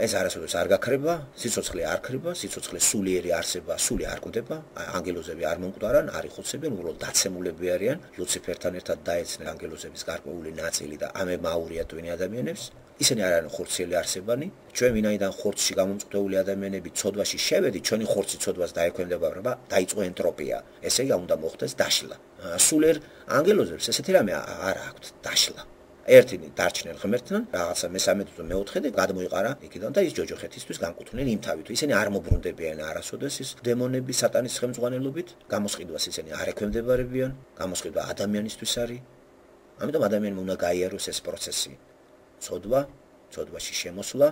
ეს არასოდეს არ გაქრება, სიცოცხლე არ ქრება, სიცოცხლე სულიერი არსება, სული არ კვდება, ანგელოზები არ მომკვდარან, არ იხოცებენ, უბრალოდ დაცემულები არიან, ლუციფერთან ერთად დაეცნენ ანგელოზების გარკვეული ნაწილი და ამებმა აურიათვენ ადამიანებს. ისინი არ არიან ხორციელი არსებანი, ჩვენ ვინაიდან ხორცში გამომწყვდეული ადამიანები ცოდვაში შევედით, ჩვენი ხორცი ცოდვას დაექვემდებარა, დაიწყო ენტროპია. ესე იგი უნდა მოხდეს დაშლა. სულიერ ანგელოზებს ესეთი რამე არ აქვთ დაშლა. ერთი დარჩნენ ღმერთთან, რაღაცა მესამედი თუ მეოთხედი გადმოიყარა იქიდან და ის ჯოჯოხეთისთვის განკუთვნილ იმ თავით. ისინი არ მობრუნდებიან არასოდეს ის დემონები სატანის ხელმძღვანელობით, გამოსყიდვას ისინი არ ექვემდებარებიან, გამოსყიდვა ადამიანისთვის არის. ამიტომ ადამიანმა უნდა გაიაროს ეს პროცესი. ცოდვა, ცოდვაში შემოსვლა,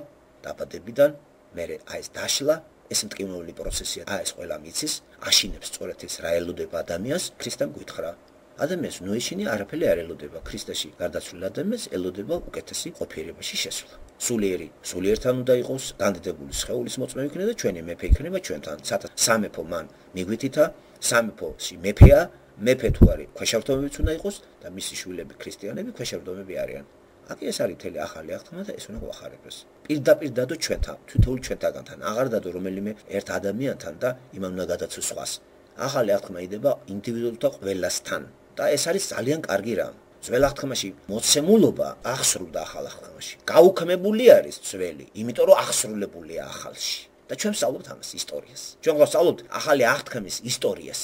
დაბადებიდან, მერე აი ეს დაშლა, ეს მტკივნეული პროცესია, აი ეს ყველა მიცის, აშინებს სწორედ ეს რა ელოდება ადამიანს, ქრისტემ გითხრა. ადამიანს ნუ ეშინი არაფერი არ ელოდება, ქრისტეში გარდაცვლილ ადამიანს ელოდება უკეთესი ყოფიერებაში შესვლა. სულიერი, სულიერთან უნდა იყოს, განდიდებული სხეულის მოწმე იქნება და ჩვენი მეფე იქნება ჩვენთან. სამეფო მან მიგვითითა, სამეფოში მეფეა, მეფე თუ არის, ქვეშევრდომებიც უნდა იყოს და მისი შვილები ქრისტიანები ქვეშევრდომები არიან. აკი ეს არის მთელი ახალი აღთქმა და ეს უნდა გვახარებდეს. პირდაპირ დადო ჩვენთან, თითოეულ ჩვენთაგანთან, აღარ დადო რომელიმე ერთ ადამიანთან და იმან უნდა გადაცოს სხვას. ახალი აღთქმა იდება ინდივიდუალთა ყველასთან და ეს არის ძალიან კარგი რამ. ძველ აღთქმაში მოცემულობა აღსრულდა ახალ აღთქმაში. გაუქმებული არის ძველი, იმიტომ რომ აღსრულებულია ახალში. და ჩვენ ვსწავლობთ ამას ისტორიას. ჩვენ ვსწავლობთ ახალი აღთქმის ისტორიას.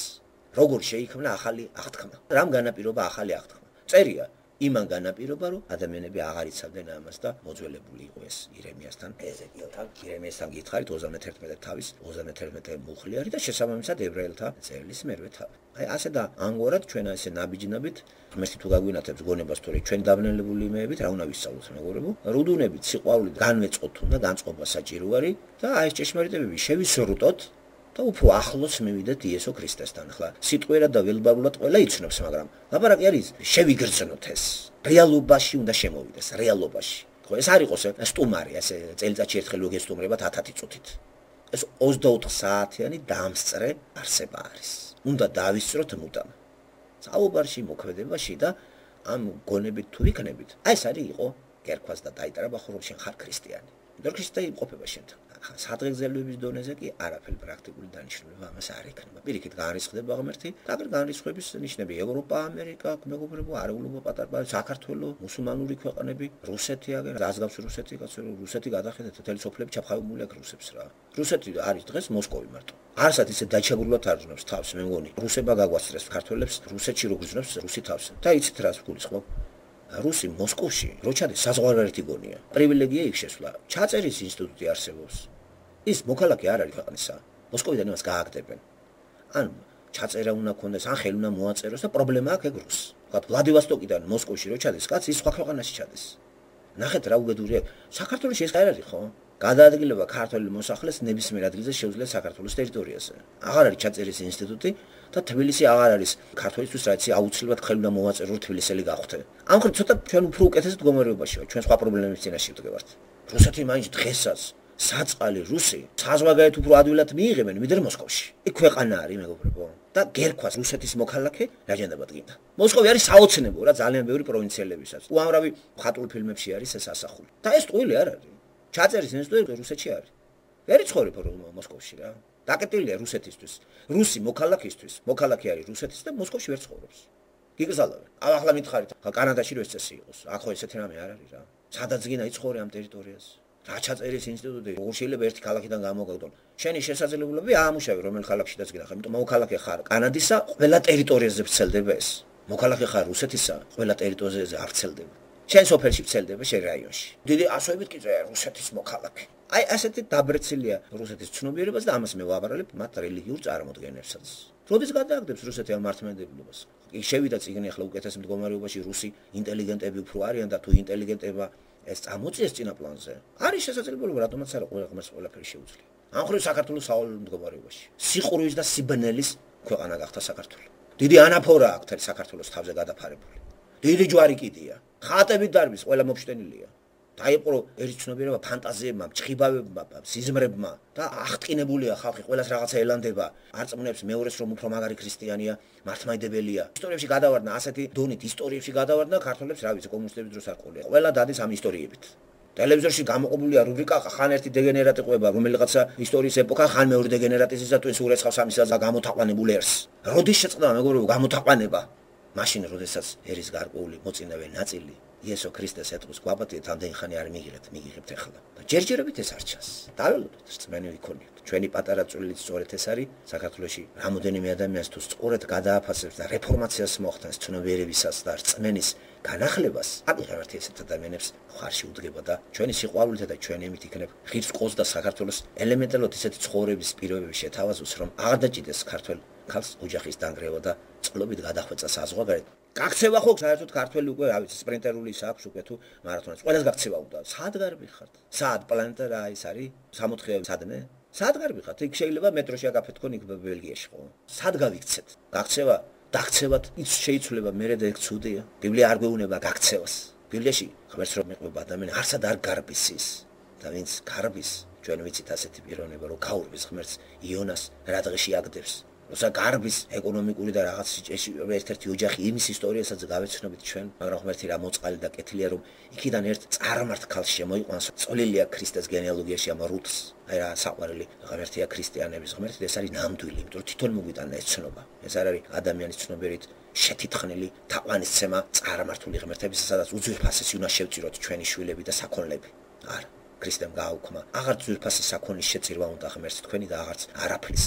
როგორ შეიქმნა ახალი აღთქმა? რამ განაპირობა ახალი აღთქმა? წერია იმან განაპირობა, რომ ადამიანები აღარ იცავდნენ ამას და მოძველებული იყო ეს ირემიასთან, ეზეკიელთან, ირემიასთან გითხარით ოცდამეთერთმეტე თავის, ოცდამეთერთმეტე მუხლი არის და შესაბამისად ებრაელთა წერილის მერვე თავი. აი ასე და ამგვარად ჩვენ ესე ნაბიჯნებით, ღმერთი თუ გაგვინათებს გონებას, თორე ჩვენ დაბნელებული იმეებით რა უნდა ვისწავლოთ მეგობრებო? რუდუნებით, სიყვარულით განვეწყოთ უნდა განწყობა საჭირო არის და აი ეს ჭეშმარიტებები შევისრუტოთ და უფრო ახლოს მივიდეთ იესო ქრისტესთან. ახლა სიტყვერად და ველბარულად ყველა იცნობს, მაგრამ ლაპარაკი არის შევიგრძნოთ ეს. რეალობაში უნდა შემოვიდეს, რეალობაში. ხო, ეს არ იყოს სტუმარი, ასე წელიწადში ერთხელ ვეგესტუმრებათ ათათი წუთით. ეს ოცდაოთხ საათიანი დამსწრე არსება არის. უნდა დავისწროთ მუდამ. საუბარში, მოქმედებაში და ამ გონებით თუ იქნებით. აი ეს არის იყო კერქვას და დაიტრაბა ხო რომ შენ ხარ ქრისტიანი. იმიტომ ქრისტე იმყოფება შენთან. სადღეგრძელოების დონეზე კი არაფერი პრაქტიკული დანიშნულება ამას არ ექნება. პირიქით განრისხდება ღმერთი და აგერ განრისხების ნიშნები ევროპა, ამერიკა, მეგობრებო, არეულობა პატარა, საქართველოს, მუსულმანური ქვეყნები, რუსეთი აგერ, რაზგავს რუსეთი, კაცო, რუსეთი გადახედეთ, მთელი სოფლები ჩაფხავებული აქვს რუსებს რა. რუსეთი არის დღეს მოსკოვი მარტო. არსად ისე დაჩაგრულად არზნობს თავს, მე მგონი. რუსება გაგვასწრეს ქართველებს რუსეთში რო გზნობს რუსი თავს. და იცით რას გულისხმობ? რუსი მოსკოვში რო ჩადეს საზღვარგარეთი გონია. პრივილეგია იქ შესვლა. ჩაწერის ინსტიტუტი არსებობს. ის მოქალაქე არ არის ქვეყნისა. მოსკოვიდან იმას გააგდებენ. ან ჩაწერა უნდა ქონდეს, ან ხელი უნდა მოაწეროს და პრობლემა აქვს ეგ რუსს. ვთქვათ, ვლადივოსტოკიდან მოსკოვში რო ჩადეს, კაცი ის სხვა ქვეყანაში ჩადეს. ნახეთ რა უბედურია. საქართველოში ეს არ არის ხო? გადაადგილება ქართველი მოსახლეს ნებისმიერ ადგილზე შეუძლია საქართველოს ტერიტორიაზე. აღარ არის ჩაწერის ინსტიტუტი და თბილისი აღარ არის ქართველისთვის რაც აუცილებლად ხელი უნდა მოვაწერო თბილისელი გახვდე. ამ ხრი ცოტა ჩვენ უფრო უკეთეს მდგომარეობაში ვართ, ჩვენ სხვა პრობლემების წინაშე ვდგევართ. რუსეთი მაინც დღესაც საწყალი რუსი საზღვარგარეთ უფრო ადვილად მიიღებენ ვიდრე მოსკოვში. იქ ქვეყანა არის მეგობრებო და გერქვას რუსეთის მოქალაქე რაჯანდება დგინდა. მოსკოვი არის საოცნებო რა ძალიან ბევრი პროვინციელებისაც. უამრავი მხატვრულ ფილმებში არის ეს ასახული. და ეს ტყუილი არ არის. ჩაწერის ინსტიტუტი რუსეთში არის. ვერ იცხოვრებ მოსკოვში რა. დაკეტილია რუსეთისთვის. რუსი მოქალაქისთვის, მოქალაქე არის რუსეთის და მოსკოვში ვერ ცხოვრობს. გიგზავნებენ. ახლა მითხარით, კანადაში რო ეს წესი იყოს. აქ ხო ესეთი რამე არ არის რა. სადაც გინდა იცხოვრე ამ ტერიტორიაზე. რა ჩაწერის ინსტიტუტი, როგორ შეიძლება ერთი ქალაქიდან გამოგაგდონ. შენი შესაძლებლობები აამუშავე რომელ ქალაქშიც გინდა, იმიტომ მოქალაქე ხარ კანადისა, ყველა ტერიტორიაზე ვრცელდება ეს. მოქალაქე ხარ რუსეთისა, ყველა ტერიტორიაზე არ ვრცელდება. შენ სოფელში ვრცელდება შენ რაიონში. დიდი ასოებით კი წერია რუსეთის მოქალაქე. აი ასეთი დაბრეცილია რუსეთის ცნობიერებას და ამას მე ვაბარალებ მათ რელიგიურ წარმოდგენებსაც. როდის გადააგდებს რუსეთი ამ მართლმადიდებლობას? იქ შევიდა წიგნი ახლა უკეთეს მდგომარეობაში რუსი ინტელიგენტები უფრო არიან და თუ ინტელიგენტება ეს წამოწიეს წინა პლანზე. არის შესაძლებლობა რატომაც არა ყველა ღმერთს ყველაფერი შეუძლია. ამ ხრივ საქართველოს სავალალო მდგომარეობაში. სიყურვის და სიბნელის ქვეყანა გახდა საქართველო. დიდი ანაფორა აქვს საქართველოს თავზე გადაფარებული. დიდი ჯვარი კიდია. ხატებით დარბის ყველა მოფშტენილია. დაიპყრო ერთი ცნობიერება ფანტაზიებმა, ჭხიბავებმა, სიზმრებმა და აღტკინებულია ხალხი, ყველას რაღაცა ელანდება. არწმუნებს მეორეს რომ უფრო მაგარი ქრისტიანია, მართლმადიდებელია. ისტორიებში გადავარდნა ასეთი დონით, ისტორიებში გადავარდნა ქართველებს, რა ვიცი, კომუნისტების დროს არ ყოლია. ყველა დადის ამ ისტორიებით. ტელევიზორში გამოყენებულია რუბრიკა ხან ერთი დეგენერატი ყვება, რომელიღაცა ისტორიის ეპოქა, ხან მეორე დეგენერატის და twins ურეცხავს ამისას და გამოთაყვანებული ერს. როდის შეწყდა მეგობრებო გამოთაყვანება? მაშინ როდესაც ერის გარკვეული მოწინავე ნაწილი იესო ქრისტეს ეტყვის გვაბატიეთ ამდენი ხანი არ მიგიღეთ, მიგიღებთ ახლა. და ჯერჯერობით ეს არ ჩანს. დაველოდოთ, რწმენი ვიქონიოთ. ჩვენი პატარა წვლილით სწორედ ეს არის საქართველოში რამოდენიმე ადამიანს თუ სწორედ გადააფასებს და რეფორმაციას მოახდენს ცნობიერებისას და რწმენის განახლებას, აკიღებთ ესეთ ადამიანებს ხარში უდგება და ჩვენი სიყვარულითა და ჩვენი ემით იქნებ ღირს ყოს და საქართველოს ელემენტარულად ისეთი ცხოვრების პირობები შეთავაზოს, რომ აღარ დაჭიდეს ქართველ ქალს ოჯახის დანგრევა და წყლობით გადახვეწა საზღვარგარეთ. გაქცევა ხო საერთოდ ქართველი უკვე რა ვიცი სპრინტერული აქვს უკვე თუ მარათონას ყველას გაქცევა უნდა სად გარბი ხართ სად პლანეტა რა ის არის სამოთხე სადმე სად გარბი ხართ იქ შეიძლება მეტროში აგაფეთქონ იქ ბელგიაში ხო სად გავიქცეთ გაქცევა დაქცევათ ის შეიცვლება მე და ეგ ცუდია ბიბლია არ გვეუბნება გაქცევას ბიბლიაში ღმერთს რომ მეყვება ადამიანი არსად არ გარბის ის და ვინც გარბის ჩვენ ვიცით ასეთი პიროვნება რომ გაურბის ღმერთს იონას რა დღეში აგდებს როცა გარბის ეკონომიკური და რაღაც ერთ-ერთი ოჯახი იმის ისტორიასაც გავეცნობით ჩვენ, მაგრამ ღმერთი რა მოწყალი და კეთილია რომ იქიდან ერთ წარმართ ქალს შემოიყვანს, წვლილია ქრისტეს გენეალოგიაში ამ რუთს, აი რა საყვარელი ღმერთია ქრისტიანების ღმერთი, ეს არის ნამდვილი, იმიტომ რომ თვითონ მოგვიტანა ეს ცნობა. ეს არ არის ადამიანის ცნობიერით შეთითხნილი თაყვანისცემა წარმართული ღმერთების, სადაც უძვირფასესი უნდა შევწიროთ ჩვენი შვილები და საქონლები. არა, ქრისტემ გააუქმა, აღარ ძვირფასი საქონლის შეწირვა უნდა ღმერთს თქვენი და აღარც არაფრის.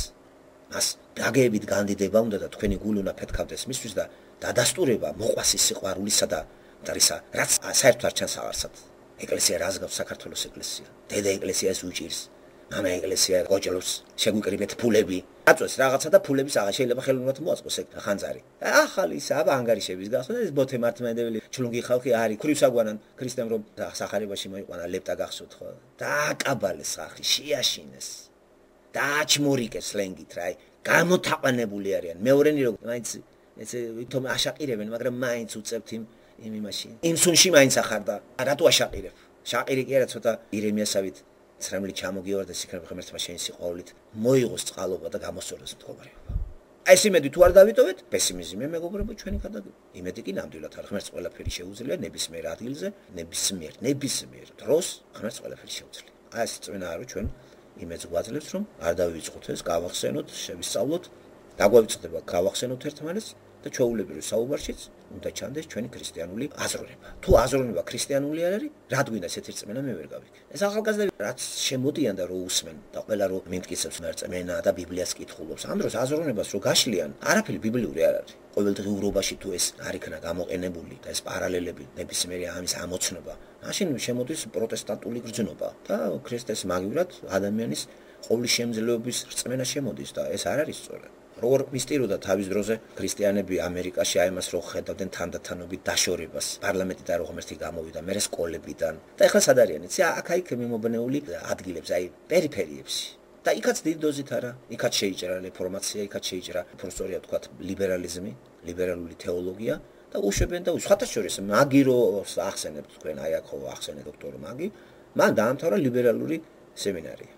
მას დაგებით განდიდება უნდა და თქვენი გული უნდა ფეთქავდეს მისთვის და დადასტურება მოყვას ის სიყვარულისა და დარისა რაც საერთოდ არ ჩანს აღარსად ეკლესია რას გავს საქართველოს ეკლესია დედა ეკლესიას უჭირს მამა ეკლესია გოჭლობს შეგვიკრიბეთ ფულები აწვეს რაღაცა და ფულების აღა შეიძლება ხელოვნურად მოაწყოს ეგ ხანძარი ახალი აბა ანგარიშების გახსნა ეს ბოთე მართლმადიდებელი ჩლუნგი ხალხი არის ქრივსაგვანან ქრისტემ რომ სახარებაში მოიყვანა ლებტა გახსოვთ ხო და აკაბალეს ხალხი შეაშინეს დააჩმორიკეს ლენგით რა გამოთაყვანებული არიან მეორენი რომ მაინც ესე თომ აშაყირებენ მაგრამ მაინც უწევთ იმ იმ იმაში იმ სუნში მაინც ახარდა რატო აშაყირებ შაყირი კი არა ცოტა ირემიასავით ცრემლი ჩამოგიوارდეს იქნებ ღმერთმა შენი სიყვარულით მოიღოს წყალობა და გამოსწორდეს მდგომარეობა აი ეს იმედი თუ არ დავიტოვეთ პესიმიზმი მეგობრებო ჩვენი გადაგება იმედი კი ნამდვილად არ ღმერთს ყველაფერი შეუძლია ნებისმიერ ადგილზე ნებისმიერ ნებისმიერ დროს ღმერთს ყველაფერი შეუძლია აი ეს წვენა არის ჩვენ იმედს გვაძლევს რომ არ დავივიწყოთ ეს გავახსენოთ შევისწავლოთ დაგვავიწყდება გავახსენოთ ერთმანეთს და ჩვეულებრივ საუბარშიც უნდა ჩანდეს ჩვენი ქრისტიანული აზროვნება თუ აზროვნება ქრისტიანული არ არის რა გვინდა ესეთი რწმენა მე ვერ გავიქ ეს ახალგაზრდები რაც შემოდიან და რო უსმენ და ყველა რო მიმტკიცებს რწმენა და ბიბლიას კითხულობს ამ დროს აზროვნებას რო გაშლიან არაფერი ბიბლიური არ არის ყოველდღიურობაში თუ ეს არ იქნა გამოყენებული და ეს პარალელები ნებისმიერი ამის ამოცნობა მაშინ შემოდის პროტესტანტული გრძნობა და ქრისტეს მაგივრად ადამიანის ყოვლისშემძლეობის რწმენა შემოდის და ეს არ არის სწორი როგორ მისტიროდა თავის დროზე ქრისტიანები ამერიკაში აი მას რო ხედავდნენ თანდათანობით დაშორებას პარლამენტიდან რო ღმერთი გამოვიდა მე სკოლებიდან და ეხლა სად არიან იცი აქ-აქ მიმობნეული ადგილებს აი პერიფერიებში და იქაც დიდი დოზით არა იქაც შეიჭრა რეფორმაცია იქაც შეიჭრა პროფესორია თქვათ ლიბერალიზმი ლიბერალური თეოლოგია და უშვებენ და სხვათა შორის მაგი რო ახსენებთ თქვენ აი აქ ხო ახსენეთ დოქტორ მაგი მან დაამთავრა ლიბერალური სემინარია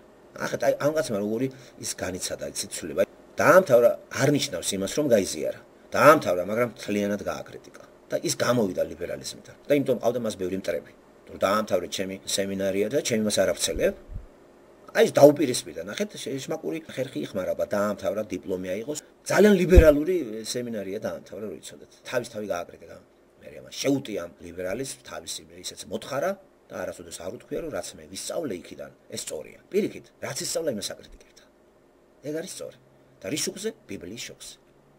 ახლა აი ამ კაცმა როგორი ის განიცადა ციცულება დაამთავრა არ ნიშნავს იმას რომ გაიზიარა დაამთავრა მაგრამ თლიანად გააკრიტიკა და ის გამოვიდა ლიბერალიზმიდან და იმიტომ ყავდა მას ბევრი მტრები რომ დაამთავრე ჩემი სემინარია და ჩემი მას არ ავცელებ აი ეს დაუპირისპირდა, ნახეთ, შმაკური ხერხი იხმარება, დაამთავრა, დიპლომი აიღოს. ძალიან ლიბერალური სემინარია დაამთავრა, რო იცოდეთ. თავის თავი გააკრიტიკა. მე ამას შეუტია ლიბერალის თავისი ისეც მოთხარა და არასოდეს არ უთქვია, რომ რაც მე ვისწავლე იქიდან, ეს სწორია. პირიქით, რაც ისწავლა, იმას აკრიტიკებდა. ეგ არის სწორი. და რის შუქზე? ბიბლიის შუქზე.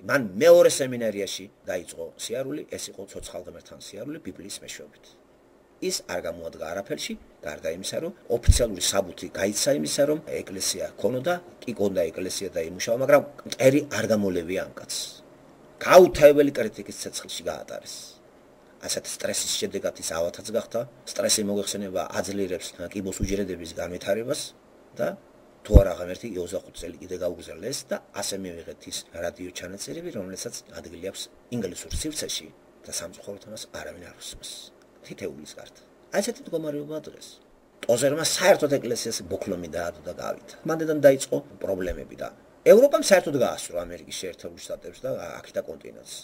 მან მეორე სემინარიაში დაიწყო სიარული, ეს იყო ცოცხალ ღმერთთან სიარული ბიბლიის მეშვეობით. ის არ გამოადგა არაფერში, გარდა იმისა, რომ ოფიციალური საბუთი გაიცა იმისა, რომ ეკლესია ქონოდა, კი ქონდა ეკლესია და იმუშავა, მაგრამ მტერი არ გამოლევია ამ კაცს. გაუთავებელი კრიტიკის ცეცხლში გაატარეს. ასეთ სტრესის შედეგად ის ავათაც გახდა, სტრესი მოიხსენება აძლიერებს კიბოს უჯრედების განვითარებას და თუ არა ღმერთი ოცდახუთი წელი კიდე გაუგზავნეს და ასე მივიღეთ ის რადიო ჩანაწერები, რომელსაც ადგილი აქვს ინგლისურ სივრცეში და სამწუხაროდ ამას არავინ არ უსმენს. თითეულის გარდა. აი ესეთი მდგომარეობაა დღეს. ტოზერმა საერთოდ ეკლესიას ბოქლომი დაადო და გავიდა. მანდედან დაიწყო პრობლემები და ევროპამ საერთოდ გაასწრო ამერიკის შეერთებულ შტატებს და აქეთ კონტინენტს.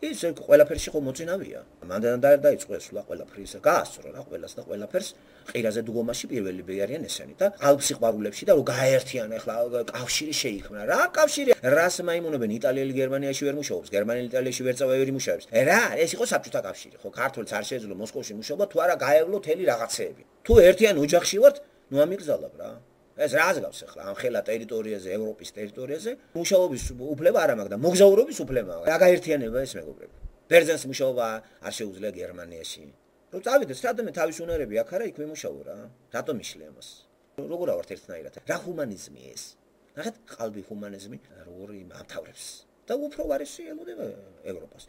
ის ყველაფერში ხო მოწინავია. მანდედან დაიწყო ეს ყველაფერი ისე გაასწრო რა ყველას და ყველაფერს ყირაზე დგომაში პირველები არიან ესენი და ალპსიყვარულებში და რო გაერთიან ახლა კავშირი შეიქმნა. რა კავშირი? რას მაიმუნებენ იტალიელი გერმანიაში ვერ მუშაობს, გერმანელი იტალიაში ვერ წავა ვერ იმუშავებს. რა, ეს იყო საბჭოთა კავშირი, ხო, ქართველს არ შეეძლო მოსკოვში მუშაობა, თუ არა გაევლო თელი რაღაცეები. თუ ერთიან ოჯახში ვართ, ნუ ამიგზავნებ რა. ეს რას გავს ახლა ამ ხელა ტერიტორიაზე, ევროპის ტერიტორიაზე, მუშაობის უფლება არ მაქვს და მოგზაურობის უფლება. რა გაერთიანება ეს მეგობრებო? ბერძენს მუშაობა არ შეუძლია გერმანიაში. რო წავიდეს, რატომ თავის უნარები აქ არა იქ ვიმუშაო რა? რატომ იშლე ამას? როგორ ავართ ერთნაირად? რა ჰუმანიზმი ეს? ნახეთ, ყალბი ჰუმანიზმი როგორ ამთავრებს და უფრო ვარისი ელოდება ევროპას.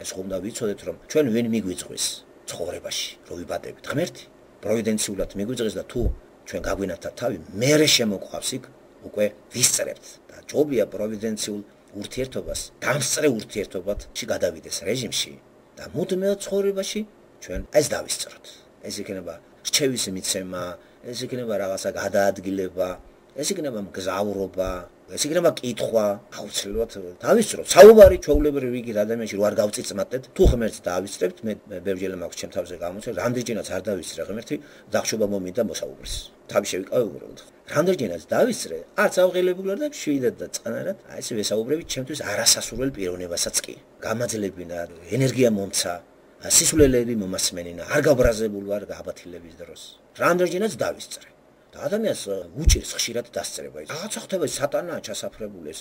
ეს ხომ და ვიცოდეთ რომ ჩვენ ვინ მიგვიწვის ცხოვრებაში, რო ვიბადებით ღმერთი, პროვიდენციულად მიგვიწვის და თუ ჩვენ გაგვინათა თავი, მერე შემოყვავს იქ უკვე ვისწრებთ და ჯობია პროვიდენციულ ურთიერთობას, გამსწრე ურთიერთობათში გადავიდეს რეჟიმში და მუდმივ ცხოვრებაში ჩვენ ეს დავისწროთ. ეს იქნება რჩევის მიცემა, ეს იქნება რაღაცა გადაადგილება, ეს იქნება მგზავრობა, ეს იქნება კითხვა, აუცილებლად დავისწროთ. საუბარი ჩვეულებრივ რიგით ადამიანში რო არ გავწიწმატეთ, თუ ღმერთს დავისწრებთ, მე ბევრჯერ მაქვს ჩემ თავზე გამოცემ, რამდენჯერაც არ დავისწრე ღმერთი, დახშობა მომიდა მოსაუბრის. თავი შევიკავე უბრალოდ. რამდენჯერაც დავისწრე, არც ავღელებული ვარ და შვიდად და წყნარად, აი ესე ვესაუბრები ჩემთვის არასასურველ პიროვნებასაც კი. გამაძლებინა, ენერგია მომცა, სისულელები მომასმენინა, არ გაბრაზებული ვარ გაბათილების დროს. რამდენჯერაც დავისწრე. და ადამიანს უჭირს ხშირად დასწრება. რაღაცა ხდება სატანაა ჩასაფრებული ეს.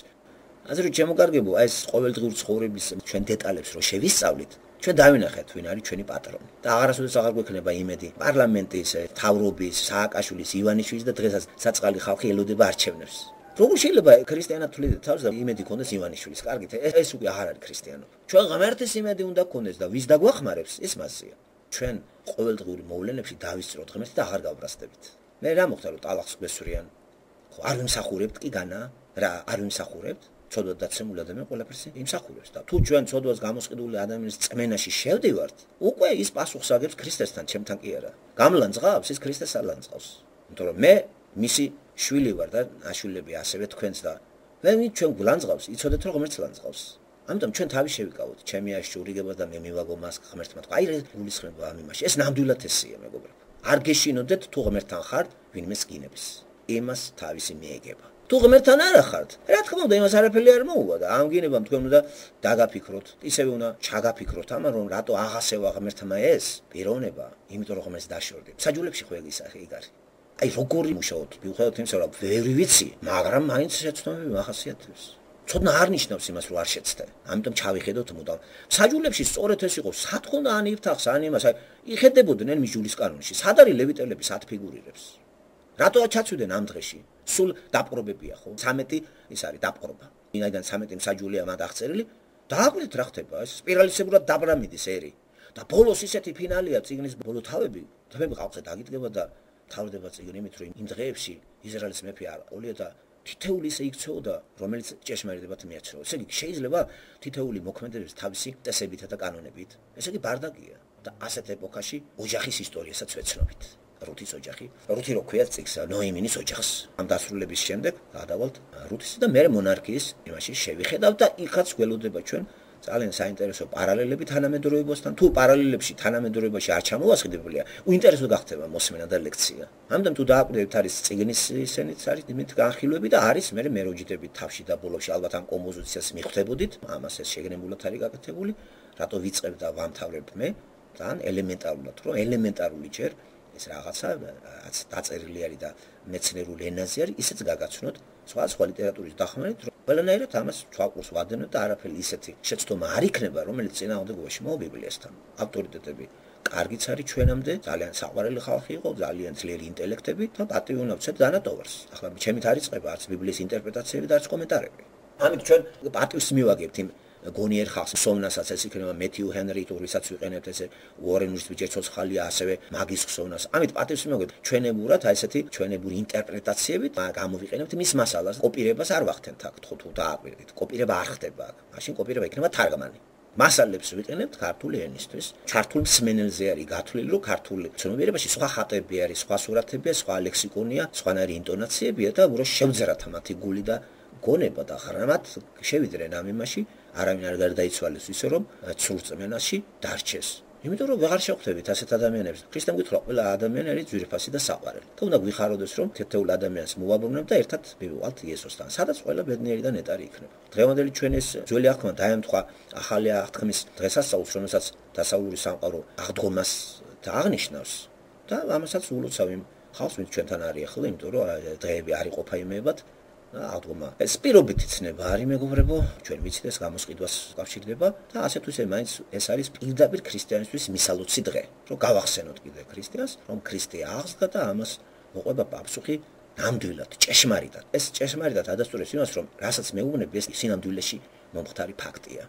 ასე რომ შემოგარგებო, აი ეს ყოველდღიური ცხოვრების ჩვენ დეტალებს რო შევისწავლით, ჩვენ დავინახეთ ვინ არის ჩვენი პატრონი. და აღარასოდეს აღარ გვექნება იმედი პარლამენტის, თავრობის, სააკაშვილის, ივანიშვილის და დღესაც საწყალი ხალხი ელოდება არჩევნებს. როგორ შეიძლება ქრისტიანად თვლიდეთ თავს და იმედი ქონდეს ივანიშვილის? კარგით, ეს უკვე აღარ არის ქრისტიანობა. ჩვენ ღმერთის იმედი უნდა გქონდეს და ვის დაგვახმარებს, ეს მასია. ჩვენ ყოველდღიური მოვლენებში დავისწროთ ღმერთს და აღარ გავბრაზდებით. მე რა მოხდა რომ ტალახს გვესვრიან? ხო, არ ვიმსახურებთ კი განა? რა, არ ვიმსახურებთ? ცოდვა დაცემული ადამიანი ყველაფერს იმსახურებს და თუ ჩვენ ცოდვას გამოსყიდული ადამიანის წმენაში შევდივართ, უკვე ის პასუხს აგებს ქრისტესთან, ჩემთან კი არა. გამლანძღავს ის ქრისტეს არ ლანძღავს. იმიტომ რომ მე მისი შვილი ვარ და აშვილები ასევე თქვენს და მე ჩვენ გლანძღავს, იცოდეთ რომ ღმერთს ლანძღავს. ამიტომ ჩვენ თავი შევიკავოთ, ჩემი აშშურიგება და მე მივაგო მას ღმერთმა თქვა. აი გულისხმება ამ იმაში. ეს ნამდვილად ესია მეგობრებო. არ გეშინოდეთ თუ ღმერთთან ხართ, ვინმე სკინებს. იმას თავისი მიეგება. თუ ღმერთთან არ ხართ, რა თქმა უნდა, იმას არაფერი არ მოუვა და ამ გინებამ თქვენ უნდა დაგაფიქროთ, ისევე უნდა ჩაგაფიქროთ ამან, რომ რატო აღასევა ღმერთმა ეს პიროვნება, იმიტომ რომ ღმერთს დაშორდებ. საჯულებში ხო ეგ იქ არის. აი როგორი მუშაობთ, მიუხედავად იმისა, რომ ვერი ვიცი, მაგრამ მაინც შეცდომები მახასიათებს. ცოდნა არ ნიშნავს იმას, რომ არ შეცდე. ამიტომ ჩავიხედოთ მუდამ. საჯულებში სწორედ ეს იყო, სათხონდა ან იფთახს, ან იმას, აი იხედებოდნენ მიჯულის კანონში. სად არის ლევიტელები სად ფიგურირებს? რატო ჩაცვდნენ ამ დღეში? სულ დაპყრობებია ხო? ცამეტი ის არის დაპყრობა. ვინაიდან ცამეტი მსაჯულია მათ აღწერილი, დააკვირდით რა ხდება, ეს სპირალისებურად დაბრამიდის ერი. და ბოლოს ისეთი ფინალია წიგნის ბოლო თავები, თმები ყავზე დაგიდგება და თავდება წიგნი იმით, რომ იმ დღეებში ისრაელის მეფე არ ყოლია და თითეული ისე იქცეოდა, რომელიც ჭეშმარიტებად მიეცევა. ესე იგი შეიძლება თითეული მოქმედებს თავისი წესებითა და კანონებით. ესე იგი ბარდაკია და ასეთ ეპოქაში ოჯახის ისტორიასაც ვეცნობით. რუთის ოჯახი, რუთი რო ქვია წიგს, ნოიმინის ოჯახს. ამ დასრულების შემდეგ გადავალთ რუთის და მე მონარქიის იმაში შევიხედავ და იქაც გველოდება ჩვენ ძალიან საინტერესო პარალელები თანამედროვეობასთან. თუ პარალელებში თანამედროვეობაში არ ჩამოვასყიდებულია, უინტერესო გახდება მოსმენა და ლექცია. ამიტომ თუ დააკვირდებით არის წიგნის ისენიც არის იმით განხილვები და არის მე მეროჯიდებით თავში და ბოლოში ალბათ ამ კომპოზიციას მიხვდებოდით. ამას ეს შეგნებულად არის გაკეთებული, რატო ვიწყებ და ვამთავრებ მე, ძალიან ელემენტარულად, რომ ელემენტარული ჯერ ეს რაღაცა რაც დაწერილი არის და მეცნიერულ ენაზე არის, ისეც გაგაცნოთ სხვა სხვა ლიტერატურის დახმარებით, რომ ყველანაირად ამას თვალყურს ვადევნოთ და არაფერი ისეთი შეცდომა არ იქნება, რომელიც წინააღმდეგობაში მოვა ბიბლიასთან. ავტორიტეტები კარგიც არის ჩვენამდე, ძალიან საყვარელი ხალხი იყო, ძალიან ძლიერი ინტელექტები და პატივი ვცეთ დანატოვარს. ახლა ჩემით არ იწყება არც ბიბლიის ინტერპრეტაციები და არც კომენტარები. ამით ჩვენ პატივს მივაგებთ იმ გონიერ ხალხს, სოვნასაც ეს იქნება მეთიუ ჰენრი, თურისაც ვიყენებთ ესე უორენის ბიჭი ცოცხალია, ასევე მაგის ხსოვნას. ამით პატივს მივაგებთ ჩვენებურად, აი ესეთი ჩვენებური ინტერპრეტაციებით გამოვიყენებთ მის მასალას. კოპირებას არ ვახდენთ აქ, თუ თუ დააკვირდით. კოპირება არ ხდება აქ. მაშინ კოპირება იქნება თარგმანი. მასალებს ვიყენებთ ქართული ენისთვის. ჩართულ მსმენელზე არის გათვლილი, რომ ქართული ცნობიერებაში სხვა ხატები არის, სხვა სურათებია, სხვა ლექსიკონია, სხვანაირი ინტონაციებია და უბრალოდ შევძერათ მათი გული და გონება და ხრამად შევიდრენ ამ იმაში. არავინ არ გარდაიცვალეს ისე რომ ცურწმენაში დარჩეს. იმიტომ რომ ვეღარ შევხვდებით ასეთ ადამიანებს. ქრისტემ გითხრა ყველა ადამიანი არის ძვირფასი და საყვარელი. და უნდა გვიხაროდეს რომ თეთრ ადამიანს მოვაბრუნებ და ერთად მივივალთ იესოსთან. სადაც ყველა ბედნიერი და ნეტარი იქნება. დღევანდელი ჩვენ ეს ძველი აღთქმა დაემთხვა ახალი აღთქმის დღესასწაულს, რომელსაც დასავლური სამყარო აღდგომას და აღნიშნავს. და ამასაც ულოცავ იმ ხალხს, ვინც ჩვენთან არის ახლა, იმიტომ რომ დღეები არ იყოფა იმებად. აღდგომა ეს პირობით იცნება არის მეგობრებო, ჩვენ ვიცით ეს გამოსყიდვას უკავშირდება და ასე თუ ისე მაინც ეს არის პირდაპირ ქრისტიანისთვის მისალოცი დღე, რომ გავახსენოთ კიდე ქრისტიანს, რომ ქრისტე აღსდგა და ამას მოყვება პასუხი ნამდვილად, ჭეშმარიტად. ეს ჭეშმარიტად ადასტურებს იმას, რომ რასაც მეუბნები ეს სინამდვილეში მომხდარი ფაქტია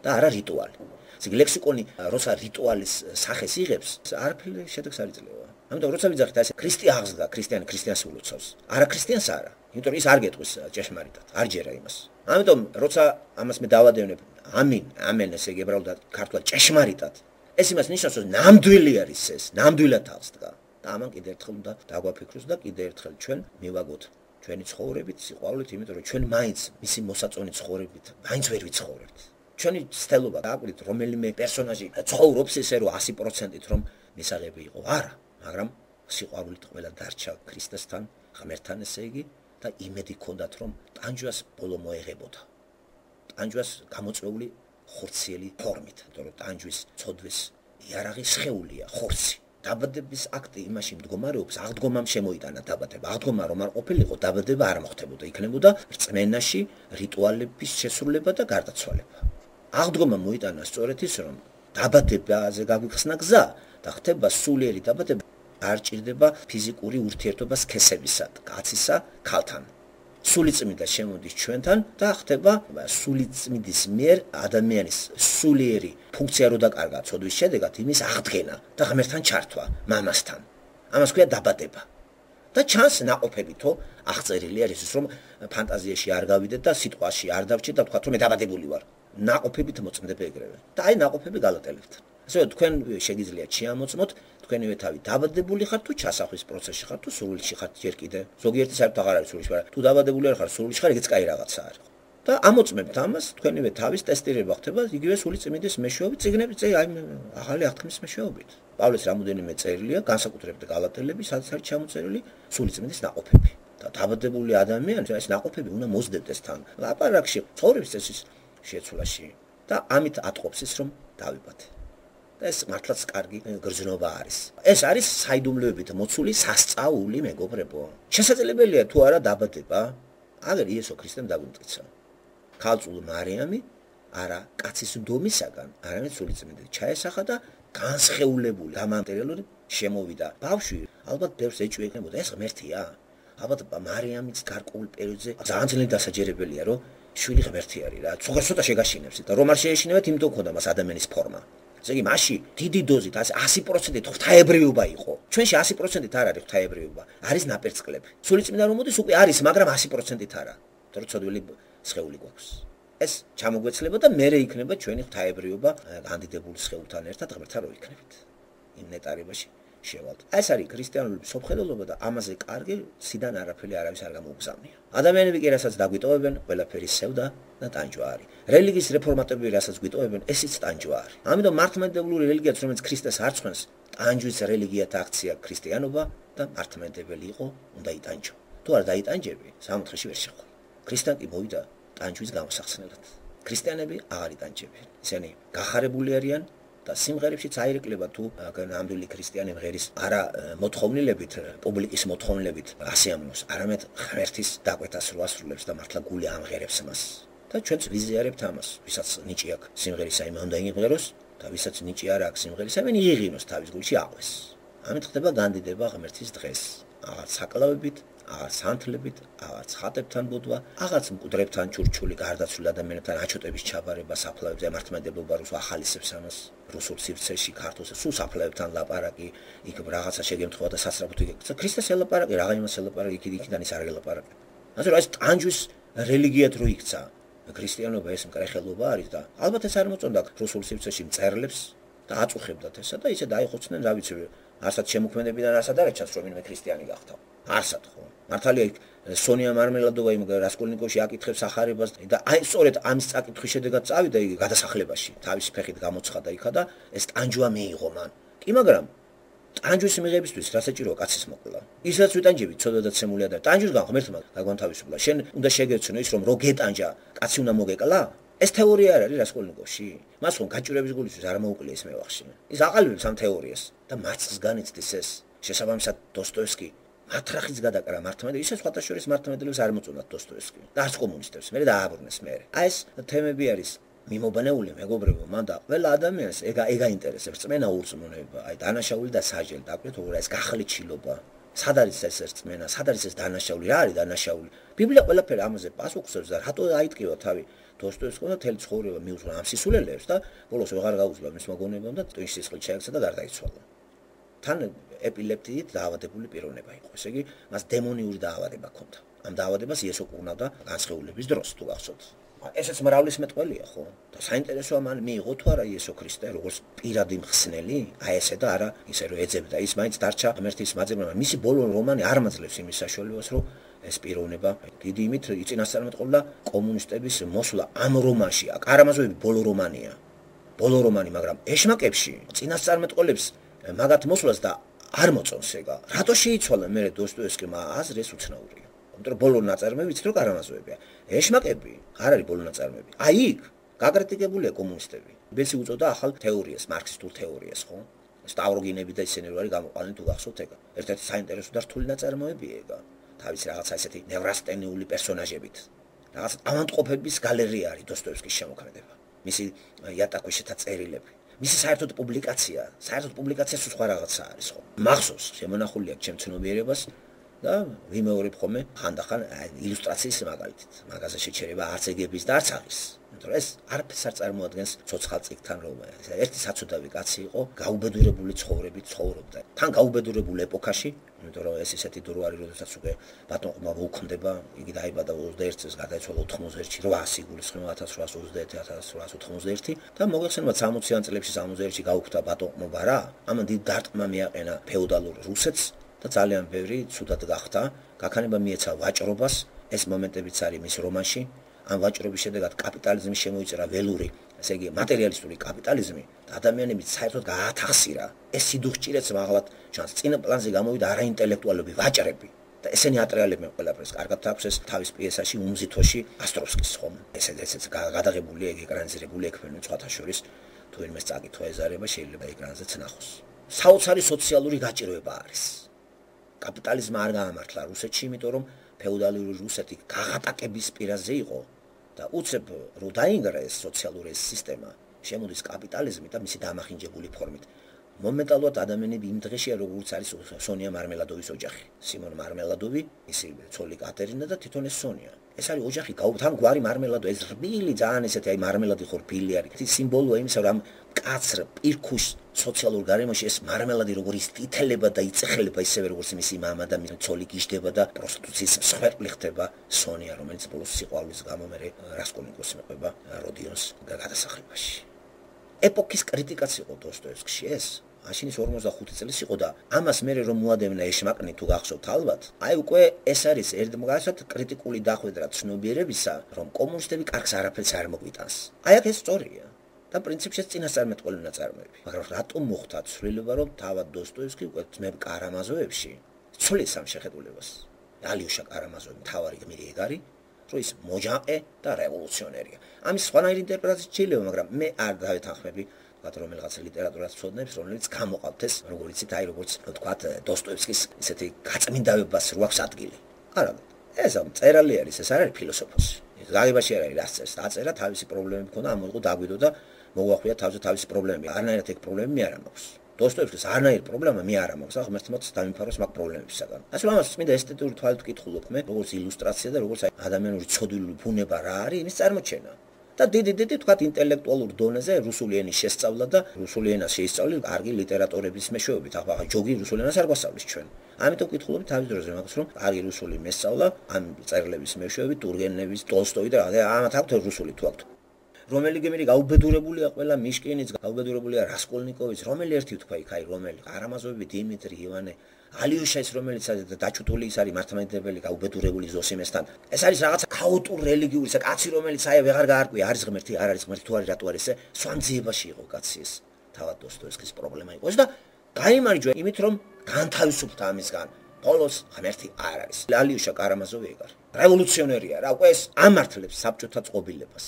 და არა რიტუალი. ისე ლექსიკონი როცა რიტუალის სახეს იღებს, არაფერი შედეგს არ იძლევა. ამიტომ როცა ვიძახით ასე ქრისტე აღსდგა, ქრისტიანი ქრისტიანს ულოცავს. არა ქრისტიანს არა. იმიტომ ის არ გეტყვის ჭეშმარიტად, არ ჯერა იმას. ამიტომ როცა ამას მე დავადევნებ, ამინ, ამენ ესე იგი ებრაულად ქართულად ჭეშმარიტად. ეს იმას ნიშნავს, რომ ნამდვილი არის ეს, ნამდვილად აღსდგა. და ამან კიდე ერთხელ უნდა დაგვაფიქროს და კიდე ერთხელ ჩვენ მივაგოთ ჩვენი ცხოვრებით, სიყვარულით, იმიტომ რომ ჩვენ მაინც მისი მოსაწონი ცხოვრებით, მაინც ვერ ვიცხოვრებთ. ჩვენი ცდელობა დააკვირდით, რომელიმე პერსონაჟი ცხოვრობს ესე რომ ასი პროცენტით რომ მისაღები იყო, არა, მაგრამ სიყვარულით ყველა დარჩა ქრისტესთან, ღმერთთან ესე იგი. და იმედი ქონდათ რომ ტანჯვას ბოლო მოეღებოდა. ტანჯვას გამოწვეული ხორციელი ფორმით, იმიტომ რომ ტანჯვის ცოდვის იარაღი სხეულია, ხორცი. დაბადების აქტი იმაში მდგომარეობს, აღდგომამ შემოიტანა დაბადება. აღდგომა რომ არ ყოფილიყო, დაბადება არ მოხდებოდა, იქნებოდა რწმენაში რიტუალების შესრულება და გარდაცვალება. აღდგომა მოიტანა სწორედ ის რომ დაბადებაზე გაგვიხსნა გზა და ხდება სულიერი დაბადება. არ ჭირდება ფიზიკური ურთიერთობა სქესებისა, კაცისა, ქალთან. სულიწმიდა შემოდის ჩვენთან და ხდება სულიწმიდის მიერ ადამიანის სულიერი ფუნქცია რო დაკარგა ცოდვის შედეგად იმის აღდგენა და ღმერთთან ჩართვა, მამასთან. ამას ქვია დაბადება. და ჩანს ნაყოფებითო აღწერილი არის ის რომ ფანტაზიაში არ გავიდეთ და სიტყვაში არ დავჭირთ და ვთქვათ რომ მე დაბადებული ვარ. ნაყოფებით მოწმდება ეგრევე. და აი ნაყოფები გალატელებთ. ასე თქვენ შეგიძლიათ შეამოწმოთ თქვენივე თავი დაბადებული ხართ თუ ჩასახვის პროცესში ხართ თუ სრულში ხართ ჯერ კიდე. ზოგიერთი საერთოდ აღარ არის სრულში, მაგრამ თუ დაბადებული არ ხარ სრულში ხარ, ეგეც კაი რაღაცა არის. და ამოწმებთ ამას თქვენივე თავის ტესტირება ხდება იგივე სული წმინდის მეშვეობით, წიგნების წე აი ახალი აღთქმის მეშვეობით. პავლეს რამოდენიმე წერილია, განსაკუთრებით გალატელები, სადაც არის ჩამოწერილი სული წმინდის ნაყოფები. და დაბადებული ადამიანს ეს ნაყოფები უნდა მოსდებდეს თან. ლაპარაკში ცხოვრების წესის შეცვლაში და ამით ატყობს ის რომ დავიბადე. ეს მართლაც კარგი გრძნობა არის. ეს არის საიდუმლოებით მოცული სასწაული მეგობრებო. შესაძლებელია თუ არა დაბადება, აგერ იესო ქრისტემ დაგვიმტკიცა. ქალწულ მარიამი არა კაცის ნდომისაგან, არამედ სულიწმიდით ჩაესახა და განსხეულებული გამანტერელური შემოვიდა. ბავშვი ალბათ ბევრს ეჭვი ეკნებოდა, ეს ღმერთია. ალბათ მარიამიც გარკვეულ პერიოდზე ძალიან ძლიერ დასაჯერებელია, რომ შვილი ღმერთი არის რა. ცოტა შეგაშინებს და რომ არ შეეშინებათ, იმიტომ ქონდა მას ადამიანის ფორმა. ესე იგი მასში დიდი დოზით ასი პროცენტით ღვთაებრიობა იყო. ჩვენში ასი პროცენტით არ არის ღვთაებრიობა, არის ნაპერწკლები. სულიწმინდა რომ მოდის უკვე არის, მაგრამ ასი პროცენტით არა. თორე ცოდვილი სხეული გვაქვს. ეს ჩამოგვეცლება და მერე იქნება ჩვენი ღვთაებრიობა განდიდებული სხეულთან ერთად ღმერთთან რო იქნებით. იმ ნეტარებაში შევალთ. ეს არის ქრისტიანული სოფხედელობა და ამაზე კარგი სიდან არაფერი არავის არ გამოუგზავნია. ადამიანები კი რასაც დაგვიტოვებენ, ყველაფერი სევდა და ტანჯვა არის. რელიგიის რეფორმატები რასაც გვიტოვებენ, ესიც ტანჯვა არის. ამიტომ მართლმადიდებლური რელიგიაც, რომელიც ქრისტეს არ ცხენს, ტანჯვის რელიგიათა აქცია ქრისტიანობა და მართლმადიდებელი იყო, უნდა იტანჯო. თუ არ დაიტანჯები, სამოთხეში ვერ შეხვდა. ქრისტიან კი მოვიდა ტანჯვის გამოსახსნელად. ქრისტიანები აღარ იტანჯებიან. ისინი გახარებული არიან და სიმღერებშიც აირეკლება თუ ნამდვილი ქრისტიანი მღერის არა მოთხოვნილებით, პუბლიკის მოთხოვნილებით ასიამოს, არამედ ღმერთის დაკვეთას რო ასრულებს და მართლა გული ამღერებს მას. და ჩვენც ვიზიარებთ ამას, ვისაც ნიჭი აქვს სიმღერისა, იმ უნდა იმღეროს და ვისაც ნიჭი არ აქვს სიმღერისა, მენ იღინოს თავის გულში აყვეს. ამით ხდება განდიდება ღმერთის დღეს, აღარ საკლავებით, აღარ სანთლებით, აღარ ხატებთან ბუდვა, აღარც მკვდრებთან ჩურჩული გარდაცვლილ ადამიანებთან აჩოტების ჩაბარება საფლავებზე მართლმადიდებლობა რუსულ ახალისებს ამას რუსულ სივრცეში ქართულზე სულ საფლავებთან ლაპარაკი, იქ რაღაცა შეგემთხვევა და სასწრაფოდ იქ ქრისტეს ელაპარაკი, რა იმას ელაპარაკი, იქ იქიდან ის არ ელაპარაკი. ასე რომ ეს ტანჯვის რელიგიად რო იქცა ქრისტიანობა ეს მკრეხელობა არის და ალბათ ეს არ მოწონდა რუსულ სივრცეში მწერლებს და აწუხებდათ ესა და ისე დაიხოცნენ, რა ვიცი, არცად შემოქმედებიდან არასად არ ეჩანს რომ ინმე ქრისტიანი გახდა. არსად ხო. მართალია სონია მარმელადოვა იმ რასკოლნიკოვში აკითხებს ახარებას და აი სწორედ ამის წაკითხვის შედეგად წავიდა იგი გადასახლებაში. თავისი ფეხით გამოცხადა იქა და ეს ტანჯვა მიიღო მან. კი მაგრამ ტანჯვის მიღებისთვის რა საჭიროა კაცის მოკლა? ისაც ვიტანჯები ცოდვადაცემულია და ტანჯვისგან ღმერთმა გაგვანთავისუფლა. შენ უნდა შეგეცნო ის რომ რო გეტანჯა, კაცი უნდა მოგეკლა? ეს თეორია არ არის რასკოლნიკოვში. მას ხომ გაჭირების გულისთვის არ მოუკლია ეს მევახში. ის აყალიბებს ამ თეორიას და მარცხს განიცდის ეს. შესაბამისად დოსტოევსკი მათრახის გადაკრა მართლმადიდებლებს, ისე სხვათა შორის მართლმადიდებლებს არ მოწონათ დოსტოევსკი და არც კომუნისტებს, მე დააბრუნეს მე. აი ეს თემები არის მიმობანეული მეგობრებო, მან და ყველა ადამიანს ეგა ეგა ინტერესებს, წმენა ურწმუნება, აი დანაშაული და საჯელი, დაგვეთ რა ეს გახლეჩილობა. სად არის ეს წმენა, სად არის ეს დანაშაული, რა არის დანაშაული? ბიბლია ყველაფერი ამაზე პასუხობს და რატო აიტყივა თავი დოსტოევსკიმ და თელი ცხოვრება მიუძღვნა ამ სისულელეებს და ბოლოს ვეღარ გაუძლო მის მოგონებამ და ტვინში სისხლით შეექცა და გარდაიცვალა. თან ეპილეპტიით დაავადებული პიროვნება იყო. ესე იგი, მას დემონიური დაავადება ჰქონდა. ამ დაავადებას იესო კურნავდა განსხეულების დროს, თუ გახსოვთ. ესეც მრავლის მეტყველია, ხო? და საინტერესოა მან მიიღო თუ არა იესო ქრისტე როგორც პირადი მხსნელი, აი ესე და არა ისე რომ ეძებდა. ის მაინც დარჩა ღმერთის მაძებნა. მისი ბოლო რომანი არ მაძლევს იმის საშუალებას, რომ ეს პიროვნება დიდი იმით იწინასწარმეტყველდა კომუნისტების მოსვლა ამ რომანში. კარამაზოვი ბოლო რომანია. ბოლო რომანი, მაგრამ ეშმაკებში წინასწარმეტყველებს მაგათ მოსვლას და არ მოწონს ეგა. რატო შეიცვალა მე დოსტოევსკიმ აზრს უცნაურია. ამიტომ ბოლო ნაწარმოები ვიცით რომ კარამაზოვებია. ეშმაკები არ არის ბოლო ნაწარმოები. აი იქ გაკრიტიკებულია კომუნისტები. ბესი უწოდა ახალ თეორიას, მარქსისტულ თეორიას, ხო? სტავროგინები და ისინი რო არის გამოყვანილი თუ გახსოვთ ეგა. ერთ-ერთი საინტერესო და რთული ნაწარმოებია ეგა. თავის რაღაცა ესეთი ნევრასტენიული პერსონაჟებით. რაღაც ამანტყოფების გალერეა არის დოსტოევსკის შემოქმედება. მისი იატაკუშეთა წერილები. მისი საერთოდ პუბლიკაცია, საერთოდ პუბლიკაცია სულ სხვა რაღაცა არის, ხო? მახსოვს შემონახული აქვს ჩემ ცნობიერებას და ვიმეორებ ხოლმე ხანდახან ილუსტრაციის მაგალითით. მაგაზე შეჩერება არც ეგების და არც აღის. იმიტომ რომ ეს არაფერს არ წარმოადგენს ცოცხალ წიგნთან რომ ერთი საცოდავი კაცი იყო, გაუბედურებული ცხოვრებით ცხოვრობდა. თან გაუბედურებულ ეპოქაში, იმიტომ რომ ეს ისეთი დრო არის, როდესაც უკვე ბატონყმა მოუქმდება, იგი დაიბადა ოცდაერთი წელს, გარდაიცვალა ოთხმოცდაერთში, რვაასი იგულისხმება ათას რვაასი ოცდაერთი ათას რვაასი ოთხმოცდაერთი და მოგეხსენება სამოციან წლებში სამოცდაერთში გაუქმდა ბატონყმობა რა, ამან დიდ დარტყმა მიაყენა ფეოდალურ რუსეთს და ძალიან ბევრი ცუდად გახდა, გაქანება მიეცა ვაჭრობას, ეს მომენტებიც არის მის რომანში. ამ ვაჭრობის შედეგად კაპიტალიზმი შემოიწერა ველური, ესე იგი მატერიალისტური კაპიტალიზმი და ადამიანები საერთოდ გაათახსირა. ეს სიდუხჭირეც მაღლად ჩანს. წინა პლანზე გამოვიდა არაინტელექტუალები, ვაჭრები და ესენი ატრიალებენ ყველაფერს. კარგად აქვს ეს თავის პიესაში უმზითოში ასტროვსკის ხომ. ესე ესეც გადაღებულია, ეკრანიზირებული ექვემე სხვათა შორის თუ იმეს წაკითხვა ეზარება შეიძლება ეკრანზეც ნახოს. საოცარი სოციალური გაჭირვება არის. კაპიტალიზმი არ გაამართლა რუსეთში, იმიტომ რომ ფეოდალური რუსეთი გაღატაკების პირაზე იყო და უცებ რო დაინგრა ეს სოციალური სისტემა, შემოდის კაპიტალიზმი და მისი დამახინჯებული ფორმით. მომენტალურად ადამიანები იმ დღეშია როგორც არის სონია მარმელადოვის ოჯახი. სიმონ მარმელადოვი, ისი ცოლი კატერინა და თვითონ ეს სონია. ეს არის ოჯახი, თან გვარი მარმელადო, ეს რბილი ძალიან ესეთი აი მარმელადი ხო რბილი არის. ეს სიმბოლოა იმისა, რომ კაცრ პირქუშ სოციალურ გარემოში ეს მარმელადი როგორ ისტითელება და იწეხლება ისევე როგორც მისი მამა და მისი ცოლი გიждდება და პროსტიტუციის მსხვერპლი ხდება სონია, რომელიც ბოლოს სიყვარულის გამო მე რასკოლნიკოვს მეყვება როდიონს გადასახლებაში. ეპოქის კრიტიკაც იყო დოსტოევსკში ეს. მაშინ ის ორმოცდახუთი წლის იყო და ამას მე რომ მოადევნა ეშმაკნი თუ გახსოვთ ალბათ, აი უკვე ეს არის ერთმანეთად კრიტიკული დახვედრა ცნობიერებისა, რომ კომუნისტები კარგს არაფერს არ მოგვიტანს. აი აქ ეს სწორია. და პრინციპში წინასწარმეტყველი ნაწარმოები. მაგრამ რატომ მოხდა ცვლილება, რომ თავად დოსტოევსკი უკვე ძმებ კარამაზოვებში ცვლის ამ შეხედულებას? ალიუშა კარამაზოვი მთავარი გმირი ეგ არის, რომ ის მოჯაყე და რევოლუციონერია. ამის სხვანაირი ინტერპრეტაცია შეიძლება, მაგრამ მე არ დავეთანხმები ვთქვათ, რომ რაღაცა ლიტერატურას ცოდნებს, რომელიც გამოყავთ ეს, როგორც იცით, აი როგორც ვთქვათ, დოსტოევსკის ისეთი გაწმინდაებას რო აქვს ადგილი. არა, ეს ამ წერალი არის, ეს არ არის ფილოსოფოსი. გაგებაში არ არის რას წერს, დაწერა თავისი პრობლემები ქონდა, ამოიღო დაგვიდო და მოგვახვია თავზე თავისი პრობლემები. არანაირად ეგ პრობლემები მე არ მაქვს. დოსტოევსკის არანაირი პრობლემა მე არ მაქვს, ახლა ღმერთმაც დამიფაროს მაგ პრობლემებისაგან. ასე რომ ამას წმინდა ესთეტიური თვალით ვკითხულობ მე, როგორც ილუსტრაცია და როგორც აი ადამიანური ცოდვილი ბუნება რა არის, იმის წარმოჩენა. და დიდი დიდი თქვათ ინტელექტუალურ დონეზე რუსული ენის შესწავლა და რუსული ენას შეისწავლი კარგი ლიტერატურების მეშვეობით. ახლა ჯოგი რუსული ენას არ გვასწავლის ჩვენ. ამიტომ ვკითხულობთ თავის დროზე მაგას, რომ კარგი რუსული მესწავლა ამ წერილების მეშვეობით, ტურგენევის, ტოლსტოი და ამათ აქვთ რუსული თუ აქვთ. რომელი გემერი გაუბედურებულია ყველა მიშკინიც, გაუბედურებულია რასკოლნიკოვიც, რომელი ერთი თქვა იქ აი რომელი კარამაზოვი, დიმიტრი, ივანე, ალიუშა ის რომელიც დაჩუტული ის არის მართლმადიდებელი გაუბედურებული ზოსიმესთან. ეს არის რაღაცა ქაოტური რელიგიური კაცი რომელიც აი ვეღარ გაარკვია არის ღმერთი, არ არის ღმერთი თუ არის რატო არის ეს სვანძიებაში იყო კაცი ეს. თავად დოსტოევსკის პრობლემა იყო ეს და გაიმარჯვა იმით რომ განთავისუფლდა ამისგან. ბოლოს ღმერთი არ არის. ალიუშა კარამაზოვი ეგ არის. რევოლუციონერია რა, უკვე ეს ამართლებს საბჭოთა წყობილებას.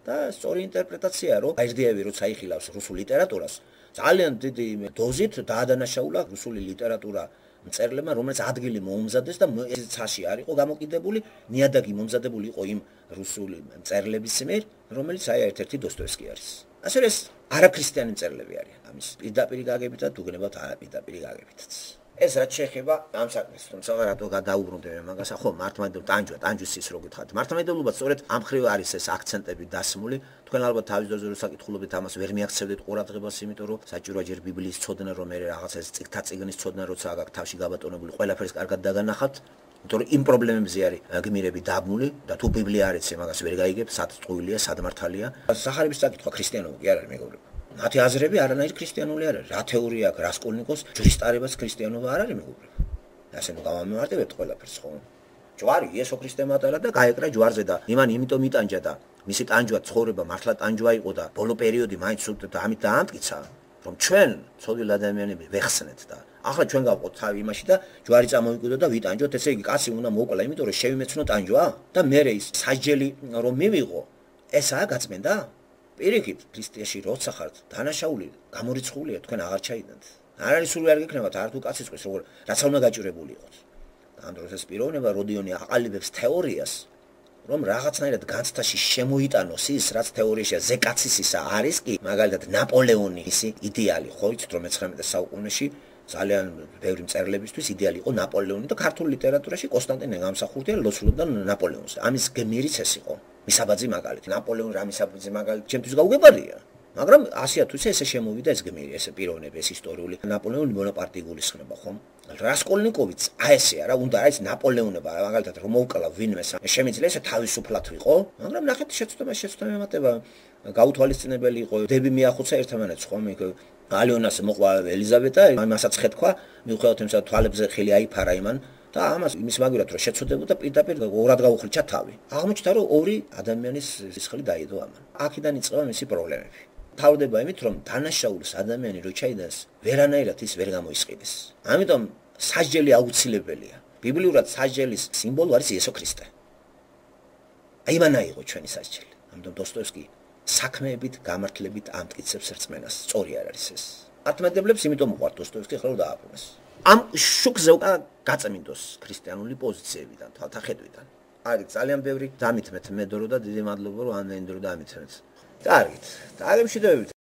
და სწორი ინტერპრეტაცია რომ აირდიევი როცა იხილავს რუსულ ლიტერატურას ძალიან დიდი დოზით დაადანაშაულა რუსული ლიტერატურა მწერლებმა რომელიც ადგილი მოუმზადეს და ეს ცაში არ იყო გამოკიდებული ნიადაგი მომზადებული იყო იმ რუსული მწერლების მიერ რომელიც აი ერთ-ერთი დოსტოევსკი არის ასე რომ ეს არაქრისტიანი მწერლები არიან ამის პირდაპირი გაგებითაც უგნებათ არაპირდაპირი გაგებითაც ეს რაც შეეხება ამ საქმეს, თუმცა რატო გადაუბრუნდები მაგას, ხო, მართლმადიდებლობა, ტანჯვა, ტანჯვის ის რო გითხარით. მართლმადიდებლობა სწორედ ამ ხრივ არის ეს აქცენტები დასმული. თქვენ ალბათ თავის დროზე რო საკითხულობთ ამას ვერ მიაქცევდეთ ყურადღებას, იმიტომ რომ საჭიროა ჯერ ბიბლიის ცოდნა, რომ მე რაღაცა ეს წიგთა წიგნის ცოდნა, როცა აქ თავში გაბატონებული, ყველაფერს კარგად დაგანახავთ. იმიტომ რომ იმ პრობლემებზე არის გმირები დაბმული და თუ ბიბლია არ იცი, მაგას ვერ გაიგებ, სად წყვილია, სად მართალია. სახარების საკითხვა ქრისტიანობა კი არ არის მეგობრებო. მათი აზრები არანაირ ქრისტიანული არ არის. რა თეორია აქვს რასკოლნიკოს ჯვრის ქრისტიანობა არ არის მეგობრებო. ასე ნუ გავამემართებებთ ყველაფერს ხო? ჯვარი იესო ქრისტე მატარა და გაეკრა ჯვარზე და იმან იმიტომ იტანჯა და მისი ტანჯვა ცხოვრება მართლა ტანჯვა იყო და ბოლო პერიოდი მაინც სულ და ამით დაამტკიცა, რომ ჩვენ ცოდვილ ადამიანები ვეხსნეთ და ახლა ჩვენ გავყოთ თავი იმაში და ჯვარი წამოვიკვიდოთ და ვიტანჯოთ, ესე იგი კაცი უნდა მოკლა, იმიტომ რომ შევიმეცნო ტანჯვა და მე ის საჯელი რომ მივიღო, ესაა გაწმენდა? პირიქით, ქრისტიაში როცა ხართ, დანაშაული, გამორიცხულია, თქვენ აღარ ჩაიდანთ. არ არის სული არ გექნებათ, არ თუ კაცის ყვის, როგორ რაც უნდა გაჭირებული იყოთ. ამ დროს ეს პიროვნება როდიონი აყალიბებს თეორიას, რომ რაღაცნაირად განცდაში შემოიტანოს ის, რაც თეორიაში ზეკაცისისა არის კი, მაგალითად ნაპოლეონი ისი იდეალი, ხო იცით რომ მეცხრამეტე საუკუნეში ძალიან ბევრი მწერლებისთვის იდეალი იყო ნაპოლეონი და ქართულ ლიტერატურაში კონსტანტინე გამსახურდია ლოცულობდა ნაპოლეონს. ამის გმირიც ეს იყო. მისაბაძი მაგალითი, ნაპოლეონი რა მისაბაძი მაგალითი, ჩემთვის გაუგებარია. მაგრამ ასია თუ ესე შემოვიდა ეს გმირი, ეს პიროვნება, ეს ისტორიული ნაპოლეონი ბონაპარტი გულისხმება, ხო? რასკოლნიკოვიც აი ესეა რა, უნდა არის ნაპოლეონება, მაგალითად რომ მოვკლა ვინმე, შემიძლია ესე თავისუფლად ვიყო, მაგრამ ნახეთ შეცდომა შეცდომა ემატება, გაუთვალისწინებელი იყო, დები მიახოცა ერთმანეთს, ხო? მეკ ალიონას მოყვა ელიზაბეტა, იმასაც ხედქვა, მიუხედავად იმისა, თვალებზე ხილი აიფარა იმან და ამას იმის მაგურად რომ შეცოდებოდა პირდაპირ ორად გაუხრიჩა თავი. აღმოჩნდა რომ ორი ადამიანის სისხლი დაიდო ამან. აქედან იწყება მისი პრობლემები. თავდება იმით რომ დანაშაულს ადამიანი რო ჩაიდას, ვერანაირად ის ვერ გამოისყიდეს. ამიტომ სასჯელი აუცილებელია. ბიბლიურად სასჯელის სიმბოლო არის იესო ქრისტე. აი მან აიღო ჩვენი სასჯელი. ამიტომ დოსტოევსკი საქმეებით, გამართლებით ამტკიცებს რწმენას. სწორი არ არის ეს. მართლმადიდებლებს იმიტომ უყვართ დოსტოევსკი ხელ დააბრუნეს. ამ შუქზე უკან გაწმინდოს ქრისტიანული პოზიციებიდან, თვალთახედვიდან. აი ძალიან ბევრი დამითმეთ მედორო და დიდი მადლობა რომ ამდენი დრო დამითმეთ. კარგით. დააგემშვიდობებით.